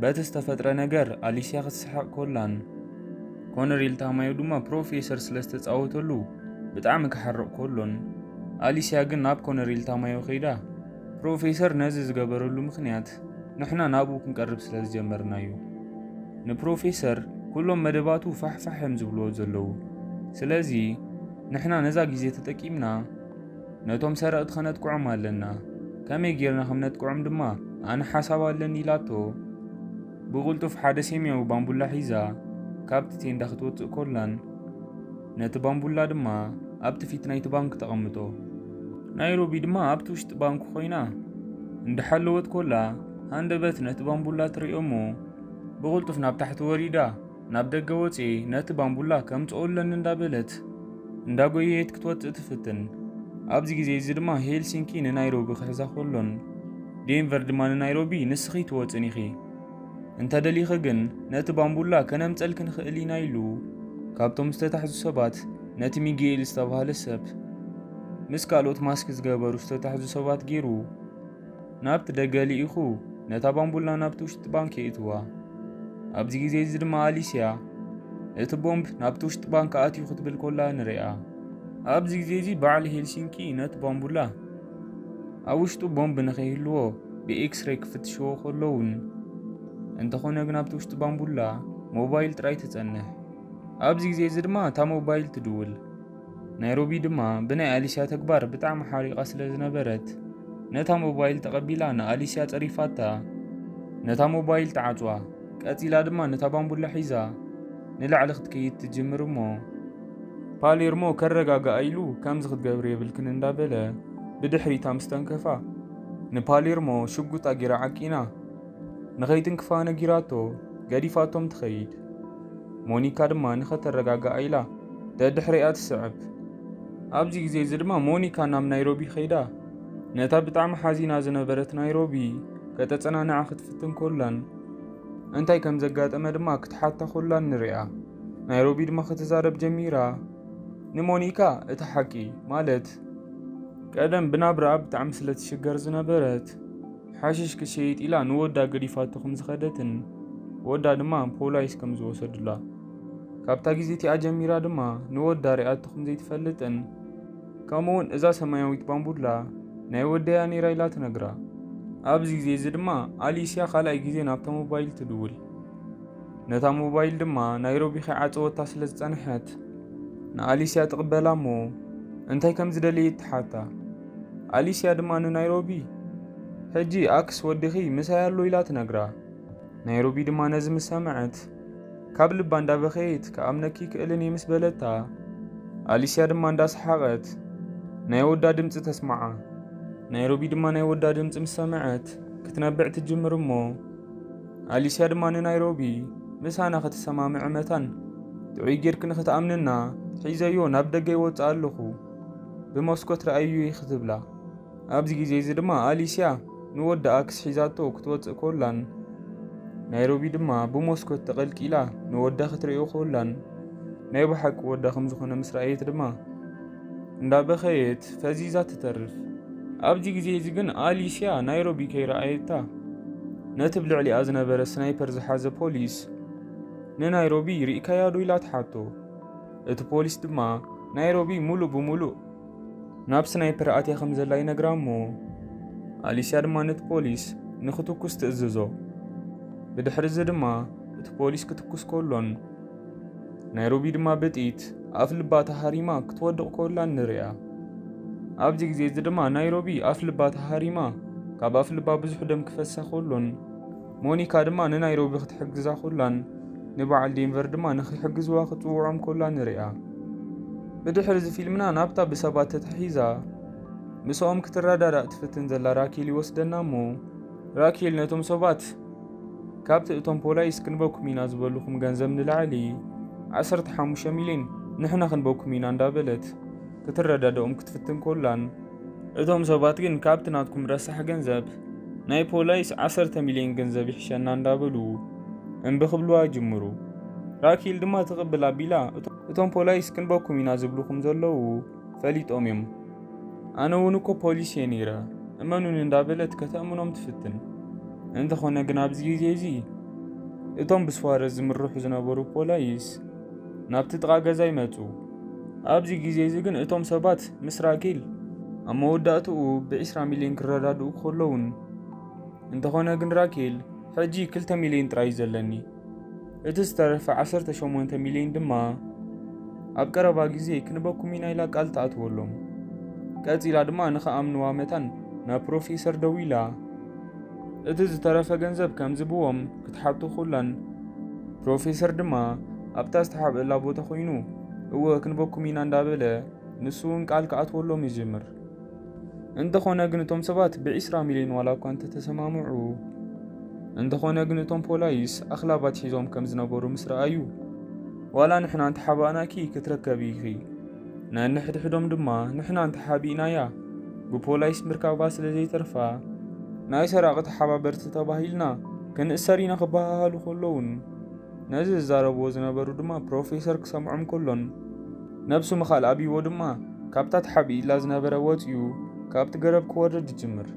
በቲ ዝተፈጥረ ነገር ኣሊስያ ክትስሕቕ ኮላን፣ ኮነሬል ታማዮ ድማ ፕሮፌሰር ስለ ዝተጻወተሉ ብጣዕሚ ክሓርቕ ኮሎን፣ ኣሊስያ ግን ናብ ኮነሬል ታማዮ ከይዳ፣ ፕሮፌሰር ነዚ ዝገበረሉ ምኽንያት ንሕና ናብኡ ክንቀርብ ስለ ዝጀመርና እዩ። ንፕሮፌሰር ኩሎም መደባቱ ፋሕፋሕ እዮም ዝብልዎ ዘለዉ። ስለዚ ንሕና ነዛ ግዜ ተጠቂምና ነቶም ሰረቕቲ ከነጥቅዖም ኣለና። ከመይ ጌርና ከም ነጥቅዖም ድማ ኣነ ሓሳብ ኣለኒ ኢላቶ። ብቕልጡፍ ሓደ ሰማያዊ ባምቡላ ሒዛ ካብቲ ቴንዳ ክትወጽእ ኮላን፣ ነቲ ባምቡላ ድማ ኣብቲ ፊት ናይቲ ባንክ ተቐምጦ። ናይሮቢ ድማ ኣብቲ ውሽጢ ባንክ ኮይና እንዳሓለወት ኮላ፣ ሃንደበት ነቲ ባምቡላ ትርእዮ እሞ፣ ብቕልጡፍ ናብ ታሕቲ ወሪዳ፣ ናብ ደገ ወጽኤ ነቲ ባምቡላ ከምጽኦ ኣለኒ እንዳበለት፣ እንዳጎየየት ክትወጽእ ትፍትን። ኣብዚ ግዜ እዚ ድማ ሄልሲንኪ ንናይሮቢ ክሕዛ ኮሎን፣ ዴንቨር ድማ ንናይሮቢ ንስኺ ትወጽን ኢኺ። እንተ ደሊኺ ግን ነቲ ባምቡላ ከነምጸልኪ ንኽእል ኢና ኢሉ፣ ካብቶም ዝተታሕዙ ሰባት ነቲ ሚጌል ዝተባህለ ሰብ ምስ ካልኦት ማስክ ዝገበሩ ዝተታሕዙ ሰባት ገይሩ ናብቲ ደገ ልኢኹ ነታ ባምቡላ ናብቲ ውሽጢ ባንክ የእትዋ። ኣብዚ ግዜ እዚ ድማ ኣሊስያ እቲ ቦምብ ናብቲ ውሽጢ ባንክ ኣትዩ ክትብል ኮላ ንሪኣ። ኣብዚ ግዜ እዚ በዓል ሄልሲንኪ ነቲ ባምቡላ ኣብ ውሽጡ ቦምብ ንኸይህልዎ ብኤክስሬይ ክፍትሽዎ ከለውን፣ እንተኾነ ግን ኣብቲ ውሽጢ ባምቡላ ሞባይል ጥራይ ትጸንሕ። ኣብዚ ግዜ እዚ ድማ እታ ሞባይል ትድውል። ናይሮቢ ድማ ብናይ ኣሊስያ ተግባር ብጣዕሚ ሓሪቓ ስለ ዝነበረት፣ ነታ ሞባይል ተቐቢላ ንኣሊስያ ጸሪፋታ። ነታ ሞባይል ተዓጽዋ። ቀጺላ ድማ ነታ ባምቡላ ሒዛ ንላዕሊ ክትከይድ ትጅምር እሞ፣ ፓሌርሞ ከረጋግኣ ኢሉ ከምዚ ክትገብሪ የብልክን እንዳበለ ብድሕሪታ ምስ ተንከፋ፣ ንፓሌርሞ ሽጉጣ ጌራ ዓቂና ንኸይትንክፋ ነጊራቶ ገዲፋቶም ትኸይድ። ሞኒካ ድማ ንኸተረጋግኣ ኢላ ደድሕሪኣ ትስዕብ። ኣብዚ ግዜ እዚ ድማ ሞኒካ ናብ ናይሮቢ ከይዳ ነታ ብጣዕሚ ሓዚና ዝነበረት ናይሮቢ ከተጸናንዓ ክትፍትን ኮላን፣ እንታይ ከም ዘጋጠመ ድማ ክትሓታ ኮላን ንሪኣ። ናይሮቢ ድማ ክትዛረብ ጀሚራ። ንሞኒካ እቲ ሓቂ፣ ማለት ቀደም ብናብራኣ ብጣዕሚ ስለ ትሽገር ዝነበረት፣ ሓሽሽ ክሸይጥ ኢላ ንወዳ ገዲፋቶ ከም ዝኸደትን ወዳ ድማ ፖላይስ ከም ዝወሰዱላ፣ ካብታ ግዜ እቲኣ ጀሚራ ድማ ንወዳ ሪኣቶ ከም ዘይትፈልጥን፣ ከምኡውን እዛ ሰማያዊት ባምቡላ ናይ ወደያ ነይራ ኢላ ትነግራ። ኣብዚ ግዜ እዚ ድማ ኣሊስያ ካልኣይ ግዜ ናብታ ሞባይል ትድውል። ነታ ሞባይል ድማ ናይሮቢ ከይዓጸወታ ስለ ዝጸንሐት፣ ንኣሊስያ ትቕበላ እሞ እንታይ ከም ዝደለየት ትሓታ። ኣሊስያ ድማ ንናይሮቢ፣ "ሕጂ ኣክስ ወድኺ ምሳይ ኣሎ" ኢላ ትነግራ። ናይሮቢ ድማ ነዚ ምስ ሰምዐት፣ ካብ ልባ እንዳበኸየት፣ "ክኣምነኪ ክእልን እየ" ምስ በለታ፣ ኣሊስያ ድማ እንዳሰሓቐት ናይ ወዳ ድምጺ ተስምዓ። ናይሮቢ ድማ ናይ ወዳ ድምጺ ምስ ሰምዐት፣ ክትነብዕ ትጅምር እሞ፣ ኣሊስያ ድማ ንናይሮቢ ምሳና ክትሰማምዐ መታን፣ ጥዑይ ጌርኪ ንኽትኣምንና፣ ሒዘዮ ናብ ደገ ይወጽእ ኣለኹ፣ ብመስኮት ረኣይዮ ክትብላ። ኣብዚ ግዜ እዚ ድማ ኣሊስያ ንወዳ ኣክስ ሒዛቶ ክትወጽእ ኮላን፣ ናይሮቢ ድማ ብመስኮት ተቐልቂላ ንወዳ ክትርእዮ ኮላን፣ ናይ ብሓቂ ወዳ ከም ዝኾነ ምስ ረኣየት ድማ እንዳበኸየት ፈዚዛ ትተርፍ። ኣብዚ ግዜ እዚ ግን ኣሊስያ ናይሮቢ ከይረኣየታ፣ ነቲ ብልዕሊኣ ዝነበረ ስናይፐር ዝሓዘ ፖሊስ ንናይሮቢ፣ "ርኢካያ ዶ?" ኢላ ትሓቶ። እቲ ፖሊስ ድማ ናይሮቢ ሙሉእ ብሙሉእ ናብ ስናይፐር ኣትያ ከም ዘላ ይነግራ እሞ፣ ኣሊስያ ድማ ነቲ ፖሊስ ንኽትኩስ ትእዝዞ። ብድሕሪ እዚ ድማ እቲ ፖሊስ ክትኩስ ከሎን፣ ናይሮቢ ድማ ብጥይት ኣፍ ልባ ተሃሪማ ክትወድቕ ከላን ንርእያ። ኣብዚ ግዜ እዚ ድማ ናይሮቢ ኣፍ ልባ ተሃሪማ፣ ካብ ኣፍ ልባ ብዙሕ ደም ክፈሳ ከሎን፣ ሞኒካ ድማ ንናይሮቢ ክትሕግዛ ከላን፣ ንበዓል ዴንቨር ድማ ንኽሕግዝዋ ክትጽውዖም ከላ ንርእያ። ብድሕሪ እዚ ፊልምና ናብታ ብሰባት ተታሒዛ ምስኦም ክትረዳዳእ ትፍትን ዘላ ራኬል ይወስደና እሞ፣ ራኬል ነቶም ሰባት፣ "ካብቲ እቶም ፖላይስ ክንበኩም ኢና ዝበልኹም ገንዘብ ንላዕሊ ዓሰርተ ሓሙሽተ ሚልዮን ንሕና ክንበኩም ኢና" እንዳበለት ክትረዳድኦም ክትፍትን ኮላን፣ እቶም ሰባት ግን ካብቲ ናትኩም ረሳሕ ገንዘብ ናይ ፖላይስ ዓሰርተ ሚልዮን ገንዘብ ይሕሸና እንዳበሉ እምቢ ክብልዋ ይጅምሩ። ራኬል ድማ ትቕብል ኣቢላ፣ "እቶ-፣ እቶም ፖላይስ ክንበኩም ኢና ዝብልኹም ዘለዉ ፈሊጦም እዮም። ኣነ እውን እኮ ፖሊስ እየ ነይረ፣ እመኑኒ" እንዳበለት ከተእምኖም ትፍትን። እንተኾነ ግን ኣብዚ ግዜ እዚ እቶም ብስዋረዝ ዝምርሑ ዝነበሩ ፖላይስ ናብቲ ጥቓ ገዛ ይመጹ። ኣብዚ ግዜ እዚ ግን እቶም ሰባት ምስ ራኬል ኣብ መወዳእትኡ ብዒስራ ሚልዮን ክረዳድኡ ከለውን፣ እንተኾነ ግን ራኬል፣ "ሕጂ ክልተ ሚልዮን ጥራይ እዩ ዘለኒ፣ እቲ ዝተረፈ ዓሰርተ ሸሞንተ ሚልዮን ድማ ኣብ ቀረባ ግዜ ክንበኩም ኢና" ኢላ ቃል ትኣትወሎም። ቀጺላ ድማ ንኽኣምንዋ መታን ናብ ፕሮፌሰር ደዊላ፣ እቲ ዝተረፈ ገንዘብ ከም ዝብዎም ክትሓቶ ኮላን፣ ፕሮፌሰር ድማ ኣብታ ዝተሓብእላ ቦታ ኮይኑ፣ "እወ፣ ክንበኩም ኢና" እንዳበለ፣ ንሱ እውን ቃል ክኣትወሎም ይጅምር። እንተኾነ ግን እቶም ሰባት ብዒስራ ሚልዮን ዋላ እኳ እንተተሰማምዑ፣ እንተኾነ ግን እቶም ፖላይስ ኣኽላባት ሒዞም ከም ዝነበሩ ምስ ረኣዩ፣ "ዋላ ንሕና እንተሓባእናኪ ክትረከቢ ኢኺ፣ ነንሕድሕዶም ድማ ንሕና እንተሓቢእናያ ብፖላይስ ምርካባ ስለ ዘይተርፋ፣ ናይ ሰራቒ ተሓባበርቲ ተባሂልና ክንእሰር ኢና" ክበሃሃሉ ከለውን፣ ነዚ ዝዛረብዎ ዝነበሩ ድማ ፕሮፌሰር ክሰምዖም ከሎን፣ ነብሱ ምኻል ኣብይዎ ድማ ካብታ ተሓቢእላ ዝነበረ ወጺኡ ካብቲ ገረብ ክወርድ ይጅምር።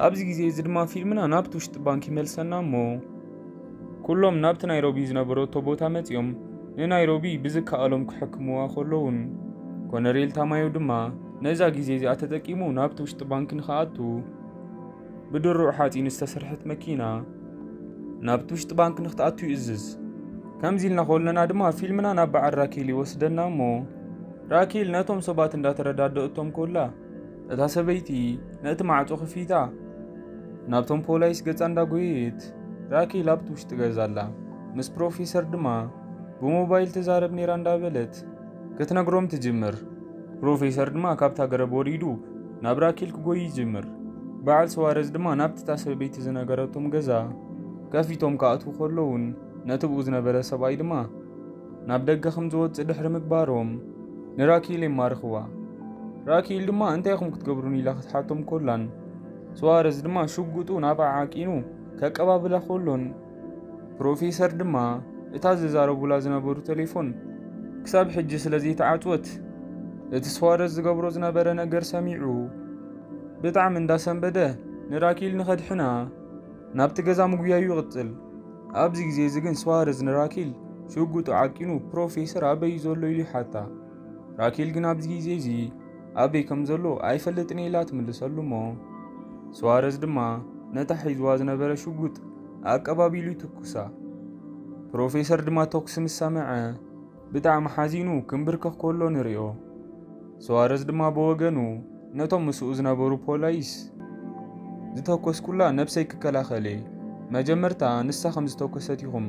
ኣብዚ ግዜ እዚ ድማ ፊልምና ናብቲ ውሽጢ ባንክ ይመልሰና እሞ፣ ኩሎም ናብቲ ናይሮቢ ዝነበረቶ ቦታ መጺኦም ንናይሮቢ ብዝከኣሎም ክሕክምዋ ከለውን፣ ኮነሬል ታማዮ ድማ ነዛ ግዜ እዚኣ ተጠቂሙ ናብቲ ውሽጢ ባንክ ንኽኣቱ ብድሩዕ ሓጺን ዝተሰርሐት መኪና ናብቲ ውሽጢ ባንክ ንክትኣቱ ይእዝዝ። ከምዚ ኢልና ከለና ድማ ፊልምና ናብ በዓል ራኬል ይወስደና እሞ፣ ራኬል ነቶም ሰባት እንዳተረዳደእቶም ኮላ፣ እታ ሰበይቲ ነቲ ማዕጾ ክፊታ ናብቶም ፖላይስ ገጻ እንዳጎየየት፣ "ራኬል ኣብቲ ውሽጢ ገዛ ኣላ፣ ምስ ፕሮፌሰር ድማ ብሞባይል ትዛረብ ነይራ" እንዳበለት ክትነግሮም ትጅምር። ፕሮፌሰር ድማ ካብታ ገረብ ወሪዱ ናብ ራኬል ክጎይ ይጅምር። በዓል ስዋረዝ ድማ ናብቲ እታ ሰበይቲ ዝነገረቶም ገዛ ከፊቶም ክኣትዉ ከለውን፣ ነቲ ብኡ ዝነበረ ሰብኣይ ድማ ናብ ደገ ከም ዝወጽእ ድሕሪ ምግባሮም፣ ንራኬል የማርኽዋ። ራኬል ድማ "እንታይ ኢኹም ክትገብሩን?" ኢላ ክትሓቶም ኮላን፣ ስዋረዝ ድማ ሽጉጡ ናብኣ ዓቂኑ ከቀባብላ ኮሎን፣ ፕሮፌሰር ድማ እታ ዝዛረቡላ ዝነበሩ ቴሌፎን ክሳብ ሕጂ ስለ ዘይተዓጽወት፣ እቲ ስዋረዝ ዝገብሮ ዝነበረ ነገር ሰሚዑ፣ ብጣዕሚ እንዳሰንበደ ንራኬል ንኸድሕና ናብቲ ገዛ ምጉያዩ ይቕጽል። ኣብዚ ግዜ እዚ ግን ስዋረዝ ንራኬል ሽጉጡ ዓቂኑ፣ "ፕሮፌሰር ኣበይ እዩ ዘሎ?" ኢሉ ይሓታ። ራኬል ግን ኣብዚ ግዜ እዚ ኣበይ ከም ዘሎ ኣይፈልጥን እየ ኢላ ትምልሰሉ እሞ፣ ስዋረዝ ድማ ነታ ሒዝዋ ዝነበረ ሽጉጥ ኣቀባቢሉ ይትኩሳ። ፕሮፌሰር ድማ ተኩሲ ምስ ሰምዐ ብጣዕሚ ሓዚኑ ክምብርከኽ ከሎ ንርእዮ። ስዋረዝ ድማ ብወገኑ ነቶም ምስኡ ዝነበሩ ፖላይስ፣ "ዝተኮስኩላ ነብሰይ ክከላኸል እየ፣ መጀመርታ ንሳ ከም ዝተኮሰት ኢኹም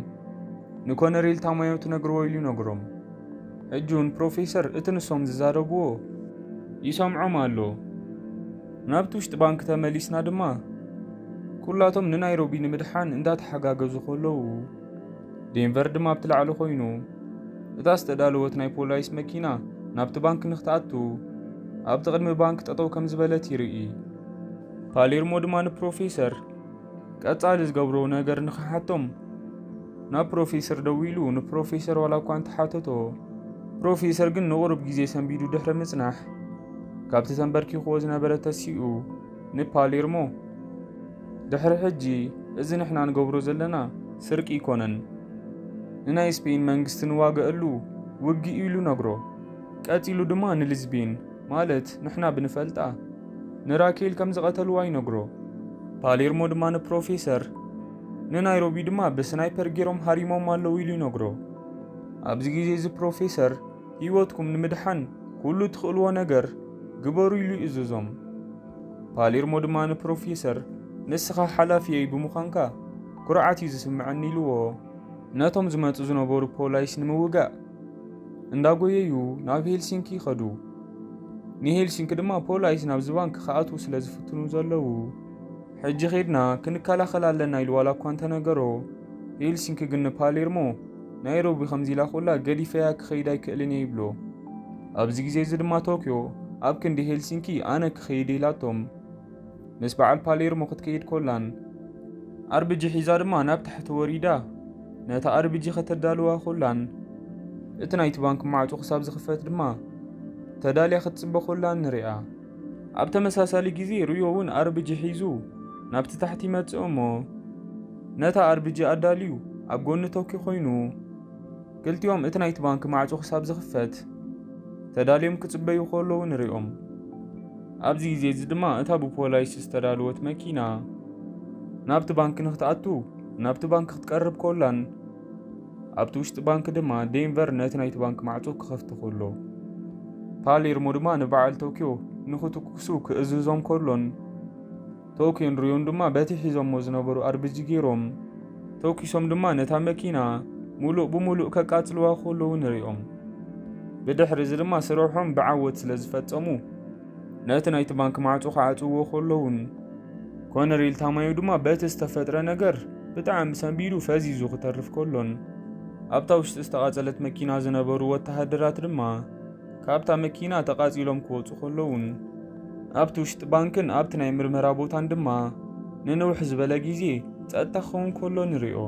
ንኮነሬል ታማዮ ትነግርዎ" ኢሉ ይነግሮም። ሕጂ እውን ፕሮፌሰር እቲ ንሶም ዝዛረብዎ ይሰምዖም ኣሎ። ናብቲ ውሽጢ ባንክ ተመሊስና ድማ ኩላቶም ንናይሮቢ ንምድሓን እንዳተሓጋገዙ ከለዉ፣ ዴንቨር ድማ ኣብቲ ላዕሊ ኮይኑ፣ እታ ዝተዳለወት ናይ ፖላይስ መኪና ናብቲ ባንክ ንክትኣቱ፣ ኣብቲ ቅድሚ ባንክ ጠጠው ከም ዝበለት ይርኢ። ፓሌርሞ ድማ ንፕሮፌሰር ቀጻሊ ዝገብሮ ነገር ንክሓቶም ናብ ፕሮፌሰር ደዊሉ፣ ንፕሮፌሰር ዋላ እኳ እንተሓተቶ፣ ፕሮፌሰር ግን ንቑሩብ ግዜ ሰንቢዱ ድሕሪ ምጽናሕ፣ ካብቲ ተንበርኪኽዎ ዝነበረ ተሲኡ ንፓሌርሞ፣ ድሕሪ ሕጂ እዚ ንሕና ንገብሮ ዘለና ስርቂ ኣይኮነን፣ ንናይ ስፔን መንግስቲ ንዋገአሉ ውግእ ኢሉ ነግሮ። ቀጺሉ ድማ ንሊዝቤን፣ ማለት ንሕና ብንፈልጣ፣ ንራኬል ከም ዝቐተልዋ ይነግሮ። ፓሌርሞ ድማ ንፕሮፌሰር፣ ንናይሮቢ ድማ ብስናይፐር ገይሮም ሃሪሞም ኣለዉ ኢሉ ይነግሮ። ኣብዚ ግዜ እዚ ፕሮፌሰር፣ ህይወትኩም ንምድሓን ኩሉ ትኽእልዎ ነገር ግበሩ ኢሉ ይእዝዞም። ፓሌርሞ ድማ ንፕሮፌሰር፣ ንስኻ ሓላፊየይ ብምዃንካ ኩርዓት እዩ ዝስምዐኒ ኢልዎ። ነቶም ዝመጹ ዝነበሩ ፖላይስ ንምውጋእ እንዳጎየዩ ናብ ሄልሲንኪ ይኸዱ። ንሄልሲንኪ ድማ ፖላይስ ናብዚ ባንክ ክኣትዉ ስለ ዝፍትኑ ዘለዉ፣ ሕጂ ኸድና ክንከላኸል ኣለና ኢሉ ዋላ እኳ እንተነገሮ፣ ሄልሲንኪ ግን ንፓሌርሞ፣ ናይሮቢ ከምዚ ኢላ ኮላ ገዲፈያ ክኸይድ ኣይክእልን እየ ይብሎ። ኣብዚ ግዜ እዚ ድማ ቶክዮ ኣብ ክንዲ ሄልሲንኪ ኣነ ክኸይድ ኢላቶም ምስ በዓል ፓሌርሞ ክትከይድ ኮላን፣ ኣርብጂ ሒዛ ድማ ናብ ታሕቲ ወሪዳ ነታ ኣርብጂ ከተዳልዋ ኮላን፣ እቲ ናይቲ ባንክ ማዕጾ ክሳብ ዝኽፈት ድማ ተዳልያ ክትጽበ ኮላን ንሪኣ። ኣብ ተመሳሳሊ ግዜ ሪዮ እውን ኣርብጂ ሒዙ ናብቲ ታሕቲ ይመጽእ እሞ፣ ነታ ኣርብጂ ኣዳልዩ ኣብ ጎኒ ቶኪ ኮይኑ፣ ክልቲኦም እቲ ናይቲ ባንክ ማዕጾ ክሳብ ዝኽፈት ተዳልዮም ክጽበዩ ከለዉ ንሪኦም። ኣብዚ ግዜ እዚ ድማ እታ ብፖላይስ ዝተዳለወት መኪና ናብቲ ባንክ ንክትኣቱ ናብቲ ባንክ ክትቀርብ ኮላን፣ ኣብቲ ውሽጢ ባንክ ድማ ዴንቨር ነቲ ናይቲ ባንክ ማዕጾ ክኸፍት ከሎ፣ ፓሌርሞ ድማ ንበዓል ቶኪዮ ንኽትኩሱ ክእዝዞም ከሎን፣ ቶኪዮን ሪዮን ድማ በቲ ሒዞሞ ዝነበሩ ኣርብጂ ገይሮም ተኩሶም ድማ ነታ መኪና ሙሉእ ብሙሉእ ከቃጽልዋ ከለዉ ንሪኦም። ብድሕሪ እዚ ድማ ስርሖም ብዓወት ስለ ዝፈጸሙ፣ ነቲ ናይቲ ባንክ ማዕጾ ክዓጽውዎ ከለዉን፣ ኮነሬል ታማዮ ድማ በቲ ዝተፈጥረ ነገር ብጣዕሚ ሰንቢዱ ፈዚዙ ክተርፍ ከሎን፣ ኣብታ ውሽጢ ዝተቓጸለት መኪና ዝነበሩ ወተሃደራት ድማ ካብታ መኪና ተቓጺሎም ክወጹ ከለዉን፣ ኣብቲ ውሽጢ ባንክን ኣብቲ ናይ ምርመራ ቦታን ድማ ንንውሕ ዝበለ ግዜ ጸጥታ ክኸውን ከሎ ንሪኦ።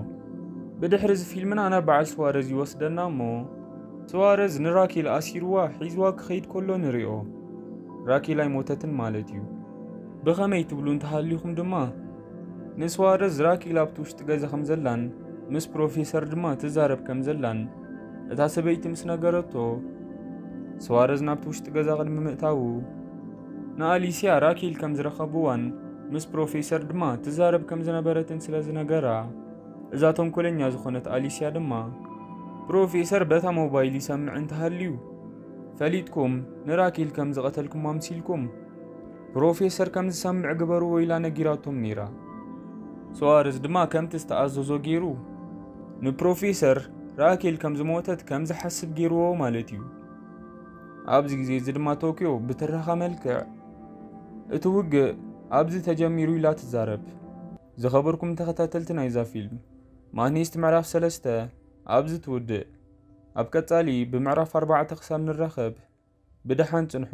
ብድሕሪ እዚ ፊልምና ናብ በዓል ስዋረዝ ይወስደና እሞ፣ ስዋረዝ ንራኬል ኣሲርዋ ሒዝዋ ክኸይድ ከሎ ንሪኦ። ራኬል ኣይሞተትን ማለት እዩ። ብኸመይ ትብሉ እንተሃሊኹም ድማ፣ ንስዋረዝ ራኬል ኣብቲ ውሽጢ ገዛ ከም ዘላን ምስ ፕሮፌሰር ድማ ትዛረብ ከም ዘላን እታ ሰበይቲ ምስ ነገረቶ፣ ስዋረዝ ናብቲ ውሽጢ ገዛ ቅድሚ ምእታዉ፣ ንኣሊስያ ራኬል ከም ዝረኸብዋን ምስ ፕሮፌሰር ድማ ትዛረብ ከም ዝነበረትን ስለ ዝነገራ፣ እዛ ተንኮለኛ ዝኾነት ኣሊስያ ድማ፣ ፕሮፌሰር በታ ሞባይል ይሰምዕ እንተሃልዩ፣ ፈሊጥኩም ንራኬል ከም ዝቐተልኩማ ኣምሲልኩም ፕሮፌሰር ከም ዝሰምዕ ግበርዎ ኢላ ነጊራቶም ነይራ። ስዋረዝ ድማ ከምቲ ዝተኣዘዞ ገይሩ ንፕሮፌሰር ራኬል ከም ዝሞተት ከም ዝሓስብ ገይርዎ ማለት እዩ። ኣብዚ ግዜ እዚ ድማ ቶኪዮ ብትረኻ መልክዕ፣ እቲ ውግእ ኣብዚ ተጀሚሩ ኢላ ትዛረብ። ዝኸበርኩም ተኸታተልቲ ናይዛ ፊልም፣ ማኒስት ምዕራፍ ሰለስተ ኣብዚ ትውድእ። ኣብ ቀጻሊ ብምዕራፍ ኣርባዕተ ክሳብ ንራኸብ ብደሓን ጽንሑ።